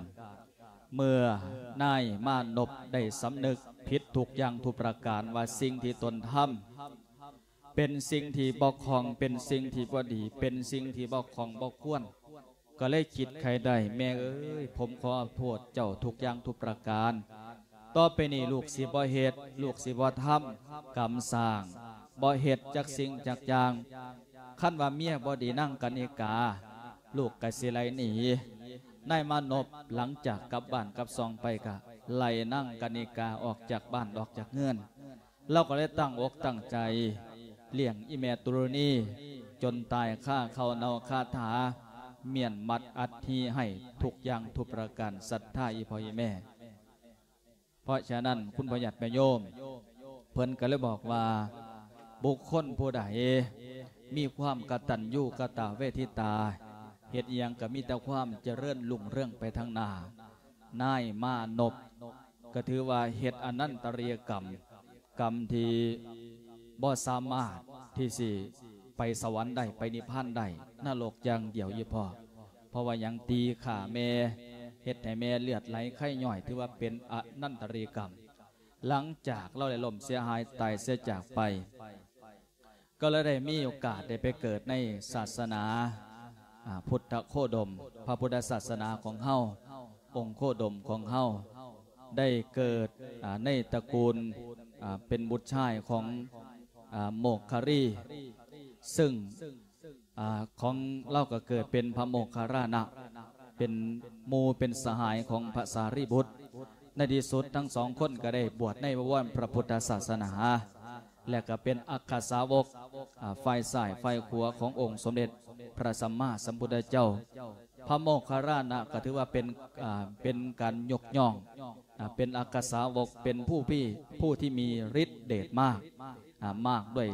ເມື່ອນາຍມານົບໄດ້ສຳນຶກຜິດທຸກຢ່າງທຸກປະການ ວ່າສິ່ງທີ່ຕົນທຳເປັນສິ່ງທີ່ບໍ່ຄ່ອງ ເປັນສິ່ງທີ່ບໍ່ດີ ເປັນສິ່ງທີ່ບໍ່ຄ່ອງບໍ່ຄວນ ກໍເລີຍຄິດໄຂໄດ້ ແມ່ເອີຍ ຜົມຂໍໂທດເຈົ້າທຸກຢ່າງທຸກປະການ. ຕໍ່ໄປນີ້ລູກຊິບໍ່ເຮັດ ລູກຊິບໍ່ທຳກຳສ້າງ ບໍ່ເຮັດຈັກສິ່ງຈັກຢ່າງ. ຄັນວ່າເມຍບໍ່ດີນາງກະນິກາ ລູກກະຊິໄລ່ໜີ. ນາຍມານົບຫຼັງຈາກກັບບ້ານກັບຊ່ອງໄປ ກະໄລ່ນາງກະນິກາອອກຈາກບ້ານອອກຈາກເຮືອນ. ລາວກໍເລີຍຕັ້ງອົກຕັ້ງໃຈລ້ຽງອີ່ແມ່ຕຸລຸນີ ຈົນຕາຍຄາເຂົ້າເນົ່າຄາຖາ ມ້ຽນມັດອັດຖິໃຫ້ທຸກຢ່າງທຸກປະການ ສັດທາອີ່ພໍ່ອີ່ແມ່. ເພາະສະນັ້ນ ຄຸນພໍ່ຍາດແມ່ໂຍມ ເພິ່ນກໍເລີຍບອກວ່າ ບຸກຄົນຜູ້ໃດມີຄວາມກະຕັນຍູກະຕະເວທິຕາ ເຮັດອີ່ຫຍັງກໍມີແຕ່ຄວາມຈະເລີນຮຸ່ງເຮືອງໄປທາງໜ້າ. ນາຍມານົບກໍຖືວ່າເຮັດອະນັນຕະລິຍກຳ ກຳທີ່ ບໍ່ສາມາດທີ່ຊິໄປສະຫວັນໄດ້ ໄປນິບພານໄດ້ ນະລົກຢ່າງດຽວອີ່ພໍ່. ເພາະວ່າຫຍັງ? ຕີຂ້າແມ່ ເຮັດໃຫ້ແມ່ເລືອດໄຫຼໄຄຍ້ອຍ ຖືວ່າເປັນອະນັນຕະລິກຳ. ຫຼັງຈາກລາວໄດ້ລົ້ມເສຍຫາຍຕາຍເສຍຈາກໄປ ກໍເລີຍໄດ້ມີໂອກາດໄດ້ໄປເກີດໃນສາສະໜາ ອ່າ ພຸດທະໂຄດົມ ພະພຸດທະສາສະໜາຂອງເຮົາ ອົງໂຄດົມຂອງເຮົາ ໄດ້ເກີດ ອ່າ ໃນຕະກູນ ອ່າ ເປັນບຸດຊາຍຂອງ ອ່າ ໂມກຄະລີ ຊຶ່ງ ອ່າ ຂອງລາວກໍເກີດເປັນພະໂມກຄະລານະ ເປັນໝູ່ເປັນສະຫາຍຂອງພະສາລີບຸດ. ໃນທີ່ສຸດທັງສອງຄົນກໍໄດ້ບວດໃນບະວອນພະພຸດທະສາສະໜາ ແລະກໍເປັນອັກຄະສາວົກ ອ່າ ຝ່າຍຊ້າຍຝ່າຍຂວາຂອງອົງສົມເດັດພະສຳມາສຳພຸດທະເຈົ້າ. ພະໂມກຄະລານະກໍຖືວ່າເປັນ ອ່າ ເປັນການຍົກຍ້ອງ ອ່າ ເປັນອັກຄະສາວົກ ເປັນຜູ້ມີ ຜູ້ທີ່ມີລິດເດດມາກ ອ່າ ມາກດ້ວຍ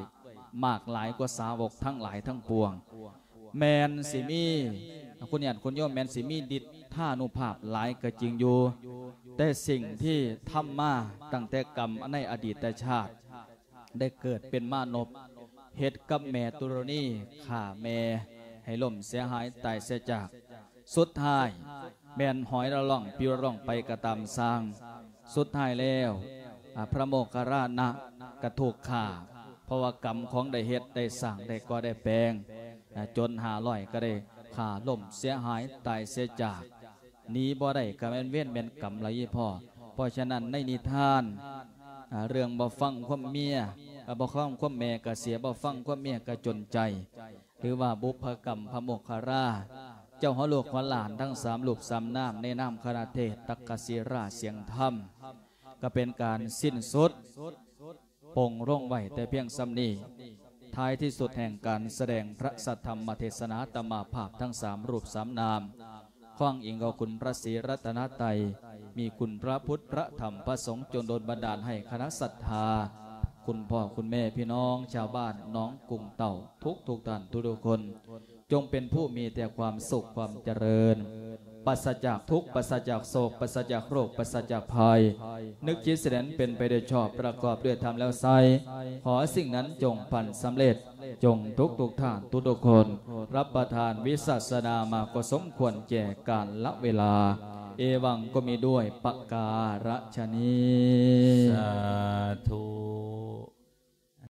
ມາກຫຼາຍກວ່າສາວົກທັງຫຼາຍທັງປວງ. ແມ່ນຊິມີ ຄຸນຍາດຄຸນໂຍມ ແມ່ນຊິມີລິດທານຸພາບຫຼາຍກໍຈິງຢູ່ ແຕ່ສິ່ງທີ່ທຳມາຕັ້ງແຕ່ກຳໃນອະດີດຕະຊາດ ໄດ້ເກີດເປັນມານົບ ເຮັດກັບແມ່ຕຸລະນີ ຂ້າແມ່ໃຫ້ລົ້ມເສຍຫາຍຕາຍເສຍຈາກ. ສຸດທ້າຍແມ່ນຫອຍລະລ່ອງປິວລະລ່ອງໄປກໍຕາມຊ່າງ ສຸດທ້າຍແລ້ວ ອາ ພະໂມກຄະລານະກະຖືກຂ້າ ເພາະວ່າກຳຂອງໄດ້ເຮັດໄດ້ສ້າງໄດ້ກໍ່ໄດ້ແປງ ອາ ຈົນຫ້າຮ້ອຍກໍໄດ້ຂ້າລົ້ມເສຍຫາຍຕາຍເສຍຈາກ. ໜີບໍ່ໄດ້ກໍແມ່ນເວນແມ່ນກຳລະອີ່ພໍ່. ເພາະສະນັ້ນໃນນິທານ ອາ ເລື່ອງບໍ່ຟັງຄວາມເມຍ ອາ ບໍ່ຟັງຄວາມແມ່ກໍເສຍ ບໍ່ຟັງຄວາມເມຍກໍຈົນໃຈ ຫຼືວ່າບຸບພະກຳພະໂມກຄະລາ ເຈົ້າຫົວລູກຫົວຫຼານທັງສາມຮູບສາມນາມ ໃນນາມຄະນະເທດຕັກກະສິລາສຽງທຳ ກໍເປັນການສິ້ນສຸດ ປົງລົງໄວ້ແຕ່ພຽງສ່ຳນີ້. ທ້າຍທີ່ສຸດແຫ່ງການສະແດງພະສັດທຳມະເທດສະໜາຕະມາພາບທັງສາມຮູບສາມນາມ ຂ້ອງອີງເອົາຄຸນພະສີລັດຕະນະໄຕ ມີຄຸນພະພຸດ ພະທຳ ພະສົງ ຈົ່ງດົນບັນດານໃຫ້ຄະນະສັດທາ ຄຸນພໍ່ຄຸນແມ່ ພີ່ນ້ອງຊາວບ້ານໜອງກຸງເຕົ່າ ທຸກໆທ່ານທຸກໆຄົນ ຈົ່ງເປັນຜູ້ມີແຕ່ຄວາມສຸກຄວາມຈະເລີນ ປາສະຈາກທຸກ ປາສະຈາກໂສກ ປາສະຈາກໂລກ ປາສະຈາກໄພ ນຶກຄິດສະແດງເປັນໄປໂດຍຊອບ ປະກອບດ້ວຍທຳແລ້ວໃຊ້ ຂໍສິ່ງນັ້ນຈົ່ງພັນສຳເລັດ ຈົ່ງທຸກໆທ່ານທຸກໆຄົນ ຮັບປະທານວິສາສະນາມາກໍສົມຄວນແກ່ການລະເວລາ. ເອວັງ ກໍມີດ້ວຍປະກາລະຊະນີ້ ສາທຸ.